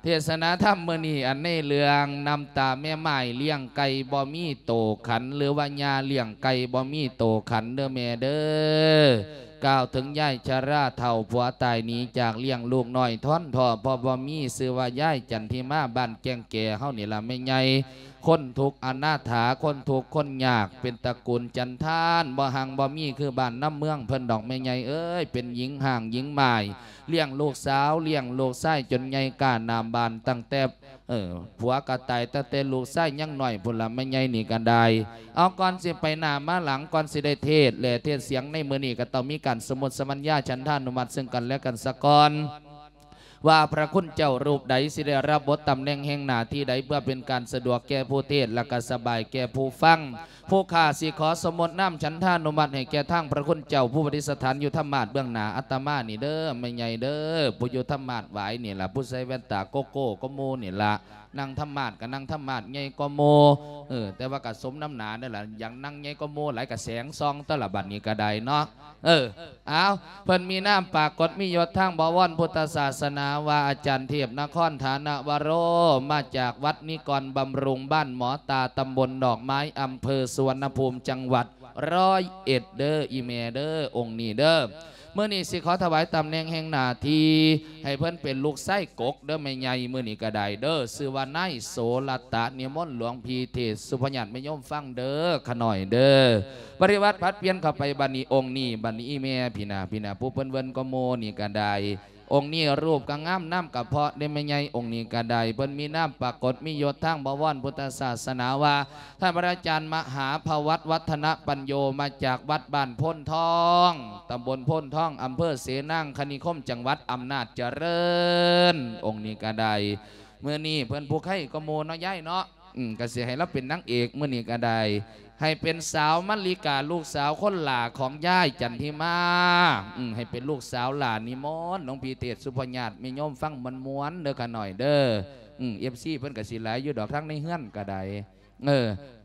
ເທດສະໜາທຳມື້ນີ້ ອັນໃນເລື່ອງນ້ຳຕາແມ່ໝ້າຍລ້ຽງໄກ່ບໍ່ມີໂຕຂັນ ຫຼືວ່າຍ່າລ້ຽງໄກ່ບໍ່ມີໂຕຂັນເດີແມ່ເດີ. ກ່າວເຖິງຍາຍຊະລາເຖົ້າຜົວຕາຍໜີຈາກລ້ຽງລູກນ້ອຍທ້ອນທໍ້ ເພາະບໍ່ມີ ຊື່ວ່າຍາຍຈັນທິມາ ບ້ານແກ້ງແກເຮົານີ້ລະແມ່ໃຫຍ່. ຄົນທຸກອະນາຖາ ຄົນທຸກຄົນຍາກ ເປັນຕະກູນຈັນທານ ບໍ່ຮັ່ງບໍ່ມີຄືບ້ານນຳເມືອງເພິ່ນດອກແມ່ໃຫຍ່ເອີຍ. ເປັນຍິງຮ້າງຍິງໝ້າຍ ລ້ຽງລູກສາວ ລ້ຽງລູກຊາຍຈົນໃຫຍ່ກ້າໜາມບ້ານ ຕັ້ງແຕ່ ເອີ ຜົວກໍຕາຍຕັ້ງແຕ່ລູກຊາຍຍັງນ້ອຍພຸ້ນລະ ແມ່ໃຫຍ່ນີ້ກໍໄດ້. ເອົາ ກ່ອນຊິໄປໜ້າມາຫຼັງ ກ່ອນຊິໄດ້ເທດ ແລະ ເທດສຽງໃນມື້ນີ້ ກໍຕ້ອງມີການສົມມຸດສະມັນຍາ ສັນທານຸມັດເຊິ່ງກັນແລະກັນສາກ່ອນ ວ່າພະຄຸນເຈົ້າຮູບໃດຊິໄດ້ຮັບບົດຕຳແໜ່ງແຫ່ງໜ້າທີ່ໃດ ເພື່ອເປັນການສະດວກແກ່ຜູ້ເທດ ແລະກະສະບາຍແກ່ຜູ້ຟັງ. ຜູ້ຂ້າຊິຂໍສົມມຸດນາມສັນທານຸມັດໃຫ້ແກ່ທາງພະຄຸນເຈົ້າ ຜູ້ປະດິດສະຖານຢູ່ທຳມາດເບື້ອງໜ້າອາດຕະມານີ້ເດີ ແມ່ໃຫຍ່ເດີ ຜູ້ຢູ່ທຳມາດຫວາຍນີ້ລະ ຜູ້ໃສ່ແວ່ນຕາໂກໂກ້ກວ່າໝູ່ນີ້ລະ. ນັ່ງທຳມາດກໍນັ່ງທຳມາດໃຫຍ່ກວ່າໝູ່ ເອີ ແຕ່ວ່າກໍສົມນຳໜ້ານັ້ນລະ ຢາກນັ່ງໃຫຍ່ກວ່າໝູ່ຫຼາຍ ກໍແສງສ່ອງຕົວລະ ບັດນີ້ກໍໄດ້ເນາະ. ເອີ ອ້າວ ເພິ່ນມີນາມປາກົດມີຍົດທາງບໍວອນພຸດທະສາສະໜາວ່າ ອາຈານເທບນະຄອນຖານະວະໂຣ ມາຈາກວັດນິກອນບຳລຸງ ບ້ານໝໍຕາ ຕຳບົນດອກໄມ້ ອຳເພີສຸວັນນະພູມ ຈັງຫວັດຮ້ອຍເອັດເດີ ອີ່ແມ່ເດີ ອົງນີ້ເດີ. ມື້ນີ້ຊິຂໍຖວາຍຕຳແໜ່ງແຫ່ງໜ້າທີ່ໃຫ້ເພິ່ນເປັນລູກຊາຍກົກເດີແມ່ໃຫຍ່ ມື້ນີ້ກໍໄດ້ເດີ ຊື່ວ່ານາຍໂສລະຕະ ນິມົນຫຼວງພີ່ເທດສຸພະຍາດແມ່ໂຍມຟັງເດີ ຂະໜ້ອຍເດີ. ປະລິວາດຜັດປ່ຽນເຂົ້າໄປ ບັດນີ້ອົງນີ້ ບັດນີ້ອີ່ແມ່ ພີ້ນາ ພີ້ນາ ຜູ້ເພິ່ນເວີນກວ່າໝູ່ນີ້ກໍໄດ້. ອົງນີ້ຮູບກໍງາມ ນາມກໍເພາະເດ້ແມ່ໃຫຍ່ ອົງນີ້ກໍໄດ້. ເພິ່ນມີນາມປາກົດມີຍົດທາງບໍວອນພຸດທະສາສະໜາວ່າ ທ່ານພະອາຈານມະຫາພະວັດ ວັດທະນະປັນໂຍ ມາຈາກວັດບ້ານໂພນທອງ ຕຳບົນໂພນທອງ ອຳເພີເສນາງຄະນິຄົມ ຈັງຫວັດອຳນາດຈະເລີນ ອົງນີ້ກໍໄດ້. ມື້ນີ້ເພິ່ນຜູ້ໄຄກວ່າໝູ່ເນາະ ຍາຍເນາະ. ອືມ ກໍຊິໃຫ້ລາວເປັນນາງເອກມື້ນີ້ກໍໄດ້ ໃຫ້ເປັນສາວມະລິກາ ລູກສາວຄົນຫຼ້າຂອງຍາຍຈັນທິມາ. ອືມ ໃຫ້ເປັນລູກສາວຫຼ້ານິມົນ ຫຼວງພີ່ເທດສຸພະຍາດ ແມ່ໂຍມຟັງມ່ວນໆເດີ ຂະໜ້ອຍເດີ. ອືມ ເອັຟຊີ ເພິ່ນກໍຊິຫຼາຍຢູ່ດອກ ທາງໃນເຮືອນກໍໄດ້. ເອີ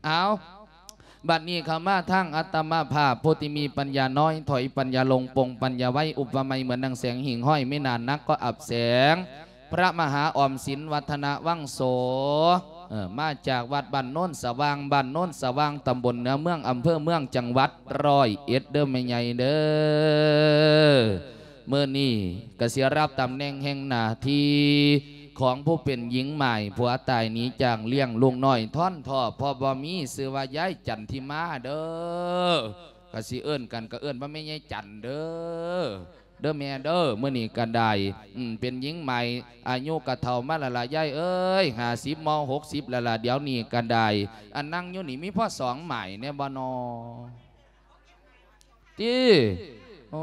ເອົາ ບັດນີ້ເຂົ້າມາທາງອາດຕະມາພາບ ຜູ້ທີ່ມີປັນຍານ້ອຍ ຖອຍປັນຍາລົງ ປົງປັນຍາໄວ ອຸປະໄມເໝືອນດັ່ງແສງຫິ່ງຫ້ອຍ ມີໜ້າໜັກກໍອັບແສງ ພະມະຫາອອມສິນ ວັດທະນະວັງໂສ ເອີ ມາຈາກວັດບ້ານໂນນສະຫວ່າງ ບ້ານໂນນສະຫວ່າງ ຕຳບົນເໜືອເມືອງ ອຳເພີເມືອງ ຈັງຫວັດຮ້ອຍເອັດເດີແມ່ໃຫຍ່ເດີ. ມື້ນີ້ກໍຊິຮັບຕຳແໜ່ງແຫ່ງໜ້າທີ່ຂອງຜູ້ເປັນຍິງໝ້າຍ ຜົວຕາຍໜີຈາກລ້ຽງລູກນ້ອຍທ້ອນທໍ້ ເພາະບໍ່ມີ ຊື່ວ່າຍາຍຈັນທິມາເດີ. ກໍຊິເອີ້ນກັນ ກໍເອີ້ນວ່າແມ່ໃຫຍ່ຈັນເດີ ເດີແມ່ເດີ ມື້ນີ້ກໍໄດ້. ອືມ ເປັນຍິງໃໝ່ ອາຍຸກໍເຖົ້າມາແລ້ວລະ ຍາຍເອີຍ ຫ້າສິບມໍ່ ຫົກສິບແລ້ວລະ ດຽວນີ້ກໍໄດ້. ອັນນັ່ງຢູ່ນີ້ມີພໍສອງໝ້າຍແດ່ບໍ່ນໍ ຕິ? ໂອ້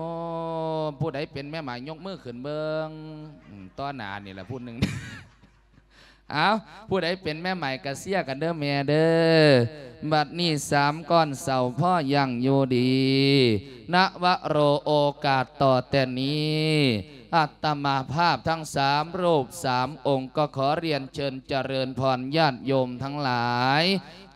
ຜູ້ໃດເປັນແມ່ໝ້າຍຍົກມືຂຶ້ນເບິ່ງ ອືມ ຕໍ່ໜ້ານີ້ລະຜູ້ໜຶ່ງ. ເອົາ ຜູ້ໃດເປັນແມ່ໝ້າຍກະເຊຍກັນເດີແມ່ເດີ. ບັດນີ້ສາມກ້ອນເສົາພໍຍັງຢູ່ດີ ນະວະໂຣ ໂອກາດຕໍ່ແຕ່ນີ້ ອາດຕະມາພາບທັງສາມຮູບສາມອົງ ກໍຂໍລຽນເຊີນຈະເລີນພອນຍາດໂຍມທັງຫຼາຍ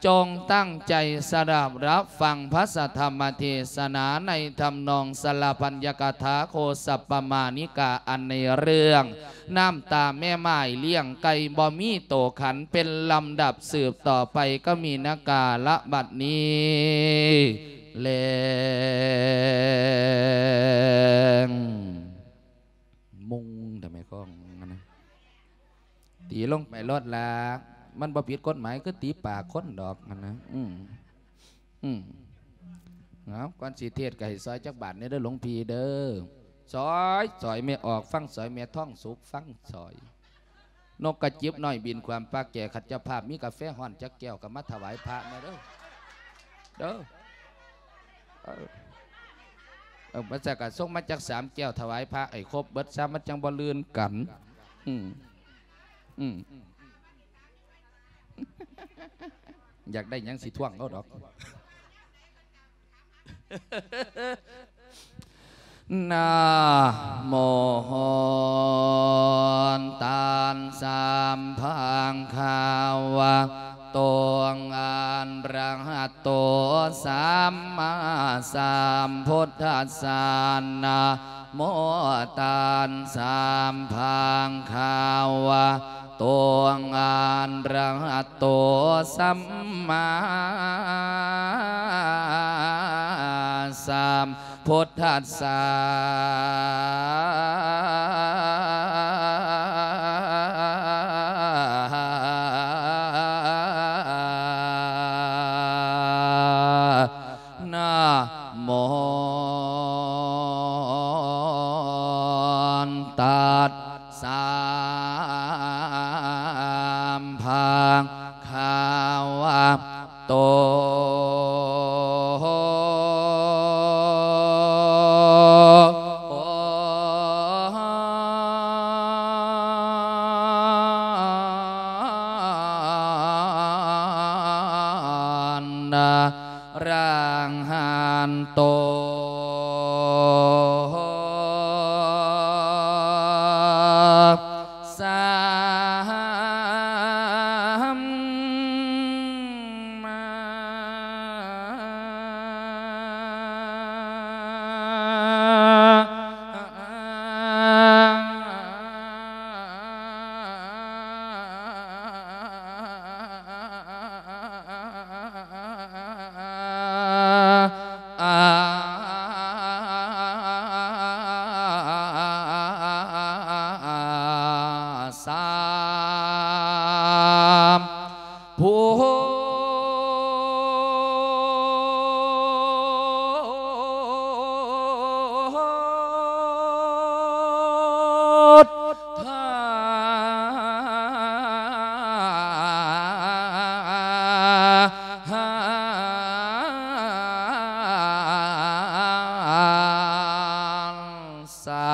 ຈົ່ງຕັ້ງໃຈສະດັບຮັບຟັງພະສະທຳມະເທດສະໜາໃນທຳນອງສະລະພັນຍະກະຖາໂຄສັບປະມານິກາ ອັນໃນເລື່ອງ ນ້ຳຕາແມ່ໝ້າຍລ້ຽງໄກ່ບໍ່ມີໂຕຂັນ ເປັນລຳດັບສືບຕໍ່ໄປ ກໍມີນະກາລະບັດນີ້ແລງ ມຸງທຳໄມຂອງຫັ້ນນະ ຕີລົງໄປໂລດລະ ມັນບໍ່ຜິດກົດໝາຍ ຄືຕີປາກຄົນດອກຫັ້ນນະ. ອືມ ອືມ ເອົາ ກ່ອນຊິເທດກໍໃຫ້ຊອຍຈັກບາດແດ່ເດີ ຫຼວງພີ່ເດີ. ຊອຍ ຊອຍແມ່ອອກ ຟັງຊອຍ ແມ່ທອງສຸກ ຟັງຊອຍ. ນົກກະຈິບນ້ອຍບິນຂວາມປາກແກ່ ຄັນເຈົ້າພາບມີກາແຟຮ້ອນຈັກແກ້ວກໍມາຖວາຍພະແດ່ເດີ ເດີ. ເອີ ເອີ ມາຈັກກະສົ່ງມາຈັກສາມແກ້ວຖວາຍພະໃຫ້ຄົບເບິດຊະ ມັນຈັ່ງບໍ່ລື່ນກັນ. ອືມ ອືມ ຢາກໄດ້ຫຍັງຊິທວງເອົາດອກ. ນະໂມຕັດສະ ພະຄະວະໂຕ ອະຣະຫະໂຕ ສຳມາສຳພຸດທັດສະ. ນະໂມຕັດສະ ພະຄະວະ ໂຕ ອະລະຫະໂຕ ສຳມາສຳພຸດທັດສະ ນະໂມ ຕັດສະ ພະຄະວະໂຕ ອະລະຫັນໂຕ ສຳມາ ສາທຸ ທະ ສາ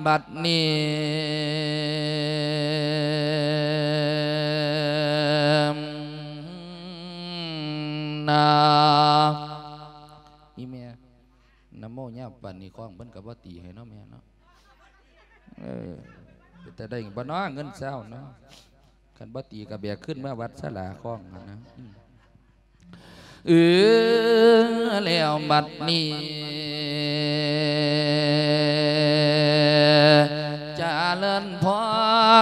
ບັດນີ້ ນະ ອີແມ່ ນະໂມຍາວປານນີ້ ຄ້ອງເພິ່ນກໍບໍ່ຕີໃຫ້ເນາະແມ່ເນາະ. ເອີ ເປັນຕາໄດ້ບໍ່ເນາະ ເງິນຊາວເນາະ? ຄັນບໍ່ຕີກໍແບກຂຶ້ນມາວັດສາລາຄ້ອງຫັ້ນນະ. ອືມ ເອີ ແລ້ວບັດນີ້ ຈະເລີນພອ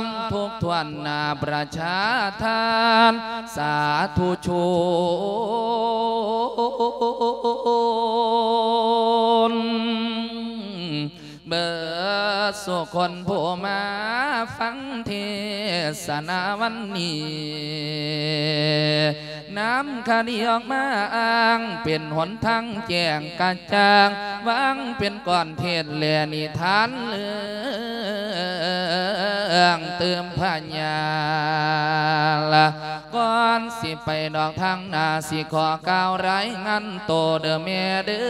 ນທຸກຖ້ວນໜ້າປະຊາທ່ານ ສາທຸຊົນ ເບິດສູ່ຄົນຜູ້ມາຟັງເທສະນາວັນນີ້ ນຳຄະດີອອກມາອ້າງເປັນຫົນທາງແຈ້ງກະຈ່າງ ວາງເປັນກ້ອນເທດແລະນິທານເລື່ອງຕື່ມພະຍານລະ ກ່ອນຊິໄປນອກທາງໜ້າ ຊິຂໍກ່າວລາຍງານໂຕເດີແມ່ເດີ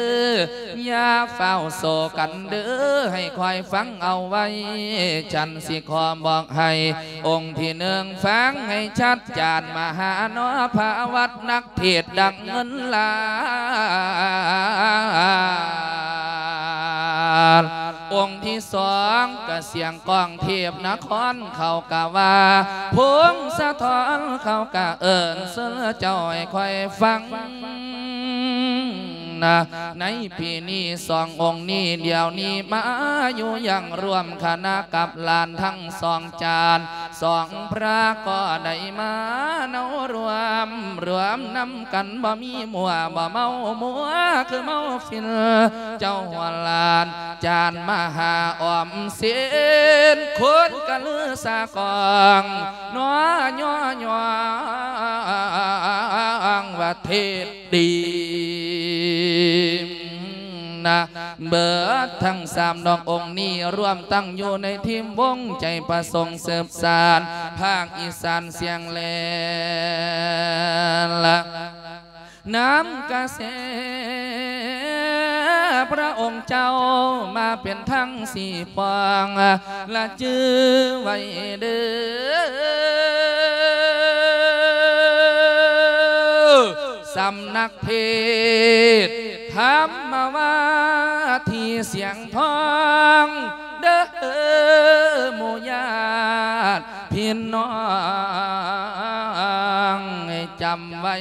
ຢ່າຟ້າວໂສກັນເດີ ໃຫ້ຄອຍຟັງເອົາໄວ້ ສັນຊິຂໍບອກໃຫ້ອົງທີໜຶ່ງຟັງໃຫ້ຊັດ ຈານມະຫານໍພະວັດ ນັກເທດດັງເງິນລ້ານ ອົງທີສອງກະສຽງ ກອງເທບນະຄອນເຂົາກະວ່າ ພົງສະທ້ອນເຂົາກະເອີ້ນເຊີນເຈົ້າໃຫ້ຂ້ອຍຟັງນະ ໃນປີນີ້ສອງອົງນີ້ ດຽວນີ້ມາຢູ່ຢ່າງຮ່ວມຄະນະກັບຫຼານທັງສອງຈານ ສອງພະກໍໄດ້ມາເນົາຮ່ວມ ລວມນຳກັນ ບໍ່ມີມົວ ບໍ່ເມົາມົວ ຄືເມົາຟິນ ເຈົ້າຫົວຫຼານ ຈານມະຫາອອມສິນ ຄົນກະລືສາກອງ ໜໍຍໍຍ້ອງວ່າເທດດີນະ ເບີດທັງສາມດອກອົງນີ້ ລວມຕັ້ງຢູ່ໃນທີມວົງໃຈປະສົງສືບສານ ພາກອີສານສຽງແລນລະ ນຳກະແສພະອົງເຈົ້າມາເປັນທັງສີ່ປ່ອງ ລະຈື່ໄວ້ເດີ ສຳນັກເທດທຳມະວາທີສຽງທອງ ເດີໝູ່ຍາດພີ່ນ້ອງ ໃຫ້ຈຳໄວ້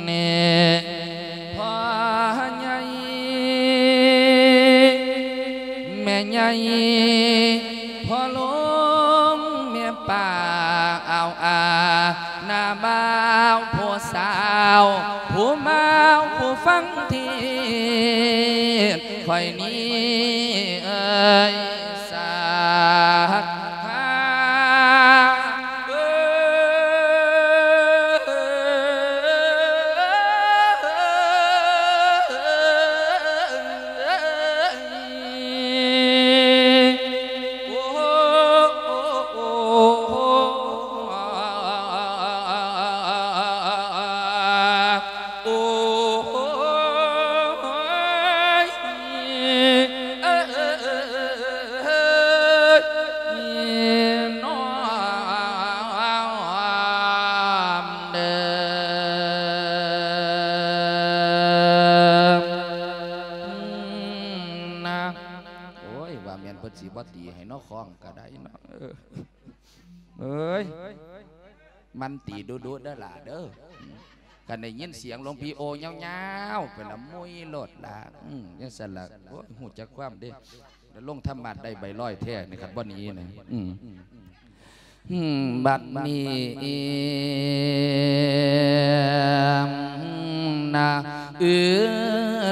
ນີ້ ພໍ່ໃຫຍ່ ແມ່ໃຫຍ່ ພໍ່ຫຼົງ ແມ່ປ້າ ອາວອາ ນ້າບ່າວ ຜູ້ສາວ ຜູ້ບ່າວ ຜູ້ຟັງເທດ ຂ້ອຍນີ້ເອີຍ ສາທາ ເອີຍ ໂອ້ ໂອ້ ໂອ້ ໂອ້ ໂອ້ ໂອ້ ຍ ເອີ ເອີ ເອີ ເອີ ເອີ ນ້ອມເດີ ອືມ ນະ ໂອ້ຍ ວ່າແມ່ນເພິ່ນຊິບໍ່ຕີໃຫ້ເນາະ ຄ້ອງກະໄດ້ເນາະ ເອີ ເອີຍ ມັນຕີດຸໆເດີຫຼ້າເດີ ຄັນໄດ້ຍິນສຽງຫຼວງພີ່ໂອຍາວໆ ເພິ່ນລະມຸ້ຍໂລດຫຼ້າ ອືມ ຈັ່ງຊັ້ນລະ ໂອ້ຍ ຮູ້ຈັກຄວາມເດ້ ແລ້ວລົງທຳມາດໄດ້ໃບລອຍແທ້ນີ້ ຄັນບໍ່ໜີນະ ອືມ ອືມ ບັດນີ້ ນະ ເອີ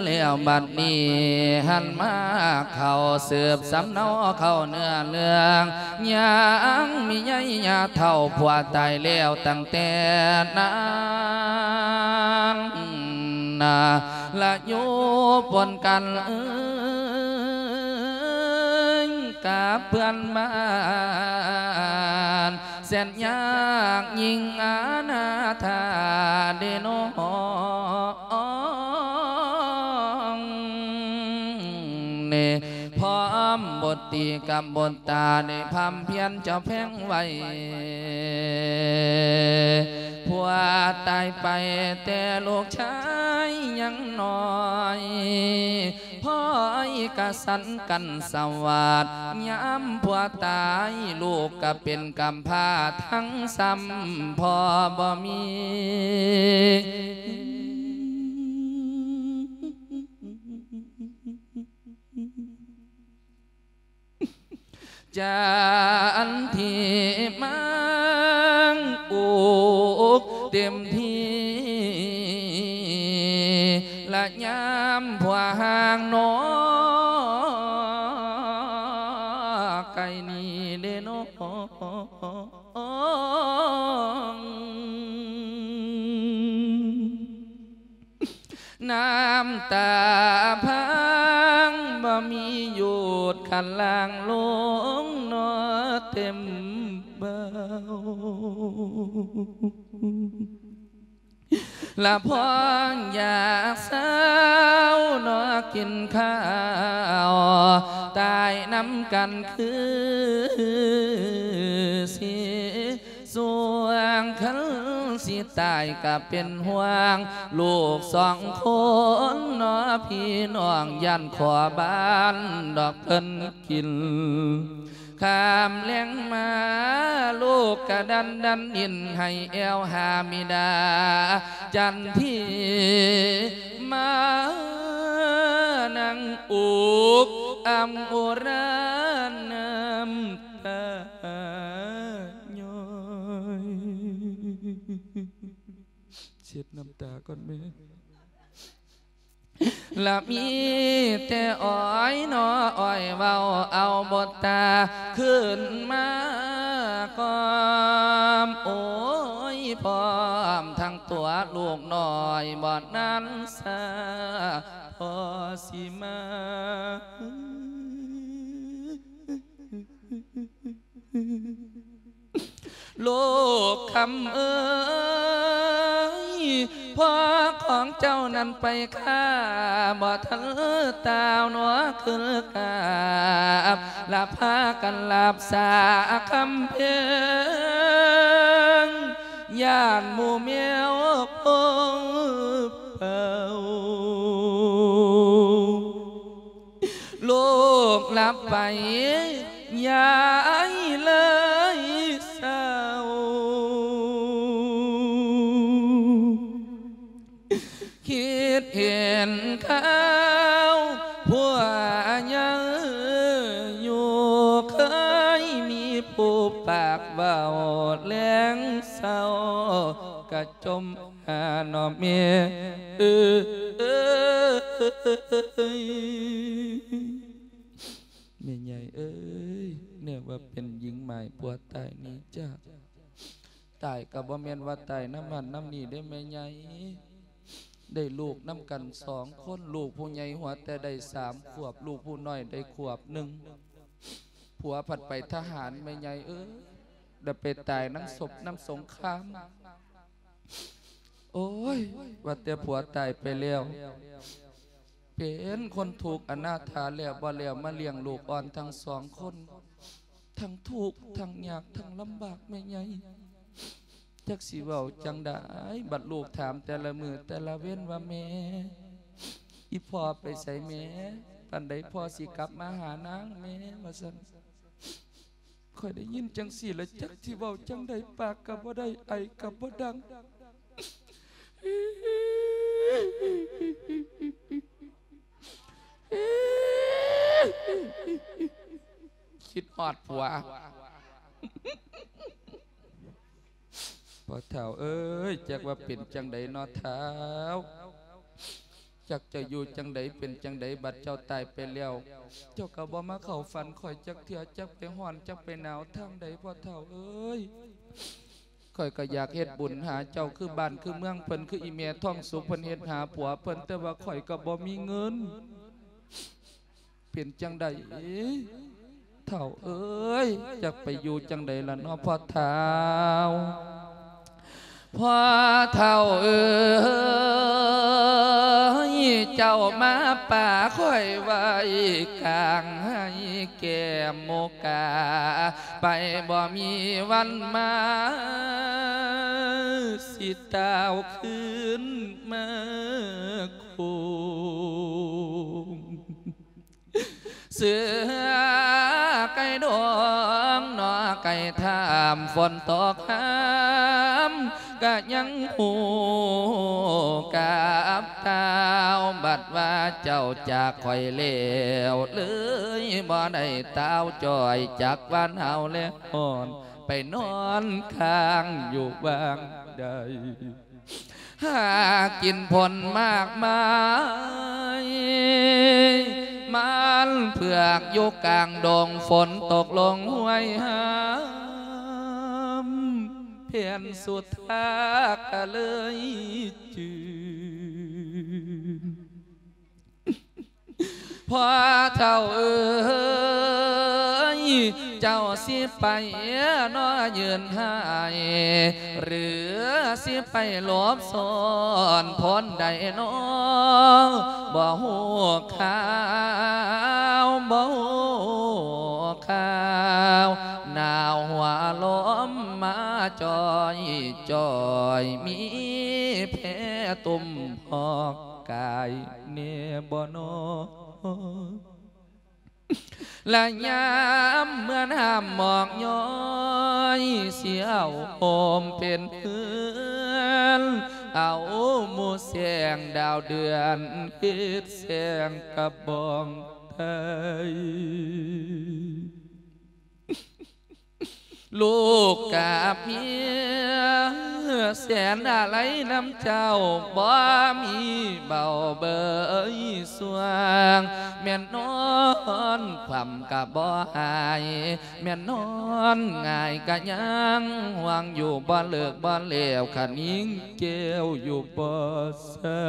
ແລ້ວບັດນີ້ຫັນມາເຂົ້າ ສືບສຳເນົາເຂົ້າເນື້ອເລື່ອງ ຍັງມີໃຍຍາເຖົ້າ ຜົວຕາຍແລ້ວຕັ້ງແຕ່ນັ້ນນະ ລະຢູ່ປົນກັນ ເອີຍ ກັບເພື່ອນບ້ານ ແສນຍາກຍິ່ງອະນາຖາເດນ້ອງ ນີ້ ພ້ອມບົດຕີກັບບົດຕາ ໄດ້ພຳພຽນເຈົ້າແພງໄວ້ ຜົວຕາຍໄປແຕ່ລູກຊາຍຍັງນ້ອຍ ພໍ່ອ້າຍກະສັນກັນສະຫວາດ ຍາມຜົວຕາຍ ລູກກະເປັນກຳພ້າທັງຊ້ຳ ພໍ່ບໍ່ມີ ຈັນທີມັງອຸກເຕັມທີ່ ລະຍາມຜົວຫ່າງນ້ອງໄກນີ້ເດນ້ອງ ນ້ຳຕາພັງບໍ່ມີຢຸດ ຄັນຫຼັ່ງລົງເນາະເຕັມເບົາ ລະພອງຢາກເຊົາເນາະກິນເຂົ້າ ຕາຍນຳກັນຄືຊິ ສ່ວນຄັນຊິຕາຍກະເປັນຫ່ວງ ລູກສອງຄົນເນາະພີ່ນ້ອງ ຢ້ານຂໍບ້ານດອກເພິ່ນກິນ ຂ້າມແລງມາ ລູກກະດັນດັນດິນໃຫ້ແອວຫາບິດາ ຈັນທີມານັ່ງອຸກອຳອຸຣານນ້ຳ ຕາຍ້ອຍ ເຊັດນ້ຳຕາກ່ອນແມ່ ລະມີແຕ່ອ້ອຍເນາະ ອ້ອຍເວົ້າເອົາບົດຕາ ຂຶ້ນມາກອມ ໂອ້ຍ ພ້ອມທັງຕົວລູກນ້ອຍ ບໍ່ນານຊ້າ ພໍ່ຊິມາ ລູກຄຳເອີຍ ພໍ່ຂອງເຈົ້ານັ້ນໄປຂ້າ ບໍ່ທັນຕາວໜໍຂຶ້ນກາບ ລະພາກັນລາບສາຄຳເພັງ ຢ້ານໝູ່ແມວພົງເປົ່າ ລູກຫຼັບໄປ ຍາຍເລີຍເສົ້າ ນຄາວຜົວຍັງຢູ່ ເຄີຍມີຜູ້ປາກເວົ້າແລງເຊົ້າ ກະຈົ່ມຫາເນາະແມ່ເອີຍ. ແມ່ໃຫຍ່ເອີຍ ແນວວ່າເປັນຍິງໝາຍຜົວຕາຍໜີຈາກ ຕາຍກໍບໍ່ແມ່ນວ່າຕາຍນຳຫັ້ນນຳນີ້ເດ້ແມ່ໃຫຍ່ ໄດ້ລູກນຳກັນສອງຄົນ ລູກຜູ້ໃຫຍ່ຫົວແຕ່ໄດ້ສາມຂວບ ລູກຜູ້ນ້ອຍໄດ້ຂວບໜຶ່ງ ຜົວພັດໄປທະຫານແມ່ໃຫຍ່ເອີຍ ໄດ້ໄປຕາຍນຳສົບນຳສົງຄາມ. ໂອ້ຍ ວ່າແຕ່ຜົວຕາຍໄປແລ້ວ ເປັນຄົນທຸກອະນາຖາແລ້ວບໍ່ແລ້ວ ມາລ້ຽງລູກອ່ອນທັງສອງຄົນ ທັງທຸກທັງຍາກທັງລຳບາກແມ່ໃຫຍ່ ຈັກຊິເວົ້າຈັ່ງໃດ. ບັດລູກຖາມແຕ່ລະມື້ແຕ່ລະເວັນວ່າ ແມ່ ອີ່ພໍ່ໄປໃສແມ່? ປານໃດພໍ່ຊິກັບມາຫານາງແມ່? ວ່າຊັ້ນ. ຂ້ອຍໄດ້ຍິນຈັ່ງຊີ້ລະ ຈັກຊິເວົ້າຈັ່ງໃດ ປາກກໍບໍ່ໄດ້ ໄອກໍບໍ່ດັງ ຄິດຮອດຜົວ. ພໍ່ເຖົ້າເອີຍ ຈັກວ່າເປັນຈັ່ງໃດເນາະທ້າວ ຈັກຈະຢູ່ຈັ່ງໃດເປັນຈັ່ງໃດ ບັດເຈົ້າຕາຍໄປແລ້ວ ເຈົ້າກໍບໍ່ມາເຂົ້າຝັນຂ້ອຍຈັກເທື່ອ ຈັກໄປຮ້ອນຈັກໄປໜາວທາງໃດ ພໍ່ເຖົ້າເອີຍ. ຂ້ອຍກໍຢາກເຮັດບຸນຫາເຈົ້າຄືບ້ານຄືເມືອງເພິ່ນ ຄືອີ່ແມ່ທອງສຸກເພິ່ນເຮັດຫາຜົວເພິ່ນ ແຕ່ວ່າຂ້ອຍກໍບໍ່ມີເງິນ. ເປັນຈັ່ງໃດເຖົ້າເອີຍ ຈັກໄປຢູ່ຈັ່ງໃດລະເນາະພໍ່ທ້າວ? ພໍ່ເຖົ້າເອີຍ ເຈົ້າມາປະຂ້ອຍໄວ້ກາງໄຮ່ແກ້ມໂມກາ ໄປບໍ່ມີວັນມາ ຊິຕາວຄືນມາໂຄງ. ເສືອໄກ່ດອງເນາະໄກ່ຖ້ຳ ຝົນຕົກຫ້າມກະຍັງຮູ້ກັບຕາວ ບັດວ່າເຈົ້າຈາກຂ້ອຍແລ້ວ ເລີຍບໍ່ໄດ້ຕາວຈ່ອຍ ຈັກວ່າໜາວແລະຮ້ອນ ໄປນອນຄ້າງຢູ່ບ້ານໃດ. ຫາກິນຜົນໝາກໄມ້ ມັນເຜືອກຢູ່ກາງດົງ ຝົນຕົກລົງຫ້ວຍຫ້າມ ແຜ່ນສຸດທາກະເລີຍຈືນ. ພໍ່ເຖົ້າເອີຍ ເຈົ້າຊິໄປນອຢືນໄຫ້ ຫຼືຊິໄປຫຼົບຊ້ອນບ່ອນໃດນໍ ບໍ່ຮູ້ຂ່າວ ບໍ່ຮູ້ຂ່າວ ໜາວຫົວລົມມາຈ່ອຍໆ ມີແພຕຸ່ມຮອກກາຍແນ່ບໍ່ນໍ? ລະຍາມເມື່ອນ້ຳໝອກຍ້ອຍ ຊິເອົາໂຮມເປັນເຮືອນ ເອົາໝູ່ແສງດາວເດືອນ ເຮັດແສງກະບອງໄທ. ລູກກັບເມຍແສນອາໄລນຳເຈົ້າ ບໍ່ມີເບົາເບີຍສ່ວງ ແມ່ນນອນຄວ່ຳກະບໍ່ຫາຍ ແມ່ນນອນຫງາຍກະຍັງຫ່ວງຢູ່ ບໍ່ເລີກບໍ່ແລ້ວ ຂະຍິງແກ້ວຢູ່ບໍ່ເຊົາ.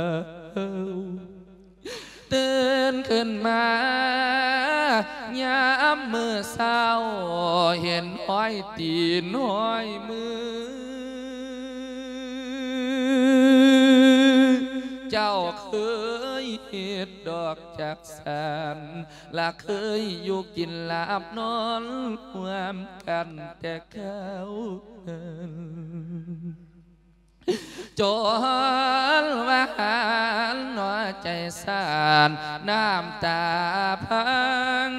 ຕື່ນຂຶ້ນມາຍາມມື້ເຊົ້າ ເຫັນຮອຍຕີນຮອຍມື ເຈົ້າເຄີຍເຮັດດອກຈັກສັນ ລະເຄີຍຢູ່ກິນຫຼັບນອນຮ່ວມກັນແຕ່ຄາວນັ້ນ. ຈົນວ່າຫັນຫົວໃຈສັ່ນ ນ້ຳຕາພັງ.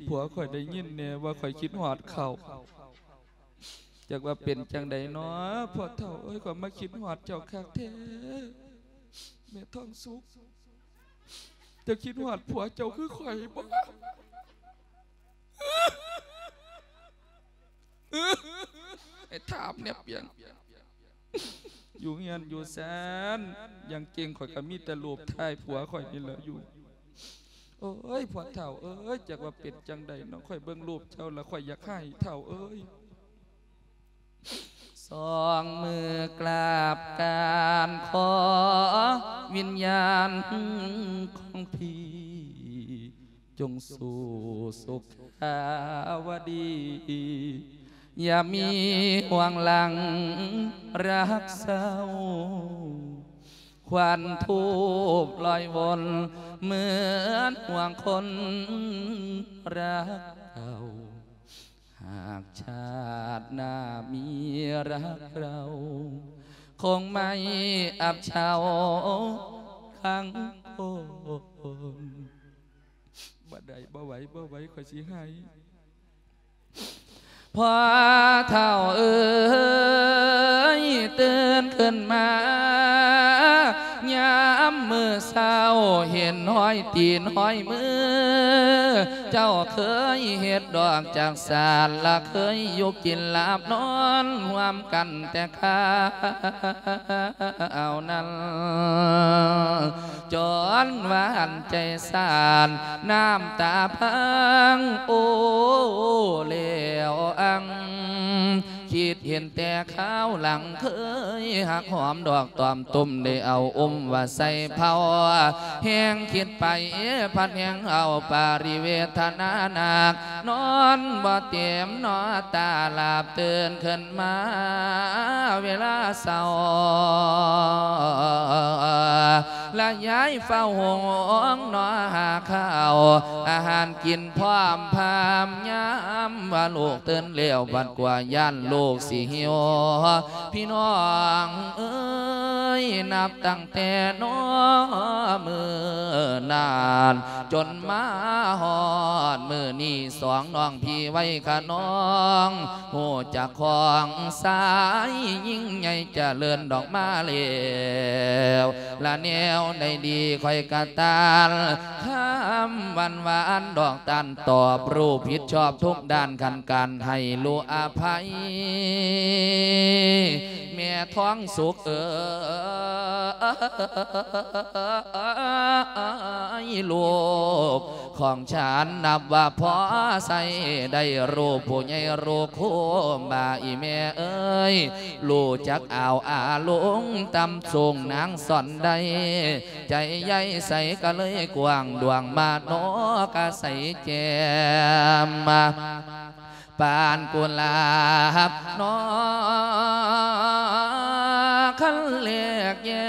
ຜົວຂ້ອຍໄດ້ຍິນແດ່ວ່າຂ້ອຍຄິດຮອດເຂົາ. ຈັກວ່າເປັນຈັ່ງໃດນໍ ພໍ່ເຖົ້າເອີຍ, ຂ້ອຍມາຄິດຮອດເຈົ້າຄັກແທ້ ແມ່ທອງສຸກ. ເຈົ້າຄິດຮອດຜົວເຈົ້າຄືຂ້ອຍບໍ່? ໃຫ້ຖາມແດ່ປຽງ. ຢູ່ເຮືອນຢູ່ຊານ ຢ່າງເກັ່ງຂ້ອຍກໍມີແຕ່ຮູບຖ່າຍຜົວຂ້ອຍນີ້ແຫຼະຢູ່. ໂອ້ຍ ພໍ່ເຖົ້າເອີຍ, ຈັກວ່າເປັນຈັ່ງໃດນໍ ຂ້ອຍເບິ່ງຮູບເຈົ້າແລ້ວຂ້ອຍຢາກໄຫ້ ເຖົ້າເອີຍ. ສອງມືກາບການຂໍວິນຍານຂອງພີ່ ຈົ່ງສູ່ສຸຂາວະດີ ຢ່າມີຫ່ວງຫຼັງຮັກເສົ້າ ຄວັນທູບລອຍວົນ ເໝືອນຫ່ວງຄົນຮັກເກົ່າ. ຫາກຊາດໜ້າມີຮັກເຮົາ ຄົງໄມ່ອັບເຊົາຄັງຄົນ. ບໍ່ໄດ້ ບໍ່ໄຫວ ບໍ່ໄຫວ ຂ້ອຍຊິໄຫ້. ພໍ່ເຖົ້າເອີຍ ຕື່ນຂຶ້ນມາ ຍາມມື້ເຊົ້າ ເຫັນຮອຍຕີນຮອຍມື ເຈົ້າເຄີຍເຮັດດອກຈັກສານ ລະເຄີຍຢູ່ກິນຫຼາບນອນຮ່ວມກັນແຕ່ຄາວນັ້ນ. ຈົນວ່າອັນໃຈສານ ນ້ຳຕາພັງ ໂອ້ ແລ້ວອັງ ຄິດເຫັນແຕ່ຄາວຫຼັງ ເຄີຍຮັກຫອມດອກຕອມຕຸ່ມ ໄດ້ເອົາອຸ້ມວ່າໃສ່ເພົາ ແຮງຄິດໄປພັດແຮງເອົາປາລິເວທະນາໜັກ ນອນບໍ່ເຕັມໜໍຕາ ຫຼາບຕື່ນຂຶ້ນມາເວລາເຊົ້າ ລະຍາຍເຝົ້າໂຮງໜໍຫາຂ້າວອາຫານກິນ ພ້ອມພາມຍາມວ່າລູກຕື່ນແລ້ວ ບັດກວ່າຢ້ານລູກຊິຫິວ. ພີ່ນ້ອງເອີຍ ນັບຕັ້ງແຕ່ນໍມື້ນັ້ນ ຈົນມາຮອດມື້ນີ້ ສອງນ້ອງພີ່ໄວຂະນອງ ຮູ້ຈັກຂອງຊາຍຍິ່ງໃຫຍ່ຈະເລີນດອກມາແລ້ວ ລະແນວໃດດີຂ້ອຍກະຕ້ານ ຄຳຫວານຫວານດອກຕ້ານຕອບ ຮູ້ຜິດຊອບທຸກດ້ານ ຄັນການໃຫ້ຮູ້ອະໄພ ແມ່ທອງສຸກເອີຍ ລູກ ຂອງຊານນັບວ່າພໍໃຊ້ໄດ້ ລູກຜູ້ໃຫຍ່ລູກຄູບາ ອີ່ແມ່ເອີຍ ຮູ້ຈັກອ່າວອາລົງຕ່ຳສູງ ນາງສອນໄດ້ ໃຈໃຫຍ່ໃສກະເລີຍກວ້າງ ດວງມະໂນກະໃສແຈ່ມ ປານກຸຫຼາບນອ ຄັນແລກແຍ້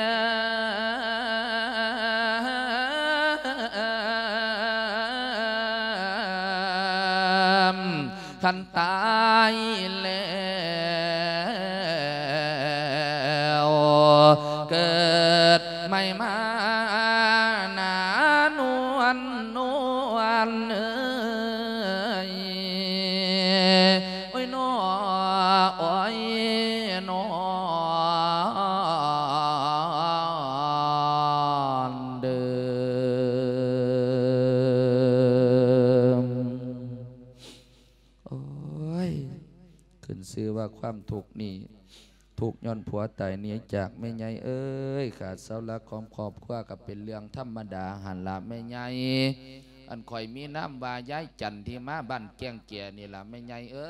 ມ ຄັນຕາຍແລ້ວ ເກີດໃໝ່ມານານວນ ນວນເອີຍ ໂອ້ຍ ນອ ໂອ້ຍ ນອນເດີ. ໂອ້ຍ ຂຶ້ນຊື່ວ່າຄວາມທຸກນີ້ ທຸກຍ້ອນຜົວຕາຍໜີຈາກແມ່ໃຫຍ່ເອີຍ. ຂາດເສົາຫຼັກຂອງຄອບຄົວກໍເປັນເລື່ອງທຳມະດາຫັ້ນລະແມ່ໃຫຍ່. ອັນຂ້ອຍມີນາມວ່າຍາຍຈັນທີ່ມາບ້ານແກ້ງແກນີ້ລະແມ່ໃຫຍ່ເອີ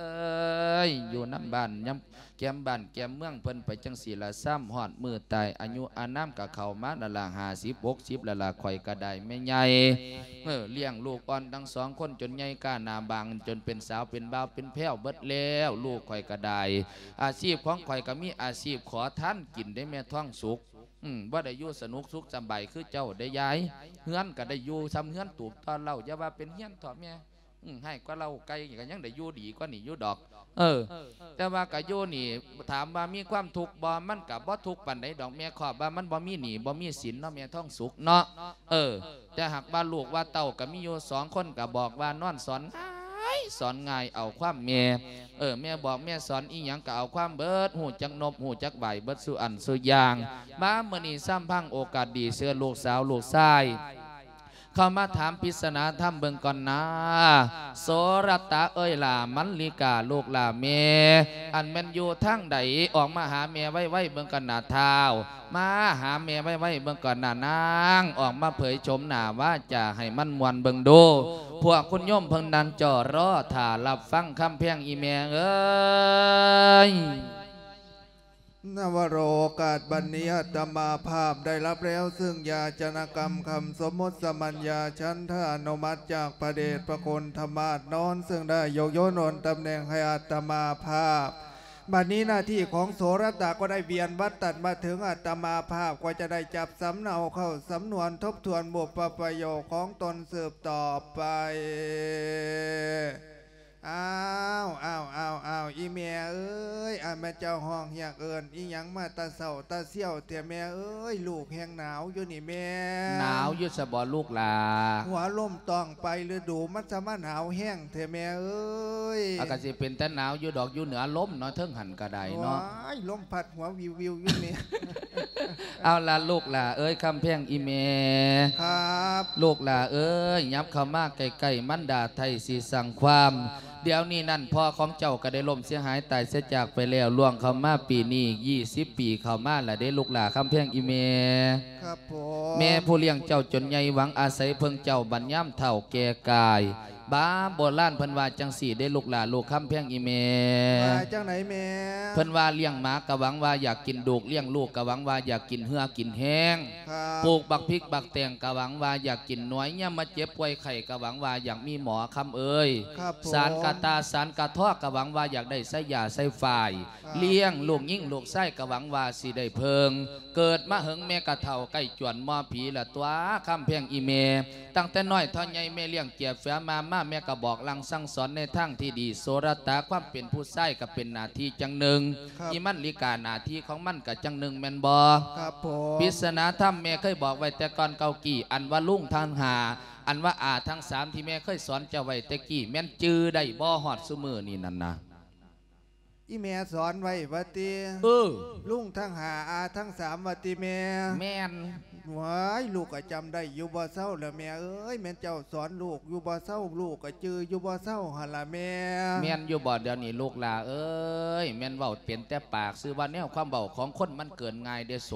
ຍ. ຢູ່ນຳບ້ານ ຍາມແກ້ມບ້ານແກ້ມເມືອງເພິ່ນໄປຈັ່ງຊີ້ລະ ຊ້ຳຮອດມື້ຕາຍ ອາຍຸອານາມກໍເຂົ້າມາລະລະ ຫ້າສິບ ຫົກສິບລະລະ ຂ້ອຍກໍໄດ້ແມ່ໃຫຍ່. ເອີ ລ້ຽງລູກອ່ອນທັງສອງຄົນຈົນໃຫຍ່ກ້າໜ້າບາງ ຈົນເປັນສາວເປັນບ່າວເປັນແພ້ວເບິດແລ້ວ. ລູກຂ້ອຍກໍໄດ້ ອາຊີບຂອງຂ້ອຍກໍມີອາຊີບຂໍທານກິນເດ້ແມ່ທອງສຸກ. ອືມ ບໍ່ໄດ້ຢູ່ສະໜຸກສຸກສະບາຍຄືເຈົ້າເດ້ຍາຍ. ເຮືອນກໍໄດ້ຢູ່ສ່ຳເຮືອນຕູບຕໍ່ເລົ້າ ຢ່າວ່າເປັນເຮືອນເຖາະແມ່. ອືມ ໃຫ້ກວ່າເລົ້າໄກ່ກໍຍັງໄດ້ຢູ່ດີກວ່ານີ້ຢູ່ດອກ. ເອີ ແຕ່ວ່າກໍຢູ່ນີ້ ຖາມວ່າມີຄວາມທຸກບໍ່? ມັນກໍບໍ່ທຸກປານໃດດອກແມ່ ຄອບວ່າມັນບໍ່ມີໜີ້ບໍ່ມີສິນເນາະແມ່ທອງສຸກເນາະ. ເອີ ແຕ່ຫາກວ່າລູກວ່າເຕົ້າກໍມີຢູ່ສອງຄົນ ກໍບອກວ່ານອນສອນ ຍ ສອນງ່າຍ ເອົາຄວາມແມ່. ເອີ ແມ່ບອກແມ່ສອນອີ່ຫຍັງກໍເອົາຄວາມເບິດ, ຮູ້ຈັກນົບ ຮູ້ຈັກໄຫວ້ເບິດສູ່ອັນສູ່ຢ່າງ. ມາມື້ນີ້ຊ້ຳພັງໂອກາດດີ ເຊີນລູກສາວລູກຊາຍ ເຂົ້າມາຖາມປິດສະໜາທຳເບິ່ງກ່ອນນາ. ໂສລະຕະເອີຍຫຼ້າ ມັນລິກາລູກຫຼ້າແມ່ ອັນແມ່ນຢູ່ທາງໃດ ອອກມາຫາແມ່ໄວໆເບິ່ງກ່ອນນາທ້າວ. ມາຫາແມ່ໄວໆເບິ່ງກ່ອນນານາງ ອອກມາເຜີຍໂສມໜ້າວາຈາໃຫ້ມັນມ່ວນເບິ່ງດູ. ພວກຄຸນໂຍມເພິ່ນນັ່ງຈໍ້ລໍຖ້າຮັບຟັງຄຳແພງອີ່ແມ່ເອີຍ. ນະວະໂລກາດບັດນີ້ ອາດຕະມາພາບໄດ້ຮັບແລ້ວເຊິ່ງຢາຈະນະກຳຄຳສົມມຸດສະມັນຍາ ສັນທານຸມັດຈາກພະເດດພະຄຸນທະມາດນອນ ເຊິ່ງໄດ້ຍົກໂຍນໂອນຕຳແໜ່ງໃຫ້ອາດຕະມາພາບ. ບັດນີ້ໜ້າທີ່ຂອງໂສລະຕາກໍໄດ້ວຽນວັດຕັດມາເຖິງ ອາດຕະມາພາບກໍຈະໄດ້ຈັບສຳເນົາເຂົ້າສຳນວນທົບທວນບຸບປະປະໂຫຍກຂອງຕົນສືບຕໍ່ໄປ. ອ້າວ ອ້າວ ອ້າວ ອ້າວ ອີ່ແມ່ເອີຍ ອາ ແມ່ເຈົ້າຮ້ອງຮຽກເອີ້ນອີ່ຫຍັງມາແຕ່ເຊົ້າແຕ່ສ່ຽວແທ້ແມ່ເອີຍ? ລູກແຮ່ງໜາວຢູ່ນີ້ແມ່. ໜາວຢູ່ຊະບໍລູກຫຼ້າ? ຫົວລົມຕ້ອງໄປລະດູ ມັນສະມາໜາວແຮງແທ້ແມ່ເອີຍ. ອາ ກະຊິເປັນແຕ່ໜາວຢູ່ດອກ ຢູ່ເໜືອລົມເນາະ ເທິງຫັ້ນກະໄດ້ເນາະ. ໂອ້ຍ ລົມພັດຫົວວິວໆຢູ່ແມ່. ເອົາລະລູກຫຼ້າເອີຍ ຄຳແພງອີ່ແມ່. ຄັບ ລູກຫຼ້າເອີຍ ຫຍັບເຂົ້າມາໃກ້ໆ ມັນດາໄທຊິສ້າງຄວາມ. ດຽວນີ້ນັ້ນ ພໍ່ຂອງເຈົ້າກໍໄດ້ລົ້ມເສຍຫາຍຕາຍເສຍຈາກໄປແລ້ວ ລ່ວງເຂົ້າມາປີນີ້ ຊາວປີເຂົ້າມາລະເດ້ລູກຫຼ້າ ຄຳແພງອີ່ແມ່. ຄັບຜົມ. ແມ່ຜູ້ລ້ຽງເຈົ້າຈົນໃຫຍ່ ຫວັງອາໄສເພິ່ງເຈົ້າບັດຍາມເຖົ້າແກ່ກາຍ. ບາບໂບລານເພິ່ນວ່າຈັ່ງຊີ້ເດ້ລູກຫຼ້າ ລູກຄຳແພງອີ່ແມ່. ວ່າຈັ່ງໃດແມ່? ເພິ່ນວ່າລ້ຽງໝາກະຫວັງວ່າຢາກກິນດູກ ລ້ຽງລູກກະຫວັງວ່າຢາກກິນເຫື່ອກິນແຮງ. ຄັບ ປູກບັກພິກບັກແຕງກະຫວັງວ່າຢາກກິນໜວຍ ຍາມມາເຈັບປ່ວຍໄຂ້ກະຫວັງວ່າຢາກມີໝໍ ຄຳເອີຍ. ຄັບຜົມ. ສານກະຕ່າສານກະທໍກະຫວັງວ່າຢາກໄດ້ໃຊ້ຢາໃຊ້ຝ້າຍ. ຄັບ ລ້ຽງລູກຍິງລູກຊາຍກະຫວັງວ່າຊິໄດ້ເພິ່ງ. ເກີດມາເຫິງແມ່ກະເຖົ້າໃກ້ຈວນໝໍຜີລະຕົວະ ຄຳແພງອີ່ແມ່. ຕັ້ງແຕ່ນ້ອຍເທົ່າໃຫຍ່ແມ່ລ້ຽງເຈຍເຟືອມາມາ ແມ່ກະບອກຫຼັ່ງສັ່ງສອນໃນທາງທີ່ດີ. ໂສລະຕາ ຄວາມເປັນຜູ້ຊາຍກະເປັນໜ້າທີ່ຢ່າງໜຶ່ງ. ຄັບ ອີ່ມັນລິກາ ໜ້າທີ່ຂອງມັນກະຢ່າງໜຶ່ງແມ່ນບໍ່? ຄັບຜົມ. ປິດສະໜາທຳແມ່ເຄີຍບອກໄວ້ແຕ່ກ່ອນເກົ່າກີ້ ອັນວ່າລຸງທັງຫ້າ ອັນວ່າອາທັງສາມ ທີ່ແມ່ເຄີຍສອນເຈົ້າໄວ້ແຕ່ກີ້ ແມ່ນຈື່ໄດ້ບໍ່ຮອດຊຸມື້ນີ້ນັ້ນນະ? ອີ່ແມ່ສອນໄວ້ວ່າຕິ? ເອີ ລຸງທັງຫ້າ ອາທັງສາມວ່າຕິແມ່? ແມ່ນ. ຫວຍ ລູກກະຈຳໄດ້ຢູ່ບໍ່ເຊົາລະແມ່ເອີຍ ແມ່ນເຈົ້າສອນລູກຢູ່ບໍ່ເຊົາ ລູກກະຈື່ຢູ່ບໍ່ເຊົາຫັ້ນລະແມ່. ແມ່ນຢູ່ບໍ່ດຽວນີ້ລູກຫຼ້າເອີຍ? ແມ່ນເວົ້າເປັນແຕ່ປາກຊື່ວ່າ ແນວຄວາມເວົ້າຂອງຄົນມັນເກີນງ່າຍເດ້ໂສ.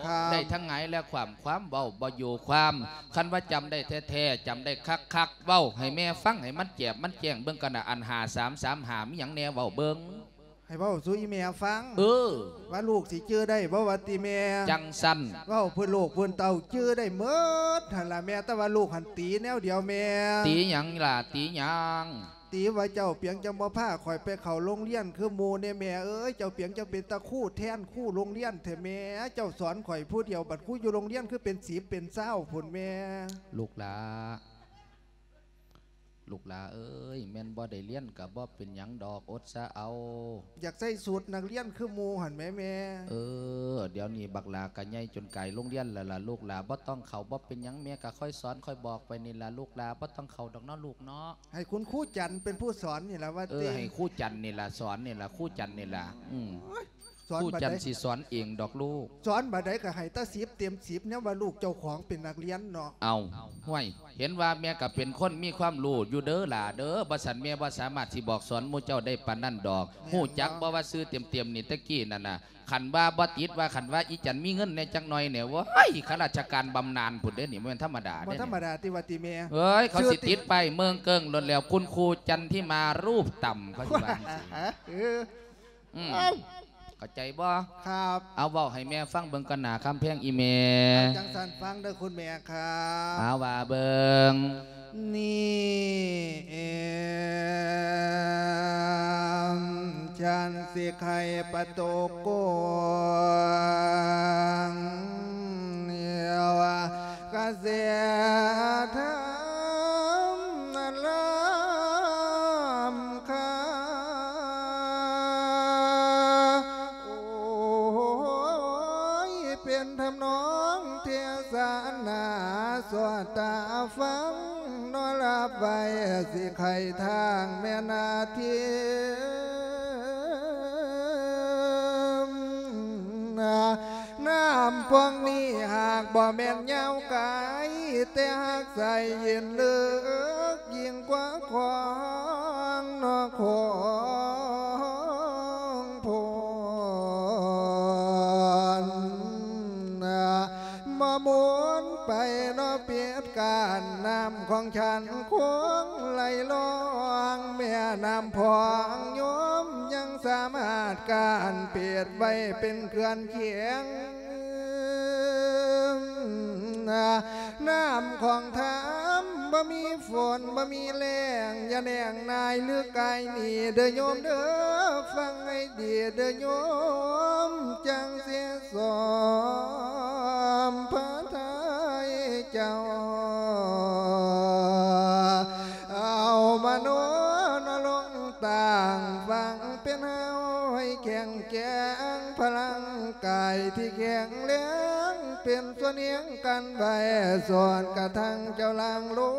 ຄັບ ໄດ້ທັງຫງາຍແລະຄວ່ຳ ຄວາມເວົ້າບໍ່ຢູ່ຄວາມ. ຄັນວ່າຈຳໄດ້ແທ້ໆ ຈຳໄດ້ຄັກໆ ເວົ້າໃຫ້ແມ່ຟັງ ໃຫ້ມັນແຈບມັນແຈ້ງເບິ່ງກັນນະ ອັນຫ້າສາມສາມຫ້າ ມີຫຍັງແດ່ ເວົ້າເບິ່ງ. ໃຫ້ເວົ້າສູ່ອີ່ແມ່ຟັງ. ເອີ ວ່າລູກຊິຈື່ໄດ້ບໍ່ວ່າຕິແມ່? ຈັ່ງຊັ້ນ. ເວົ້າເພື່ອລູກເພື່ອເຕົ້າຈື່ໄດ້ໝົດຫັ້ນລະແມ່ ແຕ່ວ່າລູກຫັ້ນຕີແນວດຽວແມ່. ຕີຫຍັງລະ? ຕີຫຍັງ? ຕີວ່າເຈົ້າປຽງຈັ່ງບໍ່ພາຂ້ອຍໄປເຂົ້າໂຮງຮຽນຄືໝູ່ແດ່ແມ່ເອີຍ ເຈົ້າປຽງຈັ່ງເປັນຕາຄູແທນຄູໂຮງຮຽນແທ້ແມ່ ເຈົ້າສອນຂ້ອຍຜູ້ດຽວ ບັດຄູຢູ່ໂຮງຮຽນຄືເປັນສິບເປັນຊາວພຸ້ນແມ່. ລູກຫຼ້າ ລູກຫຼ້າເອີຍ ແມ່ນບໍ່ໄດ້ຮຽນກະບໍ່ເປັນຫຍັງດອກ ອົດສາເອົາ. ຢາກໃສ່ຊຸດນັກຮຽນຄືໝູ່ຫັ້ນແໝແມ່. ເອີ ດຽວນີ້ບັກຫຼ້າກະໃຫຍ່ຈົນກາຍໂຮງຮຽນແລ້ວລະ ລູກຫຼ້າບໍ່ຕ້ອງເຂົ້າ ບໍ່ເປັນຫຍັງ ແມ່ກະຄອຍສອນຄອຍບອກໄປນີ້ລະ ລູກຫຼ້າບໍ່ຕ້ອງເຂົ້າດອກເນາະລູກເນາະ. ໃຫ້ຄຸນຄູຈັນເປັນຜູ້ສອນນີ້ລະວ່າຕິ? ເອີ ໃຫ້ຄູຈັນນີ້ລະ ສອນນີ້ລະ ຄູຈັນນີ້ລະ. ອືມ ໂອ້ຍ ສອນ ຄູຈັນຊິສອນເອງດອກລູກ. ສອນບາດໃດກະໃຫ້ແຕ່ສິບເຕັມສິບ ແນວວ່າລູກເຈົ້າຂອງເປັນນັກຮຽນເນາະ. ເອົ້າ ຫ້ວຍ ເຫັນວ່າແມ່ກະເປັນຄົນມີຄວາມຮູ້ຢູ່ເດີຫຼ້າເດີ ບໍ່ຊັ້ນແມ່ບໍ່ສາມາດຊິບອກສອນໝູ່ເຈົ້າໄດ້ປານນັ້ນດອກ. ແມ່ນ ຮູ້ຈັກບໍ່ວ່າຊື່ເຕັມໆນີ້ ແຕ່ກີ້ນັ້ນນະ ຄັນວ່າບໍ່ຕິດວ່າ ຄັນວ່າອີ່ຈັນມີເງິນແດ່ຈັກໜ່ອຍແດ່ ໂອ້ຍ ຂ້າລາຊະການບຳນານພຸ້ນເດ້ນີ້ ບໍ່ແມ່ນທຳມະດາເດ້ ບໍ່ທຳມະດາຕິວ່າຕິແມ່. ເອີຍ ເຂົາຊິຕິດປ້າຍເມືອງເກີງໂລດແລ້ວ ຄຸນຄູຈັນທິມາຮູບຕ່ຳ ເຂົາຊິວ່າຈັ່ງຊີ້. ເອີ ອືມ ເອົ້າ ເຂົ້າໃຈບໍ່? ຄັບ ເອົາເວົ້າໃຫ້ແມ່ຟັງເບິ່ງກ່ອນໜ້າ ຄຳແພງອີ່ແມ່. ເອົາ ຈັ່ງຊັ້ນຟັງເດີຄຸນແມ່ຄັບ. ເອົາ ວ່າເບິ່ງ. ນີ້ເອງ ສັນຊິໄຂປະຕູກວາງ ກະແສທຳລຳຄາ ໂອ້ຍ ເປັນທຳນອງເທສະນາ ສອດຕາຟັງເນາະລະ ໄວ້ ຊິໄຂທາງແມ່ນາທີມ. ນ້ຳພວງນີ້ຫາກບໍ່ແມ່ນຍາວໄກ ແຕ່ຫາກໃສເຢັນເລິກ ຍິ່ງກວ່າຂອງນອກຂອງພົນ ມາໝູນໄປເນາະ ເປັດການນ້ຳຂອງຊັ້ນຄົງໄຫຼລ່ອງ ແມ່ນ້ຳພອງໂຍມຍັງສາມາດການເປັດໄວ້ເປັນເຂື່ອນຂຽງ ນ້ຳຂອງທຳບໍ່ມີຝົນບໍ່ມີແລ້ງ ຢ່າແນງນາຍຫຼືກາຍໜີເດີໂຍມເດີ ຟັງໃຫ້ດີເດີໂຍມ ຈັ່ງຊິສອມພະໄທເຈົ້າ ເອົາມະໂນນະລົງຕັ້ງ ຟັງເປັນເຮົາໃຫ້ແຂງແກງ ພະລັງກາຍທີ່ແຂງແລງ ເປັນສ່ວນແຮງກັນໄວ້ ສອນກະທັງເຈົ້າລ່າງລົງ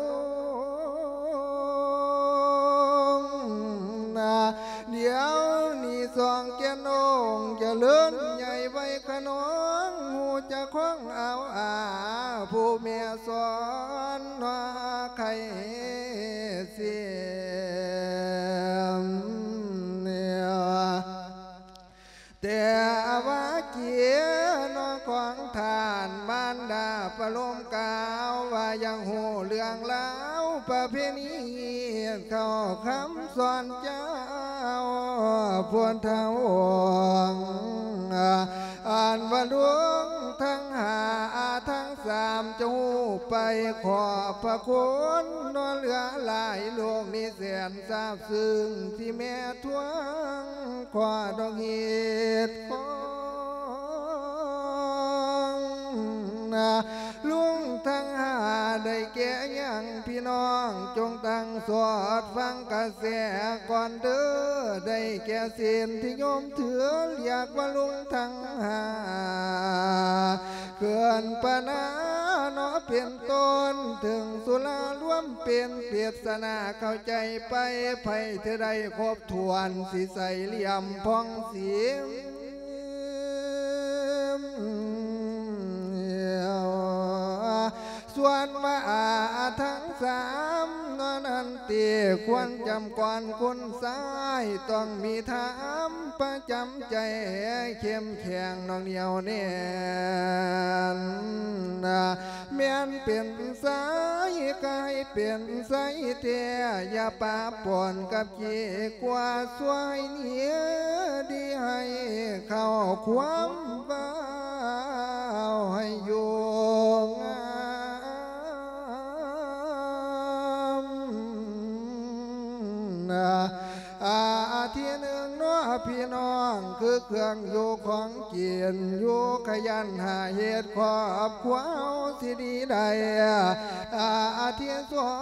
ດຽວນີ້ສອງແກ່ນອົງຈະເລີນໃຫຍ່ໄວ້ຂະໜອງ ຮູ້ຈັກຂອງເອົາອາ ຜູ້ແມ່ສອນນອກໄຂ່ເສມ ແຕ່ວ່າເກຍນອກຂອງທ່ານມານດາປະໂລມກ່າວວ່າ ຢາກຮູ້ເລື່ອງລາວປະເພນີ ເຂົ້າຄຳສອນເຈົ້າຜູ້ເຖົ້າ ອັນວ່າລຸງທັງຫ້າ ອາທັງສາມ ຈະຮູ້ໄປຂອບພະຄຸນ ນອນເຫຼືອຫຼາຍໂລກນີ້ແສນຊາບ ຊຶ່ງທີ່ແມ່ທວງຂໍດອກຮີດຄອງ ລຸງທັງຫ້າໄດ້ແກ່ຫຍັງ ພີ່ນ້ອງຈົ່ງຕັ້ງສອດຟັງກະແສກ່ອນເດີ ໄດ້ແກ່ສິນທີ່ໂຍມຖື ຮຽກວ່າລຸງທັງຫ້າ ເກີນປານາເນາະເປັນຕົ້ນ ເຖິງສຸລາລວມເປັນ ເປັດສະໜາເຂົ້າໃຈໄປ ໃຜເທື່ອໃດຄົບຖ້ວນ ຊິໃສ່ຫຼ່ຽມຜ່ອງສີ ສ່ວນວ່າອາທັງສາມນັ້ນຕິ ຄວນຈຳກ່ອນຄຸນຊາຍ ຕ້ອງມີທຳປະຈຳໃຈ ເຂັ້ມແຂງໜັກໜຽວແໜ້ນ ແມ່ນເປັນຊາຍກະໃຫ້ເປັນຊາຍແທ້ ຢ່າປະປົນກັບຂີ້ກົວ ຊ່ວຍເນຍດີໃຫ້ເຂົ້າຄວາມ ເວົ້າໃຫ້ຢູ່ງາມ ອາ ອາທິດໜຶ່ງເນາະ ພີ່ນ້ອງ ຄືເຄື່ອງຢູ່ຂອງກິນ ຢູ່ຂະຫຍັນຫາເຮັດ ຄອບຄົວເຮົາຊິດີໄດ້ ອາ ອາທິດສອ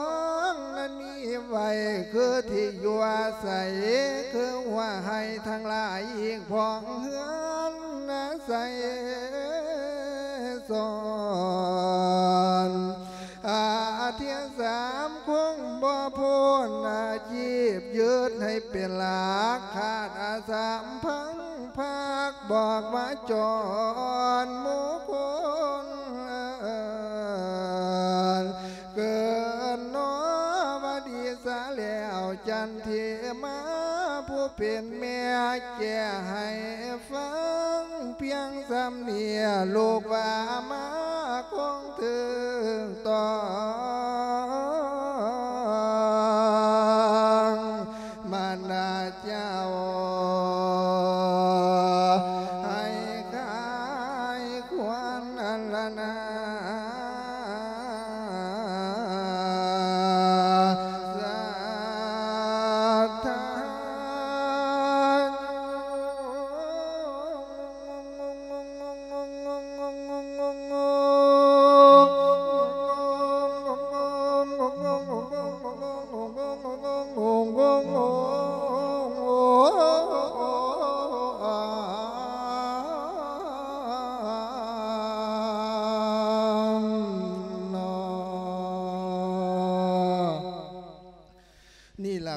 ງນັ້ນມີ ໄວ້ຄືທີ່ຢູ່ອາໄສ ຄືຫົວໄຮ່ທັງຫຼາຍ ອີກພ້ອມເຮືອນອາໄສສອນ ອາທິດສາມຄົງບໍ່ພົ້ນ ອາຊີບຍຶດໃຫ້ເປັນຫຼັກ ຂາດອາສາມພັງ ພາກບອກວ່າຈອນໝູ່ຄົນ ເກີດເນາະວ່າດີສາແລ້ວ ຈັນທິມາຜູ້ເປັນແມ່ ແກ່ໃຫ້ຟັງພຽງສ່ຳນີ້ ລູກວ່າມາຄົງຖືກຕ້ອງ ມານດາເຈົ້າ ໃຫ້ຄາຍຄວນອັນລະນາ ສັດທາ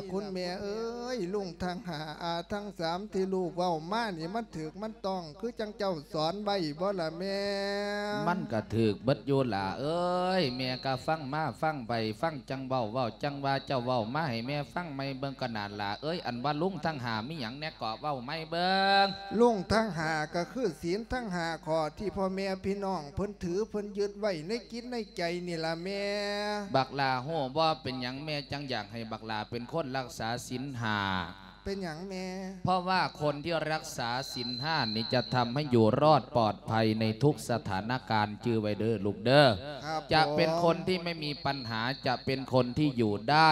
ລະ ຄຸນແມ່ເອີຍ ລຸງທັງຫ້າ ອາທັງສາມ ທີ່ລູກເວົ້າມານີ້ ມັນຖືກມັນຕ້ອງຄືຈັ່ງເຈົ້າສອນໄວ້ບໍ່ລະແມ່? ມັນກະຖືກເບິດຢູ່ຫຼ້າເອີຍ ແມ່ກະຟັງມາຟັງໄປ ຟັງຈັ່ງເວົ້າ ເວົ້າຈັ່ງວ່າ ເຈົ້າເວົ້າມາໃຫ້ແມ່ຟັງໃໝ່ເບິ່ງກະນາດຫຼ້າເອີຍ ອັນວ່າລຸງທັງຫ້າມີຫຍັງແດ່ເກາະ ເວົ້າໃໝ່ເບິ່ງ. ລຸງທັງຫ້າກະຄືສິນທັງຫ້າຂໍ້ທີ່ພໍ່ແມ່ພີ່ນ້ອງເພິ່ນຖືເພິ່ນຍຶດໄວ້ໃນຈິດໃນໃຈນີ້ລະແມ່. ບັກຫຼ້າຮູ້ບໍ່ ເປັນຫຍັງແມ່ຈັ່ງຢາກໃຫ້ບັກຫຼ້າເປັນຄົນລັກສາສິນຫ້າ? ເປັນຫຍັງແມ່? ເພາະວ່າຄົນທີ່ລັກສາສິນຫ້ານີ້ຈະທຳໃຫ້ຢູ່ລອດປອດໄພໃນທຸກສະຖານະການ ຈື່ໄວ້ເດີລູກເດີ. ຄັບ ຈະເປັນຄົນທີ່ ຜົມ ໄມ່ມີປັນຫາ ຈະເປັນຄົນທີ່ຢູ່ໄດ້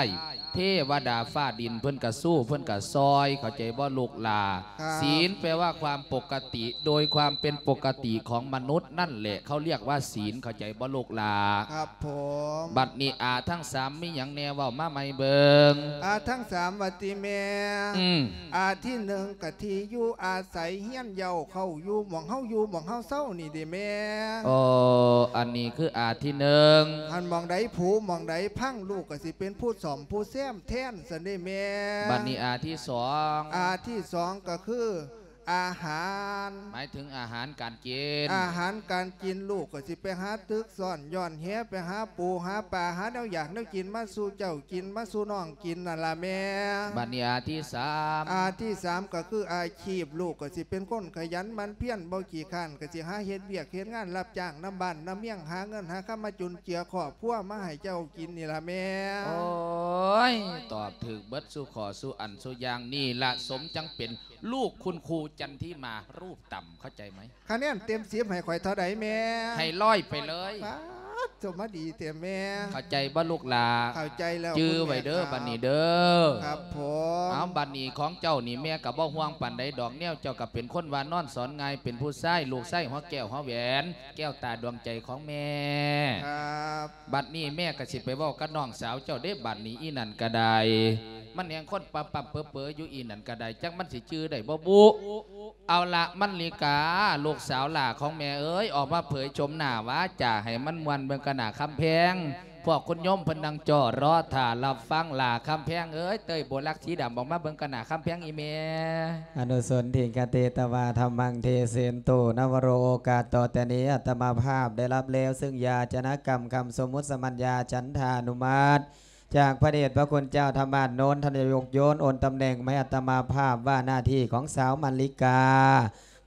ເທວະດາຟ້າດິນເພິ່ນກະສູ້ ເພິ່ນກະຊ່ອຍ ເຂົ້າໃຈບໍ່ລູກຫຼ້າ? ຄັບ ສິນແປວ່າຄວາມປົກກະຕິ ໂດຍຄວາມເປັນປົກກະຕິຂອງມະນຸດນັ້ນແຫຼະ ເຂົາລຽກວ່າສິນ ເຂົ້າໃຈບໍ່ລູກຫຼ້າ? ຄັບຜົມ. ບັດນີ້ອາທັງສາມມີຫຍັງແດ່ ເວົ້າມາໃໝ່ເບິ່ງ. ອາທັງສາມວ່າຕິແມ່? ອືມ. ອາທີໜຶ່ງກະທີ່ຢູ່ອາໄສ ຮຽນເຍົາເຂົ້າຢູ່ ໝ່ອງເຮົາຢູ່ ໝ່ອງເຮົາເຊົານີ້ເດແມ່. ໂອ້ ອັນນີ້ຄືອາທີໜຶ່ງ. ຫັ້ນໝ່ອງໃດຜູ ໝ່ອງໃດພັງ ລູກກະຊິເປັນຜູ້ສ້ອມຜູ້ແຊມແທນຊັ້ນເດແມ່. ບັດນີ້ອາທີສອງ. ອາທີສອງກະຄື ອາຫານ ໝາຍເຖິງອາຫານການກິນ. ອາຫານການກິນ ລູກກະຊິໄປຫາຕຶກຊ້ອນ ຢ່ອນແຫ ໄປຫາປູຫາປາ ຫາແນວຢາກແນວກິນມາສູ່ເຈົ້າກິນ ມາສູ່ນ້ອງກິນນັ້ນລະແມ່. ບັດນີ້ອາທີສາມ. ອາທີສາມກະຄືອາຊີບ ລູກກະຊິເປັນຄົນຂະຫຍັນໝັ່ນພຽນ ບໍ່ຂີ້ຄ້ານ ກະຊິຫາເຮັດວຽກເຮັດງານ ຮັບຈ້າງນຳບ້ານນຳເມືອງ ຫາເງິນຫາຄຳມາຈຸນເຈືອຄອບຄົວ ມາໃຫ້ເຈົ້າກິນນີ້ລະແມ່. ໂອ້ຍ ຕອບຖືກເບິດສູ່ຂໍ້ສູ່ອັນສູ່ຢ່າງ ນີ້ລະສົມຈັ່ງເປັນ ລູກຄຸນຄູຈັນທິມາຮູບຕ່ຳ ເຂົ້າໃຈໄໝ? ຄະແນນເຕັມສິບໃຫ້ຂ້ອຍເທົ່າໃດແມ່? ໃຫ້ຮ້ອຍໄປເລີຍ. ປາດ ໂຕມາດີແທ້ແມ່. ເຂົ້າໃຈບໍ່ລູກຫຼ້າ? ເຂົ້າໃຈແລ້ວ ຈື່ໄວ້ເດີ ຄຸນແມ່ຂາວ ບັດນີ້ເດີ. ຄັບຜົມ. ເອົາ ບັດນີ້ຂອງເຈົ້ານີ້ແມ່ກະບໍ່ຫ່ວງປານໃດດອກ ແນວເຈົ້າກະເປັນຄົນວ່ານອນສອນງ່າຍ ເປັນຜູ້ຊາຍ ລູກຊາຍຫົວແກ້ວຫົວແຫວນ ແກ້ວຕາດວງໃຈຂອງແມ່. ຄັບ. ບັດນີ້ແມ່ກະຊິໄປເວົ້າກັບນ້ອງສາວເຈົ້າເດ້ ບັດນີ້ອີ່ນັ້ນກະໄດ້ ມັນແຮ່ງຄົນປ້ຳໆເປີໆຢູ່ ອີ່ນັ້ນກະໄດ້ ຈັກມັນຊິຈື່ໄດ້ບໍ່ບຸ. ເອົາລະ ມັນລິກາ ລູກສາວຫຼ້າຂອງແມ່ເອີຍ ອອກມາເຜີຍໂສມໜ້າວາຈາໃຫ້ມັນມ່ວນເບິ່ງກະໜ້າຄຳແພງ ພວກຄຸນໂຍມເພິ່ນນັ່ງຈໍ້ລໍຖ້າຮັບຟັງ. ຫຼ້າຄຳແພງເອີຍ ເຕີຍໂບລັກສີດຳອອກມາເບິ່ງກະໜ້າຄຳແພງອີ່ແມ່. ອະນຸສົນທິກະຕິຕະວາທຳມັງ ເທເສນໂຕ ນະວະໂຣ ໂອກາດຕໍ່ແຕ່ນີ້ ອາດຕະມາພາບໄດ້ຮັບແລ້ວ ຊຶ່ງຢາຈະນະກຳຄຳສົມມຸດສະມັນຍາ ຈັນທານຸມັດ ຈາກພະເດດພະຄຸນເຈົ້າທຳມາດໂນນ ທ່ານນາຍົກໂຍນໂອນຕຳແໜ່ງມາໃຫ້ອາດຕະມາພາບວ່າໜ້າທີ່ຂອງສາວມັນລິກາ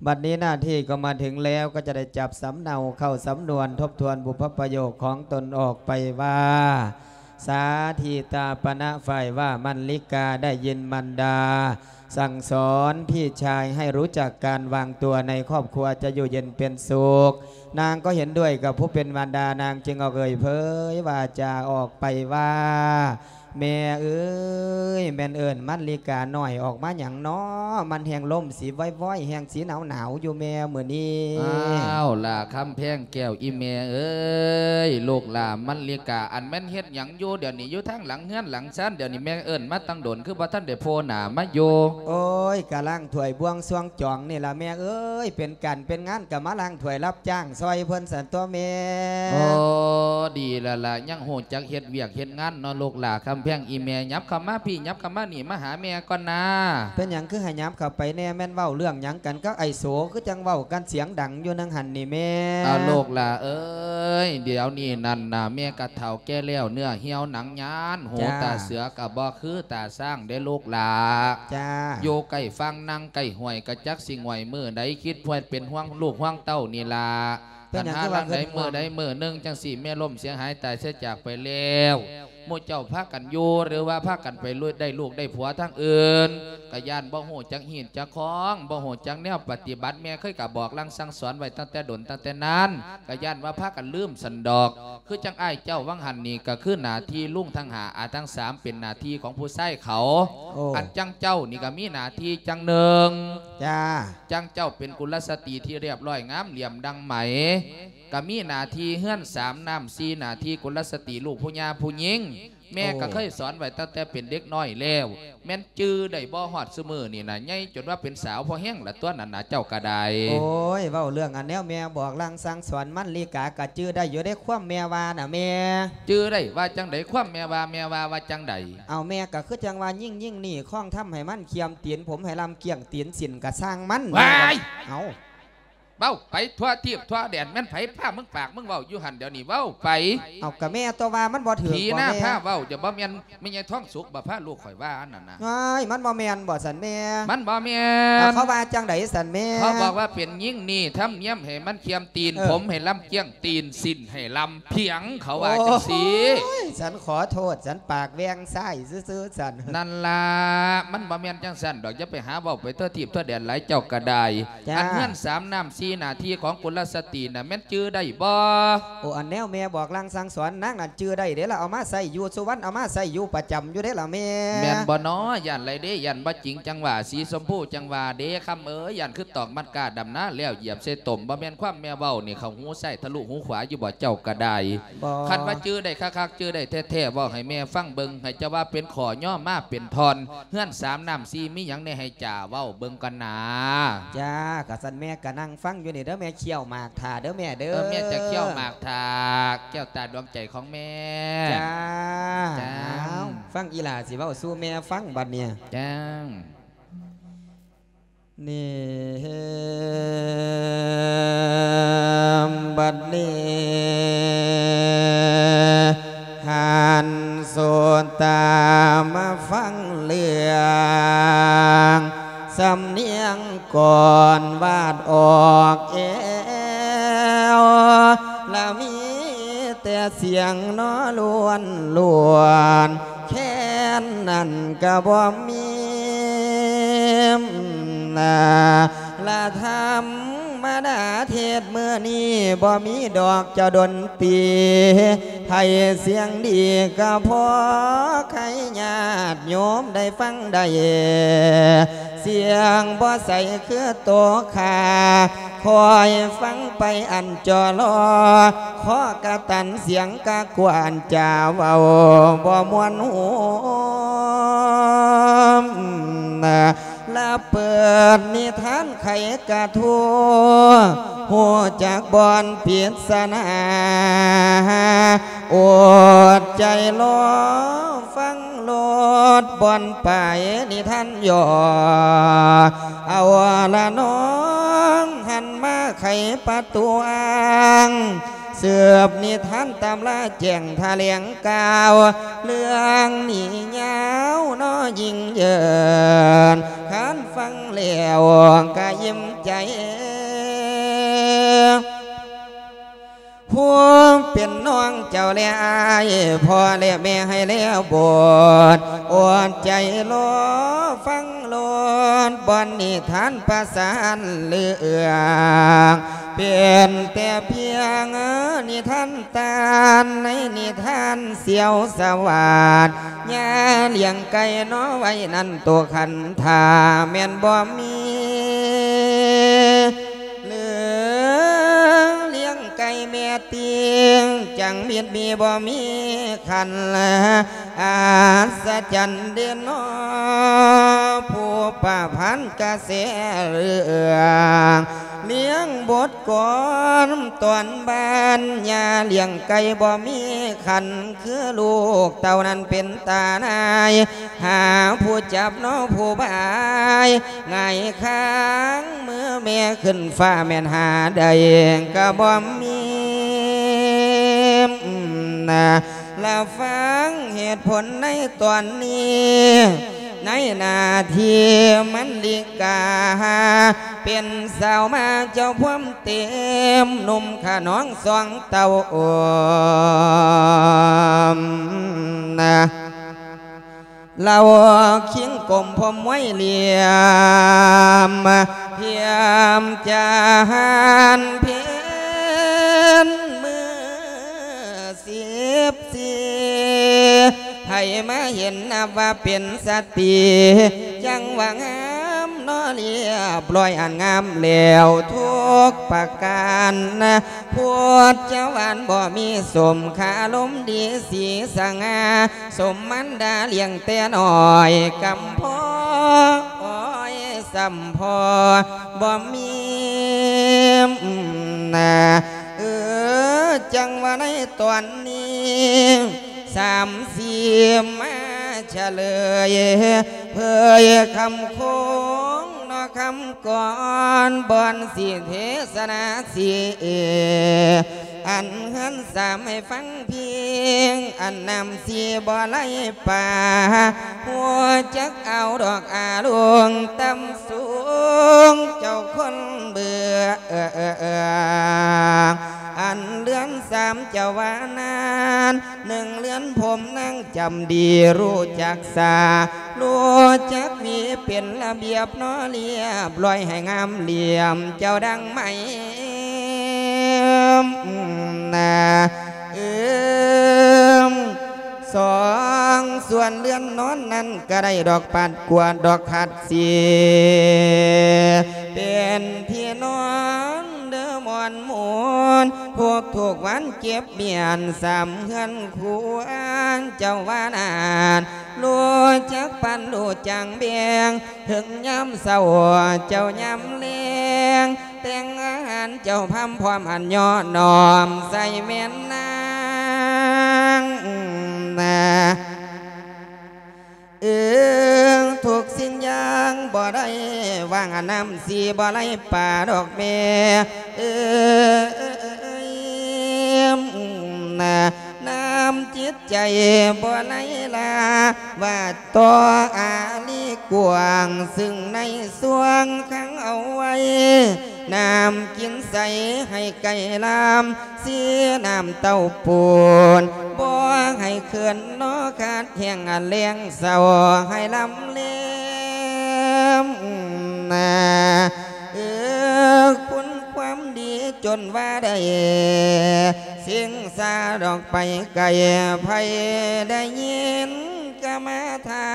ບັດນີ້ໜ້າທີ່ກໍມາເຖິງແລ້ວ ກໍຈະໄດ້ຈັບສຳເນົາເຂົ້າສຳນວນ ທົບທວນບຸບພະປະໂຫຍກຂອງຕົນອອກໄປວ່າ ສາທິຕາປະນະ ຝ່າຍວ່າມັນລິກາໄດ້ຍິນມັນດາ ສັ່ງສອນພີ່ຊາຍໃຫ້ຮູ້ຈັກການວາງຕົວໃນຄອບຄົວຈະຢູ່ເຢັນເປັນສຸກ. ນາງກໍເຫັນດ້ວຍກັບຜູ້ເປັນມານດາ, ນາງຈຶ່ງອອກເອີ່ຍເຜີຍວາຈາອອກໄປວ່າ, ແມ່ເອີຍ, ແມ່ນເອີ້ນມັນລິການ້ອຍອອກມາຫຍັງນໍ? ມັນແຮ່ງລົມຊິວອຍໆ, ແຮ່ງຊິໜາວໆຢູ່ແມ່ມື້ນີ້. ອ້າວ ຫຼ້າຄຳແພງແກ້ວ ອີ່ແມ່ເອີຍ, ລູກຫຼ້າມັນລິກາ ອັນແມ່ນເຮັດຫຍັງຢູ່ດຽວນີ້? ຢູ່ທາງຫຼັງເຮືອນຫຼັງຊານດຽວນີ້, ແມ່ເອີ້ນມາຕັ້ງດົນ ຄືບໍ່ທັນໄດ້ໂຜ່ໜ້າມາຢູ່? ໂອ້ຍ, ກະລ້າງຖ້ວຍບວງຊວງຈອງນີ້ລະແມ່ເອີຍ, ເປັນການເປັນງານກະມາລ້າງຖ້ວຍ ຮັບຈ້າງຊ່ອຍເພິ່ນຊັ້ນຕົວະແມ່. ໂອ້, ດີແລ້ວລະ, ຍັງຮູ້ຈັກເຮັດວຽກເຮັດງານເນາະ ລູກຫຼ້າຄຳແພງ. ອີ່ແມ່ ຫຍັບເຂົ້າມາພີ້, ຫຍັບເຂົ້າມານີ້, ມາຫາແມ່ກ່ອນນາ. ເປັນຫຍັງຄືໃຫ້ຫຍັບເຂົ້າໄປແດ່? ແມ່ນເວົ້າເລື່ອງຫຍັງກັນກັບໄອ້ໂສ ຄືຈັ່ງເວົ້າກັນສຽງດັງຢູ່ໜຶ່ງຫັ້ນນີ້ແມ່? ເອົາ ລູກຫຼ້າເອີຍ, ດຽວນີ້ນັ້ນນະ ແມ່ກະເຖົ້າແກ່ແລ້ວ, ເນື້ອຫ່ຽວໜັງຍານ, ຫູ ຈ້າ ຕາເສືອກະບໍ່ຄືຕາຊ້າງເດ້ ລູກຫຼ້າ. ຈ້າ. ຢູ່ໃກ້ຝັ່ງ ນັ່ງໃກ້ຫ້ວຍ ກະຈັກຊິງ່ວຍມື້ໃດ, ຄິດພວຍເປັນຫ່ວງລູກຫ່ວງເຕົ້ານີ້ລະ. ເປັນຫຍັງຄືວ່າຄິດຫ່ວງ? ຄັນຫາລາງໃດມື້ໃດມື້ໜຶ່ງຈັ່ງຊີ້ ແມ່ລົ້ມເສຍຫາຍຕາຍເສຍຈາກໄປແລ້ວ, ໝູ່ເຈົ້າພາກັນຢູ່ ຫຼືວ່າພາກັນໄປໄດ້ລູກໄດ້ຜົວທາງອື່ນ, ກະຢ້ານບໍ່ຮູ້ຈັກຮີດຈັກຄອງ, ບໍ່ຮູ້ຈັກແນວປະຕິບັດ. ແມ່ເຄີຍກະບອກລາງສັ່ງສອນໄວ້ຕັ້ງແຕ່ດົນຕັ້ງແຕ່ນານ, ກະຢ້ານວ່າພາກັນລືມຊັ້ນດອກ. ຄືຈັ່ງອ້າຍເຈົ້າຫວ່າງຫັ້ນນີ້ ກະຄືໜ້າທີ່ລຸງທັງຫ້າ ອາທັງສາມ ເປັນໜ້າທີ່ຂອງຜູ້ຊາຍເຂົາ. ໂອ້. ອັນຈັ່ງເຈົ້ານີ້ກະມີໜ້າທີ່ຈັ່ງໜຶ່ງ. ຈ້າ. ຈັ່ງເຈົ້າເປັນກຸລະສະຕີທີ່ລຽບລ້ອຍງາມຫຼຽມດັ່ງໄໝ, ກະມີໜ້າທີ່ເຮືອນສາມນ້ຳສີ່ໜ້າທີ່ ກຸລະສະຕີລູກຜູ້ຍ່າຜູ້ຍິງ. ແມ່ກໍເຄີຍສອນໄວ້ຕັ້ງແຕ່ເປັນເດັກນ້ອຍແລ້ວ ແມ່ນຈື່ໄດ້ບໍ່ ຮອດຊຸມື້ນີ້ນະ ໃຫຍ່ຈົນວ່າເປັນສາວພໍແຮງລະຕົວະນັ້ນນະ ເຈົ້າກໍໄດ້. ໂອ້ຍ ເວົ້າເລື່ອງອັນແນວແມ່ບອກລາງສັ່ງສອນມັນ ລີກາກໍຈື່ໄດ້ຢູ່ເດ້ ຄວາມແມ່ວ່ານະແມ່. ຈື່ໄດ້ວ່າຈັ່ງໃດ? ຄວາມແມ່ວ່າ ແມ່ວ່າວ່າຈັ່ງໃດ? ເອົາ ແມ່ກໍຄືຈັ່ງວ່າ ຍິ່ງ ຍິ່ງນີ້ ຄອງທຳໃຫ້ມັນ ຄຽມຕີນຜົມໃຫ້ລຳ ກ້ຽງຕີນສິ້ນກະຊ່າງມັນ. ວ້າຍ! ເອົາ ເວົ້າໄປທົ່ວທີບທົ່ວແດນ ແມ່ນໃຜພາມຶງປາກມຶງເວົ້າຢູ່ຫັ້ນ ດຽວນີ້ເວົ້າໄປ. ເອົາ ກະແມ່ຕົວະ ວ່າມັນບໍ່ຖືກ ຜີໜ້າພາເວົ້າ ຈະບໍ່ແມ່ນແມ່ໃຫຍ່ທອງສຸກບໍ່ພາລູກຂ້ອຍວ່າອັນນັ້ນນະ. ວ້າຍ ມັນບໍ່ແມ່ນບໍ່ຊັ້ນແມ່? ມັນບໍ່ແມ່ນ. ເຂົາວ່າຈັ່ງໃດຊັ້ນແມ່? ເຂົາບອກວ່າເປັນຍິງນີ້ ທຳນຽມໃຫ້ມັນຄຽມຕີນ ເອີ ຜົມໃຫ້ລຳ ກ້ຽງຕີນສິ້ນໃຫ້ລຳພຽງ ເຂົາວ່າຈັ່ງຊີ້. ໂອ້ຍ ສັນຂໍໂທດ ສັນປາກແຫວ່ງຊາຍຊື່ໆ ສັນ. ນັ້ນລະ ມັນບໍ່ແມ່ນຈັ່ງຊັ້ນດອກ ຢ່າໄປຫາເວົ້າໄປທົ່ວທີບທົ່ວແດນຫຼາຍ ເຈົ້າກໍໄດ້. ຈ້າ ອັນເຮືອນສາມນ້ຳສີ່ໜ້າທີ່ຂອງກຸລະສະຕີນະ ແມ່ນຈື່ໄດ້ບໍ່? ໂອ້ ອັນແນວແມ່ບອກລາງສັ່ງສອນ ນາງນັ້ນຈື່ໄດ້ເດ້ລະ ເອົາມາໃຊ້ຢູ່ສຸວັນ ເອົາມາໃຊ້ຢູ່ປະຈຳຢູ່ເດ້ລະແມ່. ແມ່ນບໍ່ນໍ? ຢ້ານໄລເດ້ ຢ້ານບໍ່ຈິງ ຈັ່ງວ່າສີຊົມພູ ຈັ່ງວ່າເດ້ ຄຳເອີຍ ຢ້ານຄືຕອກມັດກ້າດຳນາແລ້ວຢຽບໃສ່ຕົມ. ບໍ່ແມ່ນຄວາມແມ່ເວົ້ານີ້ ເຂົ້າຫູຊ້າຍທະລຸຫູຂວາຢູ່ບໍ່ ເຈົ້າກໍໄດ້. ບໍ່ ຄັນວ່າຈື່ໄດ້ຄັກໆ ຈື່ໄດ້ແທ້ໆ ເວົ້າໃຫ້ແມ່ຟັງເບິ່ງ ໃຫ້ເຈົ້າວ່າເປັນຂໍ້ຍໍມາເປັນທ່ອນ. ເຮືອນສາມນ້ຳສີ່ ມີຫຍັງແດ່ໃຫ້ຈ່າເວົ້າເບິ່ງກ່ອນນາ. ຈ້າ ກະຊັ້ນແມ່ກະນັ່ງຟັງຢູ່ນີ້ເດີແມ່ ຄ້ຽວໝາກຖ້າເດີແມ່ເດີ. ເອີ ແມ່ຈະຄ້ຽວໝາກຖ້າ ແກ້ວຕາດວງໃຈຂອງແມ່. ຈ້າ ຈ້າ ເອົາ ຟັງອີ່ຫຼ້າຊິເວົ້າສູ່ແມ່ຟັງບັດນີ້. ຈ້າ ນີ້ ບັດນີ້ ຫັນສຸຕາມາຟັງເລື່ອງ ສຳນຽງກ່ອນວາດອອກແອວ ລະມີແຕ່ສຽງນໍລ້ວນໆ ແຄ້ນນັ້ນກະບໍ່ມີນາ ລະທຳມະດາເທດມື້ນີ້ບໍ່ມີດອກເຈົ້າດົນຕີ ໃຜສຽງດີກະພໍໃຄຍາດໂຍມໄດ້ຟັງໄດ້ ສຽງບໍ່ໃສຄືໂຕຂ້າ ຄອຍຟັງໄປອັນຈໍລໍ ຂໍກະຕັນສຽງກະກວນ ຈາເວົ້າບໍ່ມ່ວນຫູ ລະເປີດນິທານໄຂກະທູ ຮູ້ຈັກບ່ອນປິດສະໜາ ອົດໃຈລໍຟັງໂລດ ບ່ອນປາຍນິທານຫຍໍ້ ເອົາລະນ້ອງ ຫັນມາໄຂປະຕູອ່າງ ສືບນິທານຕຳລາແຈ້ງຖະແຫຼງກ່າວ ເລື່ອງນີ້ຍາວນໍຍິ່ງເຢິນ ຄັນຟັງແລ້ວກະອີ່ມໃຈ ຜູ້ເປັນນ້ອງເຈົ້າແລອ້າຍ ພໍ່ແລແມ່ໃຫ້ແລ້ວໂບດ ອົດໃຈລໍຟັງໂລດ ບ່ອນນິທານປະສານເລື່ອງ ເປັນແຕ່ພຽງນິທານຕານ ໃນນິທານສຽວສະຫວາດ ຍ່າລ້ຽງໄກ່ນໍໄວ້ນັ້ນໂຕຄັນ ຖ້າແມ່ນບໍ່ມີ ຫຼືລ້ຽງໄກ່ແມ່ຕິງ ຈັ່ງມິດມີບໍ່ມີຄັນ ອັດສະຈັນເດເນາະ ຜູ້ປະພັນກະແສເລື່ອງ ລ້ຽງບົດກອນຕອນບ້ານ ຍ່າລ້ຽງໄກ່ບໍ່ມີຄັນ ຄືລູກເຕົ້ານັ້ນເປັນຕານາຍ ຫາຜູ້ຈັບເນາະຜູ້ບາຍ ຫງາຍຄາງມືແມ່ຂຶ້ນຟ້າ ແມ່ນຫາໄດ້ກະບໍ່ມີນາ ລະຟັງເຫດຜົນໃນຕອນນີ້ ໃນໜ້າທີ່ມັນລິກາ ເປັນສາວມາເຈົ້າພວມເຕັມ ໜຸ່ມຂະໜອງສອງເຕົ້າ ໂອມນາ ລາວຄິງກົມພົມໄວ້ຫຼຽມ ພຽມຈາຫານເພັນມື້ສິບສີ່ ໃຜມາເຫັນນັບວ່າເປັນສະຕີ ຈັ່ງວ່າງາມ ນະ ລຽບລ້ອຍອັນງາມແລ້ວທຸກປະການນະ ພົດຈະຫວານບໍ່ມີສົມ ຄາລົມດີສີສະຫງ່າ ສົມມານດາລ້ຽງແຕ່ນ້ອຍ ກຳພໍອ້ອຍສ່ຳພໍບໍ່ມີນະ ເອີ ຈັ່ງວ່າໃນຕອນນີ້ ສາມສີ່ມາສະເຫຼີຍ ເຜີຍຄຳຄົງເນາະຄຳກ່ອນ ບ່ອນຊິເທສະນາຊິເອ ອັນເຮືອນສາມໃຫ້ຟັງພຽງ ອັນນ້ຳສີ່ບໍ່ໄຫຼປ່າ ຮູ້ຈັກເອົາດອກອາລົງຕ່ຳສູງ ເຈົ້າຄົນເບື່ອ ອັນເຮືອນສາມເຈົ້າວ່ານານ ໜຶ່ງເຮືອນຜົມນາງຈຳດີ ຮູ້ຈັກສາ ຮູ້ຈັກຫວີເປັນລະບຽບເນາະ ລຽບລ້ອຍໃຫ້ງາມຫຼ່ຽມ ເຈົ້າດັ່ງໄມ້ນາ ເອີມ ສອງສ່ວນເຮືອນນອນນັ້ນ ກະໄດ້ດອກປັດກວາດດອກຂັດສີ ເປັນທີ່ນອນເດີມ່ວນໝູນ ທຸກໆວັນເຈັບມ້ຽນ ສາມເຮືອນຄວນເຈົ້າວ່ານານ ຮູ້ຈັກປັນຮູ້ຈັກແບ່ງ ເຖິງຍາມເຊົ້າເຈົ້າຍາມແລງ ແຕ່ງອາຫານເຈົ້າພາມພ້ອມອັນຍໍ້ນ້ອມໃສ່ແມ່ນນາງນາ ເອີ ທຸກສິ່ງຢ່າງບໍ່ໄດ້ວ່າງ ອັນນ້ຳສີບໍ່ໄຫຼປ່າດອກແມ່ ເອີ ນ້ຳຈິດໃຈບໍ່ໄຫຼລາ ວ່າຕໍ່ອາລີກວ້າງ ຊຶ່ງໃນຊ່ວງຂັງເອົາໄວ້ ນ້ຳກິນໃສໃຫ້ໄກ່ລາມ ສີນ້ຳເຕົ້າປູນ ບໍ່ໃຫ້ເຂີນເນາະ ຂາດແຫ້ງອັນແລ້ງເສົ້າໃຫ້ລຳເລມນາ ເອີ ຄຸນຄວາມດີຈົນວ່າໄດ້ ສິງສາດອກໄປໄກ ໃຜໄດ້ຍິນກະມາຖາ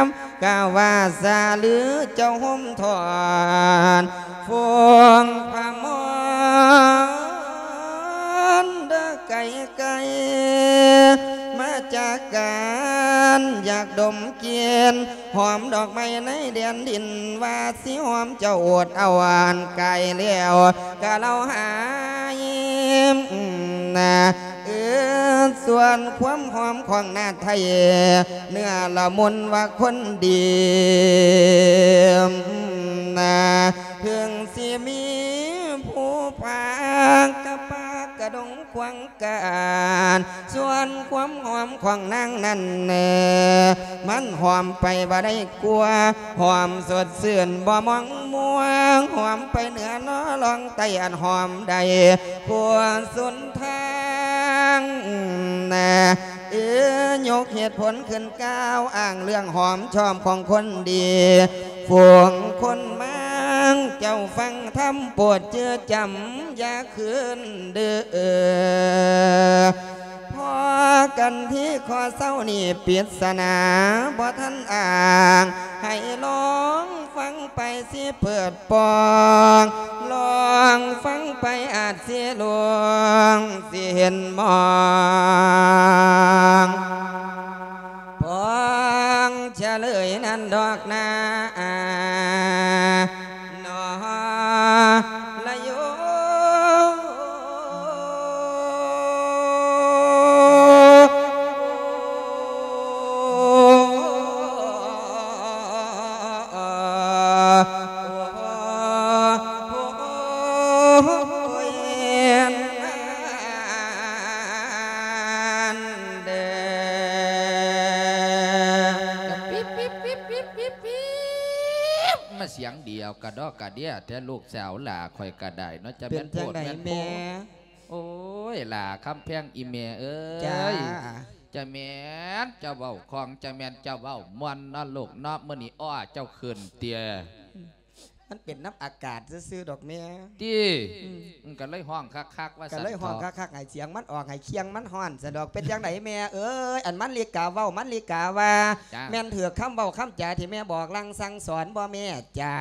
ມ ກະວ່າສາລືເຈົ້າໂຮມທອນ ຟອງພະມອນເດີໄກໆ ມາຈາກການຢາກດົມກິ່ນ ຫອມດອກໄມ້ໃນແດນດິນ ວ່າຊິຫອມເຈົ້າອົດເອົາອັນກາຍແລ້ວ ກະເລົ່າຫາຍນາ ເອີ ສ່ວນຄວາມຫອມຂອງນາໄທ ເນື້ອລະມຸນວ່າຄົນດີນາ ເຖິງຊິມີຜູ້ພາກະປ່າກະດົງຂວາງການ ສ່ວນຄວາມຫອມຂອງນາງນັ້ນ ມັນຫອມໄປບໍ່ໄດ້ ກວ່າ ຫອມສົດຊື່ນບໍ່ໝອງມົວ ຫອມໄປເໜືອເນາະລ່ອງໃຕ້ ອັນຫອມໄດ້ທົ່ວສົນທາງນະ ເອີ ຍົກເຫດຜົນຂຶ້ນກ່າວອ້າງເລື່ອງຫອມຊອມຂອງຄົນດີ ຝູງຄົນມາງ ເຈົ້າຟັງທຳໂປດຈື່ຈຳ ຢ່າຄືນເດີ ພໍກັນທີ່ຂໍ້ເຊົານີ້ ປິດສະໜາບໍ່ທັນອ້າງ ໃຫ້ລອງຟັງໄປຊິເປີດປ່ອງ ລອງຟັງໄປອາດຊິລວງ ຊິເຫັນມອງ ປອງສະເຫຼີຍນັ້ນດອກນາ ນອລະໂຍ ມາສຽງດຽວກະດອກກະເດຍແທ້ ລູກສາວຫຼ້າຂ້ອຍກະໄດ້ເນາະ ຈະແມ່ນໂພດແມ່ນໂພ ເປັນຈັ່ງໃດແມ່? ໂອ້ຍ ຫຼ້າຄຳແພງອີ່ແມ່ເອີຍ ຈ້າ ຈະແມ່ນເຈົ້າເວົ້າຄ່ອງ ຈະແມ່ນເຈົ້າເວົ້າມ່ວນເນາະລູກເນາະ ມື້ນີ້ ອ້ອ ເຈົ້າຂຶ້ນເຕີຍ. ມັນເປັນນຳອາກາດຊື່ໆດອກແມ່. ຕິ ອືມ ມັນກໍເລີຍຮ້ອງຄັກໆວ່າ ກໍເລີຍຮ້ອງຄັກໆ ໃຫ້ສຽງມັນອອກ ໃຫ້ຄຽງມັນຮ້ອນຊັ້ນດອກ. ເປັນຈັ່ງໃດແມ່ເອີຍ? ອັນມາລິກາເວົ້າ ມາລິກາວ່າ ຈ້າ ແມ່ນຖືກຄຳເວົ້າຄຳຈາທີ່ແມ່ບອກລາງສັ່ງສອນບໍ່ແມ່? ຈ້າ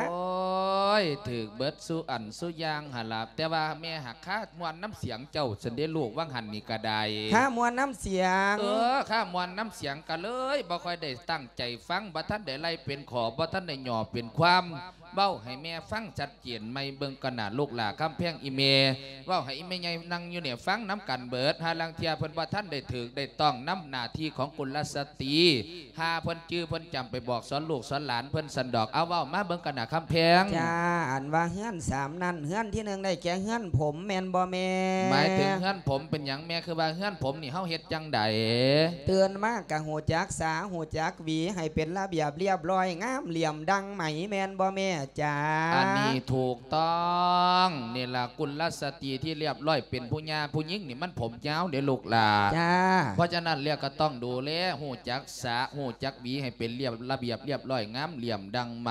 ໂອ້ຍ ຖືກເບິດສູ່ອັນສູ່ຢ່າງຫັ້ນລະ ແຕ່ວ່າແມ່ຫາກຄາມ່ວນນຳສຽງເຈົ້າຊັ້ນເດລູກ ວ່າງຫັ້ນນີ້ກໍໄດ້ ຄາມ່ວນນຳສຽງ. ເອີ ຄາມ່ວນນຳສຽງ ກໍເລີຍບໍ່ຄ່ອຍໄດ້ຕັ້ງໃຈຟັງ ບໍ່ທັນໄດ້ໄລ່ເປັນຂໍ້ ບໍ່ທັນໄດ້ຫຍໍ້ເປັນຄວາມ ເວົ້າໃຫ້ແມ່ຟັງຊັດເຈນໃໝ່ເບິ່ງກ່ອນນະລູກຫຼ້າຄຳແພງ ອີ່ແມ່ ເວົ້າໃຫ້ອີ່ແມ່ໃຫຍ່ນັ່ງຢູ່ນີ້ຟັງນຳກັນເບິດ ຫາລາງເທື່ອເພິ່ນບໍ່ທັນໄດ້ຖືກໄດ້ຕ້ອງນຳໜ້າທີ່ຂອງກຸນລະສະຕີ ຫາເພິ່ນຈື່ເພິ່ນຈຳໄປບອກສອນລູກສອນຫຼານເພິ່ນຊັ້ນດອກ. ເອົາ ເວົ້າມາເບິ່ງກັນນະຄຳແພງ. ຈ້າ ອັນວ່າເຮືອນສາມນັ້ນ ເຮືອນທີໜຶ່ງໄດ້ແກ່ເຮືອນຜົມແມ່ນບໍ່ແມ່? ໝາຍເຖິງເຮືອນຜົມເປັນຫຍັງແມ່? ຄືວ່າເຮືອນຜົມນີ້ເຮົາເຮັດຈັ່ງໃດ? ຕື່ນມາກະຮູ້ຈັກສາ ຮູ້ຈັກຫວີ ໃຫ້ເປັນລະບຽບລຽບຮ້ອຍ ງາມຫຼຽມດັ່ງໄໝແມ່ນບໍ່ແມ່? ຈ້າ ອັນນີ້ຖືກຕ້ອງ ນີ້ລະ ກຸນລະສະຕີທີ່ລຽບຮ້ອຍ ເປັນຜູ້ຍ່າຜູ້ຍິງນີ້ມັນຜົມຍາວເດ້ລູກຫຼ້າ. ຈ້າ ເພາະສະນັ້ນແລ້ວກໍຕ້ອງດູແລ ຮູ້ຈັກສະ ຮູ້ຈັກຫວີໃຫ້ເປັນລຽບ ລະບຽບລຽບຮ້ອຍ ງາມຫຼຽມດັ່ງໄໝ.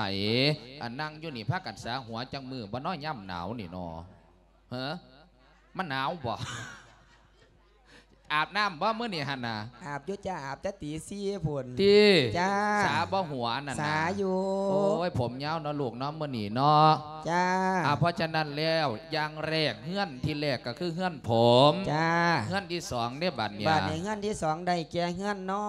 ອັນນັ່ງຢູ່ນີ້ພາກັນສະຫົວຈັກມື້ບໍ່ນໍ ຍາມໜາວນີ້ນໍ? ເຮີ ມັນໜາວບໍ່? ອາບນ້ຳບໍ່ມື້ນີ້ຫັ້ນນະ? ອາບຢູ່ຈ້າ ອາບແຕ່ຕີສີ່ພຸ້ນ. ຕິ ຈ້າ ສາບໍ່ຫົວນັ້ນນະ? ສາຢູ່. ໂອ້ຍ ຜົມຍາວເນາະລູກເນາະ ມື້ນີ້ເນາະ. ຈ້າ ອາ ເພາະສະນັ້ນແລ້ວ ຢ່າງແລກ ເຮືອນທີແລກກໍຄືເຮືອນຜົມ. ຈ້າ ເຮືອນທີສອງເດ້ບາດນີ້? ບາດນີ້ເຮືອນທີສອງໄດ້ແກ່ເຮືອນນອ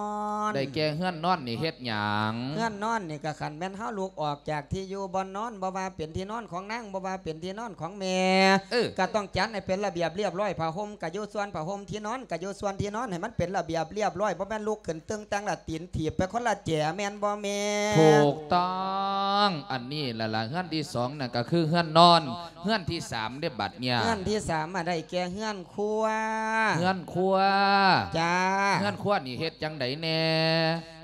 ນ. ໄດ້ແກ່ເຮືອນນອນນີ້ເຮັດຫຍັງ? ເຮືອນນອນນີ້ກໍຄັນແມ່ນເຮົາລຸກອອກຈາກທີ່ຢູ່ບ່ອນນອນ ບໍ່ວ່າເປັນທີ່ນອນຂອງນາງ ບໍ່ວ່າເປັນທີ່ນອນຂອງແມ່ ເອີ ກໍຕ້ອງຈັດໃຫ້ເປັນລະບຽບລຽບຮ້ອຍ ຜ້າຫົ່ມກໍຢູ່ສ່ວນຜ້າຫົ່ມ ທີ່ນອນກໍຢູ່ສ່ວນທີ່ນອນ ໃຫ້ມັນເປັນລະບຽບລຽບຮ້ອຍ ບໍ່ແມ່ນລຸກຂຶ້ນຕຶງຕັງລະຕີນຖີບໄປຄົນລະແຈ ແມ່ນບໍ່ແມ່? ຖືກຕ້ອງ ອັນນີ້ລະລະ ເຮືອນທີສອງນັ້ນກໍຄືເຮືອນນອນ. ເຮືອນທີສາມເດ້ບາດນີ້? ເຮືອນທີສາມມາໄດ້ແກ່ເຮືອນຄົວ. ເຮືອນຄົວ. ຈ້າ ເຮືອນຄົວນີ້ເຮັດຈັ່ງໃດແດ່?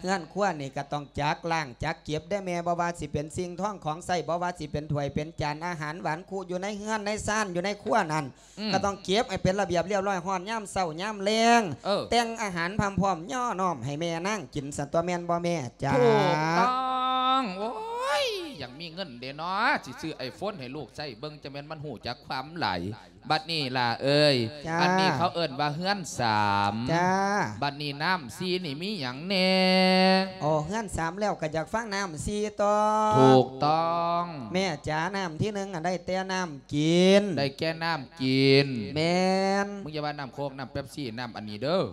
ເຮືອນຄົວນີ້ກໍຕ້ອງຈັກລ້າງຈັກເກັບເດ້ແມ່ ບໍ່ວ່າຊິເປັນສິ່ງທອງຂອງໃຊ້ ບໍ່ວ່າຊິເປັນຖ້ວຍເປັນຈານ ອາຫານຫວານຄຸ ຢູ່ໃນເຮືອນໃນຊານ ຢູ່ໃນຄົວນັ້ນ ອືມ ກໍຕ້ອງເກັບໃຫ້ເປັນລະບຽບລຽບຮ້ອຍ ຮອດຍາມເຊົ້າຍາມແລງ ເອີ ແຕ່ງອາຫານພ້ອມໆຍໍ້ນ້ອມໃຫ້ແມ່ນາງກິນຊັ້ນຕົວະ ແມ່ນບໍ່ແມ່? ຈ້າ ຖືກຕ້ອງ. ໂອ້ຍ ຢາກມີເງິນເດ້ເນາະ ຊິຊື້ໄອໂຟນໃຫ້ລູກໃຊ້ເບິ່ງ ຈັ່ງແມ່ນມັນຮູ້ຈັກຄວາມຫຼາຍ. ບັດນີ້ຫຼ້າເອີຍ ຈ້າ ອັນນີ້ເຂົາເອີ້ນວ່າເຮືອນສາມ. ຈ້າ ບັດນີ້ນ້ຳສີ່ນີ້ມີຫຍັງແດ່? ໂອ້ ເຮືອນສາມແລ້ວກໍຢາກຟັງນ້ຳສີ່ຕໍ່. ຖືກຕ້ອງ. ແມ່ຈ໋າ ນ້ຳທີໜຶ່ງ ອັນ ໄດ້ແຕ່ນ້ຳກິນ. ໄດ້ແກ່ນ້ຳກິນ. ແມ່ນ. ມຶງຢ່າວ່ານ້ຳໂຄກ ນ້ຳເປັບຊີ ນ້ຳອັນນີ້ເດີ້.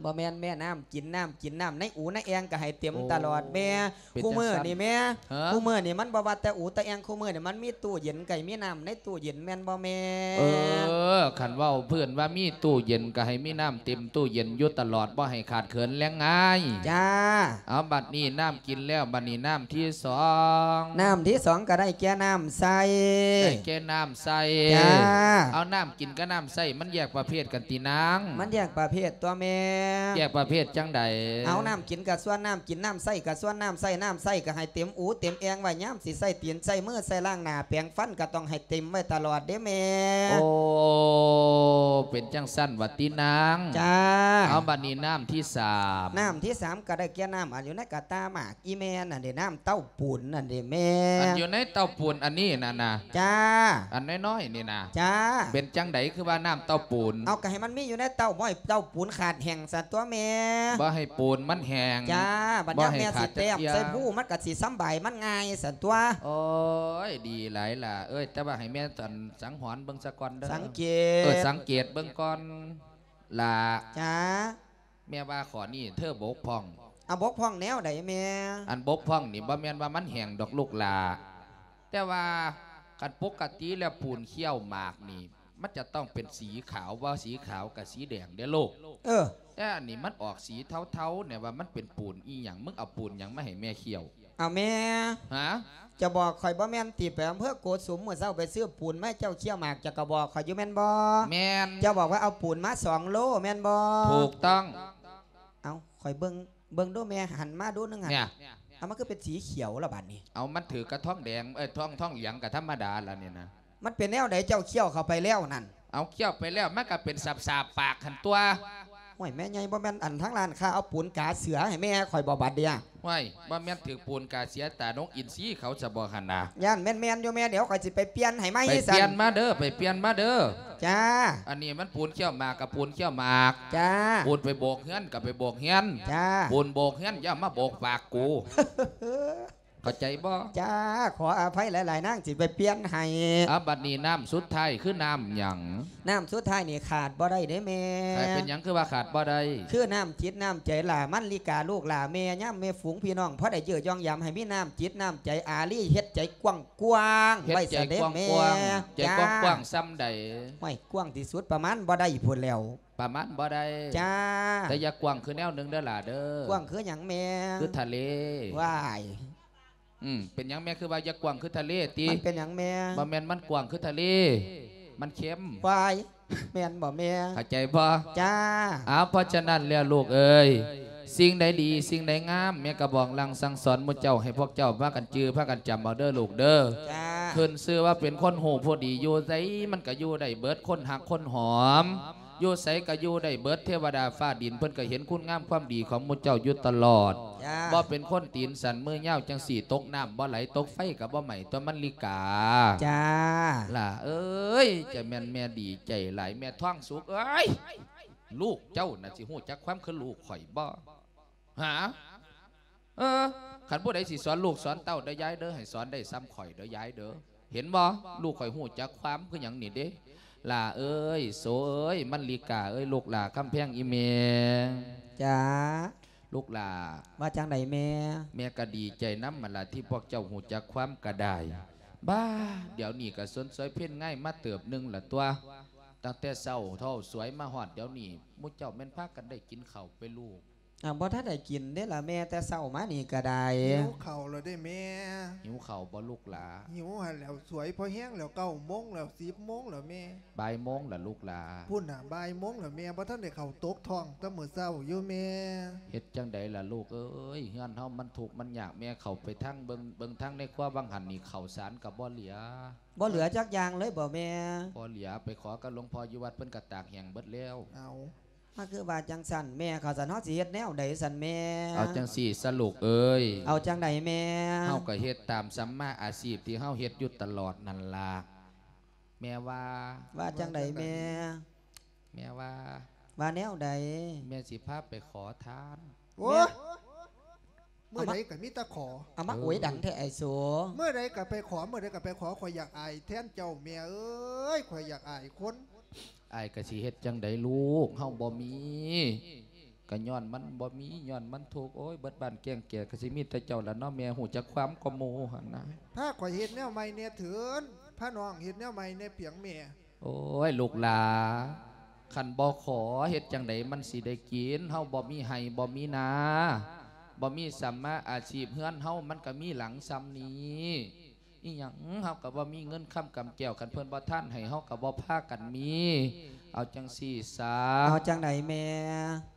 ບໍ່ແມ່ນແມ່ ນ້ຳກິນ ນ້ຳກິນ ນ້ຳໃນອູໃນແອ່ງກໍໃຫ້ເຕັມຕະຫຼອດແມ່. ໂອ້ ເປັນ ຄູ່ມື້ນີ້ແມ່ ຈັ່ງຊັ້ນ ຮະ? ຄູ່ມື້ນີ້ມັນບໍ່ວ່າແຕ່ອູແຕ່ແອ່ງ ຄູ່ມື້ນີ້ມັນມີຕູ້ເຢັນ ກໍໃຫ້ມີນ້ຳໃນຕູ້ເຢັນແມ່ນບໍ່ແມ່? ເອີ ຄັນເວົ້າເພິ່ນວ່າມີຕູ້ເຢັນກໍໃຫ້ມີນ້ຳເຕັມຕູ້ເຢັນຢູ່ຕະຫຼອດ ບໍ່ໃຫ້ຂາດເຂີນແລງງາຍ. ຈ້າ ເອົາ ບັດນີ້ນ້ຳກິນແລ້ວ ບັດນີ້ນ້ຳທີສອງ. ນ້ຳທີສອງກໍໄດ້ແກ່ນ້ຳໃຊ້. ໄດ້ແກ່ນ້ຳໃຊ້. ຈ້າ ເອົາ ນ້ຳກິນກັບນ້ຳໃຊ້ມັນແຍກປະເພດກັນຕິນາງ? ມັນແຍກປະເພດຕົວະແມ່. ແຍກປະເພດຈັ່ງໃດ? ເອົາ ນ້ຳກິນກໍສ່ວນນ້ຳກິນ ນ້ຳໃຊ້ກໍສ່ວນນ້ຳໃຊ້. ນ້ຳໃຊ້ກໍໃຫ້ເຕັມອູເຕັມແອ່ງໄວ້ ຍາມຊິໃຊ້ຕີນໃຊ້ມືໃຊ້ລ້າງໜ້າແປງຟັນກໍຕ້ອງໃຫ້ເຕັມໄວ້ຕະຫຼອດເດ້ແມ່. ໂອ້ ເປັນຈັ່ງຊັ້ນຫວາຕິນາງ? ຈ້າ ເອົາ ບັດນີ້ນ້ຳທີສາມ. ນ້ຳທີສາມກໍໄດ້ແກ່ນ້ຳອັນຢູ່ໃນກະຕ່າໝາກ ອີ່ແມ່ນັ້ນເດ້ ນ້ຳເຕົ້າປູນນັ້ນເດ້ແມ່. ອັນຢູ່ໃນເຕົ້າປູນອັນນີ້ນະນະ? ຈ້າ ອັນນ້ອຍໆນີ້ນະ? ຈ້າ ເປັນຈັ່ງໃດຄືວ່ານ້ຳເຕົ້າປູນ? ເອົາ ກໍໃຫ້ມັນມີຢູ່ໃນເຕົ້າ ບໍ່ໃຫ້ເຕົ້າປູນຂາດແຫ້ງຊັ້ນຕົວະແມ່. ບໍ່ໃຫ້ປູນມັນແຫ້ງ. ຈ້າ ບັດຍາມແມ່ຊິແຕ້ມໃສ່ພູ ມັນກໍຊິສຳບາຍມັນງ່າຍຊັ້ນຕົວະ. ໂອ້ຍ ດີຫຼາຍຫຼ້າເອີຍ ແຕ່ວ່າໃຫ້ແມ່ສັງຫອນເບິ່ງສາກ່ອນເດີ້. ສັງເກດ ເອີ ສັງເກດເບິ່ງກ່ອນຫຼ້າ. ຈ້າ ແມ່ວ່າຂໍ້ນີ້ເທີບົກຜ່ອງ. ອາ ບົກຜ່ອງແນວໃດແມ່? ອັນບົກຜ່ອງນີ້ບໍ່ແມ່ນວ່າມັນແຫ້ງດອກລູກຫຼ້າ ແຕ່ວ່າຄັນປົກກະຕິແລ້ວປູນຄ້ຽວໝາກນີ້ ມັນຈະຕ້ອງເປັນສີຂາວ ບໍ່ສີຂາວກະສີແດງເດ້ລູກ. ເອີ ແຕ່ອັນນີ້ມັນອອກສີເທົາໆ ແນວວ່າມັນເປັນປູນອີ່ຫຍັງ? ມຶງເອົາປູນຫຍັງມາໃຫ້ແມ່ຄ້ຽວ? ເອົາແມ່ ຮະ? ຈະບອກຂ້ອຍບໍ່ແມ່ນຕິ ໄປອຳເພີໂກສຸມມື້ເຊົ້າໄປຊື້ປູນມາໃຫ້ເຈົ້າຄ້ຽວໝາກ ເຈົ້າກໍບອກຂ້ອຍຢູ່ແມ່ນບໍ່? ແມ່ນ. ເຈົ້າບອກວ່າເອົາປູນມາສອງໂລແມ່ນບໍ່? ຖືກຕ້ອງ. ເອົາ ຂ້ອຍເບິ່ງ ເບິ່ງດູແມ່ ຫັນມາດູໜຶ່ງຫັ້ນ. ເອົາ ມັນຄືເປັນສີຂຽວລະບາດນີ້? ເອົາ ມັນຖືກກັບທອງແດງ ເອີຍ ທອງ ທອງເຫຼືອງກໍທຳມະດາລະນີ້ນະ. ມັນເປັນແນວໃດ ເຈົ້າຄ້ຽວເຂົ້າໄປແລ້ວນັ້ນ? ເອົາ ຄ້ຽວໄປແລ້ວ ມັນກໍເປັນສາບໆປາກຫັ້ນຕົວະ. ໂອ້ຍ ແມ່ໃຫຍ່ ບໍ່ແມ່ນອັນທາງຮ້ານຄ້າເອົາປູນກາເສືອໃຫ້ແມ່ຂ້ອຍບໍ່ບາດເດຍ? ໂອ້ຍ ບໍ່ແມ່ນຖືກປູນກາເສືອຕານົກອິນຊີເຂົາຊະບໍ່ຫັ້ນນະ? ຢ້ານແມ່ນໆຢູ່ແມ່ ດຽວຂ້ອຍຊິໄປປ່ຽນໃຫ້ໃໝ່ ໄປປ່ຽນມາເດີ ໄປປ່ຽນມາເດີ. ຈ້າ. ອັນນີ້ມັນປູນຄ້ຽວໝາກກັບປູນຄ້ຽວໝາກ. ຈ້າ. ປູນໄປໂບກເຮືອນກັບໄປໂບກເຮືອນ. ຈ້າ. ປູນໂບກເຮືອນຢ່າມາໂບກປາກກູ. ເຂົ້າໃຈບໍ່? ຈ້າ ຂໍອະໄພຫຼາຍໆ ນາງຊິໄປປ່ຽນໃຫ້. ເອົາ ບັດນີ້ນ້ຳສຸດທ້າຍຄືນ້ຳຫຍັງ? ນ້ຳສຸດທ້າຍນີ້ຂາດບໍ່ໄດ້ເດ້ແມ່. ຂາດ ເປັນຫຍັງຄືວ່າຂາດບໍ່ໄດ້? ຄືນ້ຳຈິດນ້ຳໃຈຫຼ້າມັນລິກາ ລູກຫຼ້າແມ່ ຍາມແມ່ຝູງພີ່ນ້ອງພໍໄດ້ເຢີ່ຢອງຢາມ ໃຫ້ມີນ້ຳຈິດນ້ຳໃຈອາລີ ເຮັດໃຈກວ້າງໆ ເຮັດໃຈກວ້າງໆ ໄວ້ຊະເດ້ແມ່. ໃຈກວ້າງໆ ຈ້າ ສ່ຳໃດ? ໂອ້ຍ ກວ້າງທີ່ສຸດປະມານບໍ່ໄດ້ພຸ້ນແລ້ວ. ປະມານບໍ່ໄດ້. ຈ້າ. ແຕ່ຢ່າກວ້າງຄືແນວໜຶ່ງເດີຫຼ້າເດີ. ກວ້າງຄືຫຍັງແມ່? ຄືທະເລ. ວ້າຍ. ອືມ ເປັນຫຍັງແມ່ຄືວ່າຢ່າກວ້າງຄືທະເລຕິ? ມັນເປັນຫຍັງແມ່? ບໍ່ແມ່ນມັນກວ້າງຄືທະເລ ມັນເຄັມ. ວ້າຍ ແມ່ນບໍ່ແມ່? ເຂົ້າໃຈບໍ່? ຈ້າ. ເອົາ ເພາະສະນັ້ນແລ້ວລູກເອີຍ ສິ່ງໃດດີ ສິ່ງໃດງາມ ແມ່ກໍບອກລາງສັ່ງສອນໝູ່ເຈົ້າ ໃຫ້ພວກເຈົ້າພາກັນຈື່ ພາກັນຈຳເອົາເດີລູກເດີ. ຈ້າ. ຂຶ້ນຊື່ວ່າເປັນຄົນຮູ້ຜູ້ດີ ຢູ່ໃສມັນກໍຢູ່ໄດ້ເບິດ ຄົນຮັກຄົນຫອມ ຢູ່ໃສກໍຢູ່ໄດ້ເບິດ ເທວະດາຟ້າດິນເພິ່ນກໍເຫັນຄຸນງາມຄວາມດີຂອງໝູ່ເຈົ້າຢູ່ຕະຫຼອດ. ຈ້າ. ບໍ່ເປັນຄົນຕີນສັ້ນມືຍາວຈັ່ງຊີ້ ຕົກນ້ຳບໍ່ໄຫຼ ຕົກໄຟກໍບໍ່ໄໝ້ຕົວະມັນລິກາ. ຈ້າ. ຫຼ້າເອີຍ ຈະແມ່ນແມ່ດີໃຈຫຼາຍ ແມ່ທອງສຸກເອີຍ ລູກເຈົ້ານະຊິຮູ້ຈັກຄວາມຄືລູກຂ້ອຍບໍ່? ຫາ? ເອີ ຄັນຜູ້ໃດຊິສອນລູກສອນເຕົ້າເດີຍາຍເດີ ໃຫ້ສອນໄດ້ສ່ຳຂ້ອຍເດີຍາຍເດີ. ເຫັນບໍ່? ລູກຂ້ອຍຮູ້ຈັກຄວາມຄືຫຍັງນີ້ເດ້. ຫຼ້າເອີຍ ໂສເອີຍ ມັນລິກາເອີຍ ລູກຫຼ້າຄຳແພງອີ່ແມ່. ຈ້າ. ລູກຫຼ້າ. ວ່າຈັ່ງໃດແມ່? ແມ່ກໍດີໃຈນຳຫັ້ນລະ ທີ່ພວກເຈົ້າຮູ້ຈັກຄວາມກໍໄດ້. ບ້າ ດຽວນີ້ກໍຊົນສວຍເພັນງາຍມາເຕີບໜຶ່ງລະຕົວະ. ຕັ້ງແຕ່ເຊົ້າເທົ່າສວຍມາຮອດດຽວນີ້ ໝູ່ເຈົ້າແມ່ນພາກັນໄດ້ກິນເຂົ້າໄປລູກ? ອ້າວ ບໍ່ທັນໄດ້ກິນເດ້ລະແມ່ ແຕ່ເຊົ້າມານີ້ກໍໄດ້. ຫິວເຂົ້າແລ້ວເດ້ແມ່. ຫິວເຂົ້າບໍ່ລູກຫຼ້າ? ຫິວຫັ້ນແຫຼ້ວ ສວຍພໍແຮງແລ້ວ ເກົ້າໂມງແລ້ວ ສິບໂມງແລ້ວແມ່. ບ່າຍໂມງລະລູກຫຼ້າ? ພຸ້ນນະ ບ່າຍໂມງແລ້ວແມ່ ບໍ່ທັນໄດ້ເຂົ້າຕົກທ້ອງແຕ່ມື້ເຊົ້າຢູ່ແມ່. ເຮັດຈັ່ງໃດລະລູກເອີຍ ເຮືອນເຮົາມັນທຸກມັນຍາກ ແມ່ເຂົ້າໄປທາງເບິ່ງ ເບິ່ງທາງໃນຄົວ ວ່າງຫັ້ນນີ້ເຂົ້າສານກໍບໍ່ເຫຼືອ. ບໍ່ເຫຼືອຈັກຢ່າງເລີຍບໍ່ແມ່? ບໍ່ເຫຼືອ ໄປຂໍກັບຫຼວງພໍ່ຢູ່ວັດ ເພິ່ນກໍຕາກແຫ້ງເບິດແລ້ວ. ເອົາ ມາຄືວ່າຈັ່ງຊັ້ນແມ່ ເຂົາຊັ້ນເຮົາຊິເຮັດແນວໃດຊັ້ນແມ່? ເອົາຈັ່ງຊີ້ຊະລູກເອີຍ. ເອົາຈັ່ງໃດແມ່? ເຮົາກໍເຮັດຕາມສຳມາອາຊີບທີ່ເຮົາເຮັດຢູ່ຕະຫຼອດນັ້ນລະ. ແມ່ວ່າ. ວ່າຈັ່ງໃດແມ່? ແມ່ວ່າ. ວ່າແນວໃດ? ແມ່ຊິພາໄປຂໍທານ. ໂອ້ຍ ແມ່ ມື້ໃດກໍມີແຕ່ຂໍ. ເອົາມາ ເອີ ໂອຍ ດັງແທ້ໄອ້ໂສ. ມື້ໃດກໍໄປຂໍ ມື້ໃດກໍໄປຂໍ ຂ້ອຍຢາກອາຍແທນເຈົ້າແມ່ເອີຍ ຂ້ອຍຢາກອາຍຄົນ. ອາຍກໍຊິເຮັດຈັ່ງໃດລູກ ເຮົາບໍ່ມີ ກໍຍ້ອນມັນບໍ່ມີ ຍ້ອນມັນທຸກ. ໂອ້ຍ ເບິດບ້ານແກ້ງແກ່ ກໍຊິມີແຕ່ເຈົ້າລະເນາະແມ່ ຮູ້ຈັກຄວາມກວ່າໝູ່ຫັ້ນນະ. ພາຂ້ອຍເຮັດແນວໃໝ່ແດ່ເຖີ້ນ ພານ້ອງເຮັດແນວໃໝ່ແດ່ພຽງແມ່. ໂອ້ຍ ລູກຫຼ້າ ຄັນບໍ່ຂໍເຮັດຈັ່ງໃດມັນຊິໄດ້ກິນ? ເຮົາບໍ່ມີໄຮ່ບໍ່ມີນາ ບໍ່ມີສຳມາອາຊີບ ເຮືອນເຮົາມັນກໍມີຫຼັງສ່ຳນີ້. ອີ່ຫຍັງ ເຮົາກໍບໍ່ມີເງິນຄຳກຳແກ້ວ ຄັນເພິ່ນບໍ່ທານໃຫ້ ເຮົາກໍບໍ່ພາກັນມີ. ເອົາຈັ່ງຊີ້ຊະ. ເອົາຈັ່ງໃດແມ່?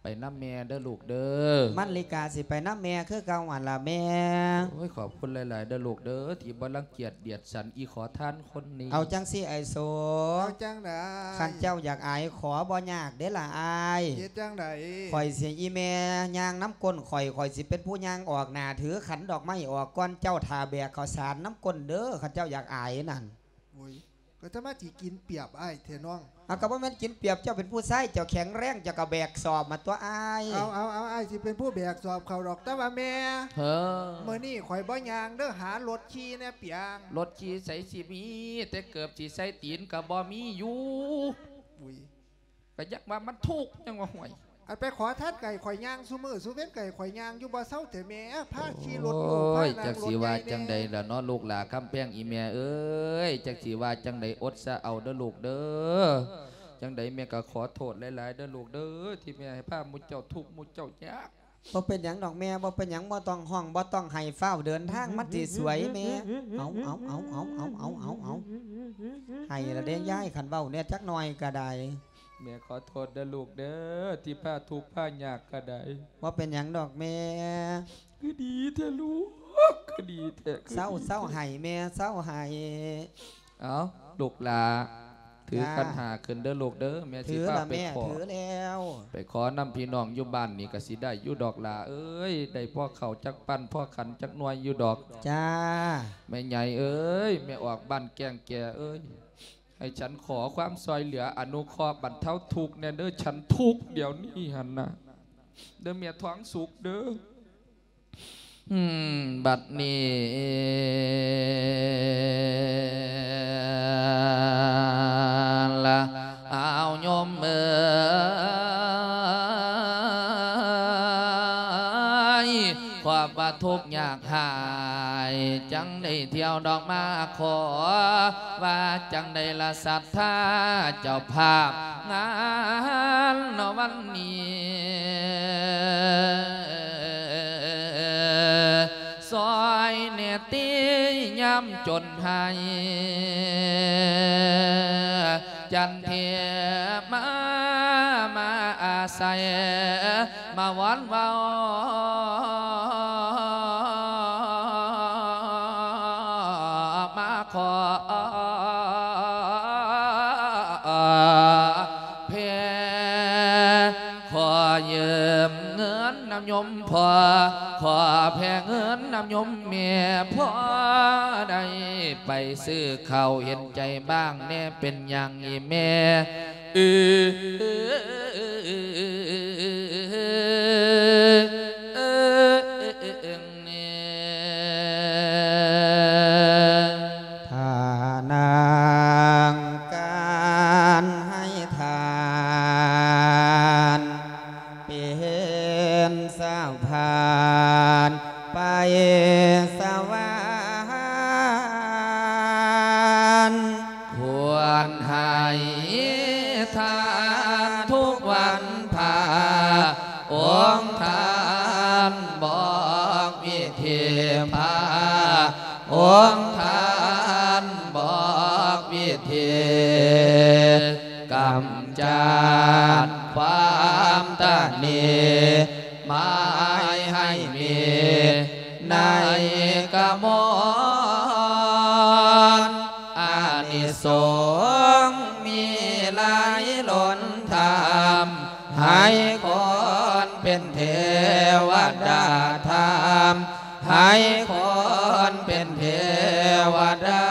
ໄປນຳແມ່ເດີລູກເດີ. ມັນລິກາຊິໄປນຳແມ່ຄືເກົ່າຫັ້ນລະແມ່. ໂອ້ຍ ຂອບຄຸນຫຼາຍໆເດີລູກເດີ ທີ່ບໍ່ລັງກຽດດຽດສັນອີ່ຂໍທານຄົນນີ້. ເອົາຈັ່ງຊີ້ໄອ້ໂສ. ເອົາຈັ່ງໃດ? ຄັນເຈົ້າຢາກອາຍ ຂໍບໍ່ຍາກເດ້ລະອ້າຍ. ເຮັດຈັ່ງໃດ? ຂ້ອຍຊິ ອີ່ແມ່ຍ່າງນຳກົ້ນຂ້ອຍ ຂ້ອຍຊິເປັນຜູ້ຍ່າງອອກໜ້າ ຖືຂັນດອກໄມ້ອອກກ່ອນເຈົ້າ ຖ້າແບກເຂົ້າສານນຳກົ້ນເດີ ຄັນເຈົ້າຢາກອາຍນັ້ນ. ໂອ້ຍ ກໍຈະມາຊິກິນປຽບອ້າຍແທ້ນ້ອງ. ເອົາ ກໍບໍ່ແມ່ນກິນປຽບ ເຈົ້າເປັນຜູ້ຊາຍ ເຈົ້າແຂງແຮງ ເຈົ້າກໍແບກສອບມາຕົວະອ້າຍ. ເອົາ ເອົາ ເອົາ ອ້າຍຊິເປັນຜູ້ແບກສອບເຂົ້າດອກ ແຕ່ວ່າແມ່ ເອີ ມື້ນີ້ຂ້ອຍບໍ່ຍ່າງເດີ ຫາລົດຂີ່ແດ່ປຽງ. ລົດຂີ່ໃສຊິມີ ແຕ່ເກີບຊິໃສ່ຕີນກໍບໍ່ມີຢູ່. ອຸ້ຍ ກໍຍັງວ່າມັນທຸກ ຍັງວ່າ ຫ້ວຍ ອັນໄປຂໍທານໄກ ຂ້ອຍຍ່າງຊຸມື້ຊຸເວັນ ໄກ ຂ້ອຍຍ່າງຢູ່ບໍ່ເຊົາແທ້ແມ່ ພາຂີ່ລົດລູກ ໂອ້ຍ ພານັ່ງລົດໃຫຍ່ແດ່. ຈັກຊິວ່າຈັ່ງໃດລະເນາະ ລູກຫຼ້າຄຳແພງອີ່ແມ່ເອີຍ ຈັກຊິວ່າຈັ່ງໃດ ອົດຊະເອົາເດີລູກເດີ. ຈັ່ງໃດແມ່ກໍຂໍໂທດຫຼາຍໆເດີລູກເດີ ທີ່ແມ່ໃຫ້ພາໝູ່ເຈົ້າທຸກໝູ່ເຈົ້າຍາກ. ບໍ່ເປັນຫຍັງດອກແມ່ ບໍ່ເປັນຫຍັງ ບໍ່ຕ້ອງຮ້ອງ ບໍ່ຕ້ອງໄຫ້ ຟ້າວເດີນທາງ ມັນຊິສວຍແມ່. ເອົາ ເອົາ ເອົາ ເອົາ ເອົາ ເອົາ ເອົາ ເອົາ ໄຫ້ລະເດ້ຍາຍ ຄັນເວົ້າແດ່ຈັກໜ່ອຍກໍໄດ້. ແມ່ຂໍໂທດເດີລູກເດີ ທີ່ພາທຸກພາຍາກກໍໄດ້. ບໍ່ເປັນຫຍັງດອກແມ່. ຄືດີແທ້ລູກ ຄືດີແທ້ ຄືດີແທ້. ເຊົາ ເຊົາໄຫ້ແມ່ ເຊົາໄຫ້. ເອົາ ລູກຫຼ້າ ຖື ຈ້າ ຂັນຫ້າຂຶ້ນເດີລູກເດີ ແມ່ຊິພາໄປຂໍ ຖືແລ້ວ ໄປຂໍນຳພີ່ນ້ອງຢູ່ບ້ານນີ້ກະຊິໄດ້ຢູ່ດອກຫຼ້າເອີຍ ໄດ້ພໍເຂົ້າຈັກປັ້ນພໍຂັນຈັກໜ່ວຍຢູ່ດອກ ຈ້າ ແມ່ໃຫຍ່ເອີຍ ແມ່ອອກບ້ານແກ້ງແກ່ເອີຍ ໃຫ້ສັນຂໍຄວາມຊ່ອຍເຫຼືອອະນຸເຄາະບັນເທົາທຸກແດ່ເດີ ສັນທຸກດຽວນີ້ຫັ້ນນະ ເດີແມ່ທອງສຸກເດີ. ອືມ ບັດນີ້ລະ ອ້າວໂຍມເອີຍ ຄວາມວ່າທຸກຍາກຮ້າຍ ຈັ່ງໄດ້ທ່ຽວດອກມາຂໍ ວ່າຈັ່ງໃດລະສັດທາເຈົ້າພາບງານໃນວັນນີ້ ຊ່ອຍແດ່ຕິຍາມຈົນໄຫ້ ຈັນເທມາ ມາອາໄສ ມາວອນເວົ້າ ມາຂໍແຜ່ ຂໍຢືມເງິນນຳໂຍມພໍ່ ຂໍແຜ່ເງິນນຳໂຍມແມ່ ພໍໄດ້ໄປຊື້ເຂົ້າ ເຫັນໃຈບ້າງແດ່ ເປັນຫຍັງອີ່ແມ່ ອື ຖ້ານາງການໃຫ້ທານ ເປັນສະພານໄປສະຫວັນ ຄວນໃຫ້ທານທຸກວັນພະ ອົງທ່ານບອກວິທີພາ ອົງທ່ານບອກວິທີ ກຳຈັດຄວາມຕະໜີ ໝາຍໃຫ້ມີໃນກະມອນ ອານິສົງມີຫຼາຍລົ້ນທຳ ໃຫ້ຄົນເປັນເທວະດາທຳ ໃຫ້ຄົນເປັນເທວະດາ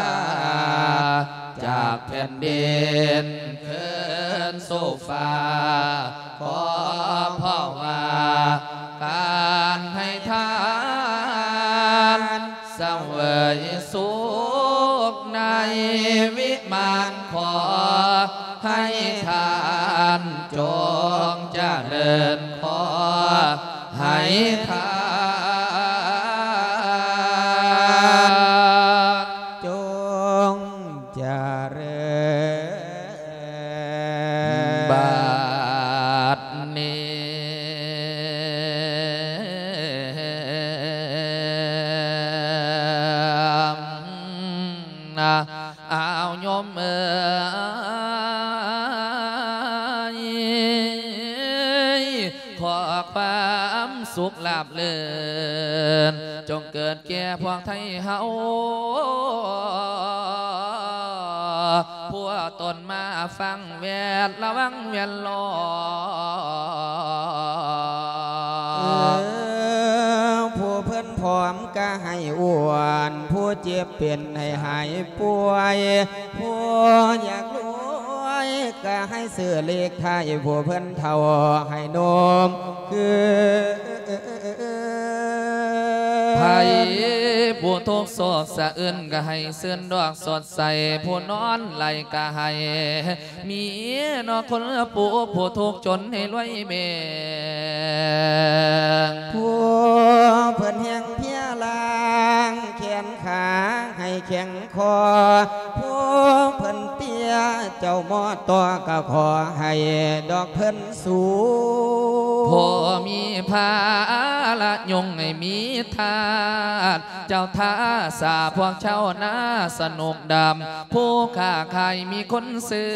ຈາກແຜ່ນດິນຂຶ້ນສູ່ຟ້າ ຂໍພາວະການໃຫ້ທານ ສະເຫວີຍສຸກໃນວິມານ ຂໍໃຫ້ທ່ານຈົ່ງຈະເລີນ ຂໍໃຫ້ທ່ານຈົ່ງຈະເລີນ ບັດນີ້ ອ້າວໂຍມເອີຍ ຂໍຄວາມສຸກລາບລື່ນ ຈົ່ງເກີດແກ່ພວກໄທເຮົາ ຜູ້ຕົນມາຟັງແວດລະວັງແວດລ້ອມ ເອີ ຜູ້ເພິ່ນຜອມກະໃຫ້ອ້ວນ ຜູ້ເຈັບເປັນໃຫ້ຫາຍປ່ວຍ ຜູ້ຢາກລວຍກະໃຫ້ຊື້ເລກທ້າຍ ຜູ້ເພິ່ນເຖົ້າໃຫ້ໜຸ່ມຄື ໃຜຜູ້ທຸກໂສກສະອຶ້ນກະໃຫ້ຊື່ນດອກສົດໃສ ຜູ້ນອນໄຫຼກະໃຫ້ມີເນາະຄົນປູ ຜູ້ທຸກຈົນໃຫ້ລວຍແບ່ງ ຜູ້ເພິ່ນແຮງເພຍລ້າງແຂນຂາໃຫ້ແຂງ ຂໍຜູ້ເພິ່ນເຕ້ຍ ເຈົ້າໝໍຕໍ່ກໍຂໍໃຫ້ດອກເພິ່ນສູງ ຜູ້ມີພາລະຍົງໃຫ້ມີທາດ ເຈົ້າທ່າສາພວກຊາວນາສະໜຸກດຳ ຜູ້ຄ້າຂາຍມີຄົນຊື້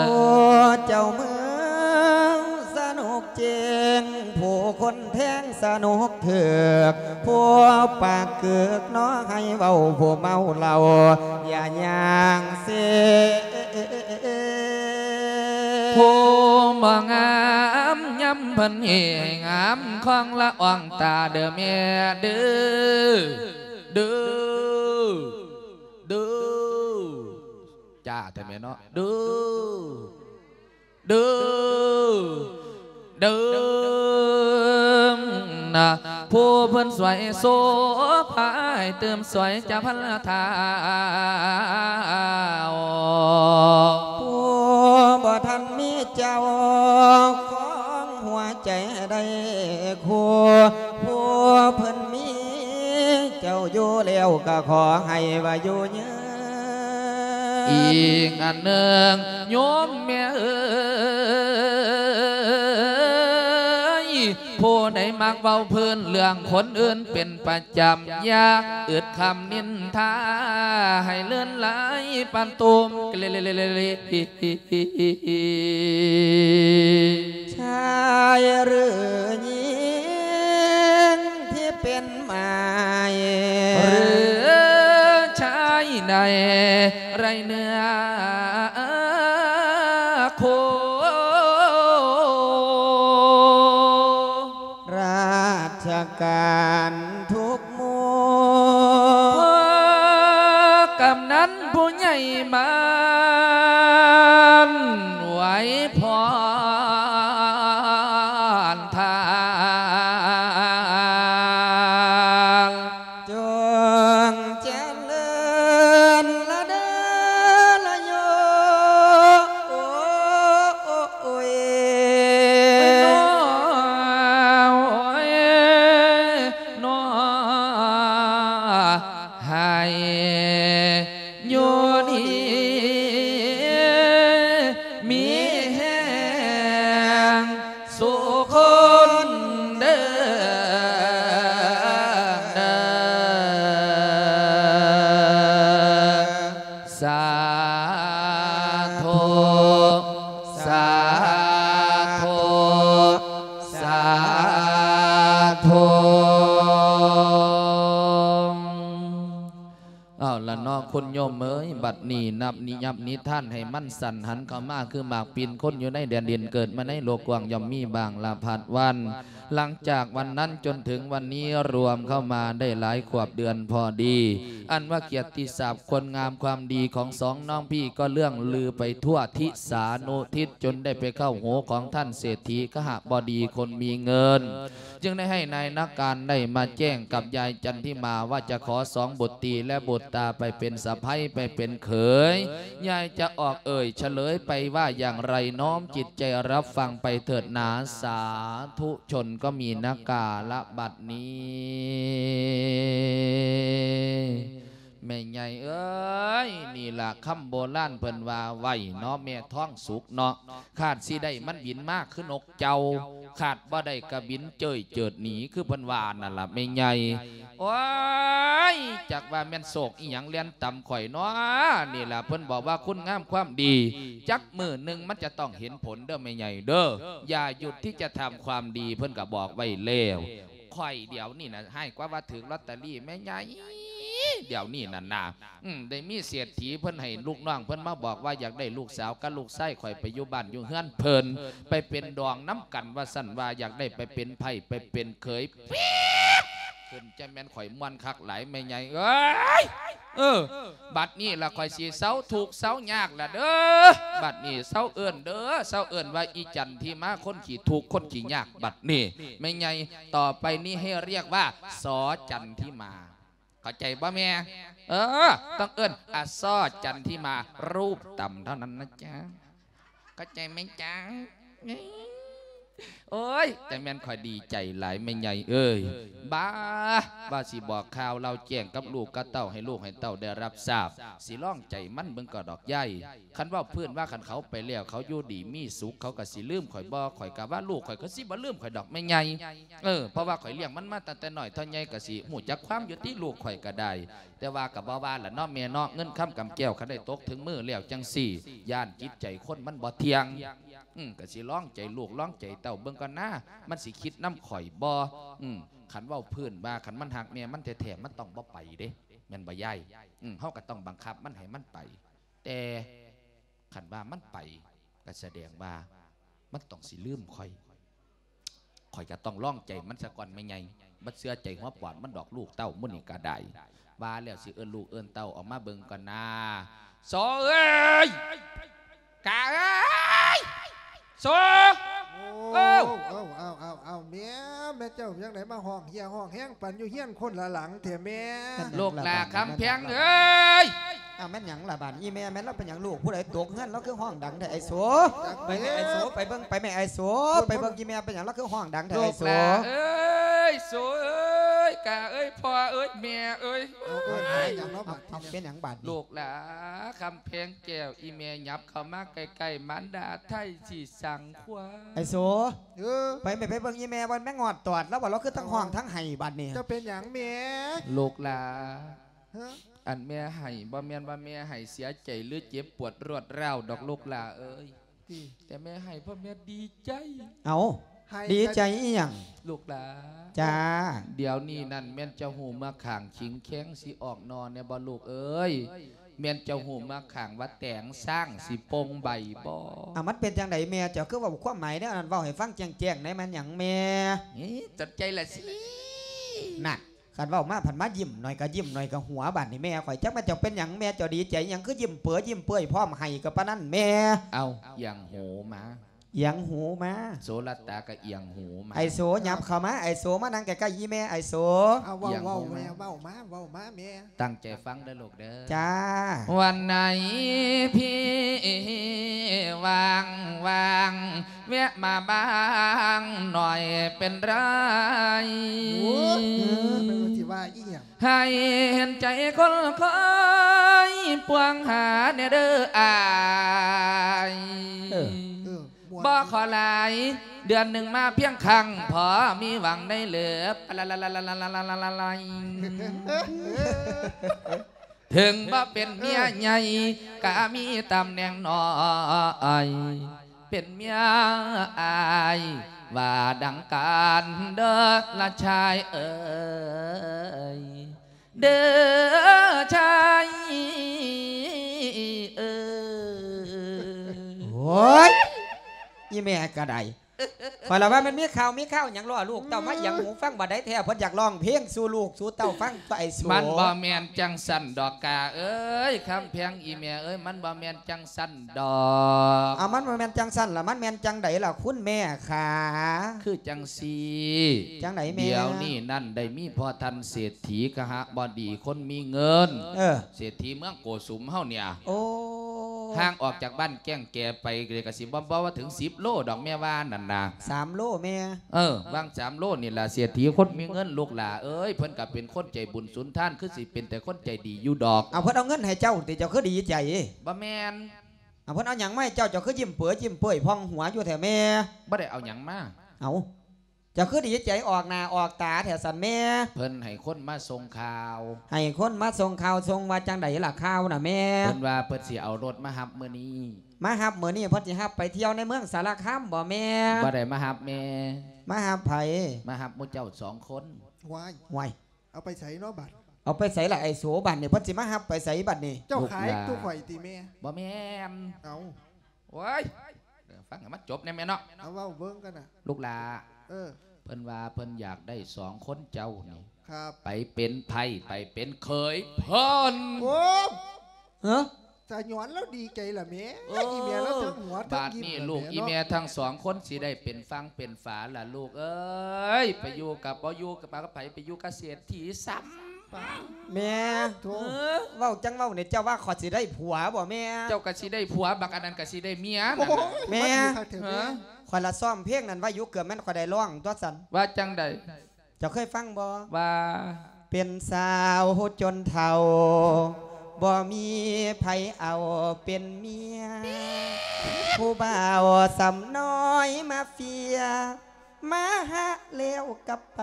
ຜູ້ເຈົ້າເມືອງສະໜຸກເຈັງ ຜູ້ຄົນແທງສະໜຸກຖືກ ຜູ້ປາກເກີກເນາະ ໃຫ້ເວົ້າຜູ້ເມົາເຫຼົ້າ ຢ່າຍ່າງເຊ. ຜູ້ບໍ່ງາມຍາມເພິ່ນເຮງາມ ຄອງລະອອງຕາເດີແມ່ເດີ ເດີ ເດີ ຈ້າແທ້ແມ່ເນາະ ເດີ ເດີ ເດີ ນະ ຜູ້ເພິ່ນຊ່ວຍໂສພາໃຫ້ຕື່ມຊ່ວຍຈະພັນລະທາວ ຜູ້ບໍ່ທັນມີເຈົ້າຂອງຫົວໃຈໃຫ້ໄດ້ຄູ່ ຜູ້ເພິ່ນມີເຈົ້າຢູ່ແລ້ວ ກໍຂໍໃຫ້ວ່າຢູ່ຍືນ. ອີກອັນໜຶ່ງໂຍມແມ່ເອີຍ ຜູ້ໃດມັກເວົ້າພື້ນເລື່ອງຄົນອື່ນເປັນປະຈຳ ຢ່າອຶດຄຳນິນທາໃຫ້ເລື່ອນຫຼາຍປານຕຸ່ມ ຊາຍຫຼືຍິງທີ່ເປັນໝາຍ ຫຼືຊາຍໃນໄລເນື້ອຄູ່ ລາຊະການທຸກໝູ່ ພວກກຳນັນຜູ້ໃຫຍ່ບ້ານ ໄວພອນທ່ານ ຈົ່ງຈະເລີນລະເດີລະໂຍ ໂອ້ຍ ໂອ້ຍ ໂອ້ຍ ເນາະ ໃຫ້ຢູ່ດີມີແຮງສູ່ຄົນເດີ ເດີ ສາທຸ ສາທຸ ສາທຸ. ເອົາລະເນາະ ຄຸນໂຍມເອີຍ ບັດນີ້ນັບນິ ຍັບນິທານໃຫ້ມັນສັ້ນຫັນເຂົ້າມາ ຄືໝາກປິ່ນຄົນຢູ່ໃນແດນດິນ ເກີດມາໃນໂລກກວ້າງ ຍ່ອມມີບາງລະພັດວັນ. ຫຼັງຈາກວັນນັ້ນຈົນເຖິງວັນນີ້ ລວມເຂົ້າມາໄດ້ຫຼາຍຂວບເດືອນພໍດີ ອັນວ່າກຽດຕິສັບ ຄຸນງາມຄວາມດີຂອງສອງນ້ອງພີ່ກໍເລື່ອງລືໄປທົ່ວທິສານຸທິດ ຈົນໄດ້ໄປເຂົ້າຫູຂອງທ່ານເສດຖີຄະຫະບໍດີຄົນມີເງິນ ຈຶ່ງໄດ້ໃຫ້ນາຍນາການໄດ້ມາແຈ້ງກັບຍາຍຈັນທິມາວ່າຈະຂໍສອງບຸດຕີ ແລະ ບຸດຕາໄປເປັນສະໃພ້ ໄປເປັນເຂີຍ ຍາຍຈະອອກເອີ່ຍສະເຫຼີຍໄປວ່າຢ່າງໃດ ນ້ອມຈິດໃຈຮັບຟັງໄປເຖີດໜາ ສາທຸຊົນກໍມີນາກາລະບັດນີ້. ແມ່ໃຫຍ່ເອີຍ ນີ້ລະຄຳໂບລານເພິ່ນວ່າໄວ້ເນາະ ແມ່ທອງສຸກເນາະ ຄາດຊິໄດ້ມັນບິນມາຄືນົກເຈົ້າ ຄາດບໍ່ໄດ້ກະບິນເຈີຍເຈີດໜີ ຄືເພິ່ນວ່ານັ້ນລະແມ່ໃຫຍ່. ໂອ້ຍ ຈັກວ່າແມ່ນໂຊກອີ່ຫຍັງແລ່ນຕຳຂ້ອຍເນາະ ນີ້ລະເພິ່ນບອກວ່າຄຸນງາມຄວາມດີ ຈັກມື້ໜຶ່ງມັນຈະຕ້ອງເຫັນຜົນເດີແມ່ໃຫຍ່ເດີ ຢ່າຢຸດທີ່ຈະທຳຄວາມດີ ເພິ່ນກະບອກໄວ້ແລ້ວ. ຂ້ອຍດຽວນີ້ນະ ຮ້າຍກວ່າວ່າຖືກລອດຕະລີແມ່ໃຫຍ່ ດຽວນີ້ນັ້ນນະ ອືມ ໄດ້ມີເສດຖີເພິ່ນໃຫ້ລູກນ້ອງເພິ່ນມາບອກວ່າຢາກໄດ້ລູກສາວກັບລູກຊາຍຂ້ອຍໄປຢູ່ບ້ານຢູ່ເຮືອນເພິ່ນ ໄປເປັນດອງນຳກັນວ່າຊັ້ນ ວ່າຢາກໄດ້ໄປເປັນໃພ້ໄປເປັນເຂີຍ ປີດ ຂຶ້ນ ຈະແມ່ນຂ້ອຍມ່ວນຄັກຫຼາຍແມ່ໃຫຍ່ເອີຍ. ເອີ ບັດນີ້ລະຂ້ອຍຊິເຊົາທຸກເຊົາຍາກລະເດີ ບັດນີ້ເຊົາເອີ້ນເດີ ເຊົາເອີ້ນວ່າອີຈັນທິມາ ຄົນຂີ້ທຸກຄົນຂີ້ຍາກ ບັດນີ້ແມ່ໃຫຍ່ ຕໍ່ໄປນີ້ໃຫ້ຮຽກວ່າ ສ ຈັນທິມາ ເຂົ້າໃຈບໍ່ແມ່? ເອີ ຕ້ອງເອີ້ນ ອາ ສ ຈັນທິມາ ຮູບຕຳເທົ່ານັ້ນນະຈ໊ະ ເຂົ້າໃຈໄໝຈ໊ະ? ໂອ້ຍ ແຕ່ແມ່ນຂ້ອຍດີໃຈຫຼາຍແມ່ໃຫຍ່ເອີຍ ບ້າ ວ່າຊິບອກຂ່າວເລົ່າແຈ້ງກັບລູກກັບເຕົ້າ ໃຫ້ລູກໃຫ້ເຕົ້າໄດ້ຮັບຊາບ ຊິລອງໃຈມັນເບິ່ງກໍດອກຍາຍ. ຄັນເວົ້າພື້ນວ່າ ຄັນເຂົາໄປແລ້ວ ເຂົາຢູ່ດີມີສຸກ ເຂົາກໍຊິລືມຂ້ອຍບໍ່? ຂ້ອຍກໍວ່າລູກຂ້ອຍກໍຊິບໍ່ລືມຂ້ອຍດອກແມ່ໃຫຍ່. ເອີ ເພາະວ່າຂ້ອຍລ້ຽງມັນມາຕັ້ງແຕ່ນ້ອຍເທົ່າໃຫຍ່ ກໍຊິຮູ້ຈັກຄວາມຢູ່ຕິ ລູກຂ້ອຍກໍໄດ້. ແຕ່ວ່າກໍບໍ່ວ່າລະເນາະແມ່ເນາະ ເງິນຄຳກຳແກ້ວ ຄັນໄດ້ຕົກເຖິງມືແລ້ວຈັ່ງຊີ້ ຢ້ານຈິດໃຈຄົນມັນບໍ່ທ່ຽງ. ອືມ ກໍຊິລອງໃຈລູກລອງໃຈເຕົ້າເບິ່ງກ່ອນນາ ມັນຊິຄິດນຳຂ້ອຍບໍ່? ອືມ ຄັນເວົ້າພື້ນວ່າ ຄັນມັນຮັກແມ່ມັນແທ້ໆ ມັນຕ້ອງບໍ່ໄປເດ້ ແມ່ນບໍ່ຍາຍ? ອືມ ເຮົາກໍຕ້ອງບັງຄັບມັນໃຫ້ມັນໄປ ແຕ່ຄັນວ່າມັນໄປ ກໍສະແດງວ່າມັນຕ້ອງຊິລືມຂ້ອຍ. ຂ້ອຍກໍຕ້ອງລອງໃຈມັນສາກ່ອນແມ່ໃຫຍ່ ບໍ່ເຊື່ອໃຈຫົວປອດມັນດອກ ລູກເຕົ້າມື້ນີ້ກໍໄດ້. ວ່າແລ້ວຊິເອີ້ນລູກເອີ້ນເຕົ້າອອກມາເບິ່ງກ່ອນນາ. ໂສເອີຍ! ກາເອີຍ! ໂສ! ໂອ້ ເອີ ເອົາ ເອົາ ເອົາ ເອົາ ແມ່ ແມ່ເຈົ້າຈັ່ງໃດມາຮ້ອງເຮຍຮ້ອງແຮງປັນຢູ່ເຮືອນຄົນລະຫຼັງແທ້ແມ່? ລູກຫຼ້າຄຳແພງເອີຍ! ອ້າວ ແມ່ນຫຍັງລະບາດນີ້ແມ່? ແມ່ນລາວເປັນຫຍັງລູກ? ຜູ້ໃດຕົກເຮືອນ? ລາວຄືຮ້ອງດັງແທ້ໄອ້ໂສ? ໄປແມ່ໄອ້ໂສ ໄປເບິ່ງ ໄປແມ່ໄອ້ໂສ ໄປເບິ່ງອີ່ແມ່ເປັນຫຍັງ? ລາວຄືຮ້ອງດັງແທ້ໄອ້ໂສ? ລູກຫຼ້າເອີຍ! ໂສເອີຍ! ກາເອີຍ! ພໍ່ເອີຍ! ແມ່ເອີຍ! ເອົາ ເປັນຫຍັງບາດນີ້? ລູກຫຼ້າຄຳແພງແກ້ວ ອີ່ແມ່ຫຍັບເຂົ້າມາໃກ້ໆ ມານດາໄທຊິສັງຄວາມ. ໄອ້ໂສ ເອີ ໄປແມ່ ໄປເບິ່ງອີ່ແມ່ ວ່າແມ່ງອດຕອດລາວບໍ່? ລາວຄືທັງຮ້ອງທັງໄຫ້ບາດນີ້. ເຈົ້າເປັນຫຍັງແມ່? ລູກຫຼ້າ ຮະ? ອັນແມ່ໄຫ້ ບໍ່ແມ່ນວ່າແມ່ໄຫ້ເສຍໃຈ ຫຼື ເຈັບປວດລວດຮ້າວດອກລູກຫຼ້າເອີຍ. ແຕ່ແມ່ໄຫ້ເພາະແມ່ດີໃຈ. ເອົ້າ ດີໃຈອີ່ຫຍັງ? ລູກຫຼ້າ ຈ້າ ດຽວນີ້ນັ້ນແມ່ນເຈົ້າຮູ້ເມືອກຂ້າງຂິງແຄງຊິອອກໜໍ່ແດ່ບໍ່ລູກເອີຍ? ແມ່ນເຈົ້າຮູ້ເມືອກຂ້າງວ່າແຕງຊ້າງຊິປົ່ງໃບບໍ່? ອາ ມັນເປັນຈັ່ງໃດແມ່? ເຈົ້າຄືເວົ້າຄວາມໝາຍແນວນັ້ນ ເວົ້າໃຫ້ຟັງແຈ້ງໆແດ່. ແມ່ນຫຍັງແມ່? ນີ້ ສົນໃຈລະຊິ ນັ້ນ ຄັນເວົ້າມາພັດມາຍິ້ມໜ້ອຍກະຍິ້ມໜ້ອຍກະຫົວ. ບາດນີ້ແມ່ຂ້ອຍ ຈັກແມ່ນເຈົ້າເປັນຫຍັງ ແມ່ເຈົ້າດີໃຈຫຍັງ ຄືຍິ້ມເປີຍິ້ມເປືອຍ ພ້ອມໄຫ້ກະປານນັ້ນແມ່? ເອົ້າ ອຽງຫູມາ ອຽງຫູມາ. ໂສລັດຕາກະອຽງຫູມາ. ໄອ້ໂສຫຍັບເຂົ້າມາ ໄອ້ໂສມານັ່ງໃກ້ໆອີ່ແມ່ ໄອ້ໂສ. ເອົາ ເວົ້າ ເວົ້າແມ່ ເວົ້າມາ ເວົ້າມາແມ່. ຕັ້ງໃຈຟັງເດີລູກເດີ. ຈ້າ. ວັນໄນພີວ່າງໆ ແວະມາບ້າງໜ້ອຍເປັນໄລ. ໂອ້ຍ ເອີ ເພິ່ນວ່າຊິວ່າອີ່ຫຍັງ? ໃຫ້ເຫັນໃຈຄົນຄອຍປວງຫາແດ່ເດີອ້າຍ. ເອີ ເອີ ບໍ່ຂໍຫຼາຍ ເດືອນໜຶ່ງມາພຽງຄັ້ງ ພໍມີຫວັງໄດ້ເລີບ. ເຖິງບໍ່ເປັນເມຍໃຫຍ່ ກະມີຕຳແໜ່ງນ້ອຍ ເປັນເມຍອ້າຍ ວ່າດັ່ງກັນເດີລະຊາຍເອີຍ ເດີຊາຍເອີຍ. ໂອ້ຍ ອີ່ແມ່ກະໄດ້. ຂ້ອຍລະວ່າມັນມີຂ່າວມີຂ່າວຫຍັງ ລໍລູກເຕົ້າມາອຽງຫູຟັງ. ບາດໃດແທ້ເພິ່ນຢາກຮ້ອງເພງສູ່ລູກສູ່ເຕົ້າຟັງຕົວະໄອ້ໂສ. ມັນບໍ່ແມ່ນຈັ່ງຊັ້ນດອກກາເອີຍ ຄຳແພງອີ່ແມ່ເອີຍ ມັນບໍ່ແມ່ນຈັ່ງຊັ້ນດອກ. ເອົາ ມັນບໍ່ແມ່ນຈັ່ງຊັ້ນລະ ມັນແມ່ນຈັ່ງໃດລະຄຸນແມ່ຂາ? ຄືຈັ່ງຊີ້ ຈັ່ງໃດແມ່? ດຽວນີ້ນັ້ນໄດ້ມີພໍ່ທ່ານເສດຖີຄະຫະບໍດີຄົນມີເງິນ ເອີ ເສດຖີເມືອງໂກສຸມເຮົານີ້ ໂອ້ ຫ່າງອອກຈາກບ້ານແກ້ງແກໄປກະຊິບໍ່ ບໍ່ວ່າເຖິງສິບໂລດອກແມ່ວ່ານັ້ນນະ. ສາມໂລແມ່. ເອີ ຫວ່າງສາມໂລນີ້ລະ ເສດຖີຄົນມີເງິນລູກຫຼ້າເອີຍ ເພິ່ນກະເປັນຄົນໃຈບຸນສຸນທານ ຄືຊິເປັນແຕ່ຄົນໃຈດີຢູ່ດອກ. ເອົາ ເພິ່ນເອົາເງິນໃຫ້ເຈົ້າຕິ ເຈົ້າຄືດີໃຈ? ບໍ່ແມ່ນ. ເອົາ ເພິ່ນເອົາຫຍັງມາໃຫ້ເຈົ້າ ເຈົ້າຄືຍິ້ມເປີຍິ້ມເປືຍຜ່ອງຫົວຢູ່ແທ້ແມ່? ບໍ່ໄດ້ເອົາຫຍັງມາ. ເອົາ ເຈົ້າຄືດີໃຈອອກໜ້າອອກຕາແທ້ຊັ້ນແມ່? ເພິ່ນໃຫ້ຄົນມາສົ່ງຂ່າວ. ໃຫ້ຄົນມາສົ່ງຂ່າວ ສົ່ງວ່າຈັ່ງໃດລະຂ່າວນະແມ່? ເພິ່ນວ່າເພິ່ນຊິເອົາລົດມາຮັບມື້ນີ້. ມາຮັບມື້ນີ້ ເພິ່ນຊິຮັບໄປທ່ຽວໃນເມືອງສາລະຄາມບໍ່ແມ່? ບໍ່ໄດ້ມາຮັບແມ່. ມາຮັບໃຜ? ມາຮັບໝູ່ເຈົ້າສອງຄົນ. ວ້າຍ ວ້າຍ ເອົາໄປໃສເນາະບາດ? ເອົາໄປໃສລະໄອ້ໂສ? ບາດນີ້ເພິ່ນຊິມາຮັບໄປໃສບາດນີ້? ເຈົ້າຂາຍຕູ້ຂ້ອຍຕິແມ່? ບໍ່ແມ່ນ. ເອົ້າ ໂອ້ຍ ຟັງໃຫ້ມັນຈົບແດ່ແມ່ເນາະ. ເອົາ ເວົ້າເບິ່ງກັນນະ ລູກຫຼ້າ. ເອີ ເພິ່ນວ່າເພິ່ນຢາກໄດ້ສອງຄົນເຈົ້ານີ້ ໄປເປັນໃພ້ ໄປເປັນເຂີຍເພິ່ນ. ໂອ້ ຮະ? ສະຫຍອນລາວດີໃຈລະແມ່. ເອີ ອີ່ແມ່ລາວທັງຫົວທັງຍິ້ມ. ບາດນີ້ລູກອີ່ແມ່ທັງສອງຄົນຊິໄດ້ເປັນຝັ່ງເປັນຝາລະລູກເອີຍ. ໄປຢູ່ກະບໍ່ຢູ່ກະປາກະໄຜ ໄປຢູ່ກະເສດຖີຊ້ຳ. ແມ່ ໂທ້ ເອີ ເວົ້າຈັ່ງເວົ້ານີ້ ເຈົ້າວ່າຂ້ອຍຊິໄດ້ຜົວບໍ່ແມ່? ເຈົ້າກະຊິໄດ້ຜົວ ບັກອັນນັ້ນກະຊິໄດ້ເມຍ. ໂອ້ຍ ແມ່ ມັນຊິຄັກແທ້ແມ່. ຮະ? ຂ້ອຍລະຊ້ອມເພງນັ້ນໄວ້ຢູ່ ເກືອບແມ່ນຂ້ອຍໄດ້ຮ້ອງຕົວະຊັ້ນ. ວ່າຈັ່ງໃດ? ເຈົ້າເຄີຍຟັງບໍ່? ວ່າ ເປັນສາວຈົນເຖົ້າ ບໍ່ມີໃຜເອົາເປັນເມຍ ຜູ້ບ່າວສ່ຳນ້ອຍມາເຟຍ ມາຫາແລ້ວກັບໄປ.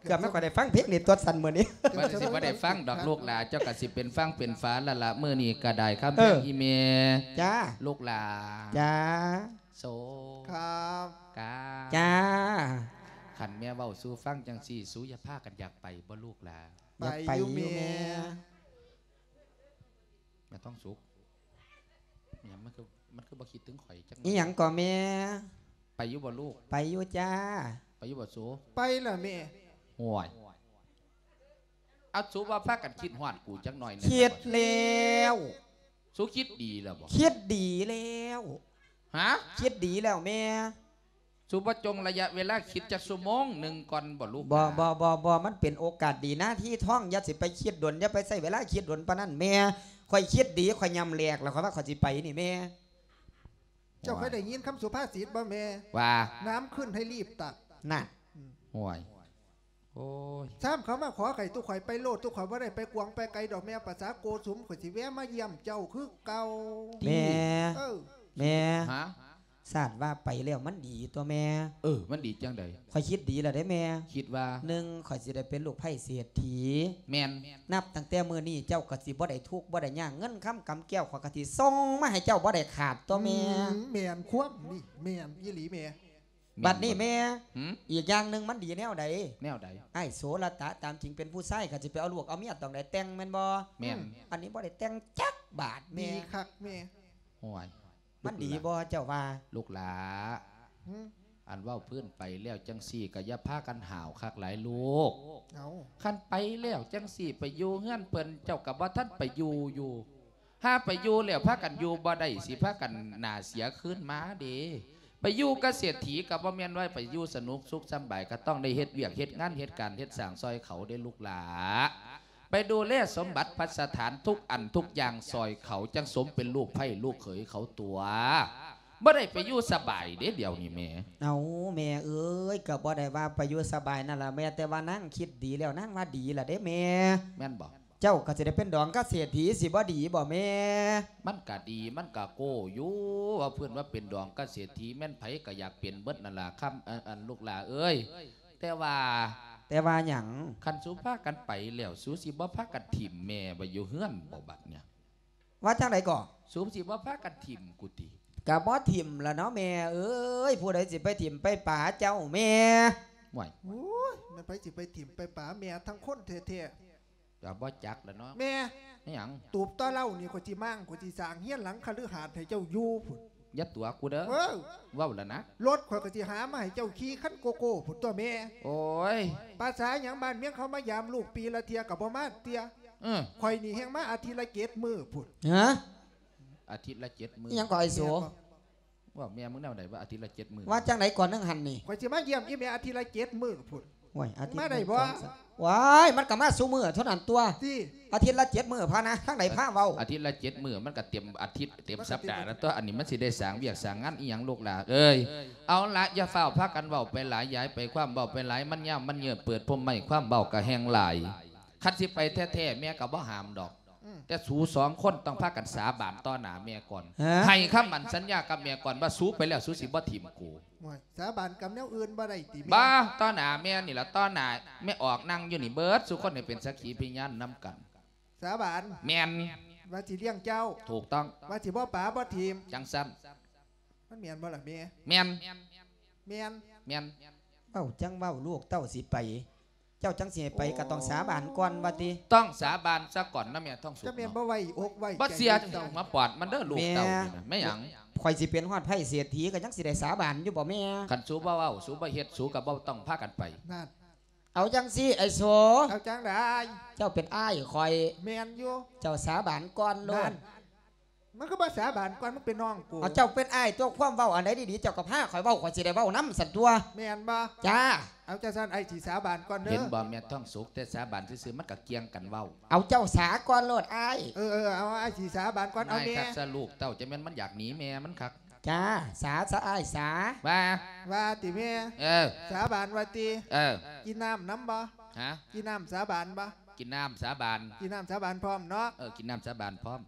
ເກືອບແມ່ນຂ້ອຍໄດ້ຟັງເພງນີ້ຕົວະຊັ້ນມື້ນີ້. ມັນຊິບໍ່ໄດ້ຟັງດອກລູກຫຼ້າ ເຈົ້າກະຊິເປັນຝັ່ງເປັນຝາລະລະ ມື້ນີ້ກະໄດ້ຄຳແພງ ເອີ ອີ່ແມ່. ຈ້າ ລູກຫຼ້າ. ຈ້າ. ໂສ ຄັບ ກາ ຈ້າ ຄັນແມ່ເວົ້າສູ່ຟັງຈັ່ງຊີ້ ສູຢ່າພາກັນຢາກໄປບໍ່ລູກຫຼາ? ຢາກໄປຢູ່ແມ່ ແມ່ ແມ່ທອງສຸກ ອີຫຍັງ ມັນຄື ມັນຄືບໍ່ຄິດເຖິງຂ້ອຍຈັກໜ້ອຍ? ອີຫຍັງກໍແມ່? ໄປຢູ່ບໍ່ລູກ? ໄປຢູ່ຈ້າ. ໄປຢູ່ບໍ່ສູ? ໄປລະແມ່. ໂອ້ຍ ເອົາ ສູບໍ່ພາກັນຄິດຮອດກູຈັກໜ້ອຍແດ່? ຄິດແລ້ວ. ສູຄິດດີແລ້ວບໍ່? ຄິດດີແລ້ວ. ຮະ? ຄິດດີແລ້ວແມ່. ສູບໍ່ຈົ່ງໄລຍະເວລາຄິດຈັກຊົ່ວໂມງໜຶ່ງກ່ອນບໍ່ລູກ? ບໍ່ ບໍ່ ບໍ່ ບໍ່ ມັນເປັນໂອກາດດີນາທີທອງ ຢ່າຊິໄປຄິດດົນ ຢ່າໄປໃຊ້ເວລາຄິດດົນປານນັ້ນແມ່. ຂ້ອຍຄິດດີ ຂ້ອຍຍ່ຳແຫຼກແລ້ວ ຂ້ອຍວ່າຂ້ອຍຊິໄປນີ້ແມ່. ເຈົ້າເຄີຍໄດ້ຍິນຄຳສຸພາສິດບໍ່ແມ່? ວ່າ? ນ້ຳຂຶ້ນໃຫ້ລີບຕັກ. ນັ້ນ. ອືມ. ໂອ້ຍ. ໂອ້ຍ ຊ້ຳເຂົາມາຂໍໄຂ້ ຕຸຂ້ອຍໄປໂລດ ຕຸຂ້ອຍບໍ່ໄດ້ໄປກວາງໄປໄກດອກແມ່ ປະສາໂກສຸມ ຂ້ອຍຊິແວ່ມາຢ້ຽມເຈົ້າຄືເກົ່າ. ແມ່ ເອີ ແມ່ ຮະ? ຊາດວ່າໄປແລ້ວມັນດີຕົວະແມ່. ເອີ ມັນດີຈັ່ງໃດ? ຂ້ອຍຄິດດີແລ້ວເດ້ແມ່. ຄິດວ່າ? ໜຶ່ງ ຂ້ອຍຊິໄດ້ເປັນລູກໃພ້ເສດຖີ. ແມ່ນ. ນັບຕັ້ງແຕ່ມື້ນີ້ເຈົ້າກໍຊິບໍ່ໄດ້ທຸກບໍ່ໄດ້ຍາກ ເງິນຄຳກຳແກ້ວຂ້ອຍກໍຊິສົ່ງມາໃຫ້ເຈົ້າບໍ່ໄດ້ຂາດຕົວະແມ່. ອືມ ແມ່ນຄວາມນີ້ ແມ່ນອີ່ຫຼີແມ່. ບັດນີ້ແມ່ ຫື? ອີກຢ່າງໜຶ່ງມັນດີແນວໃດ? ແນວໃດ? ອ້າຍໂສລະຕະຕາມຈິງເປັນຜູ້ຊາຍ ຄັນຊິໄປເອົາລູກເອົາເມຍຕ້ອງໄດ້ແຕ່ງແມ່ນບໍ່? ແມ່ນ. ອືມ ອັນນີ້ບໍ່ໄດ້ແຕ່ງຈັກບາດແມ່. ດີຄັກແມ່. ໂອ້ຍ ມັນດີບໍ່ເຈົ້າວ່າ? ລູກຫຼ້າ ຫື? ອັນເວົ້າພື້ນໄປແລ້ວຈັ່ງຊີ້ ກໍຢ່າພາກັນຫ້າວຄັກຫຼາຍລູກ. ເອົ້າ ຄັນໄປແລ້ວຈັ່ງຊີ້ ໄປຢູ່ເຮືອນເພິ່ນ ເຈົ້າກໍບໍ່ທັນໄປຢູ່ຢູ່. ຫາໄປຢູ່ແລ້ວພາກັນຢູ່ບໍ່ໄດ້ ຊິພາກັນໜ້າເສຍຄືນມາເດ້. ໄປຢູ່ກັບເສດຖີກໍບໍ່ແມ່ນວ່າໄປຢູ່ສະໜຸກສຸກສຳບາຍ ກໍຕ້ອງໄດ້ເຮັດວຽກເຮັດງານເຮັດການເຮັດສ້າງຊ່ອຍເຂົາເດ້ລູກຫຼ້າ. ໄປດູແລສົມບັດພັດສະຖານທຸກອັນທຸກຢ່າງຊ່ອຍເຂົາ ຈັ່ງສົມເປັນລູກໃພ້ລູກເຂີຍເຂົາຕົວະ. ບໍ່ໄດ້ໄປຢູ່ສະບາຍເດ້ດຽວນີ້ແມ່. ເອົ້າ ແມ່ເອີຍ ກໍບໍ່ໄດ້ວ່າໄປຢູ່ສະບາຍນັ້ນລະແມ່ ແຕ່ວ່ານາງຄິດດີແລ້ວ ນາງວ່າດີລະເດ້ແມ່. ແມ່ນບໍ່? ເຈົ້າກໍຊິໄດ້ເປັນດອງກັບເສດຖີ ຊິບໍ່ດີບໍ່ແມ່? ມັນກະດີ ມັນກະໂກ້ຢູ່ ວ່າເພິ່ນວ່າເປັນດອງກັບເສດຖີ ແມ່ນໃຜກໍຢາກເປັນເບິດນັ້ນລະ ຄຳ ອັນ ອັນ ລູກຫຼ້າເອີຍ. ແຕ່ວ່າ ແຕ່ວ່າຫຍັງ? ຄັນສູພາກັນໄປແລ້ວ ສູຊິບໍ່ພາກັນຖິ້ມແມ່ໄວ້ຢູ່ເຮືອນບໍ່ບັດເນີ້ຍ? ວ່າຈັ່ງໃດກໍ? ສູຊິບໍ່ພາກັນຖິ້ມກູຕິ? ກະບໍ່ຖິ້ມລະເນາະແມ່ເອີຍ ຜູ້ໃດຊິໄປຖິ້ມໄປປາເຈົ້າແມ່? ໂອ້ຍ ໂອ້ຍ ແມ່ນໃຜຊິໄປຖິ້ມໄປປາແມ່ທັງຄົນແທ້ໆ. ກໍບໍ່ຈັກລະເນາະແມ່. ແມ່ຫຍັງ? ຕູບຕໍ່ເລົ່ານີ້ ຂ້ອຍຊິມ້າງ ຂ້ອຍຊິສ້າງເຮືອນຫຼັງຄະລືຫາດໃຫ້ເຈົ້າຢູ່ພຸ້ນ. ຢ່າຕົວະກູເດີ. ເອີ ເວົ້າລະນະ. ລົດຂ້ອຍກໍຊິຫາມາໃຫ້ເຈົ້າຂີ່ຄັນໂກໂກ້ພຸ້ນຕົວະແມ່. ໂອ້ຍ ພາສາຫຍັງ ບ້ານເມືອງເຂົາມາຢາມລູກປີລະເທື່ອກໍບໍ່ມາເທື່ອ. ເອີ ຂ້ອຍນີ້ແຮ່ງມາອາທິດລະເຈັດມື້ພຸ້ນ. ຮະ? ອາທິດລະເຈັດມື້. ອີຫຍັງກໍໄອ້ໂສ? ແມ່ນບໍ່? ວ່າແມ່ມຶງແນວໃດວ່າອາທິດລະເຈັດມື້? ວ່າຈັ່ງໃດກ່ອນໜຶ່ງຫັ້ນນີ້? ຂ້ອຍຊິມາຢ້ຽມອີ່ແມ່ອາທິດລະເຈັດມື້ພຸ້ນ. ໂອ້ຍ ອາທິດ ມາໄດ້ບໍ່? ໂອ້ຍ ມັນກໍມາຊຸມື້ເທົ່ານັ້ນຕົວະ. ຕິ ອາທິດລະເຈັດມື້ພະນະ ທາງໃດພາເວົ້າ? ອາທິດລະເຈັດມື້ ມັນກໍເຕັມອາທິດເຕັມສັບດາແລ້ວຕົວະ. ອັນນີ້ມັນຊິໄດ້ສ້າງວຽກສ້າງງານອີ່ຫຍັງລູກຫຼ້າເອີຍ? ເອົາລະ ຢ່າຟ້າວພາກັນເວົ້າໄປຫຼາຍ ຢ່າໃຫ້ໄປຄວາມເວົ້າໄປຫຼາຍ ມັນຍາວມັນເຍີ້ນ ເປີດພົມໄມ້ ຄວາມເວົ້າກໍແຮ່ງຫຼາຍ. ຄັນຊິໄປແທ້ໆ ແມ່ກໍບໍ່ຫ້າມດອກ. ອືມ ແຕ່ສູສອງຄົນຕ້ອງພາກັນສາບານຕໍ່ໜ້າແມ່ກ່ອນ. ຮະ? ໃຫ້ຄຳໝັ້ນສັນຍາກັບແມ່ກ່ອນວ່າ ສູໄປແລ້ວສູຊິບໍ່ຖິ້ມກູ. ໂອ້ຍ ສາບານກັບແນວອື່ນບໍ່ໄດ້ຕິແມ່? ບໍ່ ຕໍ່ໜ້າແມ່ນີ້ລະ ຕໍ່ໜ້າແມ່ອອກນັ່ງຢູ່ນີ້ເບິດ ສູ່ຄົນໃຫ້ເປັນສັກຂີພະຍານນຳກັນ. ສາບານ? ແມ່ນ. ວ່າຊິລ້ຽງເຈົ້າ? ຖືກຕ້ອງ. ວ່າຊິບໍ່ປາບໍ່ຖິ້ມ? ຈັ່ງຊັ້ນ. ມັນແມ່ນບໍ່ລະແມ່? ແມ່ນ. ແມ່ນ. ແມ່ນ. ເວົ້າຈັ່ງເວົ້າ ລູກເຕົ້າຊິໄປ ເຈົ້າຈັ່ງຊິໃຫ້ໄປ ກໍຕ້ອງສາບານກ່ອນວ່າຕິ? ຕ້ອງສາບານຊະກ່ອນນະແມ່ທອງສຸກ. ຈະແມ່ນບໍ່ໄວ້ອົກໄວ້ໃຈ ບໍ່ເຊື່ອ ເຈົ້າມາປອດມັນເດີ ລູກເຕົ້ານີ້ນະ. ແມ່ຫຍັງ? ຂ້ອຍຊິເປັນຮອດໄພ້ເສດຖີ ກໍຍັງຊິໄດ້ສາບານຢູ່ບໍ່ແມ່? ຄັນສູບໍ່ເວົ້າ ສູບໍ່ເຮັດ ສູກໍບໍ່ຕ້ອງພາກັນໄປ. ນັ້ນ. ເອົາຈັ່ງຊີ້ ໄອ້ໂສ. ເອົາຈັ່ງໃດ? ເຈົ້າເປັນອ້າຍຂ້ອຍ. ແມ່ນຢູ່. ເຈົ້າສາບານກ່ອນໂລດ. ນັ້ນ. ມັນຄືບໍ່ສາບານກ່ອນ ມັນເປັນນ້ອງກູ. ເອົາ ເຈົ້າເປັນອ້າຍຕົວະ ຄວາມເວົ້າອັນໃດດີໆ ເຈົ້າກໍພາຂ້ອຍເວົ້າ ຂ້ອຍຊິໄດ້ເວົ້ານຳຊັ້ນຕົວະ. ແມ່ນບໍ່? ຈ້າ. ເອົາ ຈັ່ງຊັ້ນ ອ້າຍຊິສາບານກ່ອນເດີ. ເຫັນບໍ່ແມ່ທອງສຸກ ແຕ່ສາບານຊື່ໆ ມັນກໍກ່ຽງກັນເວົ້າ. ເອົາ ເຈົ້າສາກ່ອນໂລດອ້າຍ. ເອີ ເອີ ເອົາ ອ້າຍຊິສາບານກ່ອນ. ເອົາແມ່ ນາຍຄັກຊະລູກເຕົ້າ ຈະແມ່ນມັນຢາກໜີແມ່ມັນຄັກ. ຈ້າ ສາ ສາ ອ້າຍສາ. ວ່າ ວ່າຕິແມ່? ເອີ ສາບານວ່າຕິ? ເອີ ກິນນ້ຳນຳບໍ່? ຮະ? ກິນນ້ຳສາບານບໍ່? ກິນນ້ຳສາບານ. ກິນນ້ຳສາບານພ້ອມເນາະ. ເອີ ກິນນ້ຳສາບານພ້ອມ.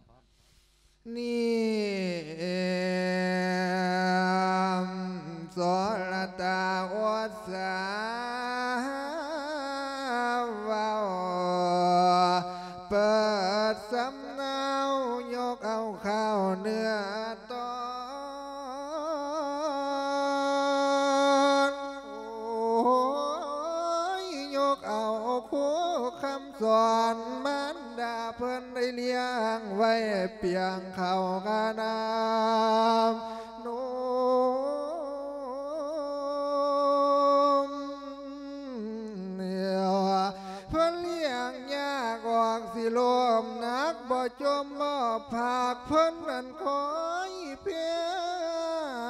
ນີ້ ເອັມ ໂສລະຕາອຸດສາເວົ້າ ເປີດສຳເນົາ ຍົກເອົາຂ່າວເນື້ອໂຕ ສອນມານດາເພິ່ນໄດ້ລ້ຽງໄວ້ ປຽງເຂົ້າກະນ້ຳນົມ ເພິ່ນລ້ຽງຍາກອອກຊິລົ້ມໜັກ ບໍ່ຈົ່ມບໍ່ພາກ ເພິ່ນນັ້ນຄອຍພຽ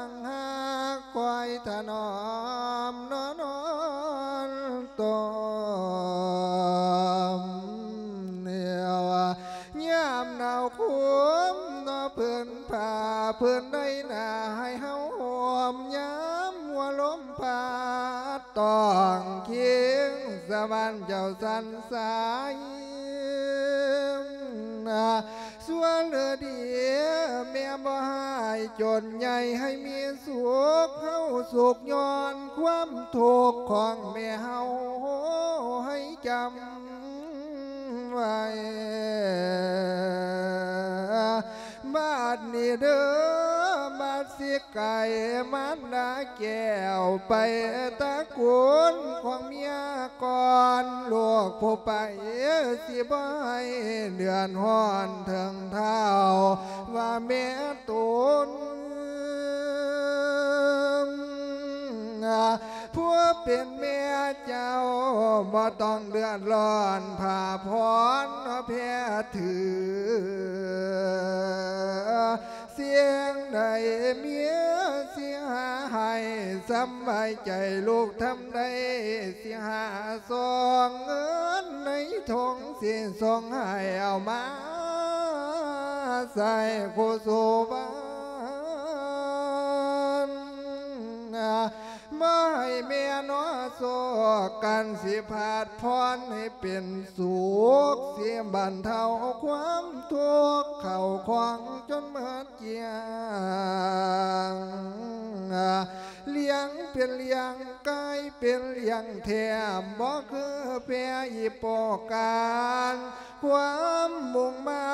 ງຮັກ ຄອຍຖະໜອມນອນ ນອນຕົມ ຍາມໜາວໂຄມເນາະ ເພິ່ນຜ້າເພິ່ນໄດ້ໜ້າໃຫ້ເຮົາຫົ່ມ ຍາມຫົວລົມພັດຕ້ອງຄີງ ສະຫວັນເຈົ້າສັນສາຍ ສ່ວນເຫຼືອດີແມ່ບໍ່ຮ້າຍຈົນໃຫຍ່ໃຫ້ມີສຸກ ເຮົາສຸກຍ້ອນຄວາມທຸກຂອງແມ່ເຮົາໃຫ້ຈຳໄວ້ ບາດນີ້ເດີ ບາດຊິໄກມານດາແກ້ວ ໄປຕະໂກນຂອງເມຍກ່ອນ ລູກຜູ້ໄປຊິບໍ່ໃຫ້ເດືອດຮ້ອນເຖິງທ້າວ ວ່າແມ່ຕົນ ຜູ້ເປັນແມ່ເຈົ້າບໍ່ຕ້ອງເດືອດຮ້ອນ ຜ້າຜ່ອນແພຖື ສິ່ງໃດເມຍຊິຫາໃຫ້ ສຳບາຍໃຈລູກທຳໄດ້ ຊິຫາຊອງເງິນໃນຖົງ ຊິສົ່ງໃຫ້ເອົາມາໃຊ້ຄູ່ສູ່ບ້ານ ມາໃຫ້ແມ່ນໍໂຊກກັນ ຊິພາດພອນໃຫ້ເປັນສຸກ ຊິບັນເທົາຄວາມທຸກ ເຂົ້າຂອງຈົນໝົດກ້ຽງ ລ້ຽງເປັນລ້ຽງ ກາຍເປັນລ້ຽງແທ້ ບໍ່ຄືແພອີໂປການ ຄວາມມຸ່ງມາ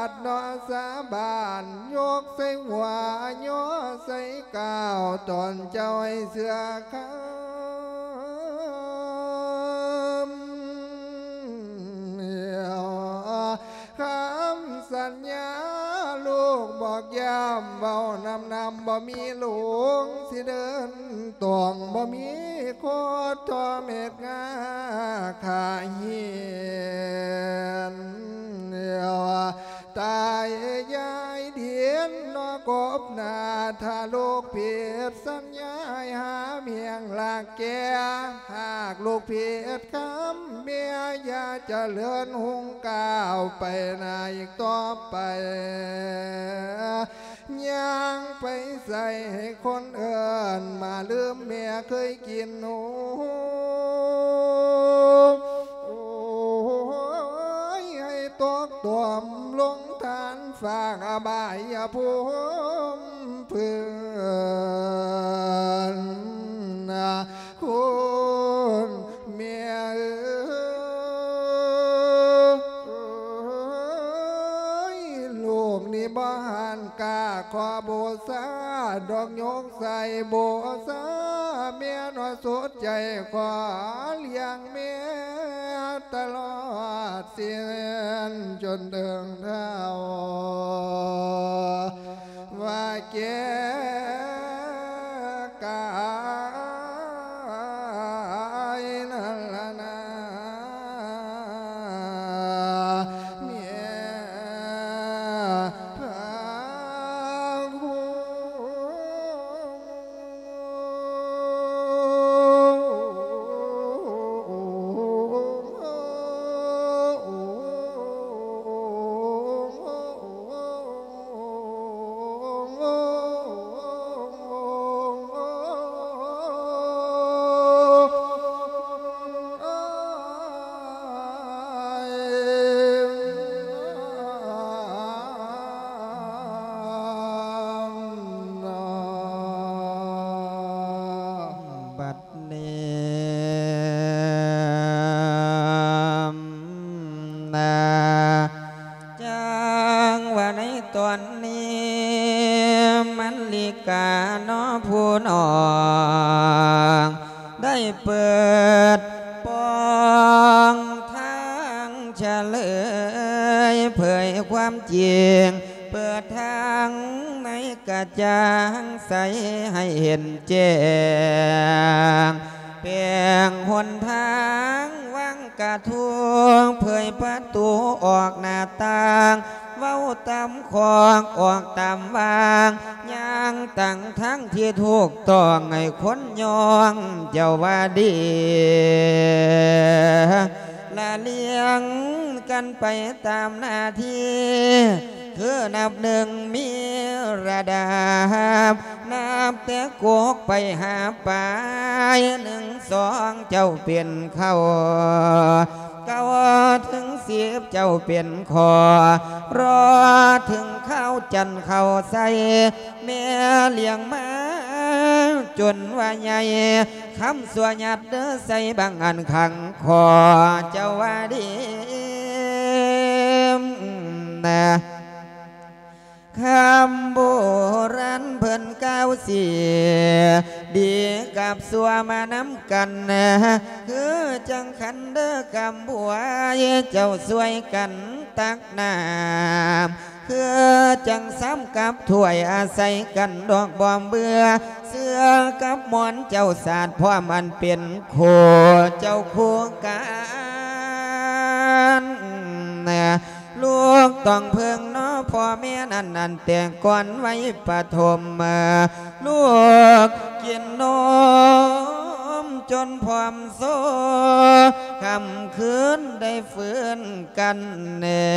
ດເນາະສາບານ ຍົກໃສ່ຫົວຍໍໃສ່ກ້າວ ຕອນເຈົ້າໃຫ້ເຊື່ອຄຳ ຄຳສັນຍາລູກບອກຢ້ຳ ເວົ້ານຳນຳບໍ່ມີຫຼົງ ຊິເດີນຕົງບໍ່ມີໂຄດ ທໍ່ເມັດງາຂາເຫຍນ ຕາຍຍາຍດິນເນາະ ກົບໜ້າ ຖ້າລູກຜິດສັນຍາ ໃຫ້ຫາແຫ່ງລາກແກ່ ຫາກລູກຜິດຄຳ ແມ່ຢ່າຈະເລີນຮຸ່ງກ້າວໄປໜ້າອີກຕໍ່ໄປ ຍ່າງໄປໃສໃຫ້ຄົນເອີ້ນ ມາລືມແມ່ເຄີຍກິນນົມ ໂອ້ຍ ໃຫ້ຕົກຕົມລົງທານຟາກອະບາຍພູມເພິ່ນ ຄຸນແມ່ເອີຍ ລູກນີ້ບໍ່ຫັນກ້າຂໍບູຊາດອກ ຍົກໃສ່ບູຊາແມ່ເນາະ ສຸດໃຈຂໍລ້ຽງແມ່ຕະຫຼອດ ສິ້ນຈົນເຖິງເຖົ້າ ວ່າແກ່ກາຍນັ້ນລະນາ ແມ່ພາຄຸນ ບັດນີ້ນາ ຈັ່ງວ່າໃນຕອນນີ້ ມັນລິກາເນາະຜູ້ນ້ອງ ໄດ້ເປີດປ່ອງທາງ ສະເຫຼີຍເຜີຍຄວາມຈິງ ເປີດທາງໃນກະຈ່າງໃສໃຫ້ເຫັນແຈ້ງ ແປງຫົນທາງວາງກະທຸງ ເຜີຍປະຕູອອກໜ້າຕ່າງ ເວົ້າຕາມຂອກອອກຕາມວາງ ຍ່າງຕັ້ງທາງທີ່ຖືກຕ້ອງ ໃຫ້ຄົນຍ້ອງເຈົ້າວ່າດີ ລະລຽງກັນໄປຕາມໜ້າທີ່ ຄືນັບໜຶ່ງມີລະດັບ ນັບແຕ່ກົກໄປຫາປາຍ ໜຶ່ງ ສອງ ເຈົ້າເປັນເຄົ້າ ເກົ້າ ເຖິງ ສິບ ເຈົ້າເປັນຂໍ້ ລໍເຖິງຄາວຈັນເຂົ້າໃສ່ ແມ່ລ້ຽງມາຈົນວ່າໃຫຍ່ ຄຳຊົ່ວຍັດເດີໃສ່ບັງອັນຂັງ ຂໍເຈົ້າວ່າດີນະ ຄຳໂບລານເພິ່ນກ່າວເສຍ ດີກັບຊົ່ວມານຳກັນ ຄືຈັ່ງຂັນເດີກຳບວຍ ເຈົ້າຊ່ວຍກັນຕັກນ້ຳ ຄືຈັ່ງຊາມກັບຖ້ວຍ ອາໄສກັນດອກບໍ່ເບື່ອ ເສື້ອກັບໝອນເຈົ້າສາດ ພ້ອມອັນເປັນຄູ່ ເຈົ້າຄູ່ກັນ ລູກຕ້ອງເພິ່ງເນາະພໍ່ແມ່ນັ້ນ ອັນແຕ່ກ່ອນໄວປະຖົມ ລູກກິນນົມຈົນພ້ອມໂຊ ຄ່ຳຄືນໄດ້ຟື້ນກັນແນ່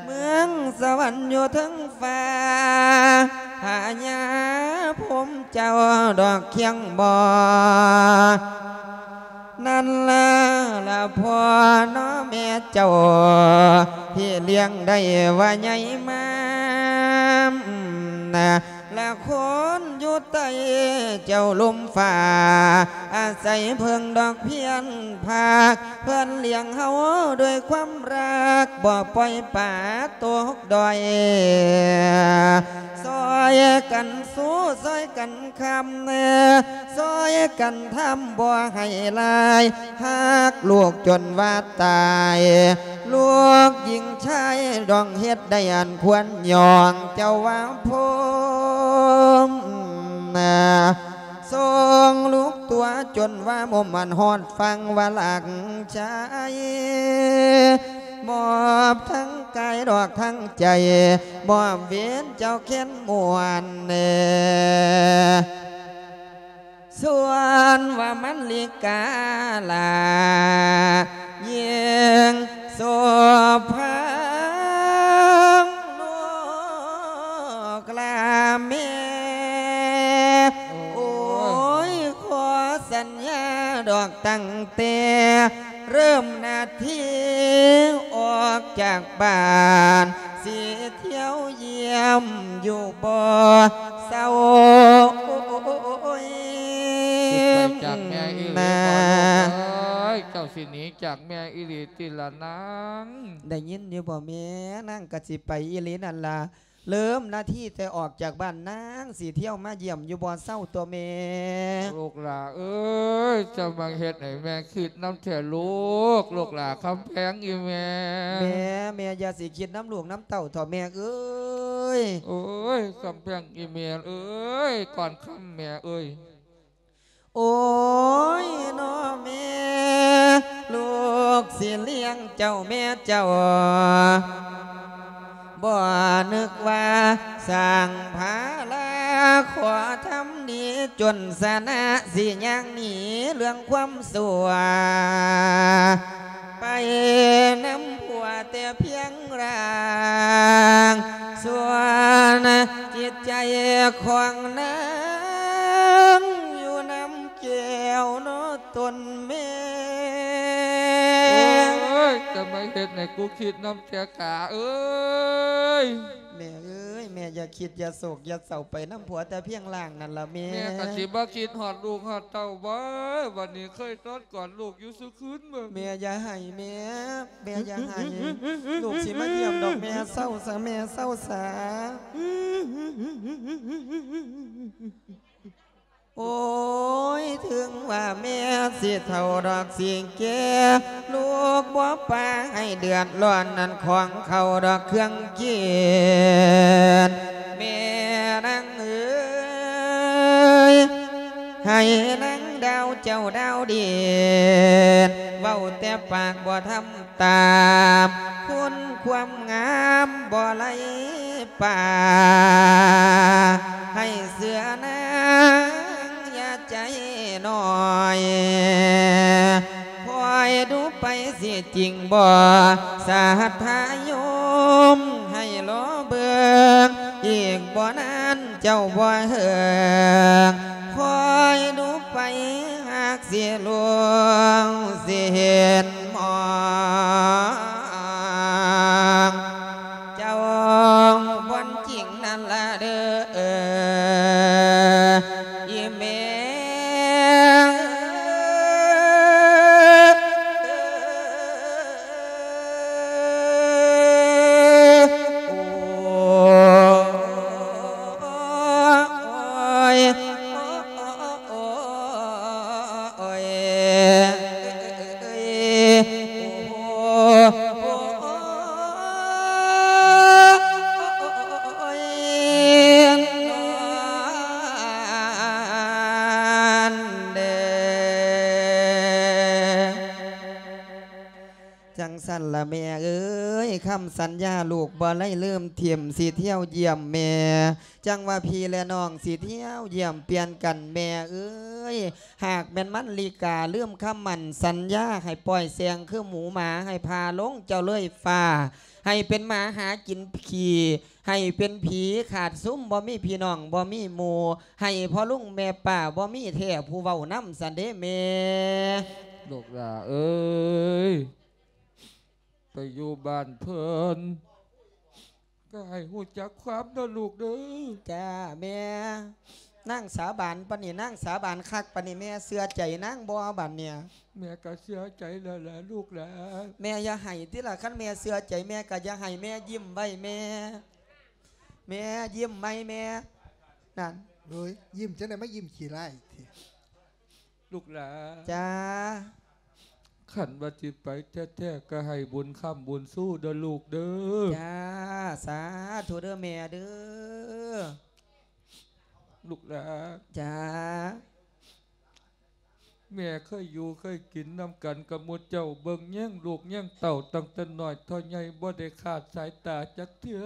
ເມືອງສະຫວັນຢູ່ເທິງຟ້າ ພະຍາພົມເຈົ້າດອກຄຽງບໍ່ ນັ້ນລະລະພໍ່ເນາະແມ່ເຈົ້າ ທີ່ລ້ຽງໄດ້ວ່າໃຫຍ່ມາ ລະຄົນຢູ່ໃຕ້ເຈົ້າລົມຟ້າ ອາໄສເພິ່ງດອກພຽນພາກ ເພິ່ນລ້ຽງເຮົາດ້ວຍຄວາມຮັກ ບໍ່ປ່ອຍປາຕົກດ້ອຍ ຊ່ອຍກັນສູ້ ຊ່ອຍກັນ ຄຳເອີ ຊ່ອຍກັນທຳບໍ່ໃຫ້ລາຍ ຮັກລູກຈົນວ່າຕາຍ ລູກຍິງຊາຍຕ້ອງເຮັດໄດ້ອັນຄວນຍ້ອງ ເຈົ້າວ່າພົມນະ ຊົງລູກຕົວຈົນວ່າໝົມອັນຮອດຝັ່ງວ່າລັກຊາຍ ມອບທັງກາຍດອກທັງໃຈ ມອບເວນເຈົ້າແຄ້ນມ່ວນແນ່ ສ່ວນວ່າມັນລິກາລະ ຍິ່ງໂສພາ ລູກລາແມ່ ໂອ້ຍ ຂໍສັນຍາດອກຕັ້ງແຕ່ ເລີ່ມນາທີອອກຈາກບ້ານ ຊິທ່ຽວຢ້ຽມຢູ່ບໍ່ເຊົາ ໂອ້ຍ ຊິໄປຈາກແມ່ອີ່ຫຼີບໍ່ລູກເອີຍ ເຈົ້າຊິໜີຈາກແມ່ອີ່ຫຼີຕິລະນາງ ໄດ້ຍິນຢູ່ບໍ່ແມ່ ນາງກະຊິໄປອີ່ຫຼີນັ້ນລະ ເລີ່ມນາທີແຕ່ອອກຈາກບ້ານ ນາງຊິທ່ຽວມາຢ້ຽມຢູ່ບໍ່ເຊົາຕົວະແມ່ ລູກຫຼ້າເອີຍ ເຈົ້າມາເຮັດໃຫ້ແມ່ຄິດນຳແທ້ລູກ ລູກຫຼ້າຄຳແພງອີ່ແມ່ ແມ່ ແມ່ຢ່າຊິຄິດນຳລູກນຳເຕົ້າເຖາະແມ່ເອີຍ ໂອ້ຍ ຄຳແພງອີ່ແມ່ເອີຍ ກ່ອນຄຳແມ່ເອີຍ ໂອ້ຍ ເນາະແມ່ ລູກຊິລ້ຽງເຈົ້າແມ່ເຈົ້າ ບໍ່ນຶກວ່າສ້າງພາລາ ຂໍທຳດີຈົນຊະນະ ຊິຍ່າງໜີເລື່ອງຄວາມຊົ່ວ ໄປນຳຜົວແຕ່ພຽງຮ່າງ ສ່ວນຈິດໃຈຂອງນາງ ຢູ່ນຳແກ້ວເນາະຕົນແມ່ ໂອ້ຍ ຈະມາເຮັດໃຫ້ກູຄິດນຳແທ້ກະເອີຍ ແມ່ເອີຍ ແມ່ຢ່າຄິດ ຢ່າໂສກ ຢ່າເສົ້າ ໄປນຳຜົວແຕ່ພຽງຮ່າງນັ້ນລະແມ່ ແມ່ກະຊິບໍ່ຄິດຮອດລູກຮອດເຕົ້າບໍ່ ບັດນີ້ເຄີຍນອນກອດລູກຢູ່ຊຸຄືນບໍ່ ແມ່ຢ່າໄຫ້ແມ່ ແມ່ຢ່າໄຫ້ ລູກຊິມາຢ້ຽມດອກແມ່ ເຊົາຊະແມ່ ເຊົາຊະ ໂ ໂອ້ຍ ເຖິງວ່າແມ່ຊິເຖົ້າດອກຊິແກ່ ລູກບໍ່ປະໃຫ້ເດືອດຮ້ອນ ອັນຂອງເຂົ້າດອກເຄື່ອງກິນ ແມ່ນາງເອີຍ ໃຫ້ນາງດາວເຈົ້າດາວເດດ ເວົ້າແຕ່ປາກບໍ່ທຳ ຕາມຄຸນຄວາມງາມບໍ່ໄຫຼປ່າ ໃຫ້ເຊື່ອນາງຢ່າໃຈນ້ອຍ ຄອຍດູໄປຊິຈິງບໍ່ ສາທາໂຍມ ໃຫ້ລໍເບິ່ງ ອີກບໍ່ນານເຈົ້າບໍ່ເຫິງ ຄອຍດູໄປ ຫາກຊິລວງຊິເຫັນມອງ ເຈົ້າບ່ອນຈິງນັ້ນລະເດີ ອີ່ແມ່. ຈັ່ງຊັ້ນລະແມ່ເອີຍ ຄຳສັນຍາລູກບໍ່ໄດ້ລືມຖິ້ມ ຊິທ່ຽວຢ້ຽມແມ່ ຈັ່ງວ່າພີ່ແລະນ້ອງຊິທ່ຽວຢ້ຽມປ່ຽນກັນແມ່ເອີຍ ຫາກແມ່ນມັນລິກາລືມຄຳໝັ້ນສັນຍາ ໃຫ້ປ່ອຍແສງຄືໝູໝາ ໃຫ້ພາລົງເຈົ້າເລີຍຟ້າ ໃຫ້ເປັນໝາຫາກິນຂີ້ ໃຫ້ເປັນຜີຂາດຊຸມ ບໍ່ມີພີ່ນ້ອງບໍ່ມີໝູ່ ໃຫ້ພໍ່ລຸງແມ່ປ້າບໍ່ມີແທ້ຜູ້ເວົ້ານຳຊັ້ນເດ້ແມ່. ລູກຫຼ້າເອີຍ ໄປຢູ່ບ້ານເພິ່ນ ກໍໃຫ້ຮູ້ຈັກຄວາມເດີລູກເດີ. ຈ້າແມ່. ນາງສາບານປານນີ້ ນາງສາບານຄັກປານນີ້ ແມ່ເຊື່ອໃຈນາງບໍ່ບາດນີ້? ແມ່ກໍເຊື່ອໃຈແລ້ວແຫຼະລູກຫຼ້າ. ແມ່ຢ່າໄຫ້ຕິລະ ຄັນແມ່ເຊື່ອໃຈ ແມ່ກໍຢ່າໄຫ້ ແມ່ຍິ້ມໄວ້ແມ່. ແມ່ຍິ້ມໃໝ່ແມ່. ນັ້ນ ໂອ້ຍ ຍິ້ມຈັ່ງໃດ ມາຍິ້ມຂີ້ຮ້າຍແທ້. ລູກຫຼ້າ. ຈ້າ. ຄັນວ່າຊິໄປແທ້ໆ ກໍໃຫ້ບຸນຄ້ຳບຸນຊູເດີລູກເດີ. ຈ້າ ສາທຸເດີແມ່ເດີ. ລູກຫຼ້າ. ຈ້າ. ແມ່ເຄີຍຢູ່ເຄີຍກິນນຳກັນກັບໝູ່ເຈົ້າ ເບິ່ງແຍງລູກແຍງເຕົ້າ ຕັ້ງແຕ່ນ້ອຍເທົ່າໃຫຍ່ ບໍ່ໄດ້ຂາດສາຍຕາຈັກເທື່ອ.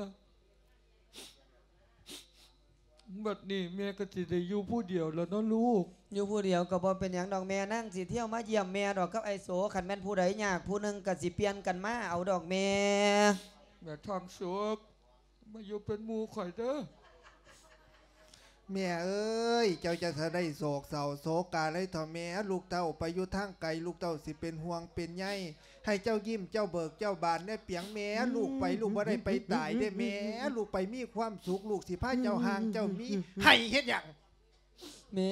ບັດນີ້ແມ່ກໍຊິໄດ້ຢູ່ຜູ້ດຽວແລ້ວເນາະລູກ. ຢູ່ຜູ້ດຽວກໍບໍ່ເປັນຫຍັງດອກແມ່ ນາງຊິທ່ຽວມາຢ້ຽມແມ່ດອກກັບອ້າຍໂສ ຄັນແມ່ນຜູ້ໃດຍາກຜູ້ໜຶ່ງກໍຊິປ່ຽນກັນມາເອົາດອກແມ່. ແມ່ທອງສຸກ ມາຢູ່ເປັນໝູ່ຂ້ອຍເດີ. ແມ່ເອີຍ ເຈົ້າຈະສະໄດ້ໂສກເສົ້າໂສກາໄລເຖົ້າແມ່ ລູກເຕົ້າໄປຢູ່ທາງໄກ ລູກເຕົ້າຊິເປັນຫ່ວງເປັນໃຍ. ໃຫ້ເຈົ້າຍິ້ມເຈົ້າເບີກເຈົ້າບານແດ່ປຽງແມ່. ລູກໄປ ລູກບໍ່ໄດ້ໄປຕາຍເດ້ແມ່. ລູກໄປມີຄວາມສຸກ ລູກຊິພາເຈົ້າຮ່າງເຈົ້າມີ. ໄຫ້ເຮັດຫຍັງ? ແມ່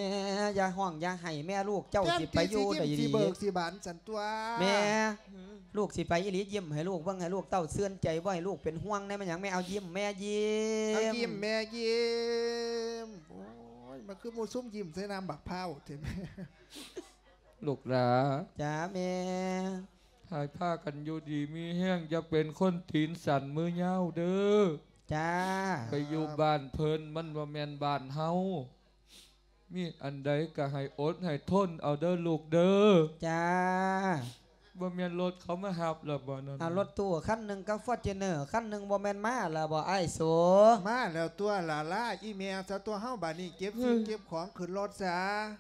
ຢ່າຮ້ອງຢ່າໄຫ້ແມ່ ລູກເຈົ້າຊິໄປຢູ່ໄດ້ດີ ຊິເບີກຊິບານຊັ້ນຕົວະແມ່. ລູກຊິໄປອີ່ຫຼີ ຍິ້ມໃຫ້ລູກເບິ່ງ ໃຫ້ລູກເຕົ້າຊື່ນໃຈ ບໍ່ໃຫ້ລູກເປັນຫ່ວງແດ່. ແມ່ນຫຍັງແມ່? ເອົາຍິ້ມແມ່ຍິ້ມ ເອົາຍິ້ມແມ່ຍິ້ມ. ໂອ້ຍ ມາຄືໝູ່ຊຸມຍິ້ມໃສ່ນ້ຳບັກພ້າວແທ້ແມ່. ລູກຫຼ້າ. ຈ້າແມ່. ໃຫ້ພາກັນຢູ່ດີມີແຮງ ຢ່າເປັນຄົນຕີນສັ້ນມືຍາວເດີ. ຈ້າ. ໄປຢູ່ບ້ານເພິ່ນ ມັນບໍ່ແມ່ນບ້ານເຮົາ. ມີອັນໃດກໍໃຫ້ອົດໃຫ້ທົນເອົາເດີລູກເດີ. ຈ້າ. ບໍ່ແມ່ນລົດເຂົາມາຮັບແລ້ວບໍ່ນັ້ນ? ເອົາລົດຕູ້ຄັນໜຶ່ງກັບຟໍຈູນເນີຄັນໜຶ່ງ ບໍ່ແມ່ນມາແລ້ວບໍ່ອ້າຍໂສ? ມາແລ້ວຕົວະຫຼ້າ. ລາອີ່ແມ່ຊະຕົວະເຮົາ ບາດນີ້ເກັບສິ່ງເກັບຂອງຂຶ້ນລົດຊະ.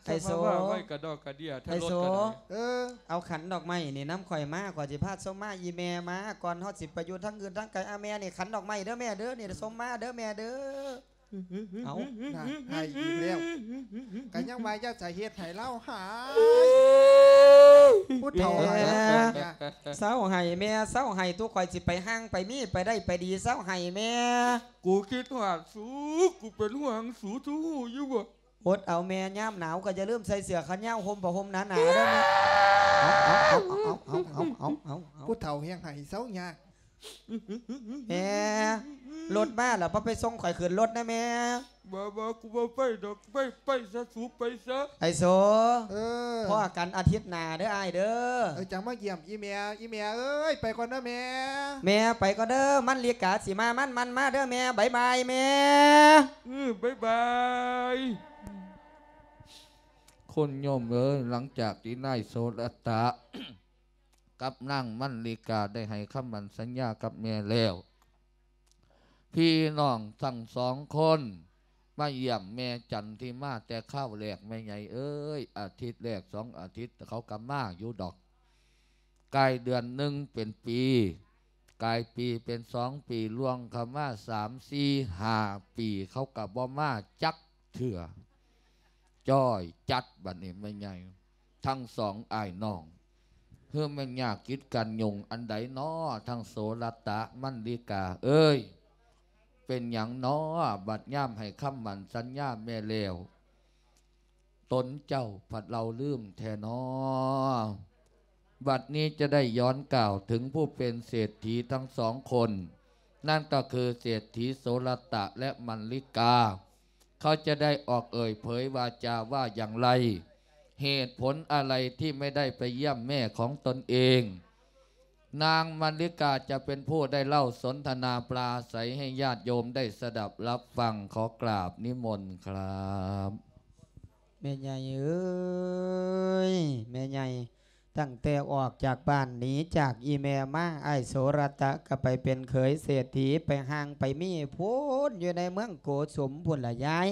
ອ້າຍໂສ ມາວ່າໄວ້ກະດອກກະເດຍແທ້ລົດກະໄດ້. ເອີ ເອົາຂັນດອກໄມ້ນີ້ນຳຂ້ອຍມາ ຂ້ອຍຊິພາສົມມາອີ່ແມ່ມາ ກ່ອນເຮົາຊິໄປຢູ່ທາງອື່ນທາງໄກ. ອາ ແມ່ນີ້ຂັນດອກໄມ້ເດີແມ່ເດີ ນີ້ສົມມາເດີແມ່ເດີ. ເອົາ ນະ ໃຫ້ອີກແລ້ວ. ກະຍັງວ່າຢ່າສະເຮັດໃຫ້ລາວຫາຍ. ຜູ້ເຖົ້າ ເອີ ເຊົາໃຫ້ແມ່ ເຊົາໃຫ້ ຕົວະຂ້ອຍຊິໄປຮ່າງໄປມີໄປໄດ້ໄປດີ ເຊົາໃຫ້ແມ່. ກູຄິດຮອດສູ ກູເປັນຫ່ວງສູ ສູຮູ້ຢູ່ບໍ່? ອົດເອົາແມ່ ຍາມໜາວກໍຢ່າລືມໃສ່ເສື້ອແຂນຍາວ ຫົ່ມຜ້າຫົ່ມໜາໆເດີແມ່. ເອົາ ເອົາ ເອົາ ເອົາ ເອົາ ເອົາ ຜູ້ເຖົ້າແຮ່ງໃຫ້ເຊົາຍາກ. ແມ່ ລົດມາແລ້ວ ບໍ່ໄປສົ່ງຂ້ອຍຂຶ້ນລົດນະແມ່. ບໍ່ ບໍ່ ກູບໍ່ໄປດອກ ໄປ ໄປຊະ ສູໄປຊະ ໄອ້ໂສ. ເອີ ພໍ້ກັນອາທິດໜ້າເດີອ້າຍເດີ. ເອີ ຈັ່ງມາຢ້ຽມອີ່ແມ່. ອີ່ແມ່ເອີຍ ໄປກ່ອນເດີແມ່. ແມ່ໄປກ່ອນເດີ ມັນລິກາຊິມາ ມັນ ມັນມາເດີແມ່ ບາຍບາຍແມ່. ເອີ ບາຍບາຍ. ຄຸນໂຍມເອີຍ ຫຼັງຈາກທີ່ນາຍໂສລະຕະ ກັບນາງມັນລິກາໄດ້ໃຫ້ຄຳໝັ້ນສັນຍາກັບແມ່ແລ້ວ, ພີ່ນ້ອງທັງສອງຄົນມາຢ້ຽມແມ່ຈັນທິມາແຕ່ຄາວແລກ. ແມ່ໃຫຍ່ເອີຍ ອາທິດແລກສອງອາທິດເຂົາກໍມາຢູ່ດອກ, ກາຍເດືອນໜຶ່ງເປັນປີ, ກາຍປີເປັນສອງປີ, ລ່ວງເຂົ້າມາສາມ ສີ່ ຫ້າປີ ເຂົາກໍບໍ່ມາຈັກເທື່ອ. ຈ້ອຍຈັດບັດນີ້ແມ່ໃຫຍ່ ທັງສອງອ້າຍນ້ອງ ຄືແມ່ນຍາກກິດກັນຫຍຸ້ງອັນໃດນໍ ທັງໂສລະຕະ ມັນລິກາເອີຍ. ເປັນຫຍັງນໍ ບັດຍາມໃຫ້ຄຳໝັ້ນສັນຍາແມ່ແລ້ວ ຕົນເຈົ້າພັດເລົ່າລືມແທ້ນໍ. ບັດນີ້ຈະໄດ້ຍ້ອນກ່າວເຖິງຜູ້ເປັນເສດຖີທັງສອງຄົນ, ນັ້ນກໍຄືເສດຖີໂສລະຕະ ແລະ ມັນລິກາ. ເຂົາຈະໄດ້ອອກເອີ່ຍເຜີຍວາຈາວ່າຢ່າງໄລ? ເຫດຜົນອະໄລທີ່ໄມ່ໄດ້ໄປຢ້ຽມແມ່ຂອງຕົນເອງ? ນາງມັນລິກາຈະເປັນຜູ້ໄດ້ເລົ່າສົນທະນາປາໄສໃຫ້ຍາດໂຍມໄດ້ສະດັບຮັບຟັງ. ຂໍກາບນິມົນຄຣັບ. ແມ່ໃຫຍ່ເອີຍ ແມ່ໃຫຍ່, ຕັ້ງແຕ່ອອກຈາກບ້ານໜີຈາກອີ່ແມ່ມາ, ອ້າຍໂສລະຕະກໍໄປເປັນເຂີຍເສດຖີ ໄປຮ່າງໄປມີພຸ້ນ ຢູ່ໃນເມືອງໂກສຸມພຸ້ນລະຍາຍ.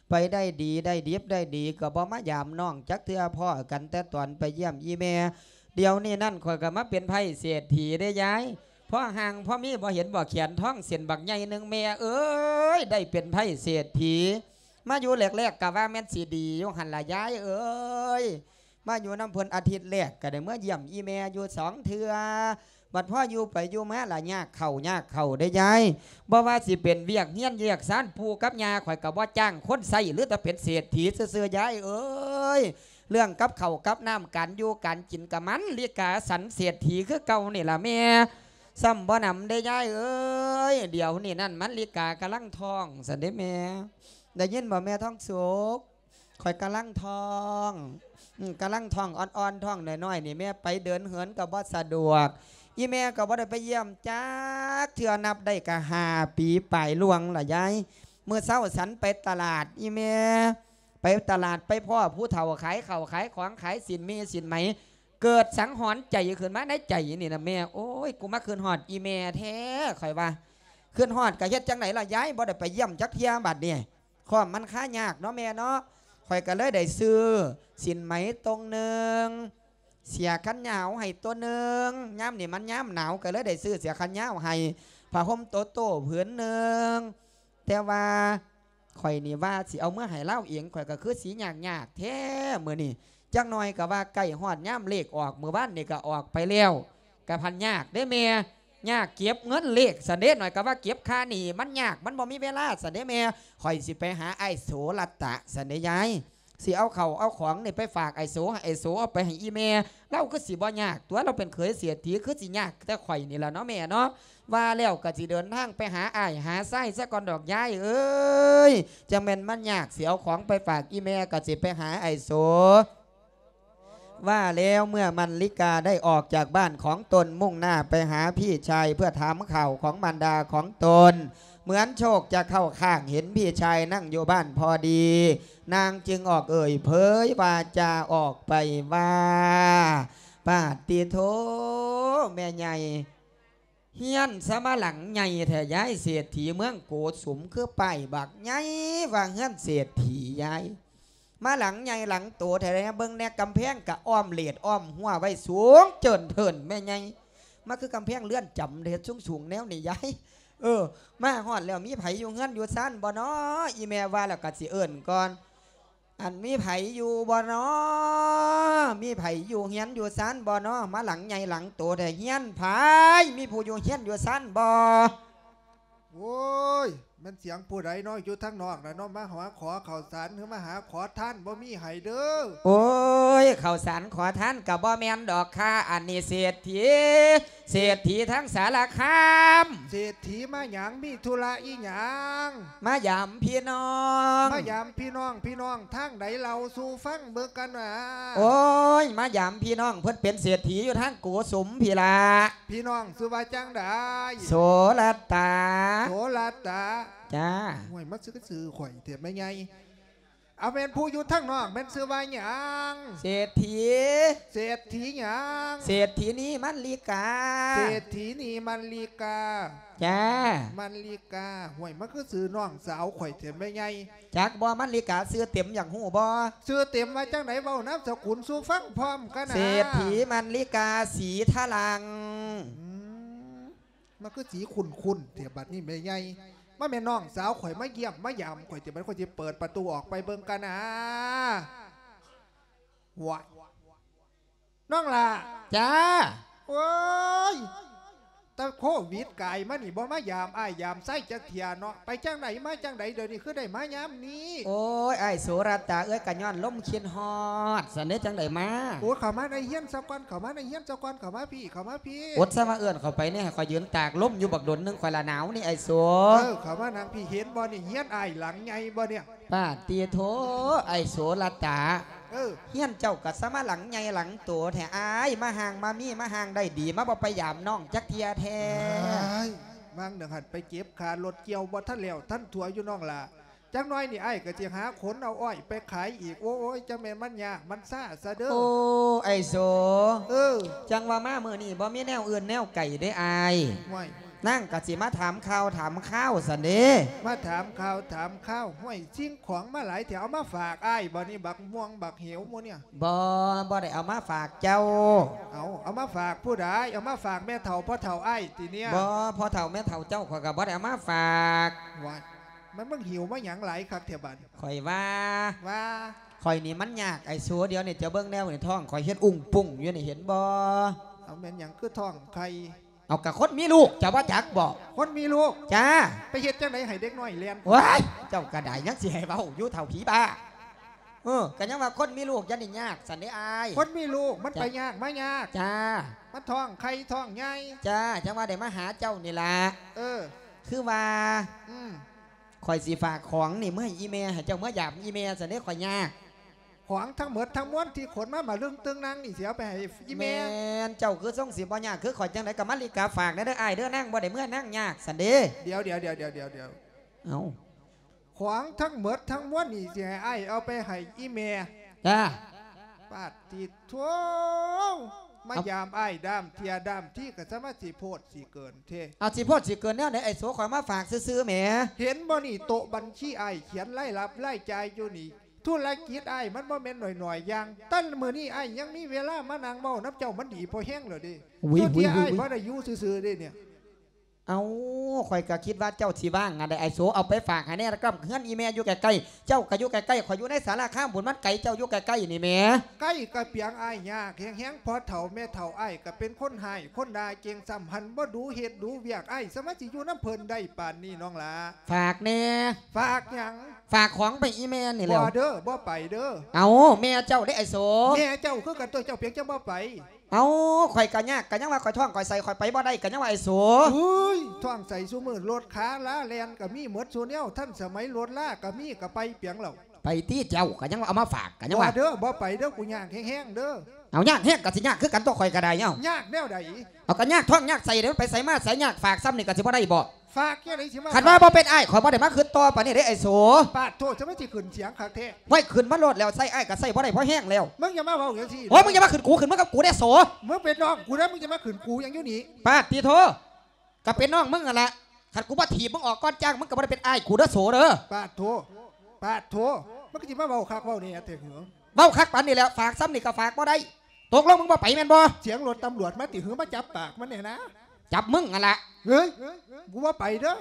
ໄປໄດ້ດີໄດ້ດິບໄດ້ດີ ກໍບໍ່ມາຢາມນ້ອງຈັກເທື່ອ, ພໍ້ກັນແຕ່ຕອນໄປຢ້ຽມອີ່ແມ່. ດຽວນີ້ນັ້ນຂ້ອຍກໍມາເປັນໄພ້ເສດຖີເດ້ຍາຍ, ພໍ່ຮ່າງພໍມີ ບໍ່ເຫັນບໍ່ແຂນທອງເສັ້ນບັກໃຫຍ່ໜຶ່ງ. ແມ່ເອີຍ ໄດ້ເປັນໄພ້ເສດຖີ ມາຢູ່ແລກໆ ກະວ່າແມ່ນຊິດີຢູ່ຫັ້ນລະຍາຍເອີຍ. ມາຢູ່ນຳເພິ່ນອາທິດແລກ ກະໄດ້ເມືອຢ້ຽມອີ່ແມ່ຢູ່ສອງເທື່ອ. ບັດພໍຢູ່ໄປຢູ່ມາລະຍາກເຂົ້າຍາກເຂົ້າເດ້ຍາຍ. ບໍ່ວ່າຊິເປັນວຽກເຮືອນວຽກຊານ ປູ່ກັບຍ່າຂ້ອຍກະບໍ່ຈ້າງຄົນໃຊ້ ຫຼືແຕ່ເປັນເສດຖີຊື່ໆ ຍາຍເອີຍ. ເລື່ອງກັບເຂົ້າກັບນ້ຳ ການຢູ່ການກິນກະມັນລິກາສັນເສດຖີຄືເກົ່ານີ້ລະແມ່. ຊ້ຳບໍ່ໜຳເດ້ຍາຍເອີຍ. ດຽວນີ້ນັ້ນມັນລິກາກຳລັງທ້ອງຊັ້ນເດ້ແມ່. ໄດ້ຍິນບໍ່ແມ່ທອງສຸກ? ຂ້ອຍກຳລັງທ້ອງ ອືມ ກຳລັງທ້ອງອ່ອນໆ ທ້ອງນ້ອຍໆ ນີ້ແມ່ ໄປເດີນເຫີນກໍບໍ່ສະດວກ. ອີ່ແມ່ກໍບໍ່ໄດ້ໄປຢ້ຽມຈັກເທື່ອ ນັບໄດ້ກໍຫ້າປີປາຍລວງລະຍາຍ. ມື້ເຊົ້າສັນໄປຕະຫຼາດ ອີ່ແມ່ ໄປຕະຫຼາດ ໄປພໍ້ຜູ້ເຖົ້າຂາຍເຂົ້າຂາຍຂອງ ຂາຍສິ້ນໝີ້ສິ້ນໄໝ. ເກີດສັງຫອນໃຈຂຶ້ນມາໃນໃຈນີ້ນະແມ່ ໂອ້ຍ ກູມາຄິດຮອດອີ່ແມ່ແທ້ ຂ້ອຍວ່າ. ຄິດຮອດກໍເຮັດຈັ່ງໃດລະຍາຍ ບໍ່ໄດ້ໄປຢ້ຽມຈັກເທື່ອບັດນີ້. ຄວາມມັນຄາຍາກເນາະແມ່ເນາະ. ຂ້ອຍກໍເລີຍໄດ້ຊື້ສິ້ນໄໝຕົງໜຶ່ງ, ເສື້ອແຂນຍາວໃຫ້ຕົວໜຶ່ງ, ຍາມນີ້ມັນຍາມໜາວ ກໍເລີຍໄດ້ຊື້ເສື້ອແຂນຍາວໃຫ້, ຜ້າຫົ່ມໂຕໂຕ້ຜືນໜຶ່ງ. ແຕ່ວ່າຂ້ອຍນີ້ວ່າຊິເອົາເມືອໃຫ້ລາວເອງ ຂ້ອຍກໍຄືຊິຍາກຍາກແທ້ມື້ນີ້. ຈັກໜ່ອຍກໍວ່າໃກ້ຮອດຍາມເລກອອກ, ມື້ວານນີ້ກໍອອກໄປແລ້ວ. ກະພັນຍາກເດ້ແມ່ ຍາກເກັບເງິນເລກຊັ້ນເດ້. ໜ້ອຍກໍວ່າເກັບຄ່າໜີ້ມັນຍາກ ມັນບໍ່ມີເວລາຊັ້ນເດ້ແມ່. ຂ້ອຍຊິໄປຫາອ້າຍໂສລະຕະຊັ້ນເດ້ຍາຍ. ຊິເອົາເຂົ້າເອົາຂອງນີ້ໄປຝາກອ້າຍໂສ ໃຫ້ອ້າຍໂສເອົາໄປໃຫ້ອີ່ແມ່. ລາວຄືຊິບໍ່ຍາກຕົວະ ລາວເປັນເຂີຍເສດຖີ ຄືຊິຍາກແຕ່ຂ້ອຍນີ້ລະເນາະແມ່ເນາະ. ວ່າແລ້ວກໍຊິເດີນທາງໄປຫາອ້າຍຫາຊາຍຊະກ່ອນດອກຍາຍເອີຍ. ຈັ່ງແມ່ນມັນຍາກ ຊິເອົາຂອງໄປຝາກອີ່ແມ່ ກໍຊິໄປຫາອ້າຍໂສ. ວ່າແລ້ວເມື່ອມັນລິກາໄດ້ອອກຈາກບ້ານຂອງຕົນ ມຸ່ງໜ້າໄປຫາພີ່ຊາຍເພື່ອຖາມຂ່າວຂອງມານດາຂອງຕົນ. ເໝືອນໂຊກຈະເຂົ້າຂ້າງ ເຫັນພີ່ຊາຍນັ່ງຢູ່ບ້ານພໍດີ, ນາງຈຶ່ງອອກເອີ່ຍເຜີຍວາຈາອອກໄປວ່າ, ປາດຕິໂທ ແມ່ໃຫຍ່ ເຮືອນສະມາຫຼັງໃຫຍ່ແທ້ຍາຍ ເສດຖີເມືອງໂກສຸມ ຄືປ້າຍບັກໃຫຍ່ວ່າເຮືອນເສດຖີຍາຍ. ມາຫຼັງໃຫຍ່ຫຼັງໂຕແທ້ ເບິ່ງແດ່ ກຳແພງກະອ້ອມເລດອ້ອມຮົ້ວໄວ້ສູງເຈີນເທີນແມ່ໃຫຍ່. ມາຄືກຳແພງເຮືອນຈຳເດ ເຮັດສູງໆແນວນີ້ຍາຍ. ເອີ ມາຮອດແລ້ວມີໃຜຢູ່ເຮືອນຢູ່ຊານບໍ່ນໍ? ອີ່ແມ່ວ່າແລ້ວກະຊິເອີ້ນກ່ອນ. ອັນ ມີໃຜຢູ່ບໍ່ນໍ? ມີໃຜຢູ່ເຮືອນຢູ່ຊານບໍ່ນໍ? ມາຫຼັງໃຫຍ່ຫຼັງໂຕແທ້ ເຮືອນໃຜ? ມີຜູ້ຢູ່ເຮືອນຢູ່ຊານບໍ່? ໂອ້ຍ ແມ່ນສຽງຜູ້ໃດເນາະ ຢູ່ທາງນອກນະເນາະ ມາຫາຂໍເຂົ້າສານ ຫຼືມາຫາຂໍທານ ບໍ່ມີໃຫ້ເດີ. ໂອ້ຍ ເຂົ້າສານຂໍທານກໍບໍ່ແມ່ນດອກຄ່າ ອັນນີ້ເສດຖີ ເສດຖີທາງສາລະຄາມ. ເສດຖີມາຫຍັງ? ມີທຸລະອີຫຍັງ? ມາຢາມພີ່ນ້ອງ. ມາຢາມພີ່ນ້ອງ ພີ່ນ້ອງທາງໃດ? ເລົ່າສູ່ຟັງເບິ່ງກັນນະ. ໂອ້ຍ ມາຢາມພີ່ນ້ອງ ເພິ່ນເປັນເສດຖີຢູ່ທາງໂກສຸມພີ້ລະ. ພີ່ນ້ອງຊື່ວ່າຈັ່ງໃດ? ໂສລະຕາ. ໂສລະຕາ. ຈ້າ. ໂອ້ຍ ມາຊື່ຊື່ຂ້ອຍແທ້ແມ່ໃຫຍ່. ເອົາ ແມ່ນຜູ້ຢູ່ທາງນອກແມ່ນຊື່ວ່າຫຍັງ? ເສດຖີ. ເສດຖີຫຍັງ? ເສດຖີນີມັນລິກາ. ເສດຖີນີມັນລິກາ. ຈ້າ. ມັນລິກາ. ໂອ້ຍ ມັນຄືຊື່ນ້ອງສາວຂ້ອຍແທ້ແມ່ໃຫຍ່. ຈັກບໍ່ ມັນລິກາຊື່ເຕັມ ຢາກຮູ້ບໍ່? ຊື່ເຕັມວ່າຈັ່ງໃດ? ເວົ້ານາມສະກຸນສູ່ຟັງພ້ອມກັນນະ. ເສດຖີມັນລິກາ ສີທະລັງ. ອືມ ມັນຄືສີຄຸ້ນໆແທ້ບັດນີ້ແມ່ໃຫຍ່. ມາແມ່ນນ້ອງສາວຂ້ອຍມາຢ້ຽມມາຢາມຂ້ອຍຕິ ບັດຂ້ອຍຊິເປີດປະຕູອອກໄປເບິ່ງກັນນະ. ວ້າຍ ນ້ອງຫຼ້າ. ຈ້າ. ໂອ້ຍ ແຕ່ໂຄວິດກາຍມານີ້ ບໍ່ມາຢາມອ້າຍຢາມໄຊຈັກເທື່ອເນາະ. ໄປຈັ່ງໃດມາຈັ່ງໃດ ດຽວນີ້ຄືໄດ້ມາຍາມນີ້? ໂອ້ຍ ອ້າຍໂສລະຕາເອີຍ ກະຍ້ອນລົມຄິດຮອດ ຊັ້ນເດ້ ຈັ່ງໄດ້ມາ. ໂອ້ຍ ເຂົ້າມາໃນເຮືອນຊະກ່ອນ ເຂົ້າມາໃນເຮືອນຊະກ່ອນ ເຂົ້າມາພີ້ ເຂົ້າມາພີ້. ອົດຊະ ມາເອີ້ນເຂົ້າໄປແດ່ ໃຫ້ຂ້ອຍຢືນຕາກລົມຢູ່ບັກດົນໜຶ່ງ ຂ້ອຍລະໜາວນີ້ ອ້າຍໂສ. ເອີ ເຂົ້າມານັ່ງພີ້ ເຫັນບໍ່ນີ້ ເຮືອນອ້າຍຫຼັງໃຫຍ່ບໍ່ນີ້? ປາດຕິໂທ ອ້າຍໂສລະຕາ. ເອີ ເຮືອນເຈົ້າກະສະມາຫຼັງໃຫຍ່ຫຼັງໂຕແທ້ອ້າຍ ມາຮ່າງມາມີ ມາຮ່າງໄດ້ດີ ມາບໍ່ໄປຢາມນ້ອງຈັກເທື່ອແທ້. ອ້າຍ ວາງໜຶ່ງຫັ້ນໄປເກັບຄ່າລົດກ່ຽວ ບໍ່ທັນແລ້ວທັນທົ່ວຢູ່ນ້ອງຫຼ້າ. ຈັກໜ້ອຍນີ້ອ້າຍກະຊິຫາຂົນເອົາອ້ອຍໄປຂາຍອີກ. ໂອ້ຍ ຈັ່ງແມ່ນມັນຍາກມັນຊາຊະເດີ. ໂອ້ ອ້າຍໂສ. ເອີ ຈັ່ງວ່າມາມື້ນີ້ບໍ່ມີແນວອື່ນແນວໄກເດ້ອ້າຍ. ຫ້ວຍ ນາງກະຊິມາຖາມຂ່າວຖາມຄາວຊັ້ນເດ້. ມາຖາມຂ່າວຖາມຄາວ. ຫ້ວຍ ສິ່ງຂອງມາຫຼາຍແທ້ ເອົາມາຝາກອ້າຍບໍ່ນີ້ ບັກມ່ວງບັກເຫວໝູ່ນີ້? ບໍ່ ບໍ່ໄດ້ເອົາມາຝາກເຈົ້າ. ເອົາ ເອົາມາຝາກຜູ້ໃດ? ເອົາມາຝາກແມ່ເຖົ້າພໍ່ເຖົ້າອ້າຍຕິເນີ້ຍ? ບໍ່ ພໍ່ເຖົ້າແມ່ເຖົ້າເຈົ້າ ຂ້ອຍກໍບໍ່ໄດ້ເອົາມາຝາກ. ວ້າຍ ມັນ ມຶງຫິວມາຫຍັງຫຼາຍຄັກແທ້ບັດ? ຂ້ອຍວ່າ ວ່າ ຂ້ອຍນີ້ມັນຍາກ ໄອ້ໂສ. ດຽວນີ້ເຈົ້າເບິ່ງແນວນີ້ ທ້ອງຂ້ອຍເຮັດອຸ້ງປຸ້ງຢູ່ນີ້ ເຫັນບໍ່? ເອົາ ແມ່ນຫຍັງຄືທ້ອງໄຂ່? ເອົາ ກະຄົນມີລູກ ເຈົ້າບໍ່ຈັກບໍ? ຄົນມີລູກ? ຈ້າ. ໄປເຮັດຈັ່ງໃດໃຫ້ເດັກນ້ອຍແລ່ນ? ໂອ້ຍ ເຈົ້າກະໄດ້ ຍັງຊິໃຫ້ເວົ້າຢູ່ ເຖົ້າຜີບ້າ. ເອີ ກະຍັງວ່າຄົນມີລູກຢ່າໄດ້ຍາກຊັ້ນເດ້ອ້າຍ. ຄົນມີລູກມັນ ຈ້າ ໄປຍາກມາຍາກ. ຈ້າ. ມັນທ້ອງໄຂ່ທ້ອງໃຫຍ່. ຈ້າ ຈັ່ງວ່າໄດ້ມາຫາເຈົ້ານີ້ລະ. ເອີ ຄືວ່າ ອືມ ຂ້ອຍຊິຝາກຂອງນີ້ເມືອໃຫ້ອີ່ແມ່ ໃຫ້ເຈົ້າເມືອຢາມອີ່ແມ່ຊັ້ນເດ້ ຂ້ອຍຍາກ. ຂອງທັງໝົດທັງມວນທີ່ຂົນມາມາລຶ້ງຕຶງນັ່ງນີ້ ຊິເອົາໄປໃຫ້ອີ່ແມ່? ແມ່ນ ເຈົ້າຄືຊົງຊິບໍ່ຍາກຄືຂ້ອຍຈັ່ງໃດ? ກະມາລິກາຝາກແດ່ເດີອ້າຍເດີ ນາງບໍ່ໄດ້ເມືອນາງຍາກຊັ້ນເດ້. ດຽວ ດຽວ ດຽວ ດຽວ ດຽວ ດຽວ ເອົ້າ ຂອງທັງໝົດທັງມວນນີ້ ຊິໃຫ້ອ້າຍເອົາໄປໃຫ້ອີ່ແມ່? ຈ້າ. ປາດຕິໂທ ມາ ເອົ້າ ຢາມອ້າຍດ້າມເທື່ອດ້າມທີ ກະສາມາດຊິໂພດຊິເກີນເທ. ເອົາ ຊິໂພດຊິເກີນແນວໃດ? ໄອ້ໂສ ຂ້ອຍມາຝາກຊື່ໆແໝ. ເຫັນບໍ່ນີ້ ໂຕະບັນຊີອ້າຍຂຽນລາຍຮັບລາຍຈ່າຍຢູ່ນີ້. ທຸລະກິດອ້າຍມັນບໍ່ແມ່ນໜ້ອຍໆຢ່າງ. ແຕ່ມື້ນີ້ອ້າຍຍັງມີເວລາມານັ່ງເວົ້ານຳເຈົ້າ ມັນດີພໍແຮງແລ້ວເດ້. ອຸ້ຍ ຊຸດທີ່ອ້າຍບໍ່ໄດ້ຢູ່ຊື່ໆເດ້ນີ້. ເອົ້າ ຂ້ອຍກະຄິດວ່າເຈົ້າຊິວ່າງອັນໃດ ໄອ້ໂສ ເອົາໄປຝາກໃຫ້ແດ່ ລະກັບເຮືອນອີ່ແມ່ຢູ່ໃກ້ໆ. ເຈົ້າກະຢູ່ໃກ້ໆ ຂ້ອຍຢູ່ໃນສາລາຄາມພຸ້ນ ມັນໄກ ເຈົ້າຢູ່ໃກ້ໆນີ້ແໝ. ໃກ້ກະປຽງອ້າຍຍາກແຮງໆ ພໍ່ເຖົ້າແມ່ເຖົ້າອ້າຍກະເປັນຄົນຮ້າຍຄົນດ່າເກັ່ງ ຊ້ຳຫັ້ນບໍ່ດູເຮັດດູວຽກ ອ້າຍສາມາດຊິຢູ່ນຳເພິ່ນໄດ້ປານນີ້ນ້ອງຫຼ້າ. ຝາກແດ່. ຝາກຫຍັງ? ຝາກຂອງໄປອີ່ແມ່ນີ້ແຫຼ້ວ. ບໍ່ເດີ ບໍ່ໄປເດີ. ເອົ້າ ແມ່ເຈົ້າເດ້ໄອ້ໂສ. ແມ່ເຈົ້າຄືກັນຕົວະ ເຈົ້າເປັນຫຍັງຈັ່ງບໍ່ໄປ? ເອົ້າ ຂ້ອຍກະຍາກ ກະຍັງວ່າຂ້ອຍທ້ອງຂ້ອຍໄສ້ ຂ້ອຍໄປບໍ່ໄດ້ ກະຍັງວ່າໄອ້ໂສ. ໂອ້ຍ ທ້ອງໄສ້ຊຸມື້ ລົດຄາລາແລ່ນກະມີໝົດຊຸແນວ ທັນສະໄໝລົດລາກະມີ ກະໄປເປັນຫຍັງແລ້ວ? ໄປຕິເຈົ້າ ກະຍັງວ່າເອົາມາຝາກ ກະຍັງວ່າ. ບໍ່ເດີ ບໍ່ໄປເດີ ກູຍາກແຮງໆເດີ. ເອົາ ຍາກແຮງກະຊິຍາກຄືກັນຕົວະ ຂ້ອຍກະໄດ້. ເອົ້າ ຍາກແນວໃດ? ເອົາ ກະຍາກທ້ອງຍາກໄສ້ເດ້ ໄປໃສມາໃສຍາກ ຝາກຊ້ຳນີ້ກະຊິບໍ່ໄດ້ບໍ? ຝາກຈັ່ງໃດຊິມາ ຄັນວ່າບໍ່ເປັນອ້າຍ ຂ້ອຍບໍ່ໄດ້ມາຄຶດຕໍ່ປານນີ້ເດ້ໄອ້ໂສ. ປາດໂທ ຈະມາຊິຂຶ້ນສຽງຄັກແທ້. ໄວ້ ຂຶ້ນມາໂລດແລ້ວ ໃຊ້ອ້າຍກະໃຊ້ບໍ່ໄດ້ພໍແຮງແລ້ວ. ມຶງຢ່າມາເວົ້າຈັ່ງຊີ້. ໂອ້ຍ ມຶງຢ່າມາຂຶ້ນກູ ຂຶ້ນມຶງກັບກູແດ່ໂສ. ມຶງເປັນນ້ອງກູເດ້ ມຶງຈະມາຂຶ້ນກູຫຍັງຢູ່ນີ້? ປາດຕິໂທ ກະເປັນນ້ອງມຶງຫັ້ນລະ. ຄັນກູບໍ່ຖີບມຶງອອກກ່ອນຈ້າງ ມຶງກະບໍ່ໄດ້ເປັນອ້າຍກູເດີໂສເດີ. ປາດໂທ ປາດໂທ ມັນກະຊິມາເວົ້າຄັກເວົ້າແນ່ແທ້ເຫືອ. ເວົ້າຄັກປານນີ້ແລ້ວ ຝາກຊ້ຳນີ້ກະຝາກບໍ່ໄດ້. ຕົກລົງມຶງບໍ່ໄປແມ່ນບໍ່? ສຽງລົດຕຳຫຼວດມາຕິ ຫື ມາຈັບປາກມັນແນ່ນະ? ຈັບມຶງຫັ້ນລະ. ເຮີ້ຍ ກູບໍ່ໄປເດີ.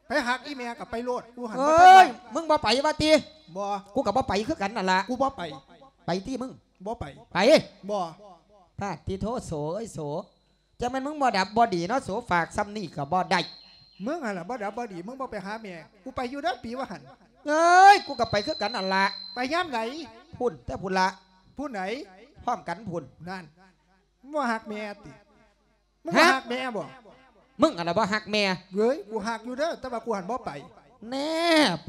ໄປຮັກອີ່ແມ່ກະໄປໂລດ ກູຫັ້ນ. ເຮີ້ຍ ມຶງບໍ່ໄປວ່າຕິ? ບໍ່ ກູກະບໍ່ໄປຄືກັນຫັ້ນລະ. ກູບໍ່ໄປ. ໄປຕິມຶງ. ບໍ່ໄປ. ໄປ. ບໍ່. ປາດຕິໂທ ໂສເອີຍໂສ. ຈັ່ງແມ່ນມຶງບໍ່ດັບບໍ່ດີເນາະໂສ ຝາກຊ່ຳນີ້ກໍບໍ່ໄດ້. ມຶງຫັ້ນລະບໍ່ດັບບໍ່ດີ ມຶງບໍ່ໄປຫາແມ່. ກູໄປຢູ່ເດີປີວ່າຫັ້ນ. ເອີຍ ກູກໍໄປຄືກັນຫັ້ນລະ. ໄປຍາມໃດ? ພຸ້ນແຕ່ພຸ້ນລະ. ຜູ້ໃດ? ພ້ອມກັນພຸ້ນ. ນັ້ນ ມຶງບໍ່ຮັກແມ່ຕິ? ມຶງບໍ່ຮັກແມ່ບໍ່? ມຶງຫັ້ນລະບໍ່ຮັກແມ່. ເວີຍ ກູຮັກຢູ່ເດີ ແຕ່ວ່າກູຫັ້ນບໍ່ໄປ. ແນ່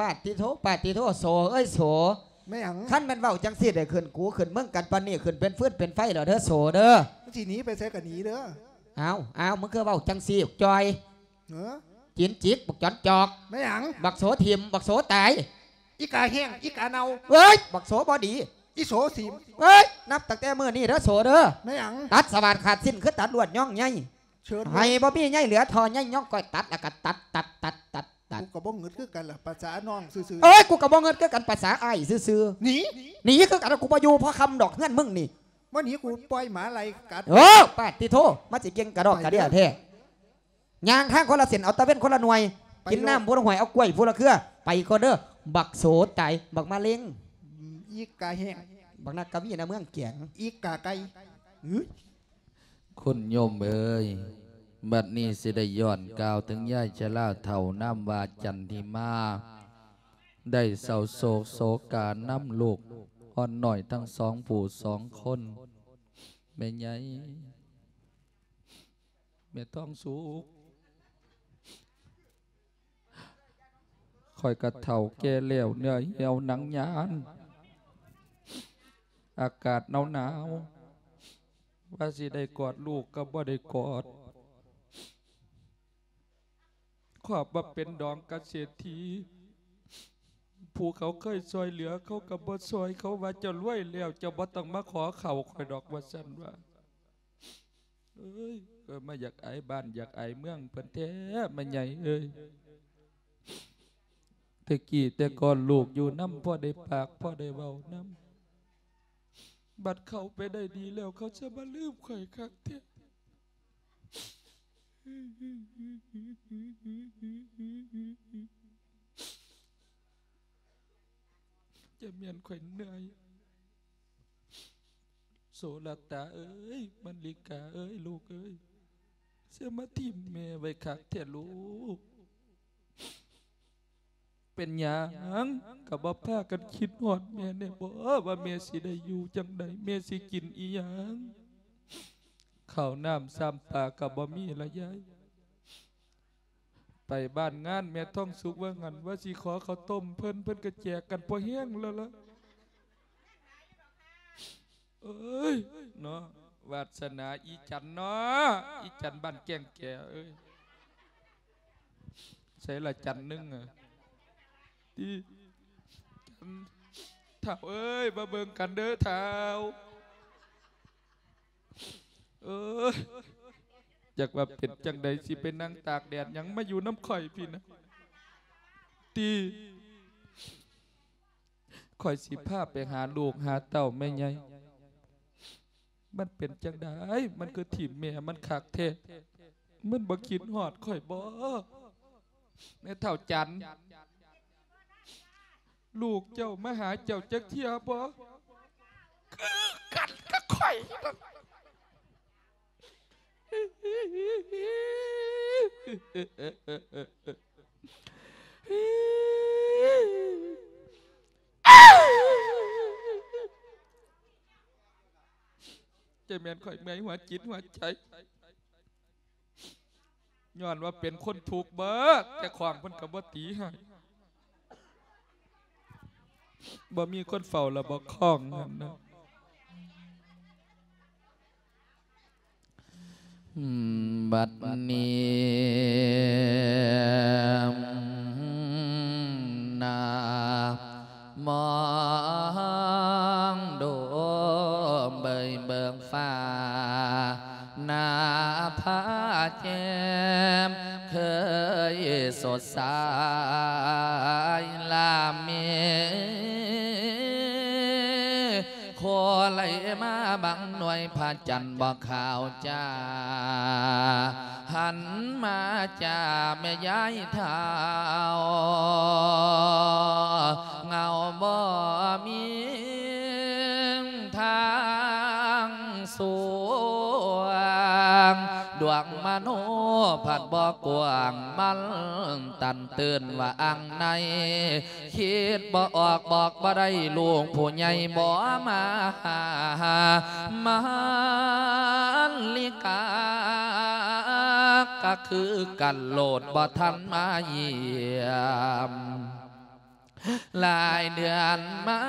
ປາດຕິໂທ ປາດຕິໂທ ໂສເອີຍໂສ. ແມ່ນຫຍັງ? ຄັນແມ່ນເວົ້າຈັ່ງຊີ້ໄດ້ຂຶ້ນກູຂຶ້ນເມືອງກັນປານນີ້ ຂຶ້ນເປັນຟືນເປັນໄຟແລ້ວເດີໂສເດີ. ມັນຊິໜີໄປໃສກໍໜີເດີ. ອ້າວ ອ້າວ ມຶງຄືເວົ້າຈັ່ງຊີ້ ຈ່ອຍ? ເອີ ຈີນຈິກ ບັກຈອນຈອກ. ແມ່ນຫຍັງ? ບັກໂສຖິ້ມ ບັກໂສຕາຍ. ອີກາແຫ້ງ ອີກາເນົ່າ. ເອີຍ ບັກໂສບໍ່ດີ. ອີໂສຖິ້ມ. ເອີຍ ນັບຕັ້ງແຕ່ມື້ນີ້ເດີໂສເດີ. ແມ່ນຫຍັງ? ຕັດສະຫວ່ານຂາດສິ້ນ ຄືຕັດລວດຍ້ອງໃຍ. ເຊີນ ໃຫ້ບໍ່ມີໃຍເຫຼືອທໍ່ໃຍ ຍ້ອງກ້ອຍຕັດ ແລ້ວກໍຕັດ ຕັດ ຕັດ ຕັດ ຕັດ. ກູກໍບໍ່ງຶດຄືກັນລະ ພາສານ້ອງຊື່ໆ. ເອີຍ ກູກໍບໍ່ງຶດຄືກັນ ພາສາອ້າຍຊື່ໆ. ໜີ ໜີຄືກັນ ກູບໍ່ຢູ່ພໍຄ່ຳດອກເຮືອນມຶງນີ້. ບໍ່ໜີ ກູປ່ອຍໝາໄລ່ກັດ. ໂອ້ ປາດຕິໂທ ມັນຊິເກັ່ງກະດອກກະເດຍແທ້. ຍ່າງທາງຄົນລະເສັ້ນ ເອົາຕາເວັນຄົນລະໜ່ວຍ ໄປ ກິນນ້ຳຜູ້ລະຫ້ວຍ ເອົາກ້ວຍຜູ້ລະເຄືອ. ໄປກ່ອນເດີ ບັກໂສຕາຍ ບັກມະເລັງ. ອີກາແຫ້ງ ບັກນັກກະວີນະເມືອງແກງ ອີກາໄກ່. ຄຸນໂຍມເອີຍ ບັດນີ້ຊິໄດ້ຍ້ອນກ່າວເຖິງຍາຍຊະລາເຖົ້ານາມວ່າຈັນທິມາ ໄດ້ເສົ້າໂສກໂສການຳລູກອ່ອນນ້ອຍທັງສອງຜູ້ສອງຄົນ. ແມ່ໃຫຍ່ ແມ່ທອງສຸກ ຂ້ອຍກະເຖົ້າແກ່ແລ້ວ ເນື້ອຫ່ຽວໜັງຍານ ອາກາດໜາວໆ ວ່າຊິໄດ້ກອດລູກກໍບໍ່ໄດ້ກອດ. ຄອບວ່າເປັນດອງກະເສດຖີ ຜູ້ເຂົາເຄີຍຊ່ອຍເຫຼືອ ເຂົາກໍບໍ່ຊ່ອຍ ເຂົາວ່າເຈົ້າລວຍແລ້ວ ເຈົ້າບໍ່ຕ້ອງມາຂໍເຂົ້າຂ້ອຍດອກ ວ່າຊັ້ນວ່າ. ເອີຍ ເອີ ມາຢາກອາຍບ້ານຢາກອາຍເມືອງເພິ່ນແທ້ ແມ່ໃຫຍ່ເອີຍ. ແຕ່ກີ້ແຕ່ກ່ອນລູກຢູ່ນຳ ພໍໄດ້ປາກພໍໄດ້ເວົ້ານຳ ບັດເຂົາໄປໄດ້ດີແລ້ວ ເຂົາຈະມາລືມຂ້ອຍຄັກແທ້. ຈະແມ່ນຂ້ອຍເມື່ອຍ. ໂສລະຕາເອີຍ ມະລິກາເອີຍ ລູກເອີຍ ເສຍມາຖິ້ມແມ່ໄວ້ຄັກແທ້ລູກ. ເປັນຫຍັງກໍບໍ່ພາກັນຄິດຮອດແມ່ແດ່ບໍ ວ່າແມ່ຊິໄດ້ຢູ່ຈັ່ງໃດ ແມ່ຊິກິນອີ່ຫຍັງ ເຂົ້ານ້ຳຊ້ຳປາກໍບໍ່ມີລະຍາຍ. ໄປບ້ານງານແມ່ທອງສຸກວ່າຫັ້ນ ວ່າຊິຂໍເຂົ້າຕົ້ມເພິ່ນ ເພິ່ນກໍແຈກກັນພໍແຮງແລ້ວລະ. ເອີຍເນາະ ວາດສະໜາອີ່ຈັນເນາະ ອີ່ຈັນບ້ານແກ້ງແກ່ເອີຍ. ໃສລະຈັນໜຶ່ງອະ ຕິ ຈັນ ທ້າວເອີຍ ມາເບິ່ງກັນເດີທ້າວ. ເອີຍ ຈັກວ່າເປັນຈັ່ງໃດ ຊິໄປນັ່ງຕາກແດດຫຍັງ ມາຢູ່ນຳຂ້ອຍພີ້ນະ ຕິ. ຂ້ອຍຊິພາໄປຫາລູກຫາເຕົ້າແມ່ໃຫຍ່. ມັນເປັນຈັ່ງໃດ ມັນຄືຖິ້ມແມ່ມັນຄັກແທ້ ມັນບໍ່ຄິດຮອດຂ້ອຍບໍ ແມ່ເຖົ້າຈັນ? ລູກເຈົ້າມາຫາເຈົ້າຈັກເທື່ອບໍ? ຄືກັນກັບຂ້ອຍ. ຈະແມ່ນຂ້ອຍເມື່ອຍຫົວຈິດຫົວໃຈ ຍ້ອນວ່າເປັນຄົນທຸກເບີດ ແຕ່ຂອງເພິ່ນກໍບໍ່ຕີໃຫ້ ບໍ່ມີຄົນເຝົ້າລະບໍ່ຄອງຫັ້ນນະ. ບັດນີ້ນາ ມອງດູເບີຍເບິ່ງຟ້າ ໜ້າຜາແຈ່ມເຄີຍສົດໃສ ລາເມ ໂຄໄລມາບັງໜ່ວຍ ພະຈັນບໍ່ຂາວຈ້າ ຫັນມາຈ້າແມ່ຍາຍທ້າວ ເງົາບໍ່ມີທາງສວ່າງ ດວ ງມະໂນພັດບໍ່ກວ້າງ ມັນຕັນຕື່ນວ່າອັງໃນ ຄິດບໍ່ອອກບອກບໍ່ໄດ້ ລູກຜູ້ໃຫຍ່ບໍ່ມາຫາ ມາລິກາກະຄືກັນໂລດ ບໍ່ທັນມາຢ້ຽມ. ຫຼາຍເດືອນມາ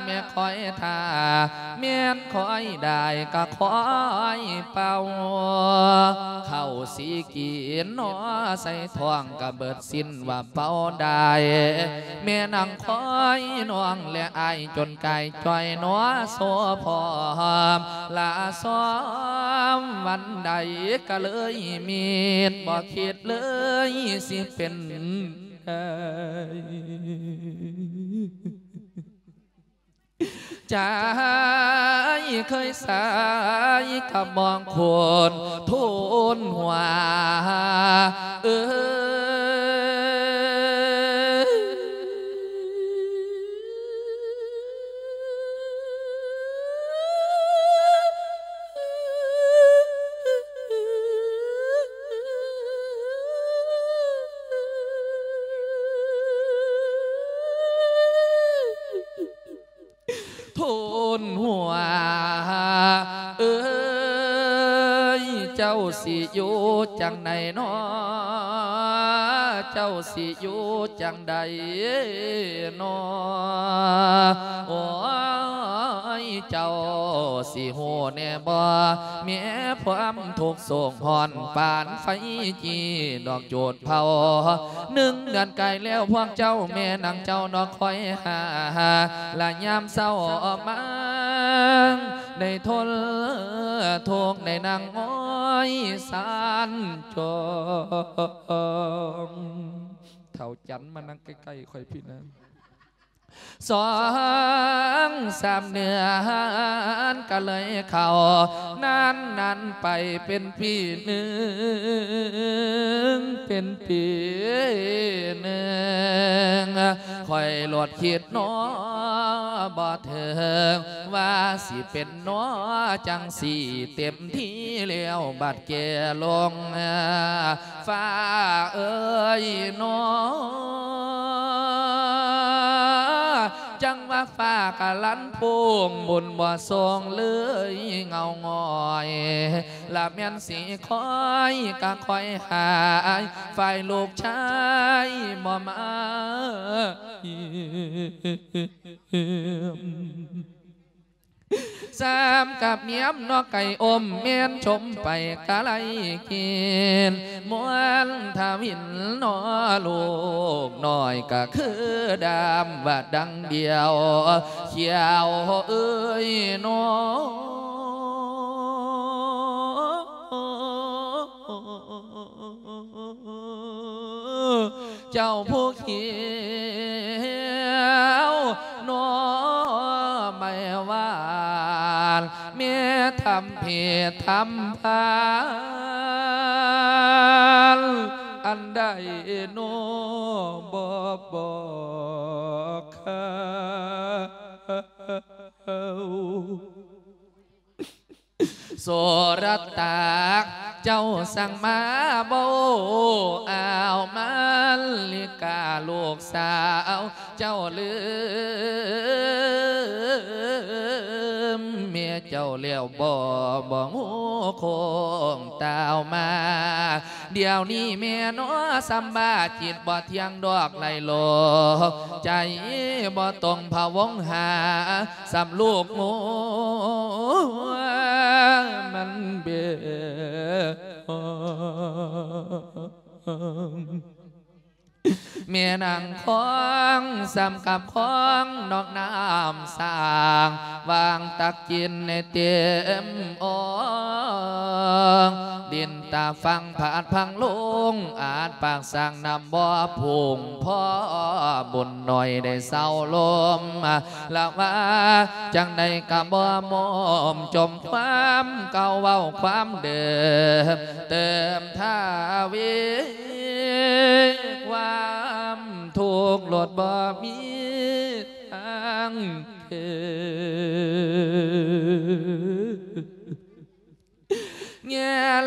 ແມ່ຄອຍຖ້າ ແມ່ນຄອຍໄດ້ກະຄອຍເປົ່າ ເຂົ້າຊິກິນໜໍ ໃສ່ທ້ອງກະເບິດສິ້ນວ່າເປົ່າໄດ້ ແມ່ນາງຄອຍນ້ອງແລະອ້າຍຈົນກາຍຈ່ອຍໜໍ ໂສພ້ອມລາຊ້ອມ ວັນໃດກະເລີຍມິດ ບໍ່ຄິດເລີຍຊິເປັນ ໃຈເຄີຍໃສກະມອງຄົນໂທນຫົວ ເອີຍ ໂທນຫົວເອີຍ ເຈົ້າຊິຢູ່ຈັ່ງໃດນໍ ເຈົ້າຊິຢູ່ຈັ່ງໃດນໍ ໂອ້ຍ ເຈົ້າຊິຮູ້ແດ່ບໍ່ ແມ່ຄວາມທຸກໂສກຮ້ອນ ປານໄຟຈີ່ດອກຈູດເຜົາ ໜຶ່ງເດືອນກາຍແລ້ວພວກເຈົ້າ ແມ່ນາງເຈົ້ານອກຄອຍຫາ ລະຍາມເຊົ້າມາ ໄດ້ທົນທຸກໄດ້ນັ່ງອ້ອຍສານຈອງ ເຖົ້າຈັນມານັ່ງໃກ້ໆຂ້ອຍພີ້ນະ ສອງສາມເດືອນກະເລີຍເຂົ້າ ນານໆໄປເປັນປີໜຶ່ງ ເປັນປີໜຶ່ງ ຂ້ອຍໂລດຄິດໜໍ ບໍ່ເຖິງວ່າຊິເປັນໜໍ ຈັ່ງຊິເຕັມທີ່ແລ້ວ ບັດແກ່ລົງ ຟ້າເອີຍໜໍ ຈັ່ງວ່າຟ້າກະລັນພຸ້ງ ບຸນບໍ່ສົ່ງເລີຍເຫງົາຫງອຍ ລະແມ່ນຊິຄອຍກະຄອຍຫາຍ ຝ່າຍລູກຊາຍບໍ່ມາ ຊ້ຳກັບຍາມນອກໄກ່ອົມ ແມ່ນຊົມໄປກະໄລກິນ ມ່ວນທະວິນນໍ ລູກນ້ອຍກະຄືດຳວ່າດັງດຽວ ຂຽວເອີຍນໍ ເຈົ້າຜູ້ຂຽວໜໍໄມ້ຫວານ ແມ່ທຳເພດທຳພານ ອັນໃດໜໍບໍ່ບອກຂ້າ ໂສລະຕາກ ເຈົ້າສັ່ງມາເວົ້າ ອ້າວມາລິກາລູກສາວ ເຈົ້າລືມແມ່ເຈົ້າແລ້ວບໍ່ ບໍ່ຮູ້ໂຄ້ງຕ່າວມາ ດຽວນີ້ແມ່ນອ ສຳບາຈິດບໍ່ທ່ຽງດອກໄຫຼໂລກ ໃຈບໍ່ຕົງພະວົງຫາ ສ່ຳລູກງົວມັນເບ ແມ່ນາງຄອງ ສ່ຳກັບຄອງນອກນ້ຳສ້າງ ວາງຕັກກິນໃຫ້ເຕັມອ່ອງ ດິນຕາຝັ່ງພັດພັງລົງ ອາດປາກສ້າງນ້ຳບໍ່ພຸ່ງ ພໍບຸນໜ້ອຍໄດ້ເຊົາລົມ ລະວ່າຈັ່ງໃດກະບໍ່ໝົມ ຈົ່ມຄວາມເກົ່າເວົ້າຄວາມເດີມ ເຕີມທະວີຄວາມທຸກ ໂລດບໍ່ມີທາງເທີ ແງ່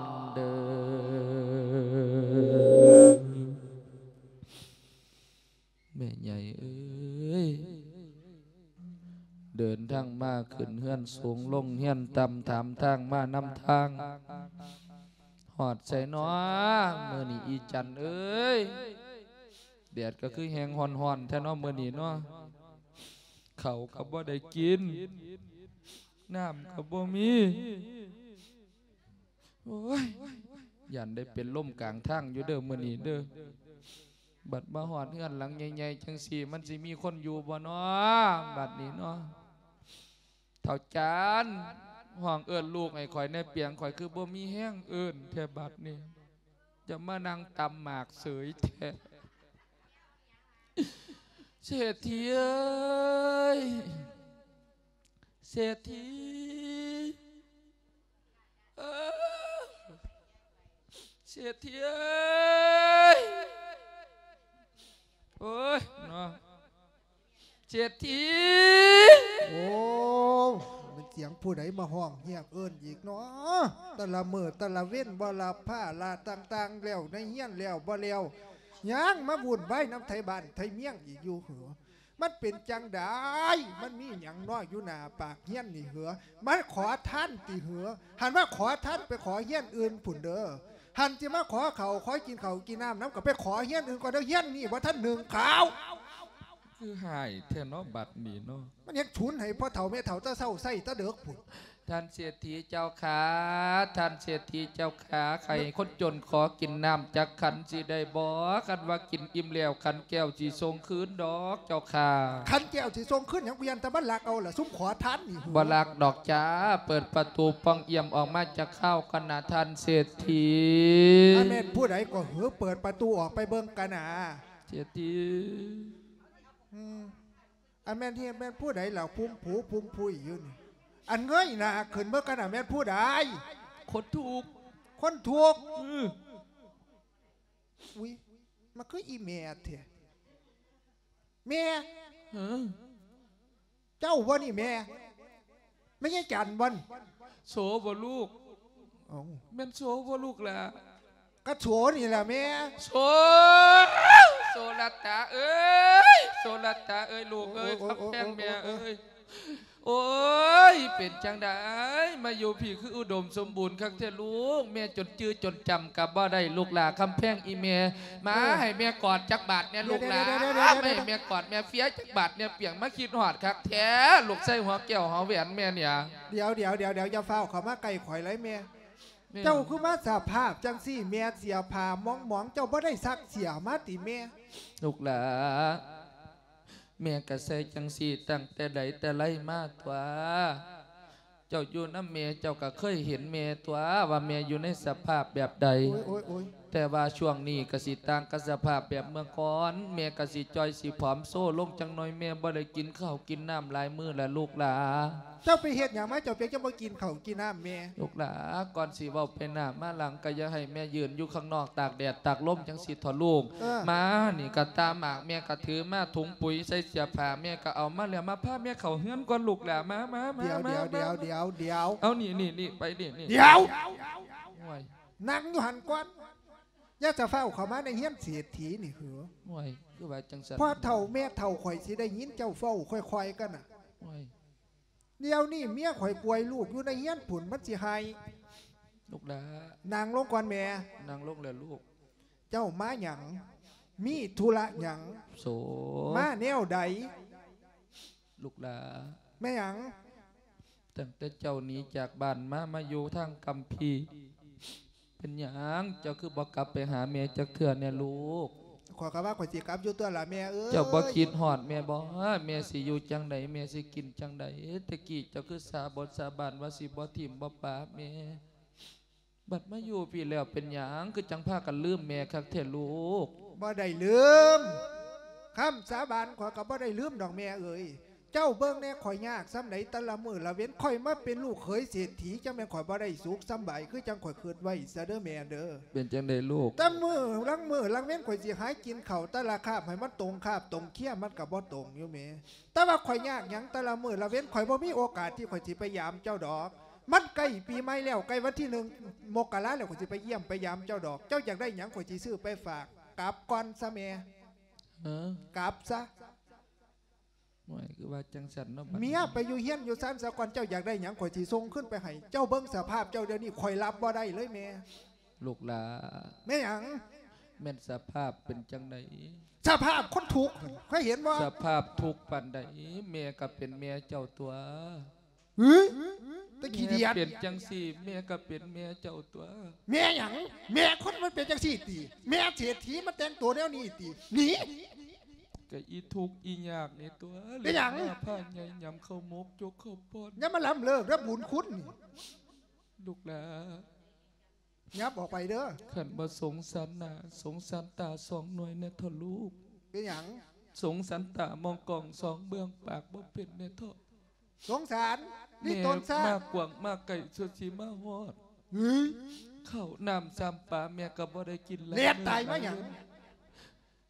ນເດີ. ແມ່ໃຫຍ່ເອີຍ ເດີນທາງມາຂຶ້ນເຮືອນສູງ ລົງເຮືອນຕ່ຳ ຖາມທາງມານຳທາງ ຮອດໃສນໍມື້ນີ້ ອີຈັນເອີຍ? ແດດກໍຄືແຮງຮ້ອນໆແທ້ເນາະມື້ນີ້ເນາະ ເຂົ້າກໍບໍ່ໄດ້ກິນ. ນ້ຳກໍບໍ່ມີ. ໂອ້ຍ ຢ້ານໄດ້ເປັນລົມກາງທາງຢູ່ເດີມື້ນີ້ເດີ. ບັດມາຮອດເຮືອນຫຼັງໃຫຍ່ໆ ຈັ່ງຊີ້ ມັນຊິມີຄົນຢູ່ບໍ່ນໍ ບັດນີ້ນໍ. ເຖົ້າຈານ ຮ້ອງເອີ້ນລູກໃຫ້ຂ້ອຍແດ່ປຽງ, ຂ້ອຍຄືບໍ່ມີແຮງເອີ້ນແທ້ບັດນີ້. ຈະມານັ່ງຕຳໝາກເສີຍແທ້. ເສດຖີເອີຍ ເສດຖີ ເອີ ເສດຖີເອີຍ. ໂອ້ຍ ເນາະ ເສດຖີ. ໂອ້ ແມ່ນສຽງຜູ້ໃດມາຮ້ອງຮຽກເອີ້ນອີກເນາະ? ແຕ່ລະມື້ແຕ່ລະເວັນ ບໍ່ລະພາລະຕ່າງໆ ແລ້ວໃນເຮືອນແລ້ວບໍ່ແລ້ວ ຍັງມາວຸ່ນວາຍນຳໄທບ້ານໄທເມືອງອີກຢູ່ເຫີ? ມັນເປັນຈັ່ງໃດ? ມັນມີຫຍັງເນາະຢູ່ໜ້າປາກເຮືອນນີ້ເຫີ? ມາຂໍທານຕິເຫີ? ຫັ້ນມາຂໍທານໄປຂໍເຮືອນອື່ນພຸ້ນເດີ. ຫັ້ນຊິມາຂໍເຂົ້າ ຂໍກິນເຂົ້າກິນນ້ຳນຳ ກໍໄປຂໍເຮືອນອື່ນກ່ອນເດີ. ເຮືອນນີ້ບໍ່ທັນໜຶ້ງເຂົ້າ. ຄືຮ້າຍແທ້ເນາະບັດນີ້ເນາະ. ມັນຍັງຊຸນໃຫ້ພໍ່ເຖົ້າແມ່ເຖົ້າແຕ່ເຊົ້າໃຊ້ແຕ່ເດິກພຸ້ນ. ທ່ານເສດຖີເຈົ້າຂ້າ ທ່ານເສດຖີເຈົ້າຂ້າ ໃຫ້ຄົນຈົນຂໍກິນນ້ຳຈັກຂັນຊິໄດ້ບໍ່? ຄັນວ່າກິນອີ່ມແລ້ວ ຂັນແກ້ວຊິສົ່ງຄືນດອກເຈົ້າຂ້າ. ຂັນແກ້ວຊິສົ່ງຄືນຫຍັງ? ກູຢ້ານແຕ່ມັນລັກເອົາລະ ຊຸມຂໍທານນີ້. ບໍ່ລັກດອກຈ້າ ເປີດປະຕູປ່ອງອ່ຽມອອກມາຈັກຄາວກ່ອນນະທ່ານເສດຖີ. ອາ ແມ່ນຜູ້ໃດກໍເຫີ? ເປີດປະຕູອອກໄປເບິ່ງກັນນະ ເສດຖີ. ອືມ ອັນແມ່ນເຮັດແມ່ນຜູ້ໃດລະ ຟຸມຜຸຍຟຸມຜຸຍຢູ່ນີ້? ອັນເງີຍໜ້າຂຶ້ນເບິ່ງກັນນະ ແມ່ນຜູ້ໃດ? ຄົນທຸກ ຄົນທຸກ. ອື ອຸ້ຍ ມັນຄືອີ່ແມ່ແທ້. ແມ່ ເອີ ເຈົ້າບໍ່ນີ້ແມ່? ແມ່ນຍາຍຈັນບໍ່ນີ້? ໂສບໍ່ລູກ? ເອົ້າ ແມ່ນໂສບໍ່ລູກຫຼ້າ? ກະໂສນີ້ລະແມ່. ໂສ ໂສລະຕາເອີຍ ໂສລະຕາເອີຍ ລູກເອີຍ ໂອ້ຍ ຄຳແພງແມ່ເອີຍ. ໂອ້ຍ ເປັນຈັ່ງໃດ ມາຢູ່ພີ້ຄືອຸດົມສົມບູນຄັກແທ້ລູກ. ແມ່ຈົນຈື່ຈົນຈຳກໍບໍ່ໄດ້ລູກຫຼ້າ ຄຳແພງອີ່ແມ່. ມາ ເອີ ໃຫ້ແມ່ກອດຈັກບາດແດ່ລູກຫຼ້າ. ດຽວໆໆໆໆ ມາໃຫ້ແມ່ກອດແມ່ເຟຍຈັກບາດແດ່ປຽງ. ມາຄິດຮອດຄັກແທ້ ລູກຊາຍຫົວແກ້ວຫົວແຫວນແມ່ນີ້. ດຽວໆໆໆ ຢ່າຟ້າວເຂົ້າມາໃກ້ຂ້ອຍເລີຍແມ່. ແມ່ ເຈົ້າຄືມາສະພາບຈັ່ງຊີ້ແມ່? ເສື້ອຜ້າໝອງໆ ເຈົ້າບໍ່ໄດ້ຊັກເສື້ອມາຕິແມ່? ລູກຫຼ້າ ແມ່ກໍໃສ່ຈັ່ງຊີ້ຕັ້ງແຕ່ໃດແຕ່ໄລມາຕົວະ. ເຈົ້າຢູ່ນຳແມ່ ເຈົ້າກໍເຄີຍເຫັນແມ່ຕົວະ ວ່າແມ່ຢູ່ໃນສະພາບແບບໃດ. ໂອ້ຍໆໆ ແຕ່ວ່າຊ່ວງນີ້ກໍຊິຕ່າງກັບສະພາບແບບເມື່ອກ່ອນ. ແມ່ກໍຊິຈ່ອຍຊິຜອມໂຊລົງຈັກໜ້ອຍ. ແມ່ບໍ່ໄດ້ກິນເຂົ້າກິນນ້ຳຫຼາຍມື້ແລ້ວລູກຫຼ້າ. ເຈົ້າໄປເຮັດຫຍັງມາ ເຈົ້າເປັນຈັ່ງບໍ່ກິນເຂົ້າກິນນ້ຳແມ່? ລູກຫຼ້າ ກ່ອນຊິເວົ້າໄປໜ້າມາຫຼັງ ກໍຢ່າໃຫ້ແມ່ຢືນຢູ່ຂ້າງນອກຕາກແດດຕາກລົມຈັ່ງຊີ້ເຖາະລູກ. ເອີ ມານີ້ກໍຕາໝາກ ແມ່ກໍຖືມາ ຖົງປຸ໋ຍໃສ່ເສື້ອຜ້າແມ່ກໍເອົາມາແລ້ວ. ມາພາແມ່ເຂົ້າເຮືອນກ່ອນລູກຫຼ້າ. ມາ ມາ ມາ ດຽວ ມາ ດຽວ ມາ ດຽວ ດຽວ ດຽວ. ເອົາ ນີ້ ນີ້ ນີ້ ໄປນີ້ ນີ້ ດຽວ ໂອ້ຍ ນັ່ງຢູ່ຫັ້ນກ່ອນ ຢ່າຈະຟ້າວເຂົ້າມາໃນເຮືອນເສດຖີນີ້ເຫີ. ໂອ້ຍ ຄືວ່າຈັ່ງຊັ້ນ ພໍ່ເຖົ້າແມ່ເຖົ້າ ຂ້ອຍຊິໄດ້ຍິນເຈົ້າເວົ້າຄ່ອຍໆກັນນະ. ໂອ້ຍ ດຽວນີ້ເມຍຂ້ອຍກວຍລູກຢູ່ໃນເຮືອນພຸ້ນ ມັນຊິໄຫ້. ລູກຫຼ້າ ນັ່ງລົງກ່ອນແມ່. ນັ່ງລົງແລ້ວລູກ. ເຈົ້າມາຫຍັງ? ມີທຸລະຫຍັງ? ໂສ ມາແນວໃດ? ລູກຫຼ້າ ແມ່ຫຍັງ? ຕັ້ງແຕ່ເຈົ້າໜີຈາກບ້ານມາ ມາຢູ່ທາງກຳພີ ເປັນຫຍັງເຈົ້າຄືບໍ່ກັບໄປຫາແມ່ຈັກເທື່ອແດ່ລູກ? ຂ້ອຍກໍວ່າຂ້ອຍຊິກັບຢູ່ຕົວະລະແມ່ເອີຍ. ເຈົ້າບໍ່ຄິດຮອດແມ່ບໍ່? ແມ່ຊິຢູ່ຈັ່ງໃດ? ແມ່ຊິກິນຈັ່ງໃດ? ແຕ່ກີ້ເຈົ້າຄືສາບົດສາບານວ່າຊິບໍ່ຖິ້ມບໍ່ປະແມ່. ບັດມາຢູ່ພີ້ແລ້ວເປັນຫຍັງຄືຈັ່ງພາກັນລືມແມ່ຄັກແທ້ລູກ? ບໍ່ໄດ້ລືມ. ຄຳສາບານຂ້ອຍກໍບໍ່ໄດ້ລືມດອກແມ່ເອີຍ. ເຈົ້າເບິ່ງແດ່ ຂ້ອຍຍາກສ່ຳໃດແຕ່ລະມື້ລະເວັນ. ຂ້ອຍມາເປັນລູກເຂີຍເສດຖີ ຈັ່ງແມ່ນຂ້ອຍບໍ່ໄດ້ສຸກສຳບາຍຄືຈັ່ງຂ້ອຍຄິດໄວ້ຊະເດີແມ່ເດີ. ເປັນຈັ່ງໃດລູກ? ແຕ່ມື້ລາງມື້ລາງເວັນ ຂ້ອຍຊິຫາກິນເຂົ້າແຕ່ລະຄາບໃຫ້ມັນຕົງຄາບຕົງເຄຍ ມັນກໍບໍ່ຕົງຢູ່ແມ່. ແຕ່ວ່າຂ້ອຍຍາກຫຍັງແຕ່ລະມື້ລະເວັນ ຂ້ອຍບໍ່ມີໂອກາດທີ່ຂ້ອຍຊິໄປຢາມເຈົ້າດອກ. ມັນໃກ້ປີໃໝ່ແລ້ວ ໃກ້ວັນທີໜຶ່ງມົກກະລາແລ້ວ ຂ້ອຍຊິໄປຢ້ຽມໄປຢາມເຈົ້າດອກ. ເຈົ້າຢາກໄດ້ຫຍັງ ຂ້ອຍຊິຊື້ໄປຝາກ. ກັບກ່ອນຊະແມ່. ຮະ? ກັບຊະ. ໂອ້ຍ ຄືວ່າຈັ່ງຊັ້ນເນາະ ບັດນີ້ ເມຍໄປຢູ່ເຮືອນຢູ່ຊານຊະກ່ອນ. ເຈົ້າຢາກໄດ້ຫຍັງ ຂ້ອຍຊິສົ່ງຄືນໄປໃຫ້. ເຈົ້າເບິ່ງສະພາບເຈົ້າດຽວນີ້ ຂ້ອຍຮັບບໍ່ໄດ້ເລີຍແມ່. ລູກຫຼ້າ ແມ່ນຫຍັງ? ແມ່ນສະພາບເປັນຈັ່ງໃດ? ສະພາບຄົນທຸກ ເຄີຍເຫັນບໍ່? ສະພາບທຸກປານໃດ ແມ່ກໍເປັນແມ່ເຈົ້າຕົວະ. ຫື ຕາຂີ້ດຽດ ແມ່ເປັນຈັ່ງຊີ້ ແມ່ກໍເປັນແມ່ເຈົ້າຕົວະ. ແມ່ຫຍັງ? ແມ່ຄົນມັນເປັນຈັ່ງຊີ້ຕິ? ແມ່ເສດຖີມັນແຕ່ງໂຕແນວນີ້ຕິ? ໜີ! ກະອີທຸກອີຍາກນີ້ຕົວະ. ເປັນຫຍັງ? ມາພາໃຫຍ່ຍຳເຂົ້າໝົກ ຈົກເຂົ້າປ້ອນ. ຢ່າມາລ້ຳເລີກເດີບຸນຄຸນນີ້ ລູກຫຼາ. ຫຍັບອອກໄປເດີ. ຄັນບໍ່ສົງສານໜ້າ ສົງສານຕາສອງໜ່ວຍແດ່ເຖາະລູກ. ເປັນຫຍັງ? ສົງສານຕາມອງກ້ອງສອງເບື້ອງ ປາກບໍ່ເປັນແດ່ເຖາະ. ສົງສານ ນີ້ ແມ່ ຕົ້ນຊາດ ມາກວ້າງມາໄກ ສ່ວນຊິມາຮອດ. ຫື ເຂົ້ານ້ຳຊ້ຳປາແມ່ກໍບໍ່ໄດ້ກິນຫຼາຍ. ແລ່ນຕາຍມາຫຍັງ?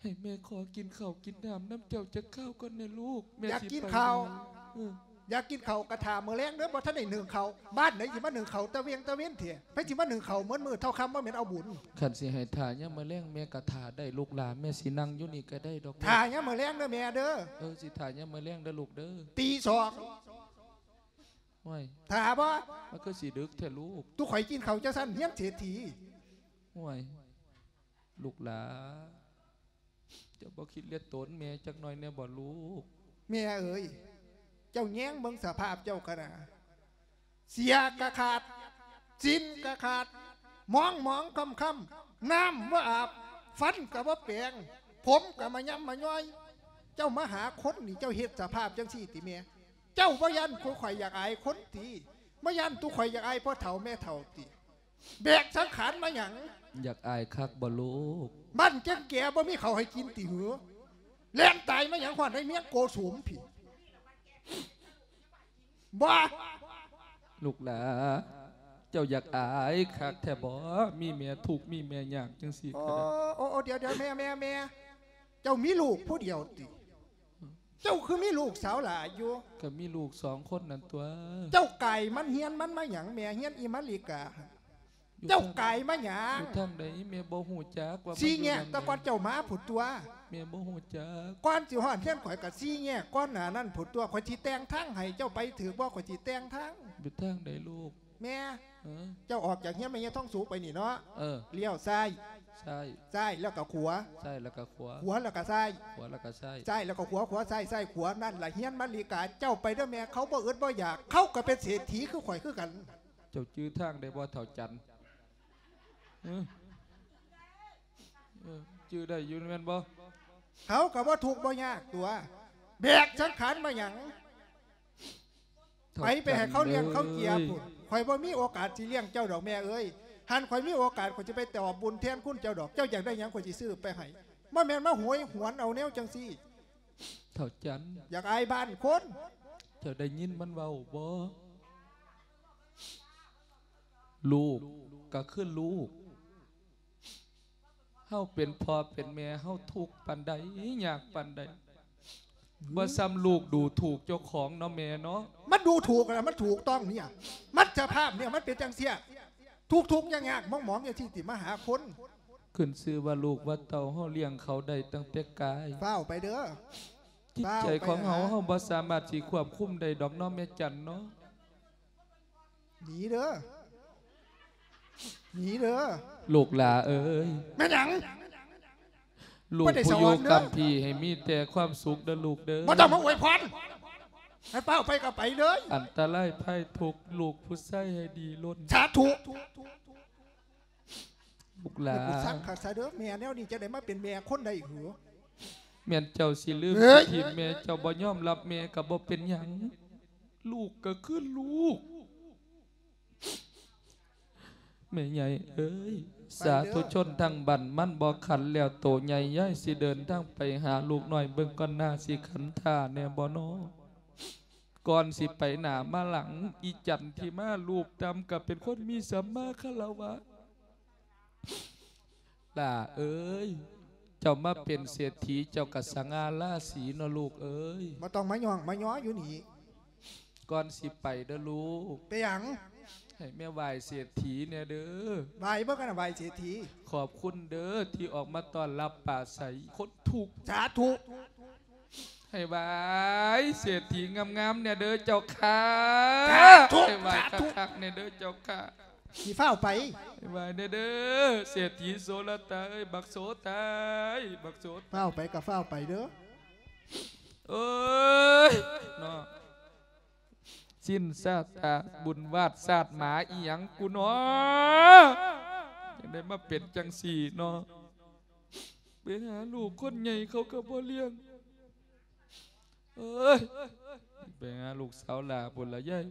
ໃຫ້ແມ່ຂໍກິນເຂົ້າກິນນ້ຳນຳເຈົ້າຈັກຄາວກ່ອນແດ່ລູກ. ແມ່ ຢາກກິນເຂົ້າ ເອີ ຢາກກິນເຂົ້າກະຖ້າມື້ແລງເດີ. ບໍ່ທັນໄດ້ໜຶ້ງເຂົ້າ ບ້ານໃດຊິມາໜຶ້ງເຂົ້າຕາວຽງຕາເວັນແທ້? ໃຜຊິມາໜຶ້ງເຂົ້າໝົດມື້ ເທົ່າຄຳບໍ່ແມ່ນເອົາບຸນ. ຄັນຊິໃຫ້ຖ້າຍາມມື້ແລງ ແມ່ກະຖ້າໄດ້ລູກຫຼານ. ແມ່ຊິນັ່ງຢູ່ນີ້ກະໄດ້ດອກ. ຖ້າຍາມມື້ແລງເດີແມ່ເດີ. ເອີ ຊິຖ້າຍາມມື້ແລງເດີລູກເດີ. ຕີສອງ. ໂອ້ຍ ຖ້າບໍ່? ມັນຄືຊິດຶກແທ້ລູກ. ຕຸຂ້ອຍກິນເຂົ້າຈັ່ງຊັ້ນ ຮຽນເສດຖີ. ໂອ້ຍ ລູກຫຼາ ເຈົ້າບໍ່ຄິດເລັດໂຕນແມ່ຈັກໜ້ອຍແດ່ບໍ່ລູກ? ແມ່ເອີຍ ເຈົ້າແຍງເບິ່ງສະພາບເຈົ້າກະນາ ເສຍກະຂາດ ສິ້ນກະຂາດ ໝອງໆຄ່ຳໆ ນ້ຳບໍ່ອາບ ຟັນກະບໍ່ແປງ ຜົມກະມາຍຳມາຍ້ອຍ. ເຈົ້າມາຫາຄົນນີ້ ເຈົ້າເຮັດສະພາບຈັ່ງຊີ້ຕິແມ່? ເຈົ້າບໍ່ຢ້ານຜູ້ຂ້ອຍຢາກອາຍຄົນຕິ? ບໍ່ຢ້ານຕຸຂ້ອຍຢາກອາຍພໍ່ເຖົ້າແມ່ເຖົ້າຕິ? ແບກສັງຂານມາຫຍັງ? ຢາກອາຍຄັກບໍ່ລູກ? ບ້ານແກ່ງແກ່ບໍ່ມີເຂົ້າໃຫ້ກິນຕິຫື? ແລ່ນຕາຍມາຫຍັງຮອດໃນເມຍໂກສຸມພີ້? ບໍ່ ລູກຫຼາ ເຈົ້າຢາກອາຍຄັກແທ້ບໍ່? ມີແມ່ທຸກມີແມ່ຍາກຈັ່ງຊີ້ ໂອ້ ກະໄດ້. ໂອ້ ໂອ້ ດຽວໆ ແມ່ ແມ່ ແມ່ ເຈົ້າມີລູກຜູ້ດຽວຕິ? ເຈົ້າຄືມີລູກສາວຫຼາຍຢູ່? ກະມີລູກສອງຄົນນັ້ນຕົວະ. ເຈົ້າກາຍມັນຮຽນມັນມາຫຍັງແມ່? ຮຽນອີມາລິກາ ຢູ່ ເຈົ້າກາຍມາຫຍັງ? ຢູ່ທາງໃດແມ່ບໍ່ຮູ້ຈັກວ່າມັນຢູ່ທາງໃດ? ສີ່ແຍກແຕ່ກ່ອນເຈົ້າມາພຸ້ນຕົວະ. ແມ່ບໍ່ຮູ້ຈັກ. ກ່ອນຊິຮອດເຮືອນຂ້ອຍກະສີ່ແຍກກ່ອນໜ້ານັ້ນພຸ້ນຕົວະ. ຂ້ອຍຊິແຕ່ງທາງໃຫ້ເຈົ້າໄປຖືກບໍ່? ຂ້ອຍຊິແຕ່ງທາງ. ຢູ່ທາງໃດລູກ? ແມ່ ເອີ ເຈົ້າອອກຈາກເຮືອນແມ່ຍາຍທອງສຸກໄປນີ້ເນາະ ເອີ ລ້ຽວຊ້າຍ ຊ້າຍ ຊ້າຍແລ້ວກໍຂວາ ຊ້າຍແລ້ວກໍຂວາ ຂວາແລ້ວກໍຊ້າຍ ຂວາແລ້ວກໍຊ້າຍ ຊ້າຍແລ້ວກໍຂວາ ຂວາຊ້າຍ ຊ້າຍຂວາ ນັ້ນລະເຮືອນມາລິກາ. ເຈົ້າໄປເດີແມ່ ເຂົາບໍ່ອຶດບໍ່ຢາກ ເຂົາກໍເປັນເສດຖີຄືຂ້ອຍຄືກັນ. ເຈົ້າຈື່ທາງໄດ້ບໍ່ເຖົ້າຈັນ? ເອີ ເອີ ຈື່ໄດ້ຢູ່ແມ່ນບໍ່? ເຂົາກໍບໍ່ທຸກບໍ່ຍາກຕົວະ ແບກສັງຂານມາຫຍັງ? ໄປ ໄປໃຫ້ເຂົາລ້ຽງເຂົາເຈຍພຸ້ນ. ຂ້ອຍບໍ່ມີໂອກາດຊິລ້ຽງເຈົ້າດອກແມ່ເອີຍ. ຄັນຂ້ອຍມີໂອກາດ ຂ້ອຍຊິໄປຕອບບຸນແທນຄຸນເຈົ້າດອກ. ເຈົ້າຢາກໄດ້ຫຍັງ ຂ້ອຍຊິຊື້ໄປໃຫ້. ບໍ່ແມ່ນມາໂຫຍຫວນເອົາແນວຈັ່ງຊີ້. ເຖົ້າຈັນ ຢາກອາຍບ້ານຄົນ. ເຈົ້າໄດ້ຍິນມັນເວົ້າບໍ່? ລູກກໍຄືລູກ. ເຮົາເປັນພໍ່ເປັນແມ່ ເຮົາທຸກປານໃດ ຍາກປານໃດ ບໍ່ສ່ຳລູກດູຖູກເຈົ້າຂອງເນາະແມ່ເນາະ. ມັນດູຖູກລະ ມັນຖືກຕ້ອງເນຍ ມັນສະພາບເນຍ ມັນເປັນຈັ່ງເຊຍ ທຸກໆຍາກໆໝອງໆຈັ່ງຊີ້ຕິມາຫາຄົນ. ຂຶ້ນຊື່ວ່າລູກວ່າເຕົ້າ ເຮົາລ້ຽງເຂົາໄດ້ຕັ້ງແຕ່ກາຍ. ຟ້າວໄປເດີ ຈິດໃຈຂອງເຮົາ ເຮົາບໍ່ສາມາດຊິຄວບຄຸມໄດ້ດອກເນາະແມ່ຈັນເນາະ. ໜີເດີ ໜີເດີ ລູກຫຼ້າເອີຍ. ແມ່ນຫຍັງ? ລູກຜູ້ຢູ່ກຳພີໃຫ້ມີແຕ່ຄວາມສຸກເດີລູກເດີ. ບໍ່ຕ້ອງມາອວຍພອນ ໃຫ້ຟ້າວໄປກໍໄປເລີຍ. ອັນຕະລາຍໄພທຸກ ລູກຜູ້ຊາຍໃຫ້ດີລົ້ນ. ສາທຸ. ລູກຫຼ້າ ແມ່ນກູສັງຄັກຊະເດີ ແມ່ແນວນີ້ຈັ່ງໄດ້ມາເປັນແມ່ຄົນໄດ້ຫື? ແມ່ນເຈົ້າຊິລືມ ເອີຍ ຊິຖິ້ມແມ່ ເຈົ້າບໍ່ຍອມຮັບແມ່ກໍບໍ່ເປັນຫຍັງ ລູກກໍຄືລູກ. ແມ່ໃຫຍ່ເອີຍ ສາທຸຊົນທັງບ້ານ ມັນບໍ່ຂັນແລ້ວໂຕໃຫຍ່ ຍາຍຊິເດີນທາງໄປຫາລູກນ້ອຍເບິ່ງກ່ອນ ໜ້າຊິຂັນທ່າແດ່ບໍ່ນໍ? ກ່ອນຊິໄປໜ້າມາຫຼັງ ອີຈັນທີ່ມາລູບຕ່ຳກໍເປັນຄົນມີສຳມາຄາລະວະ. ຫຼ້າເອີຍ ເຈົ້າມາເປັນເສດຖີ ເຈົ້າກະສະຫງ່າລາສີເນາະລູກເອີຍ. ບໍ່ຕ້ອງມາຍ້ອງມາຍໍຢູ່ນີ້. ກ່ອນຊິໄປເດີລູກ. ເປັນຫຍັງ? ໃຫ້ແມ່ໄຫວ້ເສດຖີແດ່ເດີ. ໄຫວ້ເບິ່ງກັນນະ ໄຫວ້ເສດຖີ. ຂອບຄຸນເດີທີ່ອອກມາຕ້ອນຮັບປາໄສຄົນທຸກ. ສາທຸ. ໃຫ້ໄຫວ້ເສດຖີງາມໆແດ່ເດີເຈົ້າຂ້າ. ສາທຸ ໃຫ້ໄຫວ້ ສາທຸ ຄັກໆແດ່ເດີເຈົ້າຂ້າ. ຊິຟ້າວໄປ. ໃຫ້ໄຫວ້ແດ່ເດີ ເສດຖີໂສລະຕາເອີຍ ບັກໂສຕາຍ ບັກໂສຕາຍ. ຟ້າວໄປກໍຟ້າວໄປເດີ. ເອີຍ ເນາະ. ສິນຊາຕາບຸນວາດຊາດໝາອີ່ຫຍັງກູນໍ ຈັ່ງໄດ້ມາເປັນຈັ່ງຊີ້ນໍ. ໄປຫາລູກຄົນໃຫຍ່ເຂົາກໍບໍ່ລ້ຽງ. ເອີຍ ໄປຫາລູກສາວຫຼ້າພຸ້ນລະຍາຍ.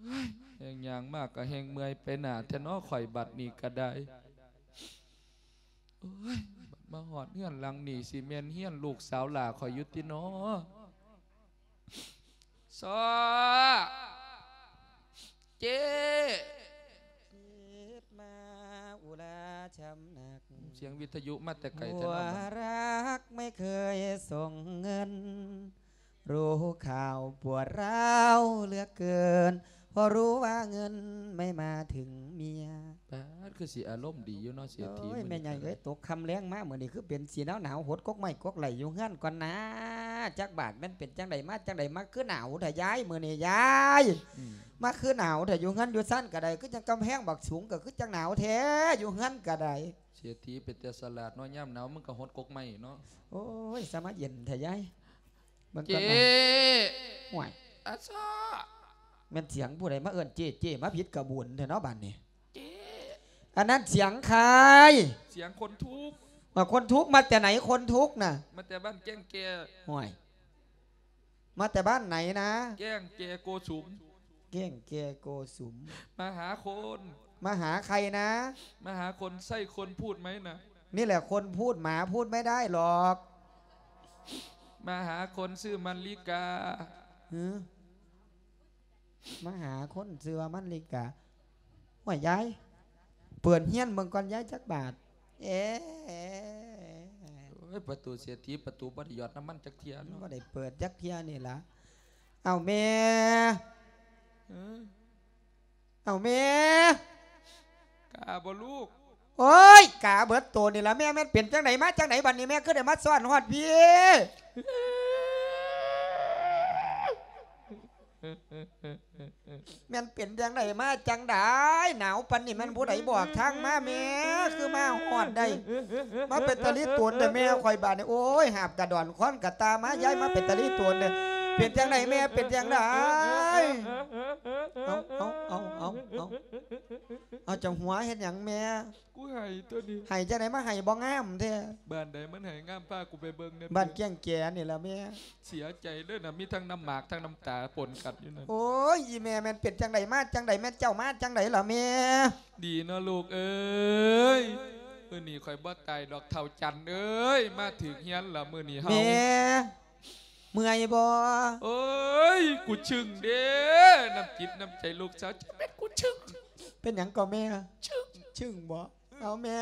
ໂອ້ຍ ແຮ່ງຍ່າງມາກະແຮ່ງເມື່ອຍໄປໜ້າແທ້ນໍ ຂ້ອຍບັດນີ້ກະໄດ້. ໂອ້ຍ ມາຮອດເຮືອນຫຼັງນີ້ ຊິແມ່ນເຮືອນລູກສາວຫຼ້າຂ້ອຍຢູ່ຕິນໍ. ຊໍ້ ເຈ້ ເຈັບມາອຸລາຊຳໜັກ ສຽງວິທະຍຸມາແຕ່ໄກແທ້ເນາະ. หัวรักไม่เคยส่งเงิน รู้ข่าวปวดร้าวเหลือเกิน เพราะรู้ว่าเงินไม่มาถึงเมีย. ປາດ ຄືຊິອາລົມດີຢູ່ເນາະເສດຖີ. ໂອ້ຍ ມື້ນີ້ ແມ່ໃຫຍ່ເອີຍ ຕົກຄ່ຳແລງມາມື້ນີ້ ຄືເປັນສີໜາວໆ ຫົດກົກໄມ້ກົກໄຫຼຢູ່ເຮືອນກ່ອນນາ. ຈັກບາດແມ່ນເປັນຈັ່ງໃດ ມາຈັ່ງໃດ ມາຄືໜາວແທ້ຍາຍ ມື້ນີ້ຍາຍ. ອືມ ມາຄືໜາວແທ້ ຢູ່ເຮືອນຢູ່ຊານກະໄດ້ ຄືຈັ່ງກຳແພງບັກສູງ ກໍຄືຈັ່ງໜາວແທ້ ຢູ່ເຮືອນກະໄດ້. ເສດຖີເປັນແຕ່ສະຫຼາດເນາະ ຍາມໜາວມຶງກໍຫົດກົກໄມ້ເນາະ. ໂອ້ຍ ສະມາເຢັນແທ້ຍາຍ. ເບິ່ງກ່ອນ ເຈ້ ນະ. ໂອ້ຍ ອາຊາ ແມ່ນສຽງຜູ້ໃດມາເອີ້ນເຈ້ ເຈ້ ມາຜິດກະບຸນແທ້ເນາະບາດນີ້. ເຈ້ ອັນນັ້ນສຽງໃຜ? ສຽງຄົນທຸກ. ວ່າຄົນທຸກມາແຕ່ໃຫນ ຄົນທຸກນະ? ມາແຕ່ບ້ານແກ້ງແກ່. ໂອ້ຍ ມາແຕ່ບ້ານໃດນະ? ແກ້ງແກ່ໂກສຸມ. ແກ້ງແກ່ໂກສຸມ. ມາຫາຄົນ. ມາຫາໃຄນະ? ມາຫາຄົນ ໃຊ່ຄົນພູດໄໝນະ? ນີ້ແຫຼະຄົນພູດ ໝາພູດໄມ່ໄດ້ຫຼອກ. ມາຫາຄົນຊື່ມັນລິກາ. ຫື? ມາຫາຄົນຊື່ວ່າມັນລິກາ. ໂອ້ຍ ຍາຍ ເປີດຮຽນເບິ່ງກ່ອນຍາຍ ຈັກບາດ. ເອ ໂອ້ຍ ປະຕູເສດຖີ ປະຕູບໍ່ໄດ້ຫຍອດນ້ຳມັນຈັກເທື່ອເນາະ. ບໍ່ໄດ້ເປີດຈັກເທື່ອນີ້ລະ. ເອົາແມ່ ເອີ ເອົາແມ່ ກາບໍ່ລູກ? ໂອ້ຍ ກາເບິດໂຕນີ້ລະແມ່. ແມ່ນເປັນຈັ່ງໃດ ມາຈັ່ງໃດບັດນີ້ ແມ່ຄືໄດ້ມາຊ້ອນຮອດພີ້? ແມ່ນເປັນຈັ່ງໃດ ມາຈັ່ງໃດ ໜາວປານນີ້ ແມ່ນຜູ້ໃດບອກທາງມາແມ່ ຄືມາຮອດໄດ້ ມາເປັນຕາລີໂຕນແທ້ແມ່ຂ້ອຍບາດນີ້. ໂອ້ຍ ຫາບກະດອນຄ້ອນກະຕ່າມາ ຍາຍມາເປັນຕາລີໂຕນເດ້. ເປັນຈັ່ງໃດແມ່ ເປັນຈັ່ງໃດ? ເອົາ ເອົາ ເອົາ ເອົາ ເອົາ ເຈົ້າຫົວເຮັດຫຍັງແມ່? ກູໄຫ້ຕົວນີ້ ໄຫ້ຈັ່ງໃດ ມາໄຫ້ບໍ່ງາມແທ້. ບ້ານໃດມັນໄຫ້ງາມ ພາກູໄປເບິ່ງແດ່. ບ້ານແກ້ງແກ່ນີ້ລະແມ່. ເສຍໃຈເດີນະ ມີທັງນ້ຳໝາກທັງນ້ຳຕາປົນກັນຢູ່ນັ້ນ. ໂອ້ຍ ອີ່ແມ່ ແມ່ນເປັນຈັ່ງໃດ ມາຈັ່ງໃດ ແມ່ນເຈົ້າມາຈັ່ງໃດລະແມ່? ດີເນາະລູກເອີຍ ມື້ນີ້ຂ້ອຍບໍ່ຕາຍດອກເຖົ້າຈັນເອີຍ ມາຖືກເຮືອນລະມື້ນີ້ເຮົາ. ແມ່ ເມື່ອຍບໍ່? ໂອ້ຍ ກູຊຶ້ງເດ້ ນ້ຳຈິດນ້ຳໃຈລູກສາວ ຈະແມ່ນກູຊຶ້ງ. ເປັນຫຍັງກໍແມ່? ຊຶ້ງ ຊຶ້ງບໍ່? ເອົາແມ່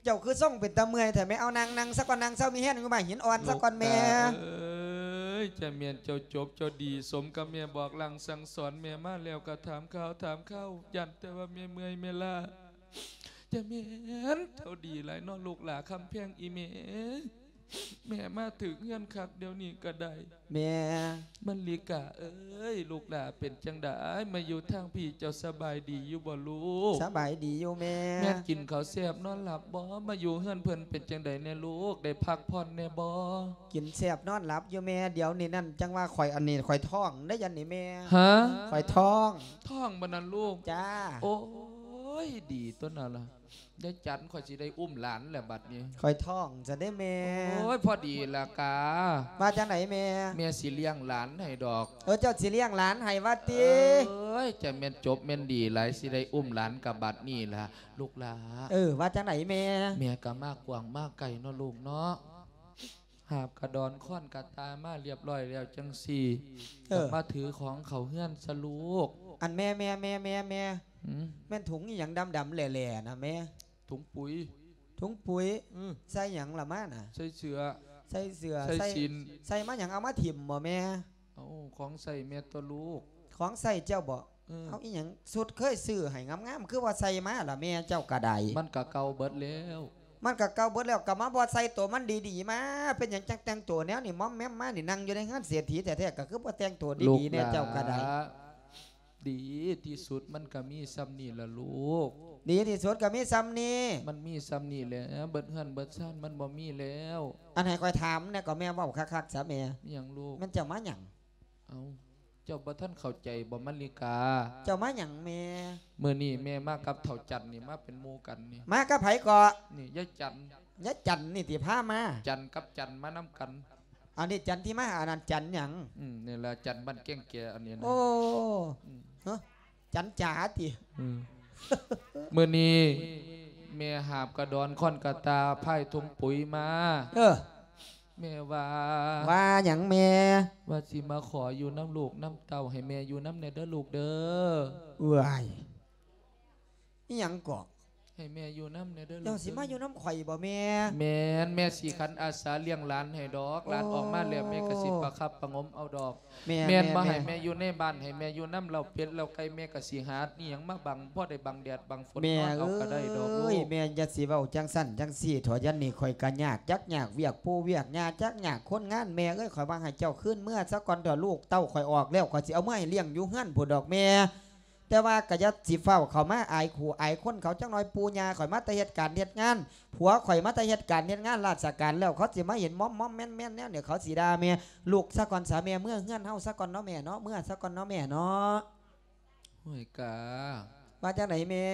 ເຈົ້າຄືຊົງເປັນຕາເມື່ອຍແທ້ແມ່. ເອົາ ນັ່ງ ນັ່ງຊະກ່ອນ ນັ່ງເຊົາມີແຮງຢູ່ໝາກຫີນອ່ອນຊະກ່ອນແມ່. ລູກຫຼ້າເອີຍ ຈະແມ່ນເຈົ້າຈົບເຈົ້າດີ ສົມກັບແມ່ບອກລ່າງສັ່ງສອນແມ່ມາແລ້ວ ກໍຖາມຂ່າວຖາມຄາວ ຢ້ານແຕ່ວ່າແມ່ເມື່ອຍແມ່ລ້າ. ຈະແມ່ນເຈົ້າດີຫຼາຍເນາະລູກຫຼ້າຄຳແພງ ອີ່ແມ່. ແມ່ມາຖືກເຮືອນຄັກດຽວນີ້ກໍໄດ້. ແມ່ ມັນລິກາເອີຍ ລູກຫຼ້າເປັນຈັ່ງໃດ ມາຢູ່ທາງພີ້ ເຈົ້າສະບາຍດີຢູ່ບໍ່ລູກ? ສະບາຍດີຢູ່ແມ່. ແມ່ນກິນເຂົ້າແຊບນອນຫຼັບບໍ່? ມາຢູ່ເຮືອນເພິ່ນເປັນຈັ່ງໃດແດ່ລູກ ໄດ້ພັກຜ່ອນແດ່ບໍ່? ກິນແຊບນອນຫຼັບຢູ່ແມ່. ດຽວນີ້ນັ້ນ ຈັ່ງວ່າຂ້ອຍ ອັນນີ້ຂ້ອຍທ້ອງໄດ໋ ອັນນີ້ແມ່. ຮະ? ຂ້ອຍທ້ອງ. ທ້ອງບໍ່ນັ້ນລູກ? ຈ້າ. ໂອ້ຍ ດີຕົວນັ້ນລະ. ຍາຍຈັນ ຂ້ອຍຊິໄດ້ອຸ້ມຫຼານແລ້ວບັດນີ້. ຂ້ອຍທ້ອງຊັ້ນເດ້ແມ່. ໂອ້ຍ ພໍດີລະກາ. ວ່າຈັ່ງໃດແມ່? ແມ່ຊິລ້ຽງຫຼານໃຫ້ດອກ. ເອີ ເຈົ້າຊິລ້ຽງຫຼານໃຫ້ວ່າຕິ? ເອີຍ ຈະແມ່ນຈົບແມ່ນດີຫຼາຍ ຊິໄດ້ອຸ້ມຫຼານກະບັດນີ້ລະລູກຫຼ້າ. ເອີ ວ່າຈັ່ງໃດແມ່? ແມ່ກະມາກວ້າງມາໄກເນາະລູກເນາະ. ຫາບກະດອນຄ້ອນກະຕ່າມາລຽບລ້ອຍແລ້ວຈັ່ງຊີ້ ເອີ ກະມາຖືຂອງເຂົ້າເຮືອນຊະລູກ. ອັນແມ່ ແມ່ ແມ່ ແມ່ ແມ່ ຫື? ແມ່ນຖົງອີ່ຫຍັງດຳໆແຫຼ້ໆນະແມ່? ຖົງປຸ໋ຍ. ຖົງປຸ໋ຍ? ອື ໃສ່ຫຍັງລະມານະ? ໃສ່ເສື້ອ. ໃສ່ເສື້ອ ໃສ່ ໃສ່ສິ້ນ. ໃສ່ມາຫຍັງ ເອົາມາຖິ້ມບໍ່ແມ່? ເອົາ ຂອງໃຊ້ແມ່ຕົວະລູກ. ຂອງໃຊ້ເຈົ້າບໍ? ເອີ ເອົາອີ່ຫຍັງ ຊຸດເຄີຍຊື້ໃຫ້ງາມໆ ຄືບໍ່ໃສ່ມາລະແມ່ເຈົ້າກະໄດ້? ມັນກະເກົ່າເບິດແລ້ວ. ມັນກະເກົ່າເບິດແລ້ວ ກະມາບໍ່ໃສ່ໂຕມັນດີໆມາ. ເປັນຫຍັງຈັ່ງແຕ່ງໂຕແນວນີ້ ມອມແມມມານີ້? ນັ່ງຢູ່ໃນເຮືອນເສດຖີແທ້ໆ ກະຄືບໍ່ແຕ່ງໂຕດີໆແນ່ເຈົ້າກະໄດ້? ດີທີ່ສຸດມັນກະມີຊ່ຳນີ້ລະລູກ. ດີທີ່ສຸດກະມີຊ່ຳນີ້. ມັນມີຊ່ຳນີ້ແຫຼະ ເບິດເຮືອນເບິດຊານມັນບໍ່ມີແລ້ວ. ອັນໃຫ້ຂ້ອຍຖາມແນ່ກໍແມ່ ເວົ້າຄັກໆຊະແມ່. ມີຫຍັງລູກ? ແມ່ນເຈົ້າມາຫຍັງ? ເອົາ ເຈົ້າບໍ່ທັນເຂົ້າໃຈບໍ່ ມະລິກາ? ເຈົ້າມາຫຍັງແມ່? ມື້ນີ້ແມ່ມາກັບເຖົ້າຈັນນີ້ ມາເປັນໝູ່ກັນນີ້. ມາກັບໃຜເກາະ? ນີ້ຍາຍຈັນ. ຍາຍຈັນນີ້ຕິພາມາ? ຈັນກັບຈັນມານຳກັນ. ອັນນີ້ຈັນທີ່ມາ ອັນນັ້ນຈັນຫຍັງ? ອືມ ນີ້ລະຈັນບ້ານແກ້ງແກ ອັນນີ້ນະ. ໂອ້ ອືມ ຮະ ຈັນຈາຕິ? ອືມ ມື້ນີ້ແມ່ຫາບກະດອນ ຄ້ອນກະຕ່າ ພາຍຖົງປຸຍມາ. ເອີ ແມ່ວ່າ ວ່າຫຍັງແມ່? ວ່າຊິມາຂໍຢູ່ນຳລູກນຳເຕົ້າ ໃຫ້ແມ່ຢູ່ນຳແດ່ເດີລູກເດີ. ເອີຍ ອີ່ຫຍັງເກາະ? ໃຫ້ແມ່ຢູ່ນຳແດ່ເດີລູກເດີ. ເຈົ້າຊິມາຢູ່ນຳຂ້ອຍບໍ່ແມ່? ແມ່ນ ແມ່ຊິຂັນອາສາລ້ຽງຫຼານໃຫ້ດອກ. ໂອ້ ຫຼານອອກມາແລ້ວ ແມ່ກໍຊິປະຄັບປະງົມເອົາດອກ. ແມ່ນ ແມ່ນບໍ່ ແມ່ນ ໃຫ້ແມ່ຢູ່ໃນບ້ານ ໃຫ້ແມ່ຢູ່ນຳເລ້າເປັດເລ້າໄກ່ ແມ່ກໍຊິຫາອີ່ຫຍັງມາບັງ ພໍໄດ້ບັງແດດບັງຝົນ ແມ່ນອນເອົາກໍໄດ້ດອກລູກ. ເອີຍ ແມ່ຢ່າຊິເວົ້າຈັ່ງຊັ້ນຈັ່ງຊີ້ເຖາະ ດຽວນີ້ຂ້ອຍກໍຍາກ ຈັກຍາກວຽກປູ່ວຽກຫຍ້າ ຈັກຍາກຄົນງານ. ແມ່ເອີຍ ຂ້ອຍວ່າໃຫ້ເຈົ້າຄືນເມືອຊະກ່ອນເຖາະລູກເຕົ້າ. ຂ້ອຍອອກແລ້ວ ຂ້ອຍຊິເອົາເມືອໃຫ້ລ້ຽງຢູ່ເຮືອນພຸ້ນດອກແມ່. ແຕ່ວ່າກໍຢ່າຊິຟ້າວເຂົ້າມາອາຍຄູ່ອາຍຄົນເຂົາ. ຈັກໜ້ອຍປູ່ຍ່າຂ້ອຍມາແຕ່ເຮັດການເຮັດງານ ຜົວຂ້ອຍມາແຕ່ເຮັດການເຮັດງານລາຊະການແລ້ວ ເຂົາຊິມາເຫັນມອມໆແມ່ນໆແນວນີ້ ເຂົາຊິດ່າແມ່. ລູກຊະກ່ອນຊະແມ່ ເມືອເຮືອນເຮົາຊະກ່ອນເນາະແມ່ເນາະ ເມືອຊະກ່ອນເນາະແມ່ເນາະ. ຫ້ວຍກາ ວ່າຈັ່ງໃດແມ່?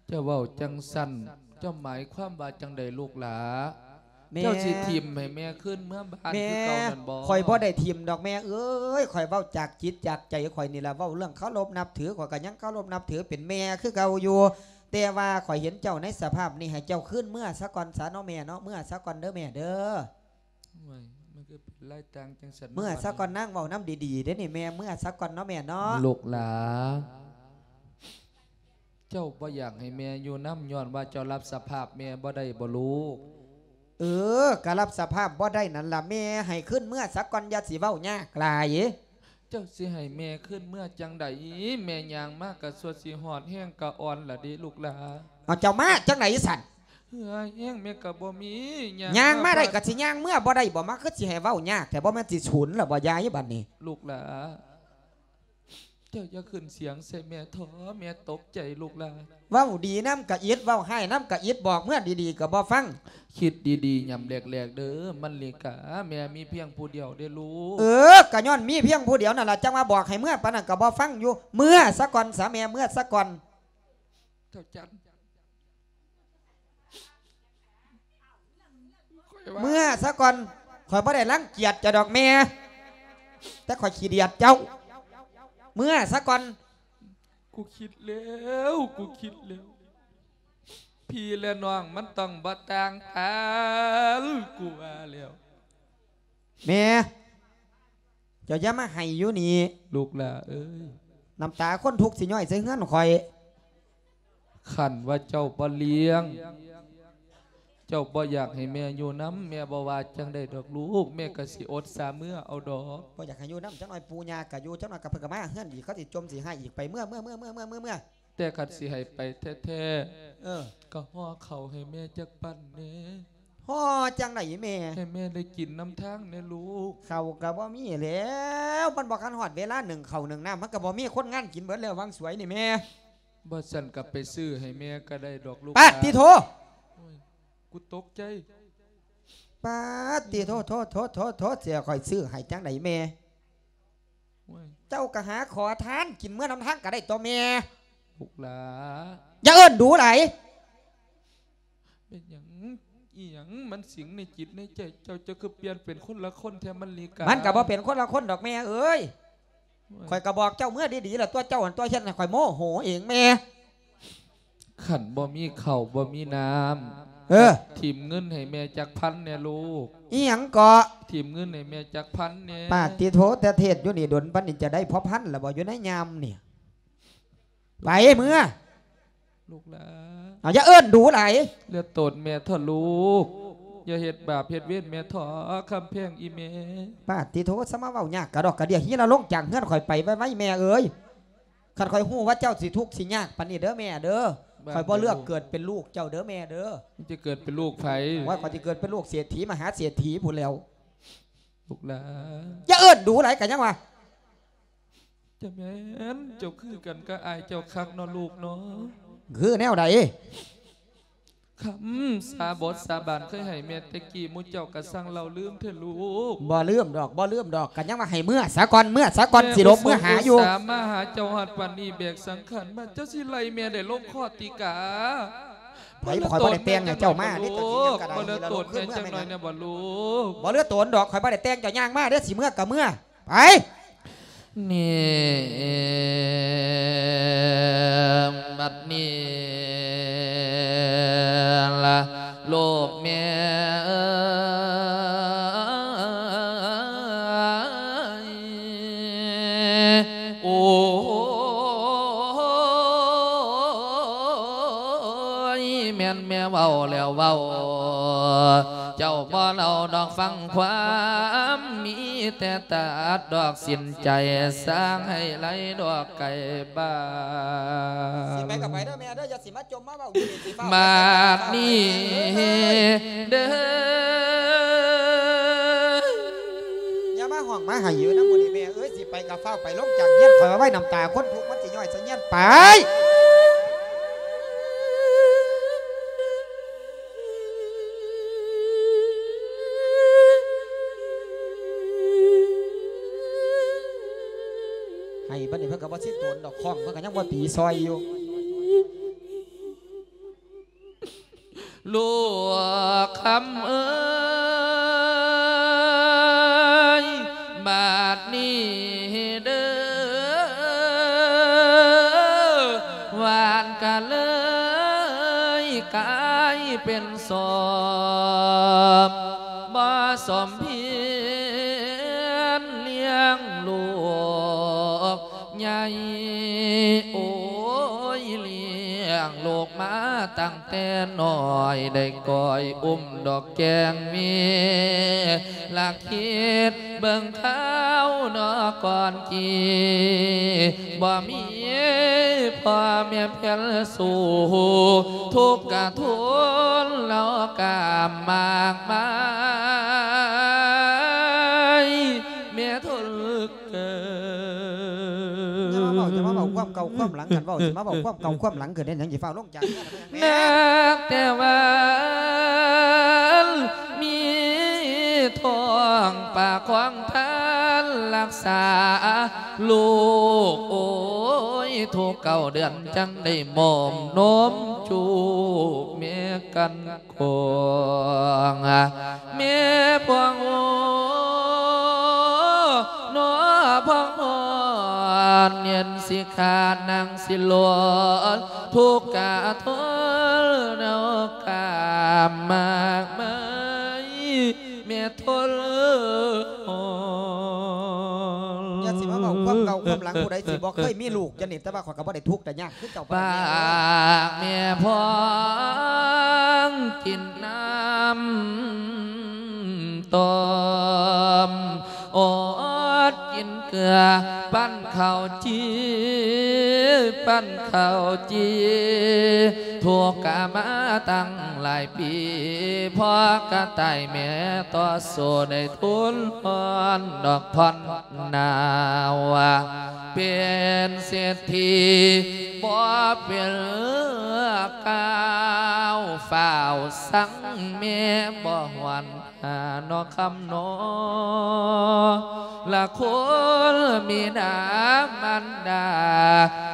ເຈົ້າເວົ້າຈັ່ງຊັ້ນ ເຈົ້າໝາຍຄວາມວ່າຈັ່ງໃດລູກຫຼາ? ແມ່ ເຈົ້າຊິຖິ້ມໃຫ້ແມ່ຄືນເມືອບ້ານຄືເກົ່ານັ້ນບໍ່? ແມ່ ຂ້ອຍບໍ່ໄດ້ຖິ້ມດອກແມ່ເອີຍ ຂ້ອຍເວົ້າຈາກຈິດຈາກໃຈຂ້ອຍນີ້ລະ ເວົ້າເລື່ອງເຄົາລົບນັບຖື ຂ້ອຍກໍຍັງເຄົາລົບນັບຖືເປັນແມ່ຄືເກົ່າຢູ່. ແຕ່ວ່າຂ້ອຍເຫັນເຈົ້າໃນສະພາບນີ້ ໃຫ້ເຈົ້າຄືນເມືອຊະກ່ອນຊະເນາະແມ່ເນາະ ເມືອຊະກ່ອນເດີແມ່ເດີ. ໂອ້ຍ ມັນຄືເປັນລາຍຕ່າງຈັ່ງຊັ້ນ ເມືອຊະກ່ອນ ນາງເວົ້ານຳດີໆເດ້ນີ້ແມ່ ເມືອຊະກ່ອນເນາະແມ່ເນາະ. ລູກຫຼາ ເຈົ້າບໍ່ຢາກໃຫ້ແມ່ຢູ່ນຳ ຍ້ອນວ່າເຈົ້າຮັບສະພາບແມ່ບໍ່ໄດ້ບໍ່ລູກ? ເອີ ກໍຮັບສະພາບບໍ່ໄດ້ນັ້ນລະແມ່ ໃຫ້ຄືນເມືອຊະກ່ອນ ຢ່າຊິເວົ້າຍາກຫຼາຍ. ເຈົ້າຊິໃຫ້ແມ່ຄືນເມືອຈັ່ງໃດ? ແມ່ຍ່າງມາກະສ່ວນຊິຮອດແຮງກະອ່ອນລະເດລູກຫຼາ. ເອົາ ເຈົ້າມາຈັ່ງໃດຊັ້ນ? ເຫື່ອແຮງແມ່ກະບໍ່ມີ ຍ່າງ ຍ່າງມາໄດ້ກະຊິຍ່າງເມືອບໍ່ໄດ້ບໍ່? ມາຄືຊິໃຫ້ເວົ້າຍາກແທ້ ບໍ່ແມ່ນຊິສູນລະບໍ່ຍາຍບັດນີ້? ລູກຫຼາ ເຈົ້າຢ່າຂຶ້ນສຽງໃສ່ແມ່ເຖາະ ແມ່ຕົກໃຈລູກຫຼາ. ເວົ້າດີນຳກະອິດ ເວົ້າຮ້າຍນຳກະອິດ ບອກເມືອດີໆກະບໍ່ຟັງ. ຄິດດີໆ ຍາມແລກໆເດີມະລິກາ ແມ່ມີພຽງຜູ້ດຽວເດ້ລູກ. ເອີ ກະຍ້ອນມີພຽງຜູ້ດຽວນັ້ນລະ ຈັ່ງວ່າບອກໃຫ້ເມືອປານນັ້ນກະບໍ່ຟັງຢູ່. ເມືອຊະກ່ອນຊະແມ່ ເມືອຊະກ່ອນ. ເຈົ້າຈັນ ເມືອຊະກ່ອນ ຂ້ອຍບໍ່ໄດ້ລັງກຽດເຈົ້າດອກແມ່ ແຕ່ຂ້ອຍຂີ້ດຽດເຈົ້າ. ເມືອຊະກ່ອນ. ກູຄິດແລ້ວ ກູຄິດແລ້ວ ພີ່ແລະນ້ອງມັນຕ້ອງບໍ່ຕ່າງກັນ ກູວ່າແລ້ວ. ແມ່ ເຈົ້າຢ່າມາໄຫ້ຢູ່ນີ້ ລູກຫຼາເອີຍ ນ້ຳຕາຄົນທຸກຊິຍ້ອຍໃສ່ເຮືອນຂ້ອຍ. ຄັນວ່າເຈົ້າບໍ່ລ້ຽງ ເຈົ້າບໍ່ຢາກໃຫ້ແມ່ຢູ່ນຳ ແມ່ບໍ່ວ່າຈັ່ງໃດດອກລູກ ແມ່ກະຊິອົດສາເມືອເອົາດອກ. ບໍ່ຢາກໃຫ້ຢູ່ນຳ ຈັກໜ້ອຍປູ່ຍ່າກະຢູ່ ຈັກໜ້ອຍກະເພິ່ນກະມາເຮືອນອີກ ເຂົາຊິຈົ່ມຊິຮ້າຍອີກ. ໄປເມືອ ເມືອ ເມືອ ເມືອ ແຕ່ຄັນຊິໃຫ້ໄປແທ້ໆ ເອີ ກະຫໍ່ເຂົ້າໃຫ້ແມ່ຈັກປັ້ນແດ່. ຫໍ່ຈັ່ງໃດແມ່? ໃຫ້ແມ່ໄດ້ກິນນຳທາງແດ່ລູກ. ເຂົ້າກະບໍ່ມີແລ້ວ ມັນບໍ່ທັນຮອດເວລາໜຶ້ງເຂົ້າໜຶ້ງນ້ຳ ມັນກະບໍ່ມີ ຄົນງານກິນເບິດແລ້ວຫວ່າງສວຍນີ້ແມ່. ບໍ່ຊັ້ນກະໄປຊື້ໃຫ້ແມ່ກະໄດ້ດອກລູກ. ປາດຕິໂທ ໂອ້ຍ ກູຕົກໃຈ. ປາດຕິໂທ ໂທ ໂທ ໂທ ໂທ ຊິໃຫ້ຂ້ອຍຊື້ໃຫ້ຈັ່ງໃດແມ່? ໂອ້ຍ ເຈົ້າກະຫາຂໍທານກິນເມືອນຳທາງກະໄດ້ຕົວະແມ່. ລູກຫຼາ ຢ່າເອີ້ນດູຫຼາຍ. ເປັນຫຍັງ ອີ່ຫຍັງມັນສິງໃນຈິດໃນໃຈເຈົ້າ ເຈົ້າຄືປ່ຽນເປັນຄົນລະຄົນແທ້ມະລິກາ? ມັນກະບໍ່ເປັນຄົນລະຄົນດອກແມ່ເອີຍ. ໂອ້ຍ ຂ້ອຍກະບອກເຈົ້າເມືອດີໆລະຕົວະ ເຈົ້າຫັ້ນຕົວະເຮັດໃຫ້ຂ້ອຍໂມໂຫເອງແມ່. ຄັນບໍ່ມີເຂົ້າບໍ່ມີນ້ຳ ເອີ ຖິ້ມເງິນໃຫ້ແມ່ຈັກພັນແດ່ລູກ. ອີ່ຫຍັງເກາະ? ຖິ້ມເງິນໃຫ້ແມ່ຈັກພັນແດ່. ປາດຕິໂທ ແຕ່ເທດຢູ່ນີ້ດົນປານນີ້ ຈະໄດ້ພໍພັນລະບໍ່ ຢູ່ໃນຍາມນີ້? ໄປເມືອ ລູກຫຼາ. ເອົາ ຢ່າເອີ້ນດູຫຼາຍ. ຢ່າໂຕດແມ່ເຖາະລູກ ຢ່າເຮັດບາບເຮັດເວນແມ່ເຖາະ ຄຳແພງອີ່ແມ່. ປາດຕິໂທ ສະມາເວົ້າຍາກກະດອກກະເດຍ. ຮີລະລົງຈາກເຮືອນຂ້ອຍໄປໄວໆແມ່ເອີຍ. ຄັນຂ້ອຍຮູ້ວ່າເຈົ້າຊິທຸກຊິຍາກປານນີ້ເດີແມ່ເດີ ຂ້ອຍບໍ່ເລືອກເກີດເປັນລູກເຈົ້າເດີແມ່ເດີ. ມັນຈະເກີດເປັນລູກໃຜ? ໂອ້ຍ ຂ້ອຍຊິເກີດເປັນລູກເສດຖີມະຫາເສດຖີພຸ້ນແລ້ວ. ລູກຫຼາ ຢ່າເອີ້ນດູຫຼາຍກະຍັງວ່າ. ຈະແມ່ນ ເຈົ້າຄືກັນກັບອ້າຍເຈົ້າຄັກເນາະລູກເນາະ. ຄືແນວໃດ? ຄຳສາບົດສາບານເຄີຍໃຫ້ແມ່ແຕ່ກີ້ ໝູ່ເຈົ້າກະຊ່າງເລົ່າລືມແທ້ລູກ. ບໍ່ລືມດອກ ບໍ່ລືມດອກ ກະຍັງວ່າໃຫ້ເມືອສາກ່ອນ ເມືອສາກ່ອນ ຊິຫຼົບເມືອຫາຢູ່. ແມ່ອຸດສາມາຫາເຈົ້າຮອດປານນີ້ ແບກສັງຂານມາ ເຈົ້າຊິໄລ່ແມ່ໄດ້ລົງຄອດຕິກາ? ໃຜ ຂ້ອຍບໍ່ໄດ້ແຕ່ງໃຫ້ເຈົ້າມາເດ້ ເຈົ້າຊິຫຍັງກະໄດ້ ບໍ່ເຫຼືອໂຕນແມ່ຈັກໜ້ອຍແນ່ບໍ່ລູກ? ບໍ່ເຫຼືອໂຕນດອກ ຂ້ອຍບໍ່ໄດ້ແຕ່ງເຈົ້າ ຍ່າງມາເດ້ ຊິເມືອກະເມືອ. ໄປ ນີ້ ບັດນີ້ລະລູກແມ່ເອີຍ ໂອ້ຍ ແມ່ນແມ່ເວົ້າແລ້ວເວົ້າ ເຈົ້າບໍ່ເລົ່າດອກຟັງຄວາມ ມີແຕ່ຕັດດອກສິ້ນໃຈ ສ້າງໃຫ້ໄຫຼດອກໄກບ້ານ. ຊິໄປກໍໄປເດີແມ່ເດີ ຢ່າຊິມາຈົ່ມມາເວົ້າຢູ່ນີ້ ຊິຟ້າວໄປໃສ ບາດນີ້ເດີ ຢ່າມາຮ້ອງມາໄຫ້ຢູ່ນຳໝູ່ນີ້ແມ່ເອີຍ. ຊິໄປກໍຟ້າວໄປລົງຈາກເຮືອນ ຂ້ອຍວ່າໄວ້ນ້ຳຕາຄົນທຸກມັນຊິຍ້ອຍໃສ່ເຮືອນ ໄປ. ໃຫ້ບັດນີ້ເພິ່ນກໍບໍ່ຊິໂຕນດອກ ຄ້ອງເພິ່ນກໍຍັງບໍ່ຕີຊອຍຢູ່. ລູກຄຳເອີຍ ບາດນີ້ເດີ ຫວ່ານກະເລີຍກາຍເປັນສອບ ບໍ່ສົມພຽນລ້ຽງລູກໃຫຍ່ ໂອ້ຍ ລ້ຽງລູກມາຕັ້ງ ແຕ່ນ້ອຍໄດ້ກອຍອຸ້ມດອກແກ້ງເມ ລະຄິດເບິ່ງຄາວເນາະກ່ອນກີ້ ບໍ່ມີພໍ່ແມ່ແຜ່ນສູ່ ທຸກກະທົນລາວກາມມາກມາຍ ແມ່ທົນ ເກີດ ຢ່າມາເວົ້າ ຢ່າມາເວົ້າຄວາມເກົ່າຄວາມຫຼັງກັນ ເວົ້າຊິມາເວົ້າຄວາມເກົ່າຄວາມຫຼັງ ເກີດເຮັດຫຍັງຊິຟ້າວລົງຈາກເຮືອນ ນັກແຕ່ວ່າມີທ້ອງປາກຂອງທ່ານລັກສາລູກ ໂອ້ຍ ທຸກເກົ້າເດືອນ ຈັ່ງໄດ້ໝົມນົມຈູບແມ່ກັນ ຂອງແມ່ພວງ ໂອ້ ໜໍພວງ ເຢັນສິຂານັ່ງສິລອດ ທຸກກະທົນເອົາກາມມາກມາຍ ແມ່ທົນ ຢ່າຊິມາເວົ້າຄວາມເກົ່າຄວາມຫຼັງ ຜູ້ໃດຊິບໍ່ເຄີຍມີລູກຈັ່ງນີ້ ແຕ່ວ່າ ຂ້ອຍກໍບໍ່ໄດ້ທຸກໄດ້ຍາກຄືເຈົ້າປານໃດ ປາກແມ່ພວງກິນນ້ຳຕົ້ມ ອອດກິນເກືອ ປັ້ນເຂົ້າຈີ່ ປັ້ນເຂົ້າຈີ່ ທຸກກະມາຕັ້ງຫຼາຍປີ ພໍກະຕາຍແມ່ຕໍ່ສູ້ໄດ້ທຸນຮອນດອກຜ່ອນ ນາວເປັນເສດຖີບໍ່ເປັນກ້າວ ຟ້າວສັງແມ່ບໍ່ຮອນຫານອກຄຳນອ ລະຄຸນບິດາມານດາ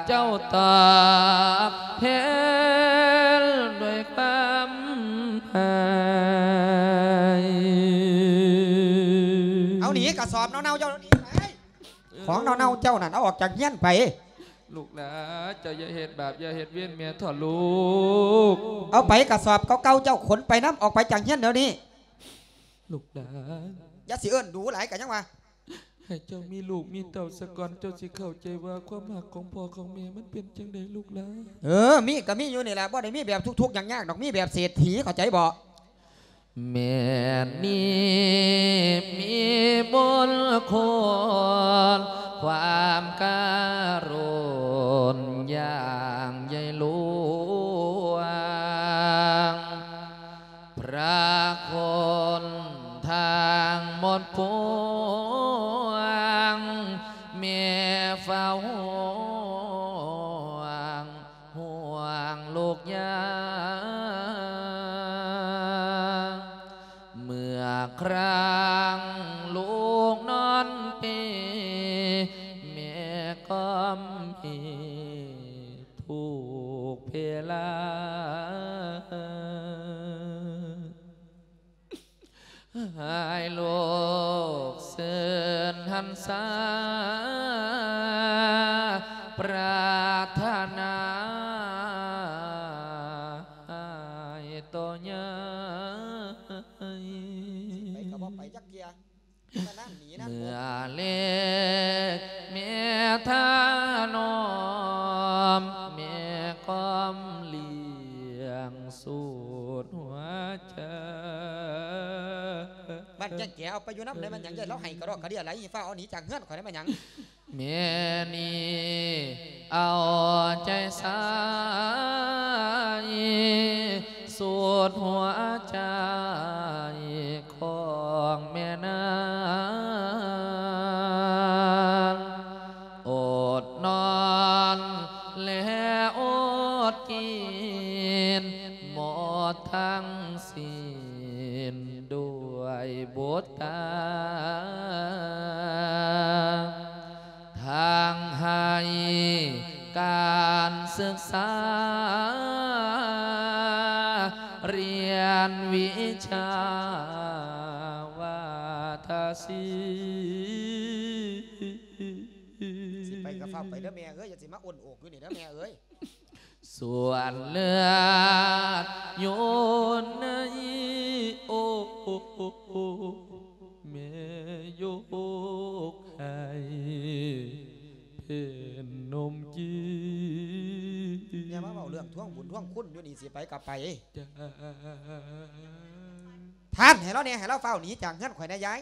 ເຈົ້າຕອບແທນດ້ວຍຄວາມໃຫ້ ເອົາໜີກະສອບເນົ່າໆເຈົ້າໜີໄປ ຂອງເນົ່າໆເຈົ້ານັ້ນ ເອົາອອກຈາກເຮືອນໄປ. ລູກຫຼານ ເຈົ້າຢ່າເຮັດບາບ ຢ່າເຮັດເວນແມ່ເຖາະລູກ. ເອົາໄປກະສອບເກົ່າໆເຈົ້າ ຂົນໄປນຳ ອອກໄປຈາກເຮືອນດຽວນີ້. ລູກຫຼານ ຢ່າຊິເອີ້ນດູຫຼາຍ ກະຍັງວ່າ ໃຫ້ເຈົ້າມີລູກມີເຕົ້າສາກ່ອນ ເຈົ້າຊິເຂົ້າໃຈວ່າຄວາມຮັກຂອງພໍ່ຂອງແມ່ມັນເປັນຈັ່ງໃດ ລູກຫຼານ. ເອີ ມີກະມີຢູ່ນີ້ລະ ບໍ່ໄດ້ມີແບບທຸກໆຍາກໆດອກ ມີແບບເສດຖີ ເຂົ້າໃຈບໍ່? ແມ່ນີ້ມີບຸນຄຸນ ຄວາມກະລຸນຢ່າງໃຫຍ່ຫຼວງ ພະຄຸນທັງໝົດພວງ ແມ່ເຝົ້າຫ່ວງ ຫ່ວງລູກຍາ ໃຫ້ລູກຊື່ນຫັນສາ ປາດຖະໜາໃຫ້ໂຕໃຫຍ່. ໄປກໍບໍ່ໄປຈັກເທື່ອ ມານັ້ນໜີນັ້ນ ເມື່ອເລັກແມ່ທານອມ ແມ່ຄວາມລ້ຽງສຸດຫົວໃຈ. ບ້ານແກ້ງແກເອົາໄປຢູ່ນຳໄດ້ ມັນຫຍັງ ຍາຍລາວໄຫ້ກະດອກກະເດຍຫຼາຍ ຟ້າວເອົາໜີຈາກເຮືອນຂ້ອຍໄດ້ ມັນຫຍັງ? ແມ່ນີ້ເອົາໃຈໃສ່ ສຸດຫົວໃຈຂອງແມ່ນາງ ອົດນອນ ແລະອົດກິນ ໝົດທັງສິ້ນດ້ວຍບຸດຕາ ທັງໃຫ້ການສຶກສາ ຮຽນວິຊາວາທະສິນ. ຊິໄປກໍຟ້າວໄປເດີແມ່ເອີຍ ຢ່າຊິມາອົນໂອກຢູ່ນີ້ເດີແມ່ເອີຍ. ສ່ວນເລືອດຢູ່ໃນອົກ ແມ່ຍົກໃຫ້ເປັນນົມກິນ. ຢ່າມາເວົ້າເລື່ອງທວງບຸນທວງຄຸນຢູ່ນີ້ ຊິໄປກໍໄປ. ທ່ານ ໃຫ້ລາວແດ່ ໃຫ້ລາວຟ້າວໜີຈາກເຮືອນຂ້ອຍແດ່ຍາຍ.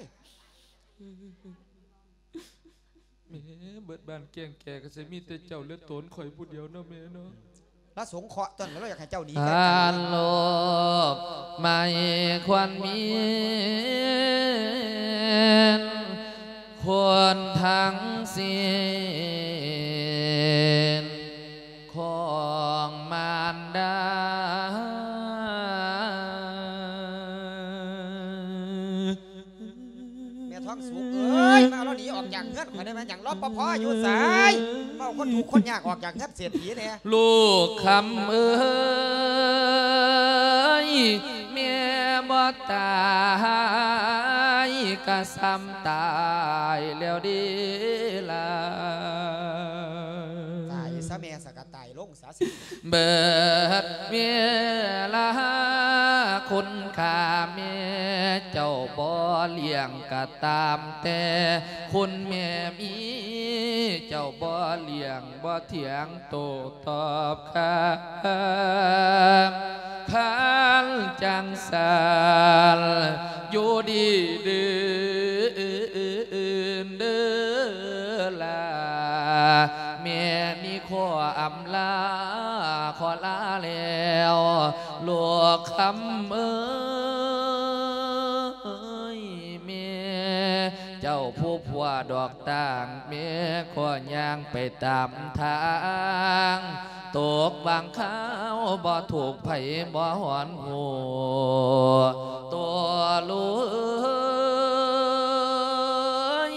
ແມ່ ເບິດບ້ານແກ້ງແກກໍຊິມີແຕ່ເຈົ້າ ແລະ ໂຕນຂ້ອຍຜູ້ດຽວເນາະແມ່ເນາະ. ລາວສົງເຄາະຕົນ ລາວຢາກໃຫ້ເຈົ້າໜີ. ທ່ານໂລກໄໝ່ຄວັນມີນ ຄົນທັງສິ້ນ ຂອງມານດາ. ແມ່ທອງສຸກເອີຍ ມາເອົາລາວໜີອອກຈາກເຮືອນຂ້ອຍໄດ້ແມ່ນຫຍັງ? ລອປພ ຢູ່ໃສ? ມາເອົາຄົນທຸກຄົນຍາກອອກຈາກເຮືອນເສດຖີແດ່. ລູກຄຳເອີຍ ແມ່ບໍ່ຕາຍກະສ່ຳຕາຍແລ້ວເດ້ລະ. ຕາຍຊະແມ່ ສະກະຕາຍລົງ ເບິດເວລາຄຸນຄ່າແມ່ເຈົ້າບໍ່ລ້ຽງກະຕາມແຕ່ ຄຸນແມ່ມີເຈົ້າບໍ່ລ້ຽງບໍ່ຖຽງໂຕ້ຕອບຄຳ. ຄັນຈັ່ງຊັ້ນຢູ່ດີເດີນເດີລາ ແມ່ນີ້ຂໍອຳລາຂໍລາແລ້ວ ລູກຄຳເອີຍ ແມ່ເຈົ້າຜູ້ຜົວດອກຕ່າງ ແມ່ຂໍຍ່າງໄປຕາມທາງ ຕົກບາງຄາວບໍ່ຖືກໃຜບໍ່ຮອນຮູ້ ໂຕລູກເອີຍ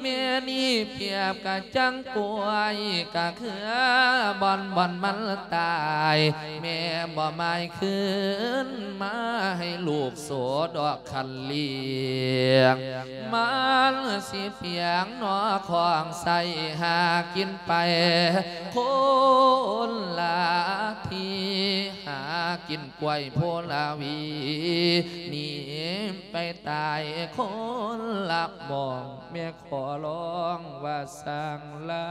ແມ່ນີ້ປຽບກະຈັ່ງກ້ວຍກະເຄືອ ບ່ອນບ່ອນມັນຕາຍ ແມ່ບໍ່ໝາຍຄືນມາໃຫ້ລູກໂສດອກຄັນລ້ຽງ ມັນຊິປຽງໜໍຂອງໃຊ້ຫາກິນໄປຄົນລະທີ່ ຫາກິນກ້ວຍໂພລາວີ ໜີໄປຕາຍຄົນລະໝ່ອງ ແມ່ຂໍຮ້ອງວ່າຊ່າງລາ.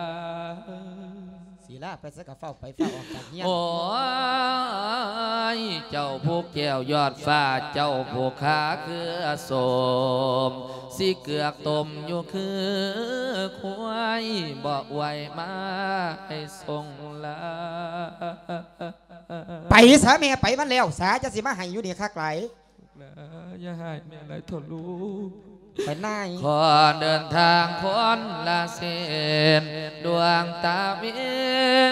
ສີລາໄປໃສກະຟ້າວໄປ ຟ້າວອອກຈາກເຮືອນ. ໂອ້ຍ ເຈົ້າຜູ້ແກ້ວຍອດຟ້າ ເຈົ້າຜູ້ຄາເຄືອະສົມ ຊິເກືອກຕົ້ມຢູ່ຄືຄວາຍ ບໍ່ອວຍມາໃຫ້ສົ່ງລາ. ໄປສາແມ່ ໄປມັນແລ້ວສາ ຈະຊິມາໃຫ້ຢູ່ນີ້ຄັກຫຼາຍ. ຢ່າໃຫ້ແມ່ຫຼາຍເຖົ້າລູກ ໄປນາຍ. ຂໍເດີນທາງຄົນລະເສັ້ນ ດວງຕາເວັ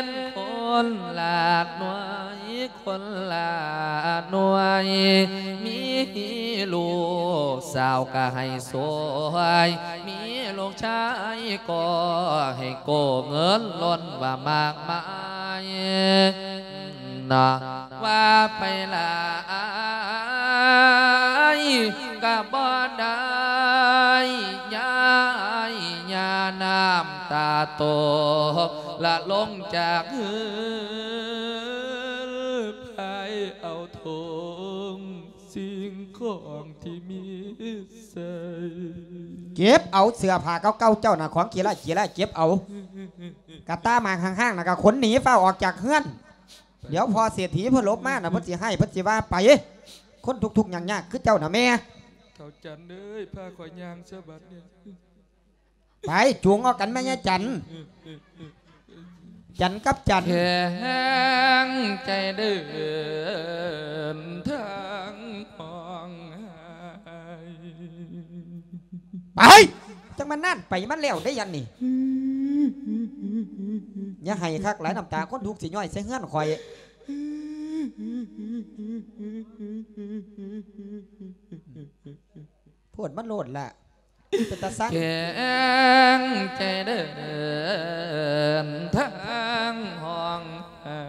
ນຄົນລະໜ່ວຍ ຄົນລະໜ່ວຍ ມີລູກສາວກະໃຫ້ສວຍ ມີລູກຊາຍກໍໃຫ້ໂກ ເງິນລົ້ນວ່າມາກມາຍ. ນະ ວ່າໄປຫຼາຍກະບໍ່ໄດ້ ຍາຍ ຍານ້ຳຕາຕົກ ລະລົງຈາກເຮືອນ ພາຍເອົາຖົງສິ່ງຂອງທີ່ມີໃສ່ ເກັບເອົາເສື້ອຜ້າເກົ່າໆເຈົ້ານະ ຂອງຂີ້ຮ້າຍຂີ້ຮ້າຍ ເກັບເອົາ ກະຕ່າໝາກຫ້າງໆນະ ກະຂົນໜີ ຟ້າວອອກຈາກເຮືອນ. ດຽວພໍ່ເສດຖີເພິ່ນຫຼົບມານະ ເພິ່ນຊິຮ້າຍ ເພິ່ນຊິວ່າໄປ ຄົນທຸກໆຍາກໆຄືເຈົ້ານະແມ່. ເຖົ້າຈັນເອີຍ ພາຂ້ອຍຍ່າງຊະບັດນີ້ ໄປ ຈູງອອກກັນແມ່ຍາຍຈັນ ຈັນກັບຈັນ ແຂງໃຈເດີນທາງຮ້ອງໄຫ້ ໄປ ຈັ່ງມານັ້ນ ໄປມັນແລ້ວໄດ້ຍັງນີ້ ຢ່າໄຫ້ຄັກຫຼາຍ ນ້ຳຕາຄົນທຸກຊິຍ້ອຍໃສ່ເຮືອນຂ້ອຍ ໂພດມັນໂລດລະ ເປັນຕາຊັງ ແຂງໃຈເດີນທາງຮ້ອງໄຫ້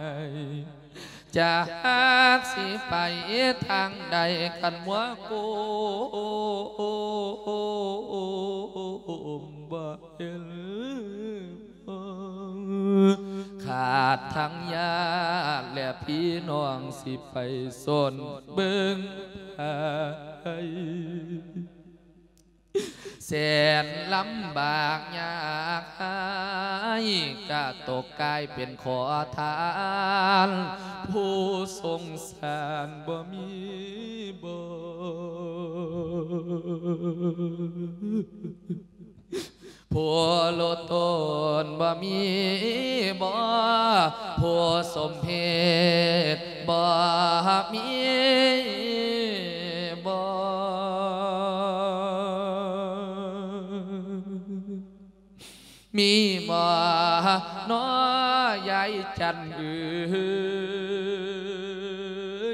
ຈັກຊິໄປທາງໃດ ຄັນວ່າກຸມບໍ່ເຫັນ ຂາດທັງຍາດ ແລະພີ່ນ້ອງຊິໄປຊົນເບິ່ງໃຜ ແສນລຳບາກຍາກຮ້າຍ ກະຕົກກາຍເປັນຂໍທານ ຜູ້ສົງສານບໍ່ມີບໍ່ ຜູ້ໂລດໂຕນບໍ່ມີບໍ່ ຜູ້ສົມເພດບໍ່ມີບໍ່ ມີບໍ່ນໍຍາຍຈັນເອີ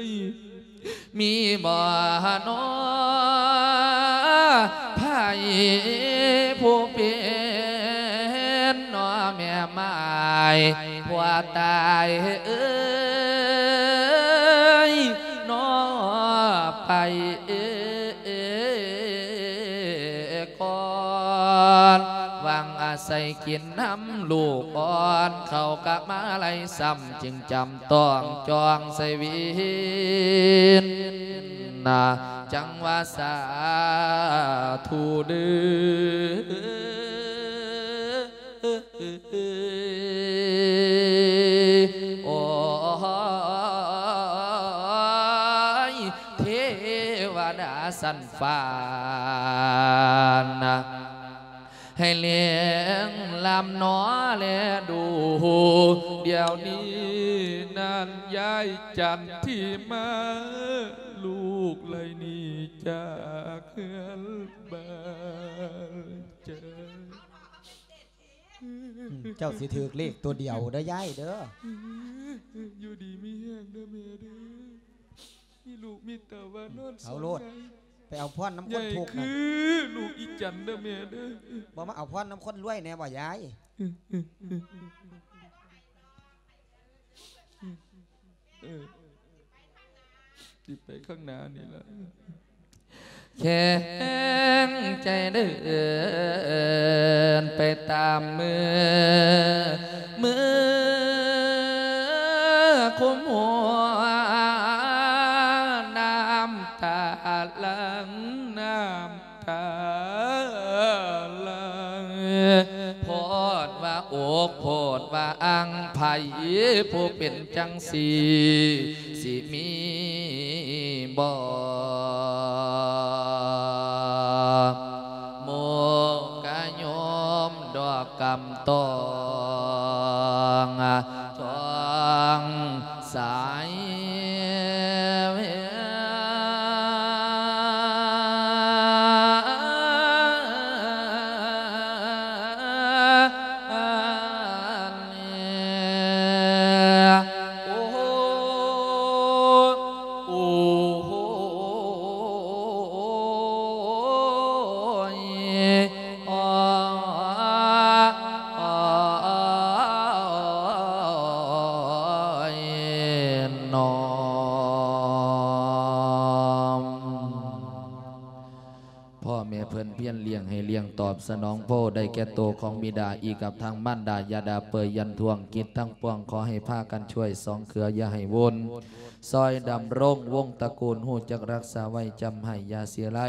ຍ? ມີບໍ່ນໍໃຜຜູ້ເປັນນໍແມ່ໝ້າຍ ຜົວຕາຍເອີຍ ນໍໄປ ກ່ອນ ຫວັງອາໄສກິນນຳລູກອ່ອນ ເຂົ້າກະມາໄລຊ້ຳ ຈຶ່ງຈຳຕ້ອງຈອງໃສ່ວິນນະ ຈັ່ງວ່າສາທຸເດີ ໂອ້ຍ ເທວະດາຊັ້ນຟ້ານະ ໃຫ້ແລງລຳໜໍແລດູ ດຽວນີ້ນັ້ນຍາຍຈັນທີ່ມາ ລູກໄລ່ໜີຈາກເຮືອນບ້ານເຈົ້າ. ເຈົ້າຊິຖືກເລກຕົວດຽວເດີຍາຍເດີ. ຢູ່ດີມີແຮງເດີແມ່ເດີ. ມີລູກມີເຕົ້າວ່ານອນ ເອົາໂລດ ໄປເອົາພອນນຳຄົນທຸກນັ້ນ ຄືລູກອີຈັນເດີແມ່ເດີ. ບໍ່ມາເອົາພອນນຳຄົນລວຍແດ່ບໍ່ຍາຍ? ເອີ ຊິໄປຂ້າງໜ້ານີ້ລະ. ແຂງໃຈເດີນໄປຕາມມື ມືຄຸມຫົວ ນ້ຳຕາຫຼັ່ງ ນ້ຳຕາຫຼັ່ງ ໂພດວ່າອົກ ໂພດວ່າອັ່ງ ໃຜຜູ້ເປັນ ຈັ່ງຊີ້ ຊິມີບໍ່ ໝູ່ກະໂຍມດອກກຳຕອງ ຈອງສາຍ ອມ. ພໍ່ແມ່ເພິ່ນພຽນລ້ຽງໃຫ້ລ້ຽງຕອບສະໜອງໂພ ໄດ້ແກ່ໂຕຂອງບິດາ ອີກກັບທັງມານດາ ຢ່າດ່າເປີຍຢັນທວງ ກິດທັງປວງຂໍໃຫ້ພາກັນຊ່ວຍສອງເຄືອ ຢ່າໃຫ້ວຸ່ນ ຊ່ອຍດຳລົງວົງຕະກູນ ຮູ້ຈັກຮັກສາໄວ້ຈຳໃຫ້ ຢ່າເສຍໄລ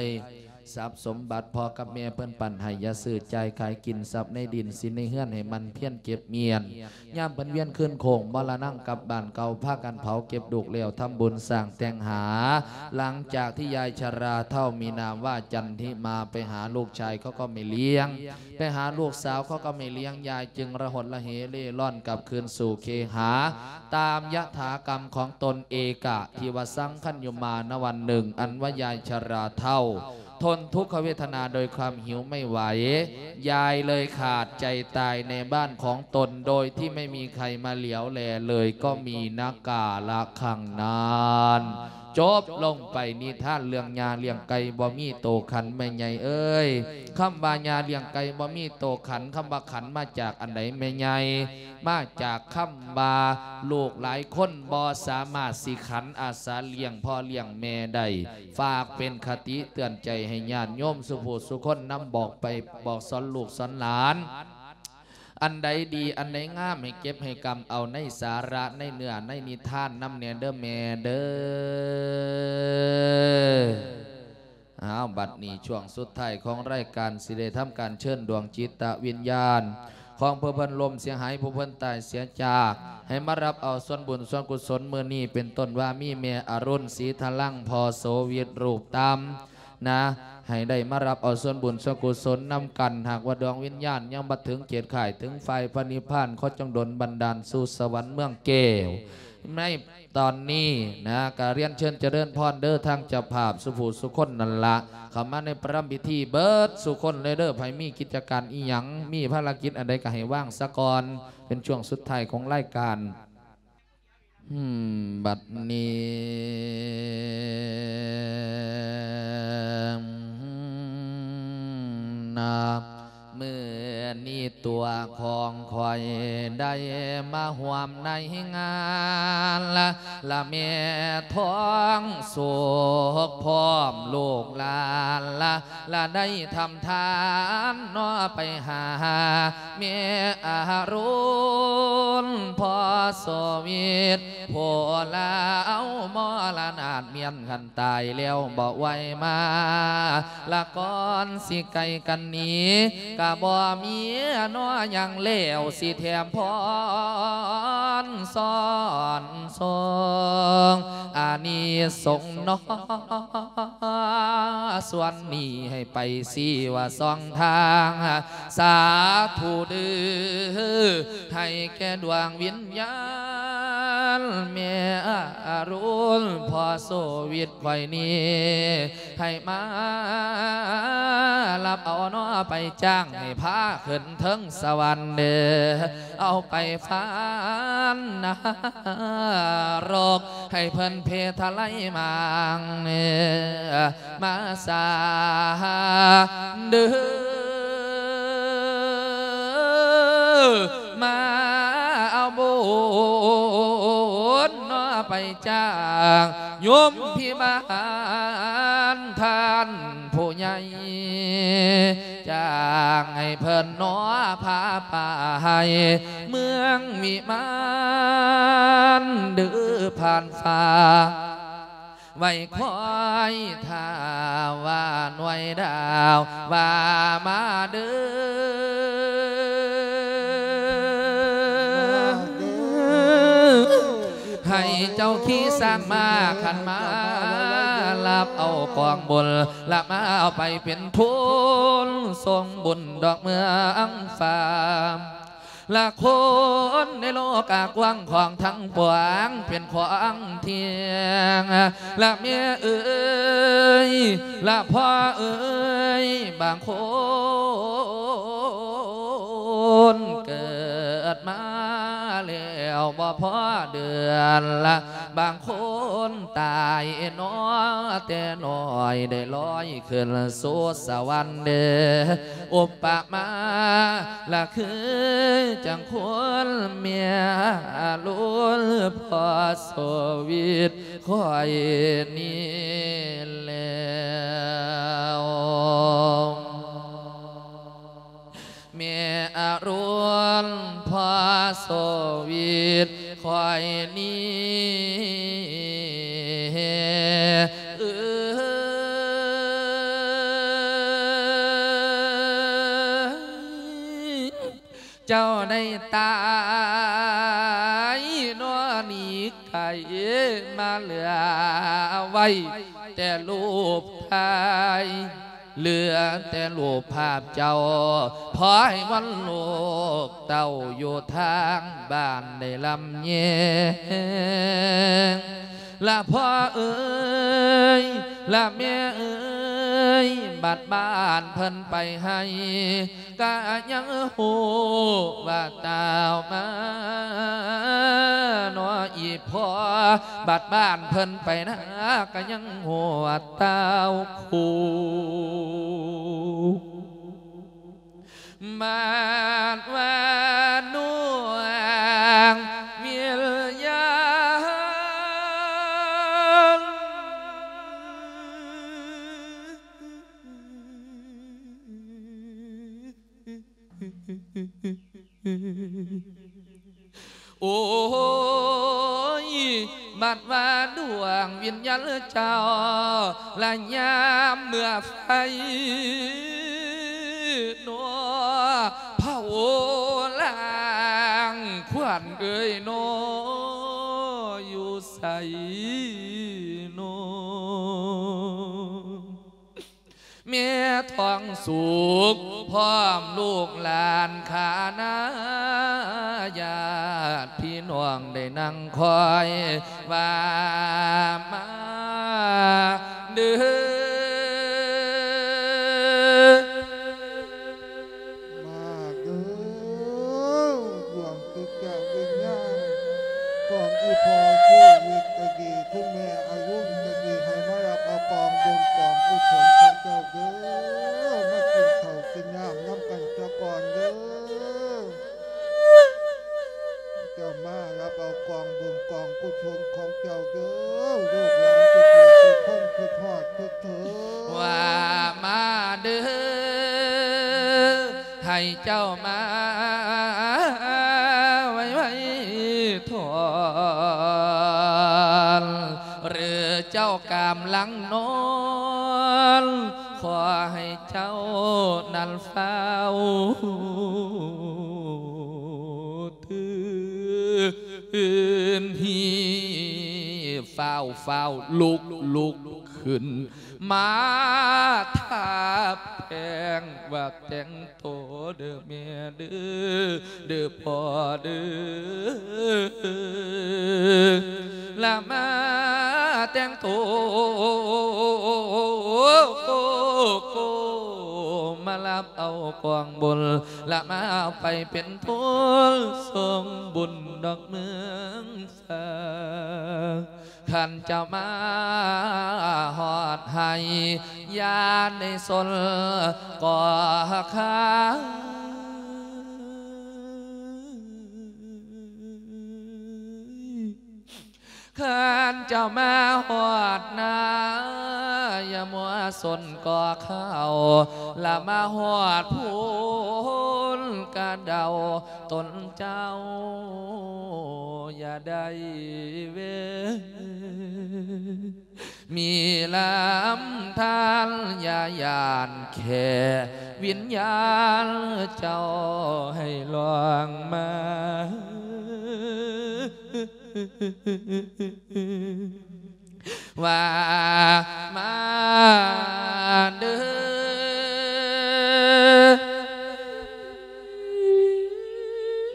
ຊັບສົມບັດພໍ່ກັບແມ່ເພິ່ນປັນໃຫ້ ຢ່າຊື້ຈ່າຍຂາຍກິນ ຊັບໃນດິນສິນໃນເຮືອນໃຫ້ໝັ່ນພຽນເກັບມ້ຽນ ຍາມເພິ່ນວຽນຄືນໂຄ້ງມໍລະນັງກັບບ້ານເກົ່າ ພາກັນເຜົາເກັບດຸກແລ້ວ ທຳບຸນສ້າງແຕ່ງຫາ. ຫຼັງຈາກທີ່ຍາຍຊະລາເຖົ້າມີນາມວ່າຈັນທິມາ ໄປຫາລູກຊາຍເຂົາກໍໄມ່ລ້ຽງ ໄປຫາລູກສາວເຂົາກໍໄມ່ລ້ຽງ ຍາຍຈຶ່ງລະຫົດລະເຫເລ່ລ່ອນກັບຄືນສູ່ເຄຫາ ຕາມຍະຖາກຳຂອງຕົນເອກະ ທີ່ວ່າສັງຄັນຢູ່ມານະວັນໜຶ່ງ ອັນວ່າຍາຍຊະລາເຖົ້າ ທົນທຸກຂະເວທະນາໂດຍຄວາມຫິວໄມ່ໄຫວ ຍາຍເລີຍຂາດໃຈຕາຍໃນບ້ານຂອງຕົນ ໂດຍທີ່ໄມ່ມີໃຄມາຫຼຽວແລເລີຍ ກໍມີນະກາລະຄັ້ງນັ້ນ ຈົບລົງໄປນິທານເລື່ອງຍ່າລ້ຽງໄກ່ບໍ່ມີໂຕຂັນ ແມ່ໃຫຍ່ເອີຍ. ຄຳວ່າຍ່າລ້ຽງໄກ່ບໍ່ມີໂຕຂັນ ຄຳວ່າຂັນມາຈາກອັນໃດແມ່ໃຫຍ່? ມາຈາກຄຳວ່າ ລູກຫຼາຍຄົນບໍ່ສາມາດຊິຂັນອາສາລ້ຽງພໍ່ລ້ຽງແມ່ໄດ້. ຝາກເປັນຄະຕິເຕືອນໃຈໃຫ້ຍາດໂຍມສູ່ຜູ້ສູ່ຄົນ ນຳບອກໄປບອກສອນລູກສອນຫຼານ ອັນໃດດີອັນໃດງາມໃຫ້ເກັບໃຫ້ກຳເອົາໃນສາລະໃນເນື້ອໃນນິທານນຳແດ່ເດີແມ່ເດີ. ອ້າວ ບັດນີ້ຊ່ວງສຸດທ້າຍຂອງລາຍການ ຊິໄດ້ທຳການເຊີນດວງຈິດຕະວິນຍານຂອງຜູ້ເພິ່ນລົ້ມເສຍຫາຍ ຜູ້ເພິ່ນຕາຍເສຍຈາກ ໃຫ້ມາຮັບເອົາສ່ວນບຸນສ່ວນກຸສົນມື້ນີ້ ເປັນຕົ້ນວ່າມີແມ່ອະລຸນ ສີທະລັງ ພໍ່ໂສວິດ ຮູບຕຳນະ ໃຫ້ໄດ້ມາຮັບເອົາສ່ວນບຸນສ່ວນກຸສົນນຳກັນ. ຫາກວ່າດວງວິນຍານຍັງບໍ່ເຖິງເຂດຄ້າຍເຖິງຟາຍພະນິບພານ ຂໍຈົ່ງດົນບັນດານສູ່ສະຫວັນເມືອງແກ້ວໃນ ຕອນນີ້ນະ ກະລຽນເຊີນຈະເລີນພອນເດີ ທາງເຈົ້າພາບສູ່ຜູ້ສູ່ຄົນນັ້ນລະ ເຂົ້າມາໃນປະລຳພິທີເບິດສູ່ຄົນເລີຍເດີ. ໃຜມີກິດຈະການອີ່ຫຍັງ ມີພາລະກິດອັນໃດກະໃຫ້ວາງສາກ່ອນ ເປັນຊ່ວງສຸດທ້າຍຂອງລາຍການ. ອືມ ບັດນີ້ ນະ ມື້ນີ້ຕົວຂອງຂ້ອຍໄດ້ມາຮ່ວມໃນງານ ລະ ລະແມ່ທອງສຸກພ້ອມລູກຫຼານ ລະ ລະໄດ້ທຳທານເນາະ ໄປຫາແມ່ອາລຸນ ພໍ່ໂສວິດ ຜູ້ລາວມໍລະນາດ ມ້ຽນຄັນຕາຍແລ້ວບໍ່ໄຫວມາ ລະກ່ອນຊິໄກກັນໜີ ກະບໍ່ມີເນາະຫຍັງແລ້ວ ຊິແຖມພອນສອນສົ່ງອານິສົງເນາະ ສ່ວນນີ້ໃຫ້ໄປຊີ້ວ່າຊ່ອງທາງ ສາທຸເດີ ໃຫ້ແກ່ດວງວິນຍານແມ່ອາລຸນ ພໍ່ໂສວິດຂ້ອຍນີ້ ໃຫ້ມາຮັບເອົາເນາະ ໄປຈ້າງໃຫ້ພາຂຶ້ນເທິງສະຫວັນເດີ ເອົາໄປຟານນະລົກ ໃຫ້ເພິ່ນເພທະໄລມາງເນ ມາສາເດີ ມາເອົາບຸນເນາະ ໄປຈ້າງໂຍມພິບານທ່ານຜູ້ໃຫຍ່ ຈ້າງໃຫ້ເພິ່ນເນາະ ພາໄປເມືອງວິມານເດີ ຜ່ານຟ້າ ໄວ້ຄອຍຖ້າວ່າໜ່ວຍດາວວ່າມາເດີ ໃຫ້ເຈົ້າຂີ່ຊ້າງມາຄັນມາ ຮັບເອົາກອງບຸນ ລະມາເອົາໄປເປັນທຶນ ສົ່ງບຸນດອກເມືອງຟ້າ ລະຄົນໃນໂລກກະກວ້າງຂວາງທັງປວງ ເປັນຂວາງທ່ຽງ ລະແມ່ເອີຍ ລະພໍ່ເອີຍ ບາງຄົນເກີດມາແລ້ວບໍ່ພໍເດືອນ ລະ ບາງຄົນຕາຍໜໍ ແຕ່ນ້ອຍໄດ້ລອຍຂຶ້ນສູ່ສະຫວັນເດ. ອຸປະມາລະຄືຈັ່ງຄົນແມ່ລຸນ ພໍ່ໂສວິດຂ້ອຍນີ້ແລ້ວ. ແມ່ອາລຸນ ພໍ່ໂສວິດຂ້ອຍນີ້ ເອີຍ ເຈົ້າໄດ້ຕາຍເນາະ ໜີໄກມາເຫຼືອໄວ້ແຕ່ຮູບຖ່າຍ ເຫຼືອແຕ່ຮູບພາບເຈົ້າ ພອຍວັນລູກເຕົ້າຢູ່ທາງບ້ານໄດ້ລຳແຍງ ລະພໍ່ເອີຍ ລະແມ່ເອີຍ ບັດບ້ານເພິ່ນໄປໃຫ້ ກະຍັງຮູ້ວ່າຕ່າວມາເນາະ ອີ່ພໍ່ ບັດບ້ານເພິ່ນໄປນາ ກະຍັງຮູ້ວ່າຕ່າວຄູ ມາດວ່າໜ່ວງວິນຍານ ໂອ້ຍ ບັດວ່າດວງວິນຍານເຈົ້າ ລະຍາມເມື່ອໄຟ ໂນ ເຜົາລ້າງຄວັນເອີຍໂນ ຢູ່ໃສໂນ? ແມ່ທອງສຸກ ພ້ອມລູກຫຼານຂ້ານາ ຍາດພີ່ນ້ອງໄດ້ນັ່ງຄອຍວ່າມາເດີ. ມາເດີ ດວງຈິດຈະວິນຍານຂອງອີ່ພໍ່ຊີວິດກະດີ ຄຸນແມ່ອາລຸນກະດີ ໃຫ້ມາຮັບເອົາກອງບຸນກອງກຸສົນຂອງເຈົ້າເດີ ມາກິນເຂົ້າກິນນ້ຳນຳກັນສາກ່ອນເດີ. ເຈົ້າມາຮັບເອົາກອງບຸນກອງກຸສົນຂອງເຈົ້າເດີ ລູກຫຼານທຸກຜູ້ທຸກຄົນ ຄິດຮອດຄິດເຖິງ ວ່າມາເດີ ໃຫ້ເຈົ້າມາໄວໆ ທ່ອນ ຫຼືເຈົ້າກຳລັງນອນ ຂໍໃຫ້ເຈົ້ານັ້ນຟ້າວຕື່ນ ຮີບຟ້າວໆ ລຸກ ລຸກຂຶ້ນ ມາທາແປ້ງວ່າແຕ່ງໂຕເດີແມ່ເດີ ເດີພໍ່ເດີ ລະມາແຕ່ງໂຕ ມາຮັບເອົາກອງບຸນ ລະມາໄປເປັນທຶນສົ່ງບຸນດອກເມືອງ ຄັນຈະມາຮອດໃຫ້ ຢ່າໄດ້ສົນກໍຄາຍ ຄັນຈະມາຮອດນາ ຢ່າມົວສົນກໍເຂົ້າ ລະມາຮອດພຸ້ນກະເດົາ ຕົນເຈົ້າຢ່າໄດ້ເວ ມີລຳທານ ຢ່າຢ້ານແຄ່ວິນຍານເຈົ້າໃຫ້ລ່ອງມາ ວ່າມາເດີ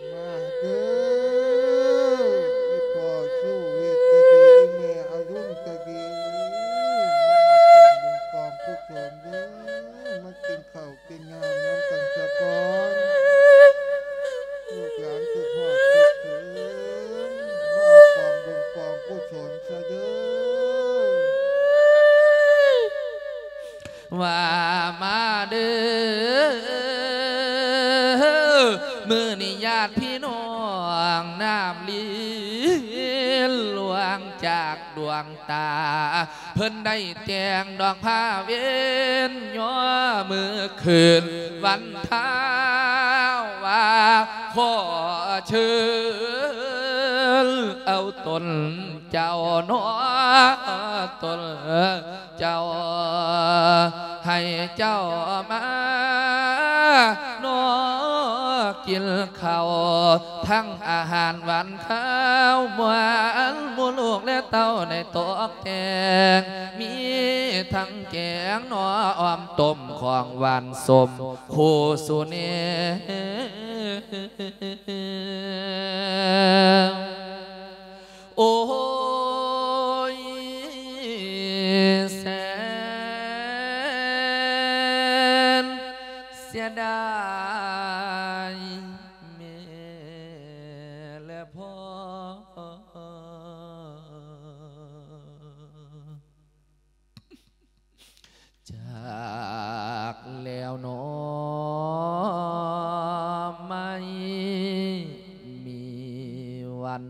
ມາເດີ ອີ່ພໍ່ຊູວິດກະດີ ອີ່ແມ່ອາລຸນກະດີ ມາເອົາກອງບຸນກອງກຸສົນເດີ ມາກິນເຂົ້າກິນນ້ຳນຳກັນສາກ່ອນ ລູກຫຼານຄິດຮອດຄິດເຖິງ ມາເອົາກອງບຸນກອງກຸສົນ ວ່າມາເດີ ມື້ນີ້ຍາດພີ່ນ້ອງນ້ຳລິນຫຼວງຈາກດວງຕາ ເພິ່ນໄດ້ແຕ່ງດອກຜ້າເວັນຍໍມື້ຄືນວັນທ້າວ ວ່າຂໍເຊີນເອົາຕົນເຈົ້າໜໍ ຕົນ ເຈົ້າ ໃຫ້ເຈົ້າມານອກກິນເຂົ້າ ທັງອາຫານຫວານຄາວໝວານ ໝູ່ລູກແລະເຕົ້າໄດ້ຕົກແຕ່ງ ມີທັງແກງໜໍ ອອມຕົ້ມ ຂອງຫວານສົ້ມ ຄູ່ສຸເນ ໂອ້ຍ ແສນເສຍດາຍແມ່ແລະພໍ່ ຈາກແລ້ວໜໍ ໄມ່ມີວັນ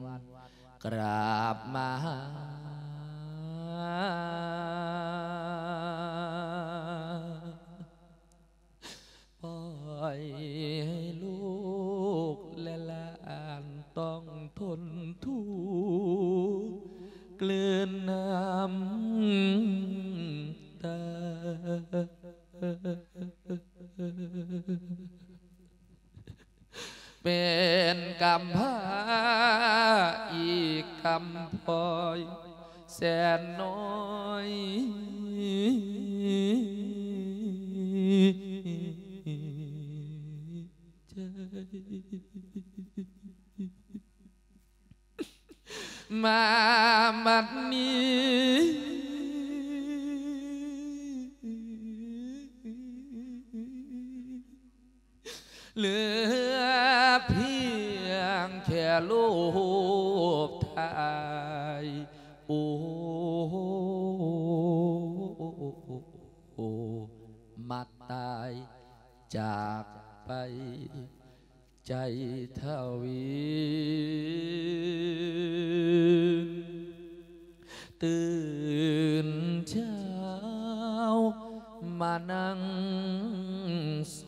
ກລັບມາຫາ ປ່ອຍໃຫ້ລູກແລະຫຼານຕ້ອງທົນທຸກ ກືນນ້ຳຕາ ເປັນກຳພ້າອີກກຳພ້ອຍແສນນ້ອຍໃຈ ມາບັດນີ້ ເຫຼືອພຽງແຄ່ຮູບຖ່າຍ ໂອ້ ມາຕາຍຈາກໄປ ໃຈທະວິນ ຕື່ນເຊົ້າມານັ່ງໂສ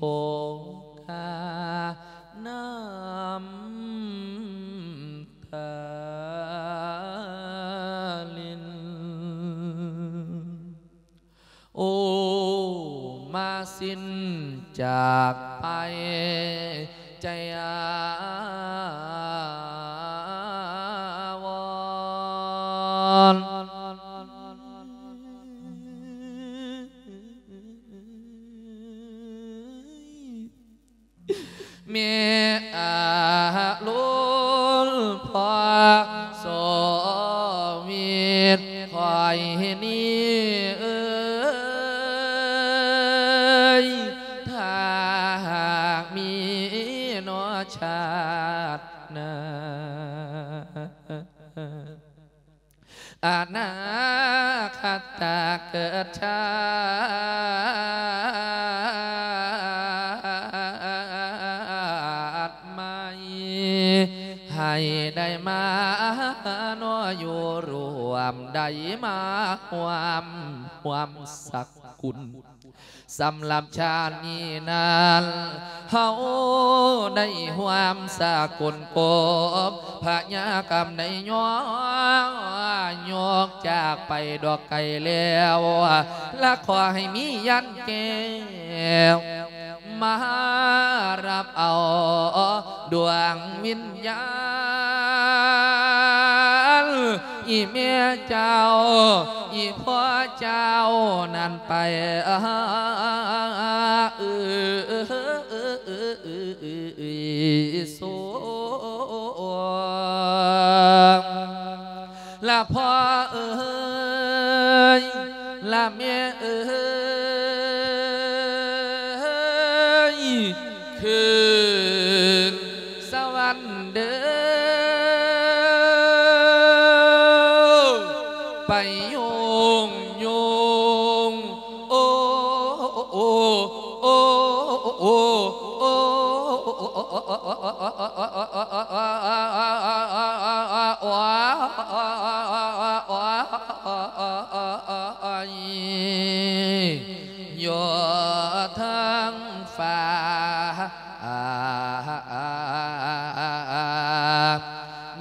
ກາ ນ້ຳຕາລິນ ໂອ້ ມາສິ້ນຈາກໄປ ໃຈອາວອນ ແມ່ອາລຸນພໍ່ ໂສວິດຂ້ອຍນີ້ເອີຍ ຖ້າຫາກມີເນາະຊາດໜ້າ ອະນາຄະຕາເກີດຊາດໃໝ່ ໃຫ້ໄດ້ມາເນາະຢູ່ຮ່ວມ ໄດ້ມາຮ່ວມຮ່ວມສັກກຸນ ສຳລັບຊາດນີ້ນັ້ນ ເຮົາໄດ້ຮ່ວມສາກົນກົບພະຍາກຳໄດ້ຍ້ອນ ຍົກຈາກໄປດອກໄກແລ້ວ ລະຂໍໃຫ້ມີຍານແກ້ວ ມາຮັບເອົາດວງວິນຍານ ອີແມ່ເຈົ້າ ອີພໍ່ເຈົ້ານັ້ນໄປ ເອີ ສວງ ລະພໍ່ເອີຍ ລະແມ່ເອີຍ ຄືນສະຫວັນເດີ ໄປໂຍງໂຍງ ໂອ້ ໂອ້ ໂອ້ ໂອ້ ໂອ້ ໂອ້ ຍ ຢູ່ເທິງຟ້າ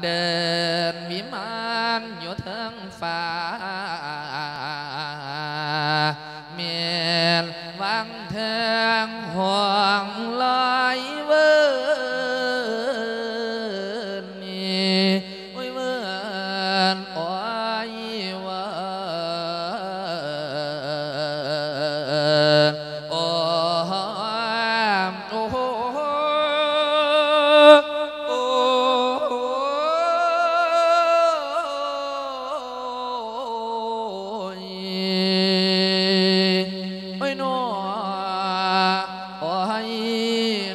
ເດີນວິມານຢູ່ເທິງຟ້າ ແມ່ນວັງເທິງຫ້ອງລອຍເວີນນີ້ ໂອ້ຍເວີນ ໂອ້ຍເວີນ ໂອ້ ໂອ້ ໂອ້ ໂອ້ຍ ໂອ້ຍໜໍ ໂອ້ຍ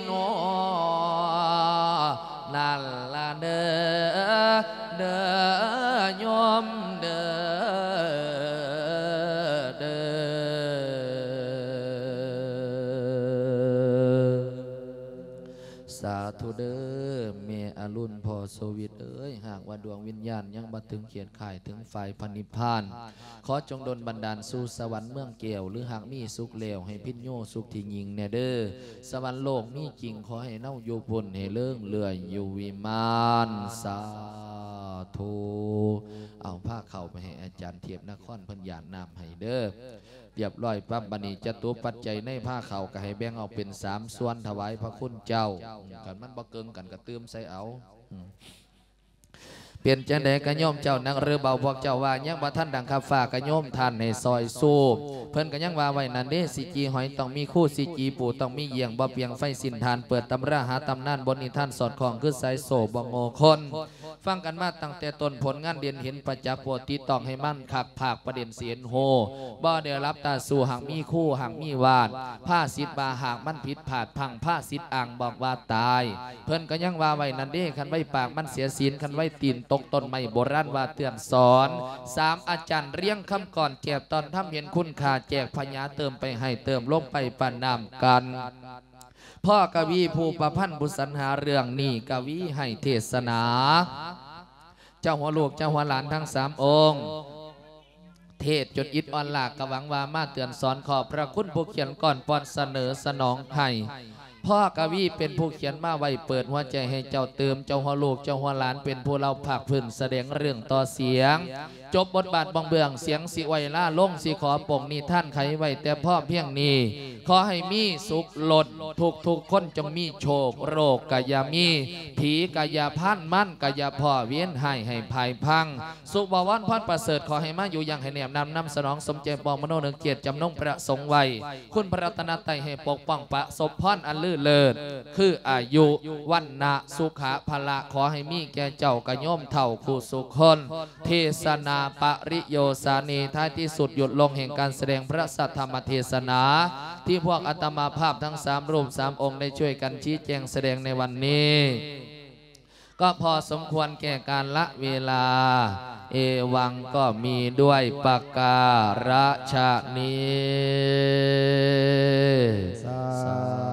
ໜໍ ນັ້ນລະເດີ ເດີໂຍມເດີ ເດີ. ສາທຸເດີ ແມ່ອະລຸນ ພໍ່ໂຊວິດເອີຍ, ຫາກວ່າດວງວິນຍານຍັງບໍ່ເຖິງຂຽດຄ້າຍເຖິງຝ່າຍພະນິບພານ, ຂໍຈົ່ງດົນບັນດານສູ່ສະຫວັນເມືອງແກ້ວ, ຫຼືຫາກມີສຸກແລ້ວໃຫ້ພິນໂຍສຸກທີ່ຍິ່ງແດ່ເດີ. ສະຫວັນໂລກມີຈິງ, ຂໍໃຫ້ເຮົາຢູ່ພຸ້ນໃຫ້ເລີງເລື່ອຍຢູ່ວິມານ. ສາທຸ. ເອົາ ພາເຂົ້າໄປໃຫ້ອາຈານເທບນະຄອນເພິ່ນຢາດນ້ຳໃຫ້ເດີ. ຮຽບຮ້ອຍປັບ, ບັດນີ້ຈະຕຸປັດໄຈໃນພາເຂົ້າກໍໃຫ້ແບ່ງອອກເປັນສາມສ່ວນຖວາຍພະຄຸນເຈົ້າ. ຄັນມັນບໍ່ເກີງກັນກໍຕື່ມໃສ່ເອົາ. ເປັນຈັ່ງໃດກະໂຍມເຈົ້ານັກຫຼືເບົາ? ພວກເຈົ້າວ່າຍັງບໍ່ທັນດັງຄັບຟ້າ ກະໂຍມທ່ານໃຫ້ຊ່ອຍຊູ. ເພິ່ນກະຍັງວ່າໄວ້ນັ້ນເດ້, ຊິຈີ່ຫອຍຕ້ອງມີຄູ, ຊິຈີ່ປູຕ້ອງມີຢ້ຽງ, ບໍ່ປ່ຽງໄຟສິ້ນທານ, ເປີດຕຳລາຫາຕຳນານ, ບົດນິທານສອດຄ່ອງຄືສາຍໂສ້ບໍ່ໂງ່ຄົນ. ຟັງກັນມາຕັ້ງແຕ່ຕົ້ນ, ຜົນງານເດັ່ນເຫັນປະຈັກ, ໂປດຕິດຕ້ອງໃຫ້ມັນຄັກ, ພາກປະເດັນຊິເຫັນໂຮ, ບໍ່ໄດ້ຫຼັບຕາສູ່, ຫາກມີຄູ, ຫາກມີວາດ, ພາສິດວ່າຫາກມັນຜິດພາດພັງ, ພາສິດອ້າງບອກວ່າຕາຍ. ເພິ່ນກໍຍັງວ່າໄວ້ນັ້ນເດ້, ຄັນໄວປາກມັນເສຍສິນ, ຄັນໄວຕີນຕົກຕົ້ນໄມ້, ໂບລານວ່າເຕືອນສອນ. ສາມອາຈານລຽງຄຳກອນ, ແຈກຕອນທຳເຫັນຄຸນຄ່າ, ແຈກພະຍາເຕີມໄປໃຫ້, ເຕີມລົງໄປປະນາມກັນ. ພໍ່ກະວີຜູ້ປະພັນຜູ້ສັນຫາເລື່ອງນີ້ ກະວີໃຫ້ເທດສະໜາ ເຈົ້າຫົວລູກເຈົ້າຫົວຫຼານທັງສາມອົງ ເທດຈົນອິດອ່ອນລາກ ກະຫວັງວ່າມາເຕືອນສອນ. ຂອບພະຄຸນຜູ້ຂຽນກອນປ່ອນສະເໜີສະໜອງໃຫ້. ພໍ່ກະວີເປັນຜູ້ຂຽນມາໄວ້ ເປີດຫົວໃຈໃຫ້ເຈົ້າຕື່ມ. ເຈົ້າຫົວລູກເຈົ້າຫົວຫຼານເປັນຜູ້ເລົ່າພາກພື້ນສະແດງເລື່ອງຕໍ່ສຽງ. ຈົບບົດບາດບ່ອງເບື້ອງ, ສຽງຊິໄວລາລົງ, ຊິຂໍປົງນິທານໄຂໄວ້ແຕ່ພໍພຽງນີ້. ຂໍໃຫ້ມີສຸກລົ້ນ, ທຸກໆຄົນຈົ່ງມີໂຊກ, ໂລກກະຢ່າມີ, ຜີກະຢ່າພານ, ມານກະຢ່າພໍ້, ເວນຮ້າຍໃຫ້ພາຍພັງ. ສຸບວອນພອນປະເສີດ, ຂໍໃຫ້ມາຢູ່ຢ່າງໃຫ້ແນບນຳ, ນຳສະໜອງສົມໃຈປອງມະໂນນຶກເຈດຈຳນົງປະສົງໄວ້. ຄຸນພະລັດຕະນະໄຕໃຫ້ປົກປ້ອງ, ປະສົບພອນອັນລືເລີດ ຄືອາຍຸ, ວັນນະ, ສຸຂະ, ພະລະ, ຂໍໃຫ້ມີແກ່ເຈົ້າກະໂຍມເຖົ້າຄູ່ສຸຄົນ. ເທສະນາປະລິໂຍສານີ ທ້າຍທີ່ສຸດຢຸດລົງແຫ່ງການສະແດງພະສັດທຳມະເທສະນາ ທີ່ພວກອາດຕະມາພາບທັງສາມຮູບສາມອົງໄດ້ຊ່ວຍກັນຊີ້ແຈງສະແດງໃນວັນນີ້ ກໍພໍສົມຄວນແກ່ການລະເວລາ. ເອວັງກໍມີດ້ວຍປະກາລະຊະນີ້. ສາ